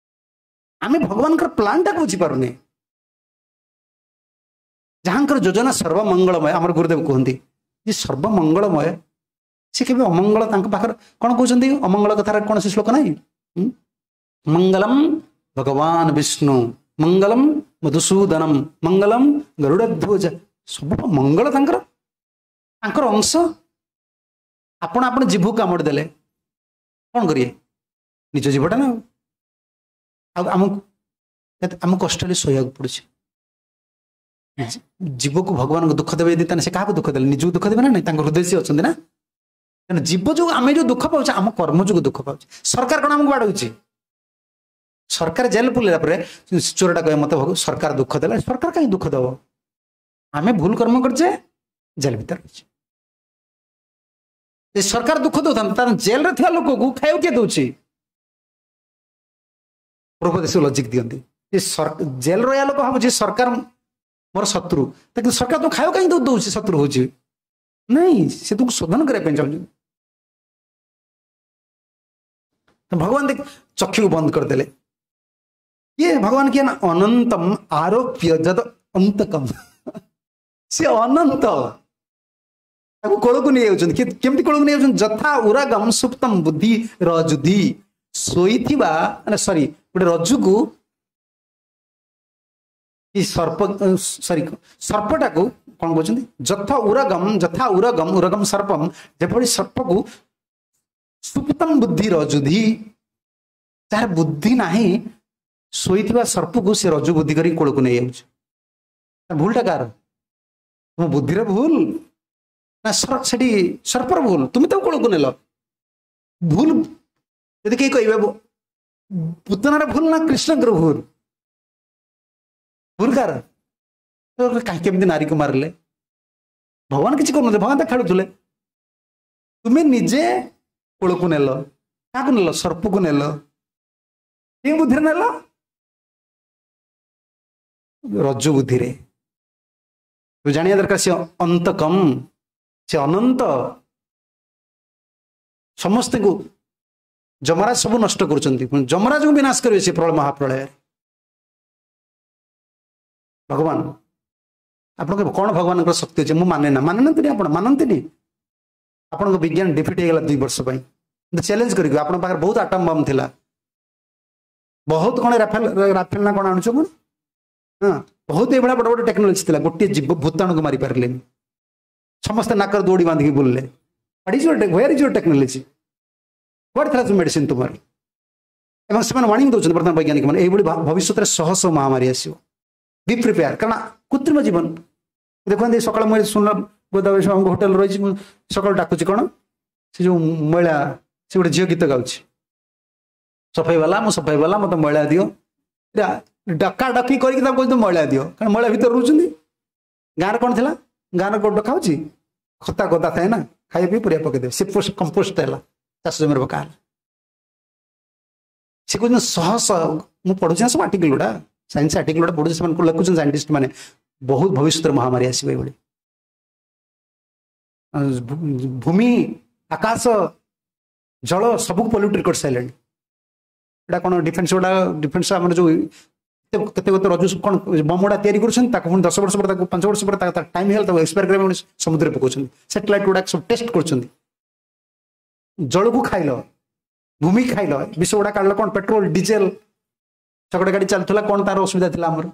ଆମେ ଭଗବାନଙ୍କର ପ୍ଲାନ୍ଟାକୁ ବୁଝିପାରୁନେ। ଯାହାଙ୍କର ଯୋଜନା ସର୍ବମଙ୍ଗଳମୟ, ଆମର ଗୁରୁଦେବ କୁହନ୍ତି ଯେ ସର୍ବମଙ୍ଗଳମୟ, ସେ କେବେ ଅମଙ୍ଗଳ ତାଙ୍କ ପାଖରେ କ'ଣ କହୁଛନ୍ତି? ଅମଙ୍ଗଳ କଥାର କୌଣସି ଶ୍ଲୋକ ନାହିଁ। ମଙ୍ଗଳମ ଭଗବାନ ବିଷ୍ଣୁ, ମଙ୍ଗଳମ ମଧୁସୂଦନମ, ମଙ୍ଗଳମ ଗରୁଡ଼ଧ୍ୱଜ, ସବୁ ମଙ୍ଗଳ ତାଙ୍କର, ତାଙ୍କର ଅଂଶ। ଆପଣ ଆପଣ ଜିଭକୁ କାମୁଡ଼ି ଦେଲେ କ'ଣ କରିବେ? ନିଜ ଜିଭଟା ନା ଆଉ ଆମକୁ ଆମକୁ କଷ୍ଟ ହେଲେ ସହିବାକୁ ପଡୁଛି। ଜୀବକୁ ଭଗବାନଙ୍କୁ ଦୁଃଖ ଦେବେ ଯଦି, ତାହେଲେ ସେ କାହାକୁ ଦୁଃଖ ଦେଲେ? ନିଜକୁ ଦୁଃଖ ଦେବେ ନା ନାଇଁ? ତାଙ୍କ ହୃଦୟ ସେ ଅଛନ୍ତି ନା। ତେଣୁ ଜୀବ ଯୋଉ ଆମେ ଯୋଉ ଦୁଃଖ ପାଉଛେ, ଆମ କର୍ମ ଯୋଗୁଁ ଦୁଃଖ ପାଉଛେ। ସରକାର କ'ଣ ଆମକୁ ବାଡ଼ଉଛି? ସରକାର ଜେଲ ପୁରିଲା ପରେ ଚୋରଟା କହେ ମତେ ସରକାର ଦୁଃଖ ଦେଲା। ସରକାର କାହିଁ ଦୁଃଖ ଦବ? ଆମେ ଭୁଲ କର୍ମ କରିଛେ, ଜେଲ ଭିତରେ ରହିଛେ। ସରକାର ଦୁଃଖ ଦଉଥାନ୍ତେ, ତାର ଜେଲରେ ଥିବା ଲୋକକୁ ଖାଇବାକୁ କିଏ ଦଉଛି? ପ୍ରଭୁ ଲଜିକ ଦିଅନ୍ତି ଯେ ଜେଲ ରହିବା ଲୋକ ଭାବୁଛି ସରକାର ମୋର ଶତ୍ରୁ, କିନ୍ତୁ ସରକାର ତୁମକୁ ଖାଇବାକୁ କାହିଁ ଦଉଛି? ଶତ୍ରୁ ହଉଛି ନାଇଁ, ସେ ତୁମକୁ ଶୋଧନ କରିବା ପାଇଁ ଚାହୁଁଛନ୍ତି। ଭଗବାନ ଦେଖ ଚକ୍ଷୁକୁ ବନ୍ଦ କରିଦେଲେ। କିଏ ଭଗବାନ? କିଏ ନା ଅନନ୍ତମ ଆରୋପ୍ୟ ଯଦ ଅନ୍ତକମ, ସେ ଅନନ୍ତ, ତାକୁ କୋଳକୁ ନେଇଯାଉଛନ୍ତି। କେମିତି କୋଳକୁ ନେଇଯାଉଛନ୍ତି? ଯଥା ଉରାଗମ ସୁପ୍ତମ ବୁଦ୍ଧି ରଜୁଧି, ଶୋଇଥିବା ମାନେ ସରି ଗୋଟେ ରଜୁକୁ କି ସର୍ପ, ସରି ସର୍ପଟାକୁ କଣ କହୁଛନ୍ତି? ଯଥା ଉରଗମ, ଯଥା ଉରଗମ, ଉରଗମ ସର୍ପମ, ଯେଭଳି ସର୍ପକୁ ସୁପ୍ତମ ବୁଦ୍ଧି ରଜୁଧି, ଯାହାର ବୁଦ୍ଧି ନାହିଁ, ଶୋଇଥିବା ସର୍ପକୁ ସେ ରଜୁ ବୁଦ୍ଧି କରି କୋଳକୁ ନେଇଯାଉଛି। ଭୁଲଟା କାହାର? ତୁମ ବୁଦ୍ଧିର ଭୁଲ ନା ସେଠି ସର୍ପର ଭୁଲ? ତୁମେ ତାକୁ କୋଳକୁ ନେଲ। ଭୁଲ ଯଦି କେହି କହିବେ, ପୁତନାର ଭୁଲ ନା କୃଷ୍ଣଙ୍କର ଭୁଲ? ଭୁଲ କାହାର? କାହିଁ କେମିତି ନାରୀକୁ ମାରିଲେ? ଭଗବାନ କିଛି କରୁନଥିଲେ, ଭଗବାନ ତ ଖେଳୁଥିଲେ। ତୁମେ ନିଜେ କୋଳକୁ ନେଲ। କାହାକୁ ନେଲ? ସର୍ପକୁ ନେଲ। କେଉଁ ବୁଦ୍ଧିରେ ନେଲ? ରଜୁ ବୁଦ୍ଧିରେ। ଜାଣିବା ଦରକାର ସେ ଅନ୍ତକମ, ସେ ଅନନ୍ତ, ସମସ୍ତଙ୍କୁ ଯମରାଜ ସବୁ ନଷ୍ଟ କରୁଛନ୍ତି, ଯମରାଜକୁ ବିନାଶ କରିବେ ସେ ପ୍ରଳୟ ମହାପ୍ରଳୟରେ। ଭଗବାନ ଆପଣଙ୍କ କ'ଣ ଭଗବାନଙ୍କର ଶକ୍ତି ଅଛି? ମୁଁ ମାନେ ନା, ମାନନ୍ତିନି ଆପଣ, ମାନନ୍ତିନି। ଆପଣଙ୍କ ବିଜ୍ଞାନ ଡିଫିଟ୍ ହେଇଗଲା ଦୁଇ ବର୍ଷ ପାଇଁ। କିନ୍ତୁ ଚ୍ୟାଲେଞ୍ଜ କରିକି ଆପଣଙ୍କ ପାଖରେ ବହୁତ ଆଟମ ବମ୍ ଥିଲା, ବହୁତ କ'ଣ ରାଫେଲ, ରାଫେଲ ନା କ'ଣ ଆଣୁଛ କଣ? ହଁ, ବହୁତ ଏଇଭଳିଆ ବଡ଼ ବଡ଼ ଟେକ୍ନୋଲୋଜି ଥିଲା, ଗୋଟିଏ ଜୀବ ଭୂତାଣୁକୁ ମାରି ପାରିଲେନି। ସମସ୍ତେ ନାକରେ ଦୌଡ଼ି ବାନ୍ଧିକି ବୁଲିଲେ। What is your, where is your technology? କୁଆଡ଼େ ଥିଲା ସବୁ ମେଡିସିନ ତୁମର? ଏବଂ ସେମାନେ ୱାର୍ଣ୍ଣିଂ ଦେଉଛନ୍ତି ବର୍ତ୍ତମାନ ବୈଜ୍ଞାନିକ ମାନେ, ଏଇଭଳି ଭବିଷ୍ୟତରେ ଶହ ଶହ ମହାମାରୀ ଆସିବ, ବି ପ୍ରିପେୟାର। କାରଣ କୃତ୍ରିମ ଜୀବନ ଦେଖନ୍ତି। ସକାଳେ ମୁଁ ଶୁଣିଲା, ଗୋଦାବରୀ ହୋଟେଲ ରହିଛି, ମୁଁ ସକାଳୁ ଡାକୁଛି କ'ଣ ସେ ଯୋଉ ମଇଳା, ସେ ଗୋଟେ ଝିଅ ଗୀତ ଗାଉଛି, ସଫେଇ ବାଲା, ମୁଁ ସଫେଇ ବାଲା, ମତେ ମଇଳା ଦିଅ। ଡକା ଡକି କରିକି ତାକୁ କହୁଛନ୍ତି ମଇଳା ଦିଅ, କାରଣ ମଇଳା ଭିତରେ ରହୁଛନ୍ତି। ଗାଁରେ କ'ଣ ଥିଲା? ଗାଁରେ ଡକା ହଉଛି, ଖତା ଗଦା ଥାଏ ନା, ଖାଇବା ପିଇ ପରିବା ପକେଇଦେବେ, ସେ କମ୍ପୋଷ୍ଟ ହେଲା, ଚାଷ ଜମିରେ ପକା ହେଲା। ସେ କହୁଛନ୍ତି ଶହ ଶହ, ମୁଁ ପଢୁଛି ନା ସବୁ ଆର୍ଟିକଲ ଗୁଡ଼ା, ସାଇନ୍ସ ଆର୍ଟିକଲ ଗୁଡ଼ା ପଢୁଛି, ସେମାନଙ୍କୁ ଲେଖୁଛନ୍ତି ସାଇଣ୍ଟିଷ୍ଟ ମାନେ, ବହୁତ ଭବିଷ୍ୟତରେ ମହାମାରୀ ଆସିବ ଏଇଭଳି। ଭୂମି, ଆକାଶ, ଜଳ ସବୁକୁ ପଲ୍ୟୁଟେଡ୍ କରିସାରିଲେଣି। ଏଇଟା କ'ଣ ଡିଫେନ୍ସ ଗୁଡ଼ା, ଡିଫେନ୍ସ ଆମର ଯୋଉ କେତେ କେତେ ରଜୁ କ'ଣ ବମ୍ ଗୁଡ଼ା ତିଆରି କରୁଛନ୍ତି, ତାକୁ ପୁଣି ଦଶ ବର୍ଷ ପରେ, ତାକୁ ପାଞ୍ଚ ବର୍ଷ ପରେ ତା ଟାଇମ୍ ହେଇଗଲା, ତାକୁ ଏକ୍ସପାୟାର କରିବା ପାଇଁ ସମୁଦ୍ରରେ ପକାଉଛନ୍ତି। ସାଟେଲାଇଟ୍ ଗୁଡ଼ାକ ସବୁ ଟେଷ୍ଟ କରୁଛନ୍ତି। ଜଳକୁ ଖାଇଲ, ଭୂମି ଖାଇଲ, ବିଷ ଗୁଡ଼ା କାଢିଲ, କ'ଣ ପେଟ୍ରୋଲ ଡିଜେଲ ଶଗଡ଼ ଗାଡ଼ି ଚାଲୁଥିଲା, କ'ଣ ତାର ଅସୁବିଧା ଥିଲା ଆମର?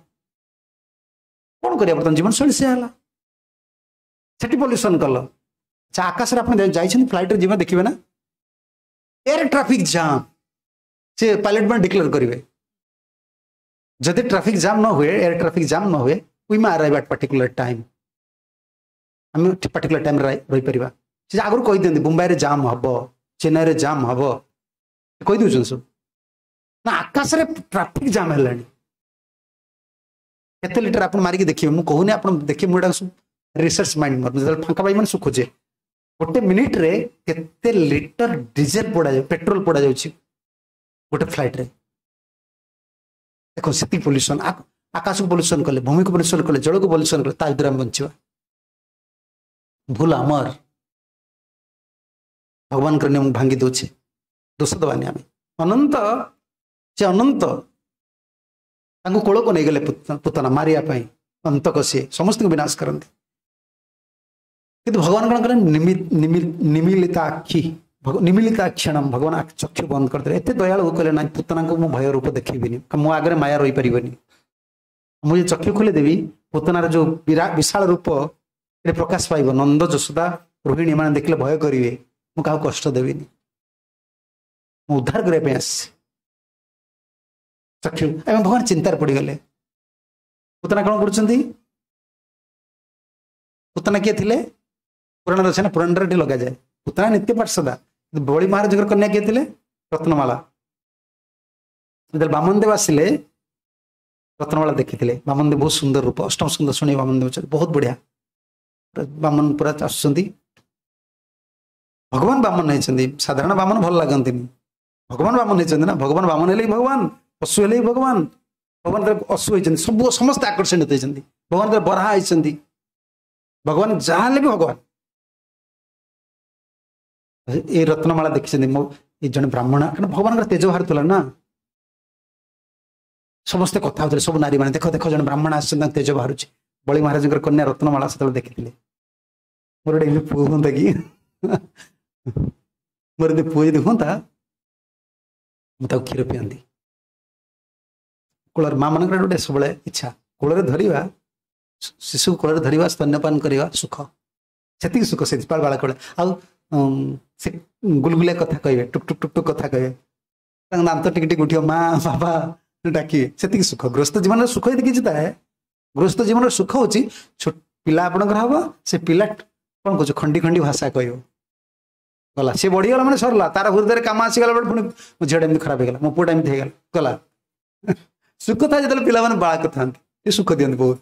କ'ଣ କରିବା? ବର୍ତ୍ତମାନ ଜୀବନଶୈଳୀ ସେୟା ହେଲା, ସେଠି ପଲ୍ୟୁସନ କଲ। ଆଚ୍ଛା, ଆକାଶରେ ଆପଣ ଯାଇଛନ୍ତି, ଫ୍ଲାଇଟ୍ରେ ଯିବେ, ଦେଖିବେ ନା ଏୟାର ଟ୍ରାଫିକ ଜାମ୍, ସେ ପାଇଲଟ ମାନେ ଡିକ୍ଲେୟାର କରିବେ, ଯଦି ଟ୍ରାଫିକ ଜାମ୍ ନ ହୁଏ, ଏୟାର ଟ୍ରାଫିକ ଜାମ୍ ନ ହୁଏ, we may arrive at particular time, ଆମେ ପାର୍ଟିକୁଲାର ଟାଇମ୍ରେ ରହିପାରିବା। ସେ ଆଗରୁ କହିଦିଅନ୍ତି, ମୁମ୍ବାଇରେ ଜାମ୍ ହବ, ଚେନ୍ନାଇରେ ଜାମ୍ ହବ, କହିଦେଉଛନ୍ତି ସବୁ ନା। ଆକାଶରେ ଟ୍ରାଫିକ ଜାମ୍ ହେଲାଣି। କେତେ ଲିଟର ଆପଣ ମାରିକି ଦେଖିବେ, ମୁଁ କହୁନି, ଆପଣ ଦେଖିବେ। ମୁଁ ଏଇଟା ସବୁ ରିସର୍ଚ୍ଚ ମାଇଣ୍ଡ ମୋର, ଯେତେବେଳେ ଫାଙ୍କା ପାଇ ମାନେ ଖୋଜେ, ଗୋଟେ ମିନିଟରେ କେତେ ଲିଟର ଡିଜେଲ ପୋଡ଼ାଯାଉ, ପେଟ୍ରୋଲ ପୋଡ଼ାଯାଉଛି ଗୋଟେ ଫ୍ଲାଇଟ୍ରେ। ଦେଖ, ସେତିକି ପଲ୍ୟୁସନ। ଆକାଶକୁ ପଲ୍ୟୁସନ କଲେ, ଭୂମିକୁ ପଲ୍ୟୁସନ କଲେ, ଜଳକୁ ପଲ୍ୟୁସନ କଲେ, ତା ଭିତରେ ଆମେ ବଞ୍ଚିବା? ଭୁଲ ଆମର, ଭଗବାନଙ୍କର ନିୟମ ଭାଙ୍ଗି ଦଉଛେ। ଦୋଷ ଦେବାନି ଆମେ। ଅନନ୍ତ ସେ, ଅନନ୍ତ, ତାଙ୍କୁ କୋଳକୁ ନେଇଗଲେ ପୁତନା ମାରିବା ପାଇଁ। ଅନ୍ତକ ସିଏ, ସମସ୍ତଙ୍କୁ ବିନାଶ କରନ୍ତି। କିନ୍ତୁ ଭଗବାନ କ'ଣ କଲେ? ନିମିଲିତା ଆଖି, ନିମିଲିତା କ୍ଷଣ, ଭଗବାନ ଚକ୍ଷୁ ବନ୍ଦ କରିଦେଲେ। ଏତେ ଦୟାଳୁ, କହିଲେ ନାଇଁ, ପୁତନାଙ୍କୁ ମୁଁ ଭୟ ରୂପ ଦେଖେଇବିନି, ମୋ ଆଗରେ ମାୟା ରହିପାରିବନି। ମୁଁ ଯଦି ଚକ୍ଷୁ ଖୋଲିଦେବି, ପୁତନାର ଯୋଉ ବିଶାଳ ରୂପ ଏଠି ପ୍ରକାଶ ପାଇବ, ନନ୍ଦ, ଯଶୋଦା, ରୋହିଣୀ ଏମାନେ ଦେଖିଲେ ଭୟ କରିବେ। ମୁଁ କାହାକୁ କଷ୍ଟ ଦେବିନି, ମୁଁ ଉଦ୍ଧାର କରିବା ପାଇଁ ଆସିଛି। ଚକ୍ଷୁ ଏବଂ ଭଗବାନ ଚିନ୍ତାରେ ପଡ଼ିଗଲେ। ପୁତନା କ'ଣ କରୁଛନ୍ତି? ପୁତନା କିଏ ଥିଲେ? ପୁରାଣରେ ଅଛି ନା, ପୁରାଣରେ ଏଠି ଲଗାଯାଏ। ପୁତନା ନିତ୍ୟ ପାର୍ଷଦା। ବଳି ମହାରାଜଙ୍କର କନ୍ୟା କିଏ ଥିଲେ? ରତ୍ନମାଳା। ଯେତେବେଳେ ବାମନ ଦେବ ଆସିଲେ, ରତ୍ନମାଳା ଦେଖିଥିଲେ। ବାମନ ଦେବ ବହୁତ ସୁନ୍ଦର ରୂପ। ଅଷ୍ଟମ ସୁନ୍ଦର ଶୁଣି ବାମନ ଦେବ ବହୁତ ବଢିଆ। ବାମନ ପୁରା ଆସୁଛନ୍ତି, ଭଗବାନ ବାମନ ହେଇଛନ୍ତି। ସାଧାରଣ ବାମନ ଭଲ ଲାଗନ୍ତିନି, ଭଗବାନ ବାମନ ହେଇଛନ୍ତି ନା। ଭଗବାନ ବାମନ ହେଲେ ବି ଭଗବାନ, ପଶୁ ହେଲେ ବି ଭଗବାନ। ଭଗବାନ ଅଶୁ ହେଇଛନ୍ତି, ସବୁ ସମସ୍ତେ ଆକର୍ଷିତ ହେଇଛନ୍ତି। ଭଗବାନ ବରାହ ହେଇଛନ୍ତି, ଭଗବାନ ଯାହା ହେଲେ ବି ଭଗବାନ। ଏଇ ରତ୍ନମାଳା ଦେଖିଛନ୍ତି, ମୋ ଏ ଜଣେ ବ୍ରାହ୍ମଣ, କାରଣ ଭଗବାନଙ୍କର ତେଜ ବାହାରୁଥିଲା ନା। ସମସ୍ତେ କଥା ହଉଥିଲେ, ସବୁ ନାରୀମାନେ, ଦେଖ ଦେଖ, ଜଣେ ବ୍ରାହ୍ମଣ ଆସିଛନ୍ତି, ତାଙ୍କ ତେଜ ବାହାରୁଛି। ବଳି ମହାରାଜଙ୍କର କନ୍ୟା ରତ୍ନମାଳା ସେତେବେଳେ ଦେଖିଥିଲେ। ମୋର ଗୋଟେ ଏମିତି ପୁଅ ହୁଅନ୍ତା କି, ମୋର ଯଦି ପୁଅ ଯଦି ହୁଅନ୍ତା, ମୁଁ ତାକୁ କ୍ଷୀର ପିଅନ୍ତି କୋଳରେ। ମା ମାନଙ୍କର ଗୋଟେ ସବୁବେଳେ ଇଚ୍ଛା, କୋଳରେ ଧରିବା, ଶିଶୁକୁ କୋଳରେ ଧରିବା, ସ୍ତନ୍ୟପାନ କରିବା ସୁଖ, ସେତିକି ସୁଖ ସେଥିପାଇଁ ବାଳକ ବେଳେ। ଆଉ ସେ ଗୁଲଗୁଲିଆ କଥା କହିବେ, ଟୁକ୍ ଟୁକ୍ ଟୁକ୍ ଟୁକ୍ କଥା କହିବେ, ତାଙ୍କ ଦାନ୍ତ ଟିକେ ଟିକେ ଉଠିବ, ମା ବାବା ଡାକିବେ, ସେତିକି ସୁଖ। ଗୃହସ୍ଥ ଜୀବନରେ ସୁଖ ଯଦି କିଛି ଥାଏ, ଗୃହସ୍ଥ ଜୀବନର ସୁଖ ହଉଛି ଛୋଟ ପିଲା ଆପଣଙ୍କର ହବ, ସେ ପିଲା କଣ କହୁଛ, ଖଣ୍ଡି ଖଣ୍ଡି ଭାଷା କହିବ, ଗଲା। ସେ ବଢିଗଲା ମାନେ ସରିଲା। ତାର ହୃଦୟରେ କାମ ଆସିଗଲା ବେଳେ ପୁଣି ମୋ ଝିଅଟା ଏମିତି ଖରାପ ହେଇଗଲା, ମୋ ପୁଅଟା ଏମିତି ହେଇଗଲା, ଗଲା। ସୁଖ ଥାଏ ଯେତେବେଳେ ପିଲାମାନେ ବାଳକ ଥାନ୍ତି, ସେ ସୁଖ ଦିଅନ୍ତି ବହୁତ।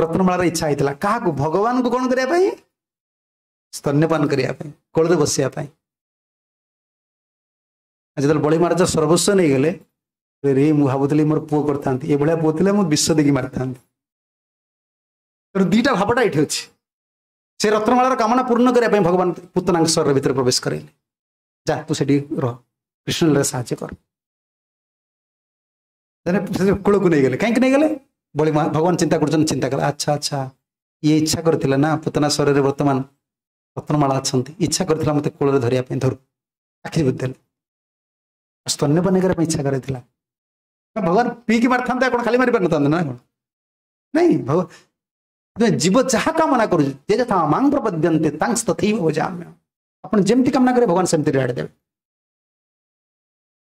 ରତ୍ନମାଳାର ଇଚ୍ଛା ହେଇଥିଲା କାହାକୁ? ଭଗବାନଙ୍କୁ କଣ କରିବା ପାଇଁ? ସ୍ତନ୍ୟପାନ କରିବା ପାଇଁ, କୋଳରେ ବସିବା ପାଇଁ। ଯେତେବେଳେ ବଳି ମହାରାଜ ସର୍ବସ୍ୱ ନେଇଗଲେ ରେ, ମୁଁ ଭାବୁଥିଲି ମୋର ପୁଅ କରିଥାନ୍ତି, ଏଭଳିଆ ପୁଅ ଥିଲେ ମୁଁ ବିଷ ଦେଇକି ମାରିଥାନ୍ତି। ତେଣୁ ଦିଟା ଭାବଟା ଏଇଠି ଅଛି। ସେ ରତ୍ନମାଳାର କାମନା ପୂର୍ଣ୍ଣ କରିବା ପାଇଁ ଭଗବାନ ପୁତନାଙ୍କ ଶରୀର ଭିତରେ ପ୍ରବେଶ କରାଇଲେ। ଯା, ତୁ ସେଠି ରହ, କୃଷ୍ଣ ସାହାଯ୍ୟ କର। କୂଳକୁ ନେଇଗଲେ। କାହିଁକି ନେଇଗଲେ? ବଳି ଭଗବାନ ଚିନ୍ତା କରୁଛନ୍ତି, ଚିନ୍ତା କଲେ, ଆଚ୍ଛା ଆଚ୍ଛା, ଇଏ ଇଚ୍ଛା କରିଥିଲା ନା, ପୁତନା ଶରୀରରେ ବର୍ତ୍ତମାନ ରତ୍ନମାଳା ଅଛନ୍ତି, ଇଚ୍ଛା କରିଥିଲା ମତେ କୂଳରେ ଧରିବା ପାଇଁ, ଧରୁ। ଆଖି ବୁଝିଦେଲେ। ସ୍ତନ୍ୟପାନ କରିବା ପାଇଁ ଇଚ୍ଛା କରିଥିଲା। ଭଗବାନ ପିଇକି ମାରିଥାନ୍ତେ, କଣ ଖାଲି ମାରି ପାରିନଥାନ୍ତେ ନା କଣ? ନାଇଁ, ଭଗବାନ ଜୀବ ଯାହା କାମନା କରୁଛି, ଯେ ଯଥା ମାଂ ପ୍ରପଦ୍ୟନ୍ତେ ତାଂସ୍ ତଥୈବ ଭଜାମ୍ୟ। ଆପଣ ଯେମିତି କାମନା କରିବେ ଭଗବାନ ସେମିତି ରିୱାର୍ଡ ଦେବେ।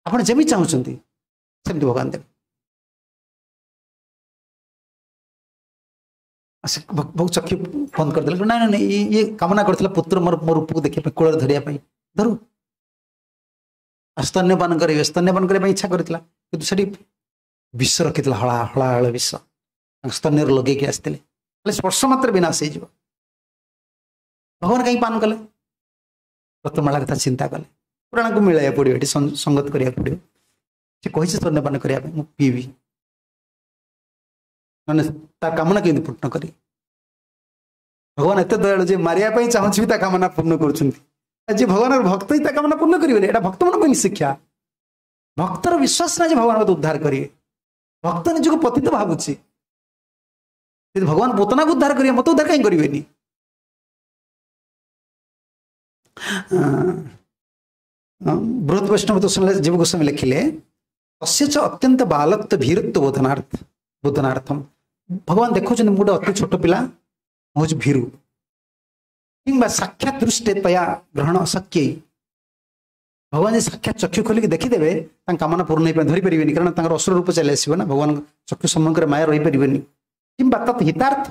ଆପଣ ଯେମିତି ଚାହୁଁଛନ୍ତି ସେମିତି ଭଗବାନ ଦେବେ। ବହୁତ ଚକ୍ଷୁ ବନ୍ଦ କରିଦେଲେ। ନାଇଁ ନାଇଁ ନାଇଁ, ଇଏ କାମନା କରିଥିଲା ପୁତ୍ର ମୋର ମୋ ରୂପକୁ ଦେଖିବା ପାଇଁ, କୋଳରେ ଧରିବା ପାଇଁ, ଧରୁ। ଆଉ ସ୍ତନ୍ୟପାନ କରିବେ, ସ୍ତନ୍ୟପାନ କରିବା ପାଇଁ ଇଚ୍ଛା କରିଥିଲା, କିନ୍ତୁ ସେଠି ବିଷ ରଖିଥିଲା, ହଳା ହଳା ହଳ ବିଷ ତାଙ୍କ ସ୍ତନ୍ୟରେ ଲଗେଇକି ଆସିଥିଲେ, ହେଲେ ସ୍ପର୍ଶ ମାତ୍ରେ ବିନାଶ ହେଇଯିବ। ଭଗବାନ କାହିଁକି ପାନ କଲେ? ରତ୍ନମାଳା କଥା ଚିନ୍ତା କଲେ। ପୁରାଣକୁ ମିଳାଇବାକୁ ପଡ଼ିବ, ଏଠି ସଙ୍ଗତ କରିବାକୁ ପଡ଼ିବ। ସେ କହିଛି ସ୍ତନ୍ୟପାନ କରିବା ପାଇଁ, ମୁଁ ପିଇବି, ମାନେ ତା କାମନା କେମିତି ପୂର୍ଣ୍ଣ କରିବି? ଭଗବାନ ଏତେ ଦୟାଳୁ ଯେ ମାରିବା ପାଇଁ ଚାହୁଁଛି ବି ତା କାମନା ପୂର୍ଣ୍ଣ କରୁଛନ୍ତି। ଯିଏ ଭଗବାନର ଭକ୍ତ ହିଁ ତା କାମନା ପୂର୍ଣ୍ଣ କରିବେନି। ଏଇଟା ଭକ୍ତମାନଙ୍କ ପାଇଁ ଶିକ୍ଷା। ଭକ୍ତର ବିଶ୍ୱାସ ନାହିଁ ଯେ ଭଗବାନ ମତେ ଉଦ୍ଧାର କରିବେ। ଭକ୍ତ ନିଜକୁ ପତିତ ଭାବୁଛି, ଯଦି ଭଗବାନ ପୋତନାକୁ ଉଦ୍ଧାର କରିବେ ମତେ ଉଦ୍ଧାର କାହିଁ କରିବେନି? ବୃହତ ବୈଷ୍ଣବ ତ ଶୁଣିଲେ ଜୀବ ଗୋସ୍ୱାମୀ ଲେଖିଲେ, ତସ୍ୟ ଚ ଅତ୍ୟନ୍ତ ବାଲତ୍ୱ ଭୀରତ୍ୱ ବୋଧନାର୍ଥ ବୋଧନାର୍ଥମ। ଭଗବାନ ଦେଖୁଛନ୍ତି ମୁଁ ଗୋଟେ ଅତି ଛୋଟ ପିଲା, ମୁଁ ହଉଛି ଭୀରୁ, କିମ୍ବା ସାକ୍ଷାତ ଦୃଷ୍ଟି ତୟା ଗ୍ରହଣ ଅଶକ୍ୟଇ। ଭଗବାନ ଯଦି ସାକ୍ଷାତ ଚକ୍ଷୁ ଖୋଲିକି ଦେଖିଦେବେ ତାଙ୍କ କାମନା ପୂର୍ଣ୍ଣ ହେଇପାରିବ, ଧରିପାରିବେନି, କାରଣ ତାଙ୍କର ଅସୁର ରୂପ ଚାଲି ଆସିବ ନା, ଭଗବାନଙ୍କ ଚକ୍ଷୁ ସମ୍ମୁଖରେ ମାୟା ରହିପାରିବେନି। କିମ୍ବା ତତ୍ ହିତାର୍ଥ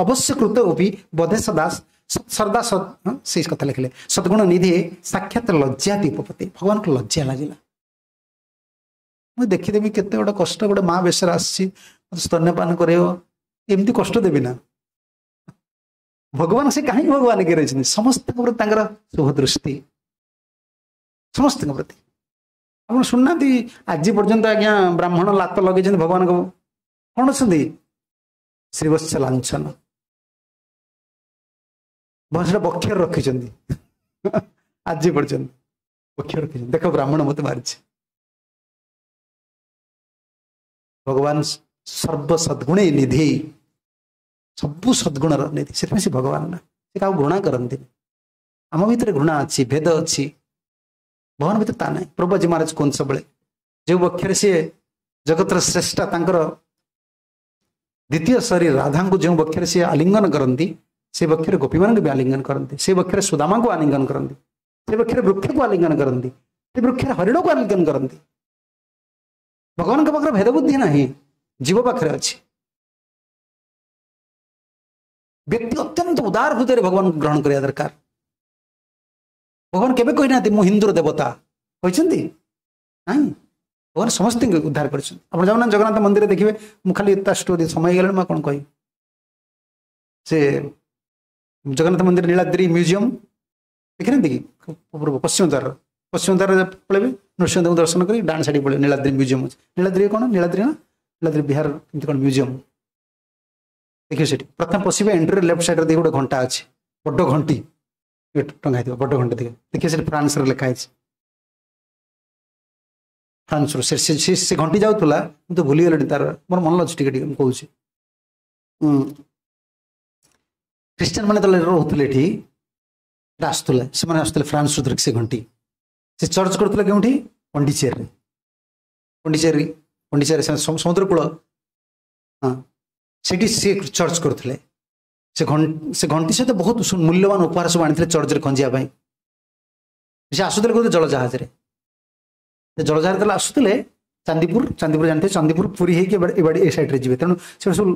ଅବଶ୍ୟ କୃତ ଅପି ବଧେ ସଦା ସର୍ଦା ସେଇ କଥା ଲେଖିଲେ, ସଦ୍ଗୁଣ ନିଧି ସାକ୍ଷାତ ଲଜ୍ଜାତି ଉପପତି। ଭଗବାନଙ୍କୁ ଲଜ୍ଜା ଲାଗିଲା, ମୁଁ ଦେଖିଦେବି କେତେ ଗୋଟେ କଷ୍ଟ, ଗୋଟେ ମା ବେଶରେ ଆସିଛି ମତେ ସ୍ତନ୍ୟପାନ କରେଇବ, ଏମିତି କଷ୍ଟ ଦେବି ନା। ଭଗବାନ ସେ କାହିଁକି ଭଗବାନ ହେଇକି ରହିଛନ୍ତି? ସମସ୍ତଙ୍କ ପ୍ରତି ତାଙ୍କର ଶୁଭ ଦୃଷ୍ଟି, ସମସ୍ତଙ୍କ ପ୍ରତି। ଆପଣ ଶୁଣୁନାହାନ୍ତି ଆଜି ପର୍ଯ୍ୟନ୍ତ ଆଜ୍ଞା ବ୍ରାହ୍ମଣ ଲାତ ଲଗେଇଛନ୍ତି ଭଗବାନଙ୍କ, କଣ ଅଛନ୍ତି? ଶ୍ରୀବତ୍ସ ଲାଞ୍ଛନ, ଭଗବାନ ସେଟା ବକ୍ଷରେ ରଖିଛନ୍ତି ଆଜି ପର୍ଯ୍ୟନ୍ତ, ବକ୍ଷରେ ରଖିଛନ୍ତି। ଦେଖ ବ୍ରାହ୍ମଣ ମତେ ମାରିଛି। ଭଗବାନ ସର୍ବ ସଦ୍ଗୁଣେ ନିଧି, ସବୁ ସଦ୍ଗୁଣର ନିଧି, ସେଥିପାଇଁ ସେ ଭଗବାନ ନା, ସେ କାହାକୁ ଘୃଣା କରନ୍ତିନି। ଆମ ଭିତରେ ଘୃଣା ଅଛି, ଭେଦ ଅଛି, ଭଗବାନ ଭିତରେ ତା ନାହିଁ। ପ୍ରଭୁଜୀ ମହାରାଜ କୁହନ୍ତି ସବୁବେଳେ, ଯେଉଁ ବକ୍ଷରେ ସିଏ ଜଗତର ଶ୍ରେଷ୍ଠ, ତାଙ୍କର ଦ୍ୱିତୀୟ ଶରୀର ରାଧାଙ୍କୁ ଯେଉଁ ବକ୍ଷରେ ସିଏ ଆଲିଙ୍ଗନ କରନ୍ତି, ସେ ବକ୍ଷରେ ଗୋପୀମାନଙ୍କୁ ବି ଆଲିଙ୍ଗନ କରନ୍ତି, ସେ ବକ୍ଷରେ ସୁଦାମାଙ୍କୁ ଆଲିଙ୍ଗନ କରନ୍ତି, ସେ ବକ୍ଷରେ ବୃକ୍ଷକୁ ଆଲିଙ୍ଗନ କରନ୍ତି, ସେ ବୃକ୍ଷରେ ହରିଣକୁ ଆଲିଙ୍ଗନ କରନ୍ତି। ଭଗବାନଙ୍କ ପାଖରେ ଭେଦବୁଦ୍ଧି ନାହିଁ, ଜୀବ ପାଖରେ ଅଛି। ବ୍ୟକ୍ତି ଅତ୍ୟନ୍ତ ଉଦାର ହୃଦୟରେ ଭଗବାନଙ୍କୁ ଗ୍ରହଣ କରିବା ଦରକାର। ଭଗବାନ କେବେ କହିନାହାନ୍ତି ମୁଁ ହିନ୍ଦୁର ଦେବତା, କହିଛନ୍ତି ନାଇଁ। ଭଗବାନ ସମସ୍ତଙ୍କୁ ଉଦ୍ଧାର କରିଛନ୍ତି। ଆପଣ ଯାଉନାହାନ୍ତି ଜଗନ୍ନାଥ ମନ୍ଦିର ଦେଖିବେ, ମୁଁ ଖାଲି ତା ଷ୍ଟୋରି ସମୟ ହେଇଗଲାଣି ମୁଁ କଣ କହିବି। ସେ ଜଗନ୍ନାଥ ମନ୍ଦିର ନୀଳାଦ୍ରି ମ୍ୟୁଜିୟମ ଦେଖିନାହାନ୍ତି କି? ପଶ୍ଚିମ ଦ୍ୱାର, ପଶ୍ଚିମ ଦ୍ୱାରରେ ପଳେଇବେ, ନୃସିଂହଦେବଙ୍କୁ ଦର୍ଶନ କରି ଡାହାଣ ସାଇଡ୍ ପଳେଇବେ, ନୀଳାଦ୍ରି ମ୍ୟୁଜିୟମ ଅଛି। ନୀଳାଦ୍ରି କଣ? ନୀଳାଦ୍ରି ନା ନୀଳାଦ୍ରି ବିହାର ଏମିତି କଣ ମ୍ୟୁଜିୟମ ଦେଖିବେ। ସେଠି ପ୍ରଥମେ ପଶିବେ, ଏଣ୍ଟ୍ରି ଲେଫ୍ଟ ସାଇଡ୍ରେ ଦେଖିବେ ଗୋଟେ ଘଣ୍ଟା ଅଛି, ବଡ଼ ଘଣ୍ଟି ଟଙ୍ଗା ହେଇଥିବ, ବଡ଼ ଘଣ୍ଟା ଦେଖିବେ, ଦେଖିବେ ସେଠି ଫ୍ରାନ୍ସରେ ଲେଖା ହେଇଛି, ଫ୍ରାନ୍ସରୁ ସେ ସେ ଘଣ୍ଟି ଯାଉଥିଲା, ମୁଁ ତ ଭୁଲିଗଲିଣି ତାର, ମୋର ମନେ ଅଛି ଟିକେ ଟିକେ ମୁଁ କହୁଛି। ଖ୍ରୀଷ୍ଟିଆନ ମାନେ ଯେତେବେଳେ ରହୁଥିଲେ ଏଠି, ଆସୁଥିଲେ, ସେମାନେ ଆସୁଥିଲେ ଫ୍ରାନ୍ସରୁ ଧରିକି ସେ ଘଣ୍ଟି। ସେ ଚର୍ଚ୍ଚ କରୁଥିଲେ କେଉଁଠି? ପଣ୍ଡିଚେରୀରେ। ପଣ୍ଡିଚେରୀ, ପଣ୍ଡିଚେରୀ ସମୁଦ୍ର କୂଳ, ହଁ ସେଠି ସେ ଚର୍ଚ୍ଚ କରୁଥିଲେ। ସେ ସେ ଘଣ୍ଟି ସହିତ ବହୁତ ମୂଲ୍ୟବାନ ଉପହାର ସବୁ ଆଣିଥିଲେ ଚର୍ଚ୍ଚରେ ଖଞ୍ଜିବା ପାଇଁ। ସେ ଆସୁଥିଲେ କୋଉଠି? ଜଳଜାହାଜରେ। ସେ ଜଳଜାହାଜ ଯେତେବେଳେ ଆସୁଥିଲେ ଚାନ୍ଦିପୁର, ଚାନ୍ଦିପୁର ଜାଣିଥିବେ, ଚାନ୍ଦିପୁର ପୁରୀ ହେଇକି ଏବାଡ଼ି ଏ ସାଇଡ୍ରେ ଯିବେ। ତେଣୁ ସେ ସବୁ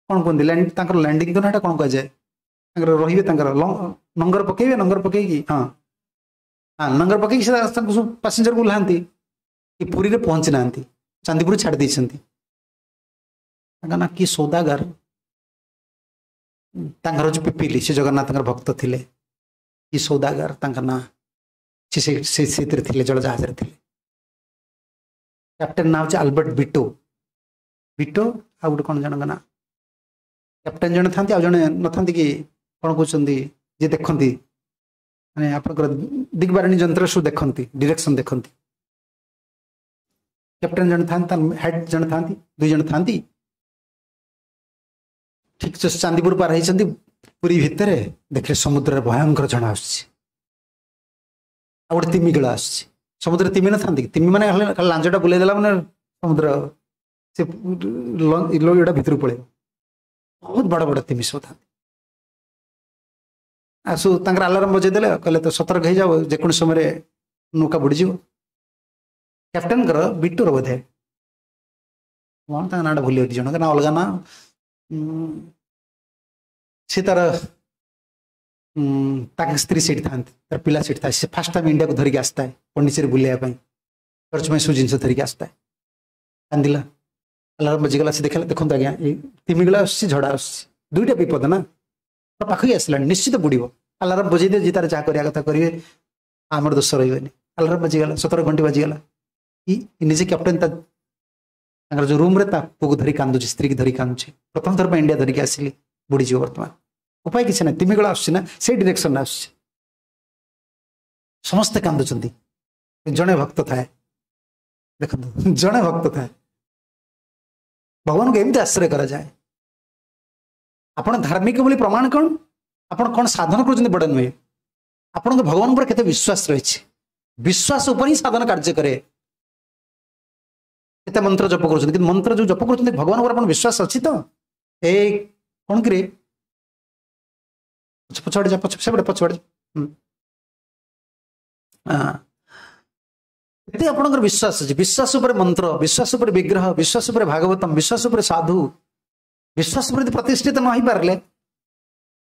କଣ କୁହନ୍ତି, ତାଙ୍କର ଲ୍ୟାଣ୍ଡିଂ ତ ନା ଏଟା କଣ କୁହାଯାଏ, ତାଙ୍କର ରହିବେ, ତାଙ୍କର ନଙ୍ଗର ପକେଇବେ, ନଙ୍ଗର ପକେଇକି, ହଁ ହଁ ନଙ୍ଗର ପକେଇକି ସେ ତାଙ୍କୁ ସବୁ ପାସେଞ୍ଜରକୁ ଓହ୍ଲାନ୍ତି। କି ପୁରୀରେ ପହଞ୍ଚି ନାହାନ୍ତି, ଚାନ୍ଦିପୁର ଛାଡ଼ି ଦେଇଛନ୍ତି। ତାଙ୍କ ନାଁ କି ସୌଦାଗର, ତାଙ୍କର ହଉଛି ପିପିଲି, ସେ ଜଗନ୍ନାଥଙ୍କର ଭକ୍ତ ଥିଲେ। କି ସୌଦାଗର ତାଙ୍କ ନାଁ, ସେ ସେଥିରେ ଥିଲେ, ଜଳଜାହାଜରେ ଥିଲେ। କ୍ୟାପ୍ଟେନ ନାଁ ହଉଛି ଆଲବର୍ଟ ବିଟୋ, ବିଟୋ ଆଉ ଗୋଟେ କଣ ଜଣଙ୍କ ନାଁ, କ୍ୟାପ୍ଟେନ ଜଣେ ଥାନ୍ତି ଆଉ ଜଣେ ନଥାନ୍ତି କି କଣ କହୁଛନ୍ତି, ଯିଏ ଦେଖନ୍ତି ମାନେ ଆପଣଙ୍କର ଦିଗବାରିଣୀ ଯନ୍ତ୍ର ସବୁ ଦେଖନ୍ତି, ଡିରେକ୍ସନ ଦେଖନ୍ତି। କ୍ୟାପ୍ଟେନ ଜଣେ ଥାନ୍ତି, ହେଡ୍ ଜଣେ ଥାନ୍ତି, ଦୁଇ ଜଣ ଥାନ୍ତି। ଠିକ ଚାନ୍ଦିପୁର ପାର ହେଇଛନ୍ତି, ପୁରୀ ଭିତରେ ଦେଖିଲେ ସମୁଦ୍ରରେ ଭୟଙ୍କର ଝଡ଼ ଆସୁଛି, ଆଉ ଗୋଟେ ତିମିଗିଳ ଆସୁଛି। ସମୁଦ୍ରରେ ତିମି ନଥାନ୍ତି କି? ତିମି ମାନେ ଖାଲି ଲାଞ୍ଜଟା ବୁଲେଇ ଦେଲା ମାନେ ସମୁଦ୍ର ସେ ଏଇଟା ଭିତରକୁ ପଳେଇବ। ବହୁତ ବଡ଼ ବଡ଼ ତିମି ସବୁ ଥାନ୍ତି। ଆସୁ ତାଙ୍କର ଆଲାରାମ ବଜେଇ ଦେଲେ, କହିଲେ ତ ସତର୍କ ହେଇଯାଅ, ଯେକୌଣସି ସମୟରେ ନୌକା ବୁଡ଼ିଯିବ। କ୍ୟାପ୍ଟେନଙ୍କର ବିଟୁର ବୋଧେ କଣ ତାଙ୍କ ନାଁଟା ଭୁଲି ଯାଉଛି, ଜଣଙ୍କ ନା ଅଲଗା ନାଁ। ସେ ତାର ତାଙ୍କ ସ୍ତ୍ରୀ ସେଇଠି ଥାନ୍ତି, ତାର ପିଲା ସେଇଠି ଥାଏ। ସେ ଫାର୍ଷ୍ଟ ଟାଇମ୍ ଇଣ୍ଡିଆକୁ ଧରିକି ଆସିଥାଏ ପଣ୍ଡିଚେରୀ ବୁଲିବା ପାଇଁ, ଚର୍ଚ୍ଚ ପାଇଁ ସବୁ ଜିନିଷ ଧରିକି ଆସିଥାଏ। କାନ୍ଦିଲା, ଆଲାରାମ ବାଜିଗଲା, ସେ ଦେଖିଲା, ଦେଖନ୍ତୁ ଆଜ୍ଞା ଏଇ ତିମିଗଲା ଆସୁଛି, ଝଡ଼ା ଆସୁଛି, ଦୁଇଟା ବିପଦ ନା ପାଖକୁ ଆସିଲାଣି, ନିଶ୍ଚିତ ବୁଡ଼ିବ। ଆଲାରାମ ବଜେଇ ଦିଏ, ଯିଏ ତାର ଯାହା କରିବା କଥା କରିବେ, ଆମର ଦୋଷ ରହିବନି। ଆଲାରାମ ବାଜିଗଲା, ସତର ଘଣ୍ଟି ବାଜିଗଲା। ନିଜେ କ୍ୟାପ୍ଟେନ ତା ତାଙ୍କର ଯୋଉ ରୁମରେ ତା ପୁଅକୁ ଧରି କାନ୍ଦୁଛି, ସ୍ତ୍ରୀକି ଧରି କାନ୍ଦୁଛି, ପ୍ରଥମ ଥର ପାଇଁ ଇଣ୍ଡିଆ ଧରିକି ଆସିଲି, ବୁଡ଼ିଯିବ ବର୍ତ୍ତମାନ, ଉପାୟ କିଛି ନାହିଁ, ତିମିଗଳା ଆସୁଛି ନା ସେଇ ଡିରେକ୍ସନରେ ଆସୁଛି। ସମସ୍ତେ କାନ୍ଦୁଛନ୍ତି, ଜଣେ ଭକ୍ତ ଥାଏ, ଦେଖନ୍ତୁ ଜଣେ ଭକ୍ତ ଥାଏ। ଭଗବାନଙ୍କୁ ଏମିତି ଆଶ୍ରୟ କରାଯାଏ। ଆପଣ ଧାର୍ମିକ ବୋଲି ପ୍ରମାଣ କଣ? ଆପଣ କଣ ସାଧନ କରୁଛନ୍ତି ବଡ଼ ନୁହେଁ, ଆପଣଙ୍କ ଭଗବାନ ଉପରେ କେତେ ବିଶ୍ୱାସ ରହିଛି, ବିଶ୍ୱାସ ଉପରେ ହିଁ ସାଧନ କାର୍ଯ୍ୟ କରେ। କେତେ ମନ୍ତ୍ର ଜପ କରୁଛନ୍ତି, କିନ୍ତୁ ମନ୍ତ୍ର ଯୋଉ ଜପ କରୁଛନ୍ତି ଭଗବାନ ଉପରେ ଆପଣ ବିଶ୍ୱାସ ଅଛି ତ? ଏ କଣ କିରେ, ପଛଆଡ଼େ ଯା, ପଛ ସେପଟେ ପଛଆଡ଼େ। ହଁ, କେତେ ଆପଣଙ୍କର ବିଶ୍ୱାସ ଅଛି? ବିଶ୍ୱାସ ଉପରେ ମନ୍ତ୍ର, ବିଶ୍ୱାସ ଉପରେ ବିଗ୍ରହ, ବିଶ୍ୱାସ ଉପରେ ଭାଗବତମ, ବିଶ୍ୱାସ ଉପରେ ସାଧୁ, ବିଶ୍ୱାସ ଉପରେ ଯଦି ପ୍ରତିଷ୍ଠିତ ନ ହେଇପାରିଲେ,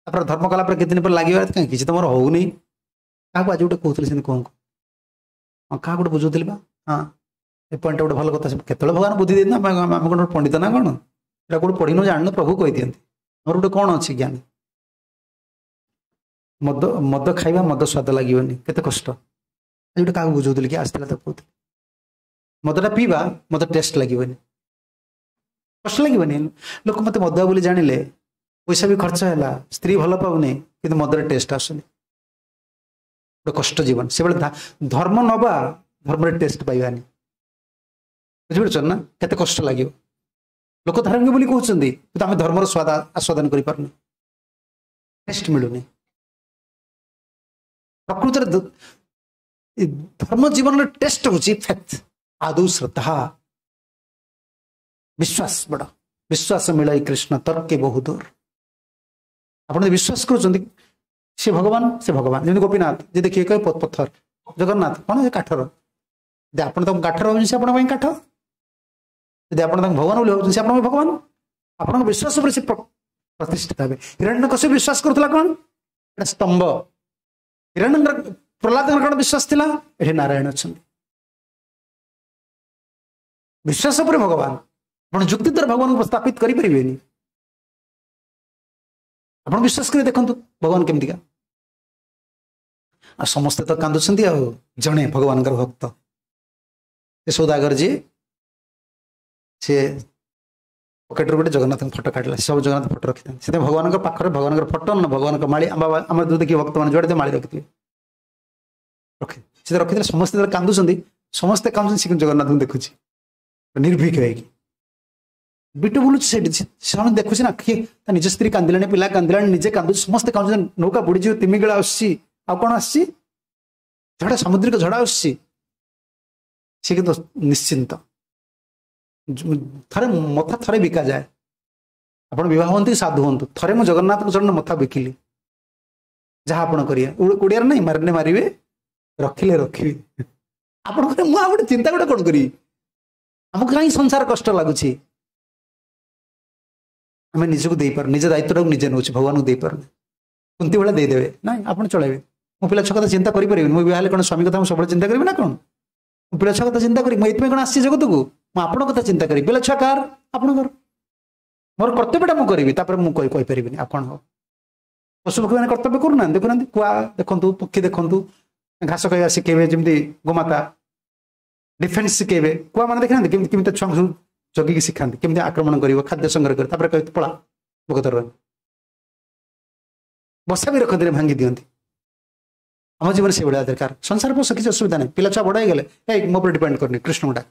ତାପରେ ଧର୍ମ କଲା ପରେ କେତେ ଦିନ ପରେ ଲାଗିବ କାହିଁ କିଛି ତମର ହଉନି। କାହାକୁ ଆଜି ଗୋଟେ କହୁଥିଲି ସେମିତି କଣ, ହଁ କାହାକୁ ଗୋଟେ ବୁଝଉଥିଲି ବା, ହଁ ଏ ପଏଣ୍ଟଟା ଗୋଟେ ଭଲ କଥା। କେତେବେଳେ ଭଗବାନ ବୁଦ୍ଧି ଦିଅନ୍ତି, ଆମେ ଆମେ କଣ ପଣ୍ଡିତ ନା କଣ, ଏଇଟା କୋଉଠି ପଢିନୁ ଜାଣିନୁ, ପ୍ରଭୁ କହିଦିଅନ୍ତି। ଆମର ଗୋଟେ କଣ ଅଛି ଜ୍ଞାନ? ମଦ ମଦ ଖାଇବା, ମଦ ସ୍ୱାଦ ଲାଗିବନି, କେତେ କଷ୍ଟ। ଆଜି ଗୋଟେ କାହାକୁ ବୁଝଉଥିଲି, କି ଆସିଥିଲା ତାକୁ କହୁଥିଲି, ମଦଟା ପିଇବା, ମଦ ଟେଷ୍ଟ ଲାଗିବନି, କଷ୍ଟ ଲାଗିବନି। ଲୋକ ମତେ ମଦୁଆ ବୋଲି ଜାଣିଲେ, ପଇସା ବି ଖର୍ଚ୍ଚ ହେଲା, ସ୍ତ୍ରୀ ଭଲ ପାଉନି, କିନ୍ତୁ ମଦର ଟେଷ୍ଟ ଆସୁନି, ଗୋଟେ କଷ୍ଟ ଜୀବନ। ସେବେଳେ ଧର୍ମ ନବା, ଧର୍ମରେ ଟେଷ୍ଟ ପାଇବାନି, ବୁଝିପାରୁଛ ନା କେତେ କଷ୍ଟ ଲାଗିବ। ଲୋକ ଧାର୍ମିକ ବୋଲି କହୁଛନ୍ତି, କିନ୍ତୁ ଆମେ ଧର୍ମର ସ୍ୱାଦ ଆସ୍ୱାଦନ କରିପାରୁନି, ଟେଷ୍ଟ ମିଳୁନି। ପ୍ରକୃତରେ ଧର୍ମ ଜୀବନର ଟେଷ୍ଟ ହଉଛି ଫେଥ୍, ଆଦୌ ଶ୍ରଦ୍ଧା, ବିଶ୍ୱାସ। ବଡ଼ ବିଶ୍ୱାସ ମିଳାଇ କୃଷ୍ଣ ତର୍କେ ବହୁ ଦୂର। ଆପଣ ଯଦି ବିଶ୍ୱାସ କରୁଛନ୍ତି ସେ ଭଗବାନ, ସେ ଭଗବାନ। ଯେମିତି ଗୋପୀନାଥ, ଯେ ଦେଖିବେ କହିବେ ପଥର, ଜଗନ୍ନାଥ କଣ ସେ କାଠର। ଯଦି ଆପଣ ତାଙ୍କୁ କାଠର ଭାବୁଛନ୍ତି, ସେ ଆପଣଙ୍କ ପାଇଁ କାଠ। ଯଦି ଆପଣ ତାଙ୍କୁ ଭଗବାନ ବୋଲି ଭାବୁଛନ୍ତି, ସେ ଆପଣଙ୍କ ଭଗବାନ। ଆପଣଙ୍କ ବିଶ୍ୱାସ ଉପରେ ସେ ପ୍ରତିଷ୍ଠିତ ହେବେ। ହିରଣ୍ୟକଶ୍ୟପ ବିଶ୍ୱାସ କରୁଥିଲା କଣ? ଏଟା ସ୍ତମ୍ଭ। ହିରଣ୍ୟ ପ୍ରହ୍ଲାଦଙ୍କର କଣ ବିଶ୍ୱାସ ଥିଲା? ଏଠି ନାରାୟଣ ଅଛନ୍ତି। ବିଶ୍ୱାସ ଉପରେ ଭଗବାନ। ଆପଣ ଯୁକ୍ତି ଦ୍ୱାରା ଭଗବାନଙ୍କୁ ସ୍ଥାପିତ କରିପାରିବେନି। ଆପଣ ବିଶ୍ୱାସ କରି ଦେଖନ୍ତୁ ଭଗବାନ କେମିତିକା। ଆଉ ସମସ୍ତେ ତ କାନ୍ଦୁଛନ୍ତି, ଆଉ ଜଣେ ଭଗବାନଙ୍କର ଭକ୍ତ, ସେ ସୌଦାଗର ଯିଏ, ସେ ପକେଟରୁ ଗୋଟେ ଜଗନ୍ନାଥଙ୍କ ଫଟୋ କାଢ଼ିଲା। ସେ ସବୁ ଜଗନ୍ନାଥ ଫଟୋ ରଖିଥାନ୍ତି। ସେଥିପାଇଁ ଭଗବାନଙ୍କ ପାଖରେ ଭଗବାନଙ୍କର ଫଟୋ ନା ଭଗବାନଙ୍କ ମାଳି, ଆମ ଆମର ଯୋଉ ଦେଖିବେ ଭକ୍ତମାନେ ଯୁଆଡ଼େ ମାଳି ରଖିଥିବେ, ରଖି ସେ ରଖିଥିଲେ। ସମସ୍ତେ ଯେତେବେଳେ କାନ୍ଦୁଛନ୍ତି, ସମସ୍ତେ କାନ୍ଦୁଛନ୍ତି, ସେ କିନ୍ତୁ ଜଗନ୍ନାଥଙ୍କୁ ଦେଖୁଛି ନିର୍ଭୀକ ହେଇକି। ବିଟୁ ବୁଲୁଛି ସେଇଠି, ସେମାନେ ଦେଖୁଛି ନା କିଏ ତା ନିଜ ସ୍ତ୍ରୀ କାନ୍ଦିଲାଣି, ପିଲା କାନ୍ଦିଲାଣି, ନିଜେ କାନ୍ଦୁଛି, ସମସ୍ତେ କାନ୍ଦୁଛନ୍ତି, ନୌକା ବୁଡ଼ିଯିବ, ତିମିଗିଳା ଆସୁଛି, ଆଉ କଣ ଆସୁଛି, ଝଡ଼ା, ସାମୁଦ୍ରିକ ଝଡ଼ା ଆସୁଛି। ସେ କିନ୍ତୁ ନିଶ୍ଚିନ୍ତ। ଥରେ ମଥା ଥରେ ବିକାଯାଏ, ଆପଣ ବିବାହ ହୁଅନ୍ତୁ କି ସାଧୁ ହୁଅନ୍ତୁ, ଥରେ ମୁଁ ଜଗନ୍ନାଥଙ୍କ ଚରଣ ମଥା ବିକିଲି, ଯାହା ଆପଣ କରିବେ। ଓଡ଼ିଆରେ ନାଇଁ, ମାରିଲେ ମାରିବେ, ରଖିଲେ ରଖିବେ। ଆପଣ ମୁଁ ଆଉ ଗୋଟେ ଚିନ୍ତା ଗୋଟେ କଣ କରିବି? ଆମକୁ କାହିଁ ସଂସାର କଷ୍ଟ ଲାଗୁଛି? ଆମେ ନିଜକୁ ଦେଇପାରୁନି, ନିଜ ଦାୟିତ୍ୱଟାକୁ ନିଜେ ନେଉଛୁ, ଭଗବାନଙ୍କୁ ଦେଇପାରୁନି। କୁନ୍ତି ଭଳିଆ ଦେଇଦେବେ, ନାଇଁ ଆପଣ ଚଳାଇବେ। ମୁଁ ପିଲା ଛୁଆ କଥା ଚିନ୍ତା କରିପାରିବିନି। ମୁଁ ବିବାହ ହେଲେ କଣ ସ୍ୱାମୀ କଥା ମୁଁ ସବୁବେଳେ ଚିନ୍ତା କରିବି ନା କଣ? ମୁଁ ପିଲା ଛୁଆ କଥା ଚିନ୍ତା କରିବି? ମୁଁ ଏଇଥିପାଇଁ କଣ ଆସିଛି ଜଗତକୁ? ମୁଁ ଆପଣଙ୍କ କଥା ଚିନ୍ତା କରିବି। ପିଲା ଛୁଆ କାହାର? ଆପଣଙ୍କର। ମୋର କର୍ତ୍ତବ୍ୟଟା ମୁଁ କରିବି, ତାପରେ ମୁଁ କହିପାରିବିନି ଆଉ କଣ ହବ। ପଶୁପକ୍ଷୀ ମାନେ କର୍ତ୍ତବ୍ୟ କରୁନାହାନ୍ତି? ଦେଖୁନାହାନ୍ତି, କୁଆ ଦେଖନ୍ତୁ, ପକ୍ଷୀ ଦେଖନ୍ତୁ, ଘାସ ଖାଇବା ଶିଖେଇବେ, ଯେମିତି ଗୋମାତା ଡିଫେନ୍ସ ଶିଖେଇବେ। କୁଆ ମାନେ ଦେଖିନାହାନ୍ତି କେମିତି କେମିତି ଛୁଆଙ୍କୁ ସବୁ ଜଗିକି ଶିଖାନ୍ତି, କେମିତି ଆକ୍ରମଣ କରିବ, ଖାଦ୍ୟ ସଂଗ୍ରହ କରିବ, ତାପରେ କହିବେ ପଳା ଭୋକତର। ବସା ବି ରଖନ୍ତିନି, ଭାଙ୍ଗି ଦିଅନ୍ତି। ଆମ ଜୀବନ ସେଇଭଳିଆ ଦରକାର। ସଂସାର ପୋଷ କିଛି ଅସୁବିଧା ନାହିଁ। ପିଲା ଛୁଆ ବଡ଼ ହେଇଗଲେ, ଏଇ ମୋ ଉପରେ ଡିପେଣ୍ଡ କରୁନି, କୃଷ୍ଣଙ୍କୁ ଡାକ।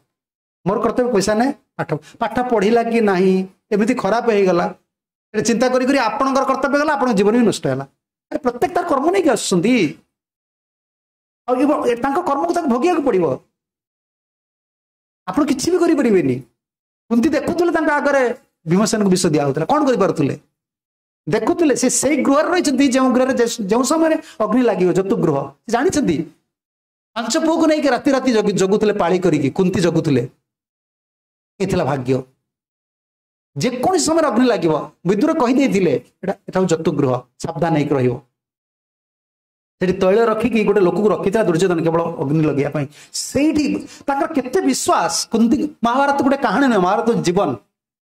ମୋର କର୍ତ୍ତବ୍ୟ ପଇସା ନାହିଁ, ପାଠ ପାଠ ପଢିଲା କି ନାହିଁ, ଏମିତି ଖରାପ ହେଇଗଲା, ଚିନ୍ତା କରି କରି ଆପଣଙ୍କର କର୍ତ୍ତବ୍ୟ ଗଲା, ଆପଣଙ୍କ ଜୀବନ ବି ନଷ୍ଟ ହେଲା। ଆରେ ପ୍ରତ୍ୟେକ ତାର କର୍ମ ନେଇକି ଆସୁଛନ୍ତି, ଆଉ ତାଙ୍କ କର୍ମକୁ ତାକୁ ଭୋଗିବାକୁ ପଡିବ। ଆପଣ କିଛି ବି କରିପାରିବେନି। କୁନ୍ତି ଦେଖୁଥିଲେ ତାଙ୍କ ଆଗରେ ଭୀମସେନକୁ ବିଷ ଦିଆ ହଉଥିଲା, କଣ କରିପାରୁଥିଲେ? ଦେଖୁଥିଲେ ସେ ସେଇ ଗୃହରେ ରହିଛନ୍ତି ଯେଉଁ ଗୃହରେ ଯେଉଁ ସମୟରେ ଅଗ୍ନି ଲାଗିବ ଜତୁ ଗୃହ ସେ ଜାଣିଛନ୍ତି ପାଞ୍ଚ ପୁଅକୁ ନେଇକି ରାତି ରାତି ଜଗୁଥିଲେ ପାଳି କରିକି କୁନ୍ତି ଜଗୁଥିଲେ ଏ ଥିଲା ଭାଗ୍ୟ ଯେକୌଣସି ସମୟରେ ଅଗ୍ନି ଲାଗିବ ବିଦୁର କହିଦେଇଥିଲେ ଏଟା ଏଟା ହଉଛି ଜତୁ ଗୃହ ସାବଧାନ ହେଇକି ରହିବ ସେଠି ତୈଳ ରଖିକି ଗୋଟେ ଲୋକକୁ ରଖିଥିଲା ଦୁର୍ଯ୍ୟୋଧନ କେବଳ ଅଗ୍ନି ଲଗେଇବା ପାଇଁ ସେଇଠି ତାଙ୍କର କେତେ ବିଶ୍ୱାସ କୁନ୍ତି ମହାଭାରତ ଗୋଟେ କାହାଣୀ ନୁହେଁ ମହାଭାରତ ଜୀବନ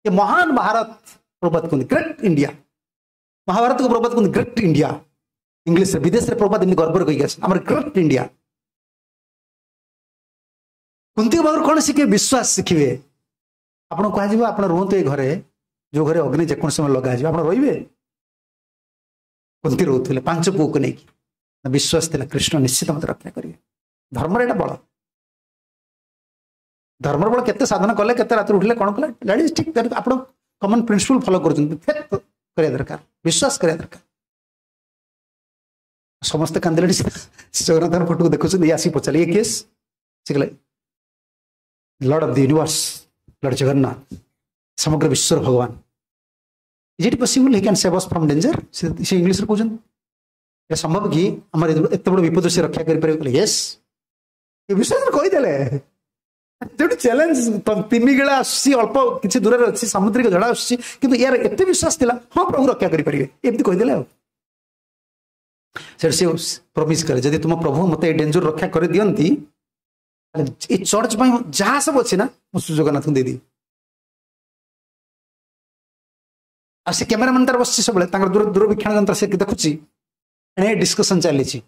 ଏ ମହାନ ଭାରତ ପ୍ରଭୁପାଦ କୁହନ୍ତି ଗ୍ରେଟ୍ ଇଣ୍ଡିଆ ମହାଭାରତକୁ ପ୍ରଭୁପାଦ କୁହନ୍ତି ଗ୍ରେଟ୍ ଇଣ୍ଡିଆ ଇଂଲିଶରେ ବିଦେଶରେ ପ୍ରଭୁପାଦ ଏମିତି ଗର୍ବରେ କହିକି ଆସନ୍ତି ଆମର ଗ୍ରେଟ୍ ଇଣ୍ଡିଆ କୁନ୍ତିଙ୍କ ପାଖରୁ କ'ଣ ଶିଖିବେ ବିଶ୍ୱାସ ଶିଖିବେ ଆପଣଙ୍କୁ କୁହାଯିବ ଆପଣ ରୁହନ୍ତୁ ଏ ଘରେ ଯୋଉ ଘରେ ଅଗ୍ନି ଯେକୌଣସି ସମୟ ଲଗାଯିବ ଆପଣ ରହିବେ କୁନ୍ତି ରହୁଥିଲେ ପାଞ୍ଚ ପୁଅକୁ ନେଇକି ବିଶ୍ୱାସ ଥିଲା କୃଷ୍ଣ ନିଶ୍ଚିତ ମତେ ରକ୍ଷା କରିବେ ଧର୍ମର ଏଇଟା ବଳ ଧର୍ମର ବଳ କେତେ ସାଧନ କଲେ କେତେ ରାତିରେ ଉଠିଲେ କ'ଣ କଲେ that is ଠିକ୍ ଆପଣ କମନ୍ ପ୍ରିନ୍ସିପଲ୍ ଫଲୋ କରୁଛନ୍ତି ଫେଥ୍ କରିବା ଦରକାର ବିଶ୍ୱାସ କରିବା ଦରକାର ସମସ୍ତେ କାନ୍ଦିଲେଣି ଜଗନ୍ନାଥଙ୍କ ଫଟୋକୁ ଦେଖୁଛନ୍ତି ଇଏ ଆସିକି ପଚାରିଲେ ଇଏ କେସ୍ ସେ କହିଲେ Lord of the universe Lord Jagannath ସମଗ୍ର ବିଶ୍ୱର ଭଗବାନ Is it possible he can save us from danger ସେ ଇଂଲିଶରେ କହୁଛନ୍ତି ଏଟା ସମ୍ଭବ କି ଆମର ଏତେ ବଡ଼ ବିପଦ ସେ ରକ୍ଷା କରିପାରିବ କହିଲେ ୟେସ୍ ଏ ବିଶ୍ୱାସରେ କହିଦେଲେ ଯୋଉଠି ଚ୍ୟାଲେଞ୍ଜ ତିମିଗିଳା ଆସୁଛି ଅଳ୍ପ କିଛି ଦୂରରେ ଅଛି ସାମୁଦ୍ରିକ ଝଡ଼ ଆସୁଛି କିନ୍ତୁ ୟାର ଏତେ ବିଶ୍ୱାସ ଥିଲା ହଁ ପ୍ରଭୁ ରକ୍ଷା କରିପାରିବେ ଏମିତି କହିଦେଲେ ଆଉ ସେଠୁ ସେ ପ୍ରମିସ୍ କଲେ ଯଦି ତୁମ ପ୍ରଭୁ ମତେ ଏ ଡେଞ୍ଜର ରକ୍ଷା କରିଦିଅନ୍ତି ଏ ଚର୍ଚ୍ଚ ପାଇଁ ଯାହା ସବୁ ଅଛି ନା ମୁଁ ଜଗନ୍ନାଥଙ୍କୁ ଦେଇଦେବି ଆଉ ସେ କ୍ୟାମେରାମ୍ୟାନ୍ ତାର ବସିଛି ସବୁବେଳେ ତାଙ୍କର ଦୂର ଦୂରବୀକ୍ଷଣ ଯନ୍ତ୍ର ସେ ଦେଖୁଛି ଏଣେ ଡିସ୍କସନ ଚାଲିଛି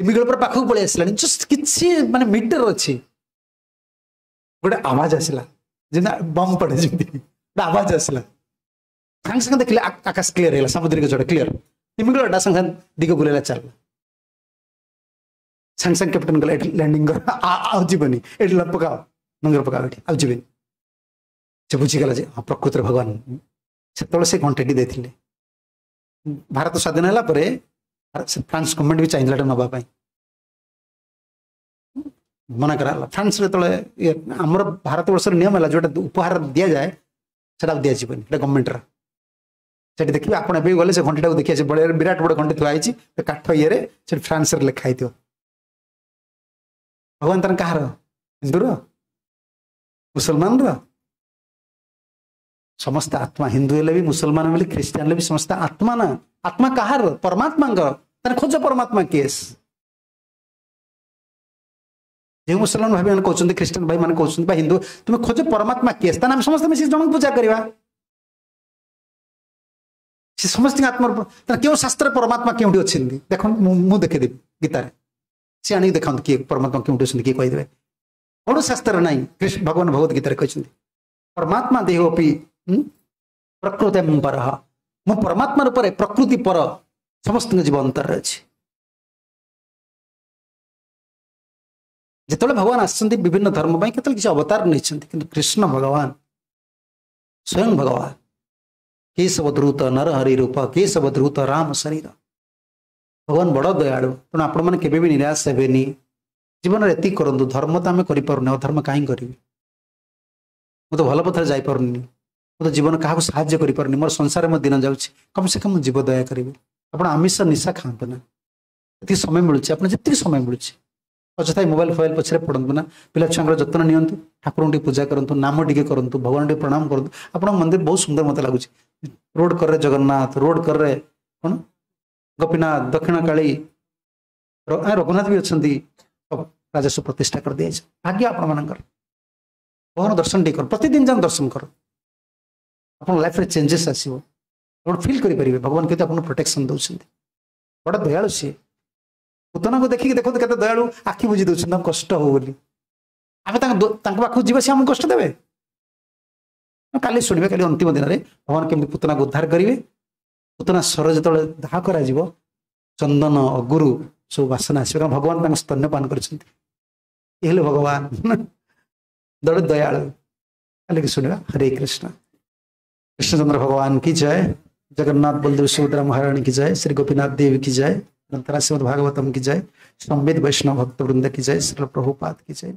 ତିମିଗିଳ ପୁରା ପାଖକୁ ପଳେଇ ଆସିଲାଣି ଜଷ୍ଟ କିଛି ମାନେ ମିଟର ଅଛି ଗୋଟେ ଆୱାଜ ଆସିଲା ଯେମିତି ବମ୍ ପଡେ ଯେମିତି ଗୋଟେ ଆୱାଜ ଆସିଲା ସାଙ୍ଗେ ସାଙ୍ଗେ ଦେଖିଲେ ଆକାଶ କ୍ଲିୟର ହେଇଗଲା ସାମୁଦ୍ରିକ ଝଡ଼ କ୍ଲିୟର ତିମିଗିଳଟା ସାଙ୍ଗେ ସାଙ୍ଗେ ଦିଗ ବୁଲେଇଲା ଚାଲିଲା ସାଙ୍ଗେ ସାଙ୍ଗେ କ୍ୟାପ୍ଟେନ ଗଲା ଏଠି ଲ୍ୟାଣ୍ଡିଂ କର ଆଉ ଯିବନି ଏଠି ପକାଅ ନଙ୍ଗର ପକାଅ ଏଠି ଆଉ ଯିବେନି ସେ ବୁଝିଗଲା ଯେ ହଁ ପ୍ରକୃତରେ ଭଗବାନ ସେତେବେଳେ ସେ ଘଣ୍ଟାଟି ଦେଇଥିଲେ ଭାରତ ସ୍ୱାଧୀନ ହେଲା ପରେ ଫ୍ରାନ୍ସ ଗଭର୍ଣ୍ଣମେଣ୍ଟ ବି ଚାହିଁଥିଲା ଏଟା ନେବା ପାଇଁ ମନା କରାଗଲା ଫ୍ରାନ୍ସ ଯେତେବେଳେ ଆମର ଭାରତ ବର୍ଷର ନିୟମ ହେଲା ଯୋଉଟା ଉପହାର ଦିଆଯାଏ ସେଟା ଆଉ ଦିଆଯିବନି ସେଟା ଗଭର୍ଣ୍ଣମେଣ୍ଟର ସେଠି ଦେଖିବେ ଆପଣ ଏବେ ଗଲେ ସେ ଘଣ୍ଟାଟାକୁ ଦେଖିବା ସେ ବଳିଆ ବିରାଟ ବଡ଼ ଘଣ୍ଟି ଥୁଆ ହେଇଛି କାଠ ଇଏରେ ସେଠି ଫ୍ରାନ୍ସରେ ଲେଖା ହେଇଥିବ ଭଗବାନ ତାର କାହାର ହିନ୍ଦୁର ମୁସଲମାନର ସମସ୍ତେ ଆତ୍ମା ହିନ୍ଦୁ ହେଲେ ବି ମୁସଲମାନ ହେଲେ ଖ୍ରୀଷ୍ଟିଆନ ହେଲେ ବି ସମସ୍ତେ ଆତ୍ମା ନା ଆତ୍ମା କାହାର ପରମାତ୍ମାଙ୍କର ତାର ଖୋଜ ପରମାତ୍ମା କିଏ ଯେଉଁ ମୁସଲମାନ ଭାଇ ମାନେ କହୁଛନ୍ତି ଖ୍ରୀଷ୍ଟିଆନ ଭାଇ ମାନେ କହୁଛନ୍ତି ବା ହିନ୍ଦୁ ତୁମେ ଖୋଜ ପରମାତ୍ମା କିଏ ତାହେଲେ ଆମେ ସମସ୍ତେ ମିଶି ଜଣଙ୍କୁ ପୂଜା କରିବା ସେ ସମସ୍ତଙ୍କ ଆତ୍ମାର ତାହେଲେ କେଉଁ ଶାସ୍ତ୍ରରେ ପରମାତ୍ମା କେଉଁଠି ଅଛନ୍ତି ଦେଖନ୍ତୁ ମୁଁ ମୁଁ ଦେଖେଇଦେବି ଗୀତାରେ ସେ ଆଣିକି ଦେଖାନ୍ତୁ କିଏ ପରମାତ୍ମା କେଉଁଠି ଅଛନ୍ତି କିଏ କହିଦେବେ କୌଣସି ଶାସ୍ତ୍ରରେ ନାହିଁ କୃଷ୍ଣ ଭଗବାନ ଭଗବତ ଗୀତାରେ କହିଛନ୍ତି ପରମାତ୍ମା ଦେହୋପି ପ୍ରକୃତି ପରଃ ମୁଁ ପରମାତ୍ମା ରୂପରେ ପ୍ରକୃତି ପର ସମସ୍ତଙ୍କ ଜୀବ ଅନ୍ତରରେ ଅଛି ଯେତେବେଳେ ଭଗବାନ ଆସିଛନ୍ତି ବିଭିନ୍ନ ଧର୍ମ ପାଇଁ କେତେବେଳେ କିଛି ଅବତାର ନେଇଛନ୍ତି କିନ୍ତୁ କୃଷ୍ଣ ଭଗବାନ ସ୍ୱୟଂ ଭଗବାନ କେଶବ ଦ୍ରୁତ ନରହରି ରୂପ କେଶବ ଦ୍ରୁତ ରାମ ଶରୀର ଭଗବାନ ବଡ଼ ଦୟାଳୁ ତେଣୁ ଆପଣମାନେ କେବେ ବି ନିରାଶ ହେବେନି ଜୀବନରେ ଏତିକି କରନ୍ତୁ ଧର୍ମ ତ ଆମେ କରିପାରୁନି ଅଧର୍ମ କାହିଁ କରିବି ମୁଁ ତ ଭଲ ପଥରେ ଯାଇପାରୁନି ମୁଁ ତ ଜୀବନ କାହାକୁ ସାହାଯ୍ୟ କରିପାରୁନି ମୋର ସଂସାରରେ ମୋ ଦିନ ଯାଉଛି କମ୍ ସେ କମ୍ ମୁଁ ଜୀବ ଦୟା କରିବି ଆପଣ ଆମିଷ ନିଶା ଖାଆନ୍ତୁ ନା ଏତିକି ସମୟ ମିଳୁଛି ଆପଣ ଯେତିକି ସମୟ ମିଳୁଛି ଅଯଥା ମୋବାଇଲ ଫୋବାଇଲ ପଛରେ ପଡ଼ନ୍ତୁ ନା ପିଲା ଛୁଆଙ୍କର ଯତ୍ନ ନିଅନ୍ତୁ ଠାକୁରଙ୍କୁ ଟିକେ ପୂଜା କରନ୍ତୁ ନାମ ଟିକେ କରନ୍ତୁ ଭଗବାନ ଟିକେ ପ୍ରଣାମ କରନ୍ତୁ ଆପଣଙ୍କ ମନ୍ଦିର ବହୁତ ସୁନ୍ଦର ମୋତେ ଲାଗୁଛି ରୋଡ କରରେ ଜଗନ୍ନାଥ ରୋଡ କରରେ କ'ଣ ଗୋପୀନାଥ ଦକ୍ଷିଣ କାଳୀ ରଘୁନାଥ ବି ଅଛନ୍ତି ରାଜସ୍ୱ ପ୍ରତିଷ୍ଠା କରିଦିଆଯାଇଛି ଭାଗ୍ୟ ଆପଣମାନଙ୍କର ଭଗବାନ ଦର୍ଶନ ଟିକେ କର ପ୍ରତିଦିନ ଯାଅ ଦର୍ଶନ କର ଆପଣଙ୍କ ଲାଇଫରେ ଚେଞ୍ଜେସ୍ ଆସିବ ଆପଣ ଫିଲ୍ କରିପାରିବେ ଭଗବାନ କେତେ ଆପଣଙ୍କୁ ପ୍ରୋଟେକ୍ସନ୍ ଦେଉଛନ୍ତି ବଡ଼ ଦୟାଳୁ ସିଏ ପୁତନାକୁ ଦେଖିକି ଦେଖନ୍ତୁ କେତେ ଦୟାଳୁ ଆଖି ବୁଜି ଦେଉଛନ୍ତି ତାଙ୍କୁ କଷ୍ଟ ହଉ ବୋଲି ଆମେ ତାଙ୍କ ତାଙ୍କ ପାଖକୁ ଯିବା ସେ ଆମକୁ କଷ୍ଟ ଦେବେ କାଲି ଶୁଣିବେ କାଲି ଅନ୍ତିମ ଦିନରେ ଭଗବାନ କେମିତି ପୁତନାକୁ ଉଦ୍ଧାର କରିବେ ପୁତନା ସ୍ୱର ଯେତେବେଳେ ଦାହ କରାଯିବ ଚନ୍ଦନ ଅଗୁରୁ ସବୁ ବାସନା ଆସିବ କାରଣ ଭଗବାନ ତାଙ୍କ ସ୍ତନ୍ୟପାନ କରିଛନ୍ତି ଏ ହେଲେ ଭଗବାନ ଦଳ ଦୟାଳୁ କାଲିକି ଶୁଣିବା ହରେ କୃଷ୍ଣ कृष्णचंद्र भगवान की जय जगन्नाथ बलदेव सुभद्रा महारानी की जय श्री गोपीनाथ देव की जय ग्रंथराज श्रीमद् भागवतम की जय संवेद वैष्णव भक्त वृंद की जय श्री प्रभुपाद की जय।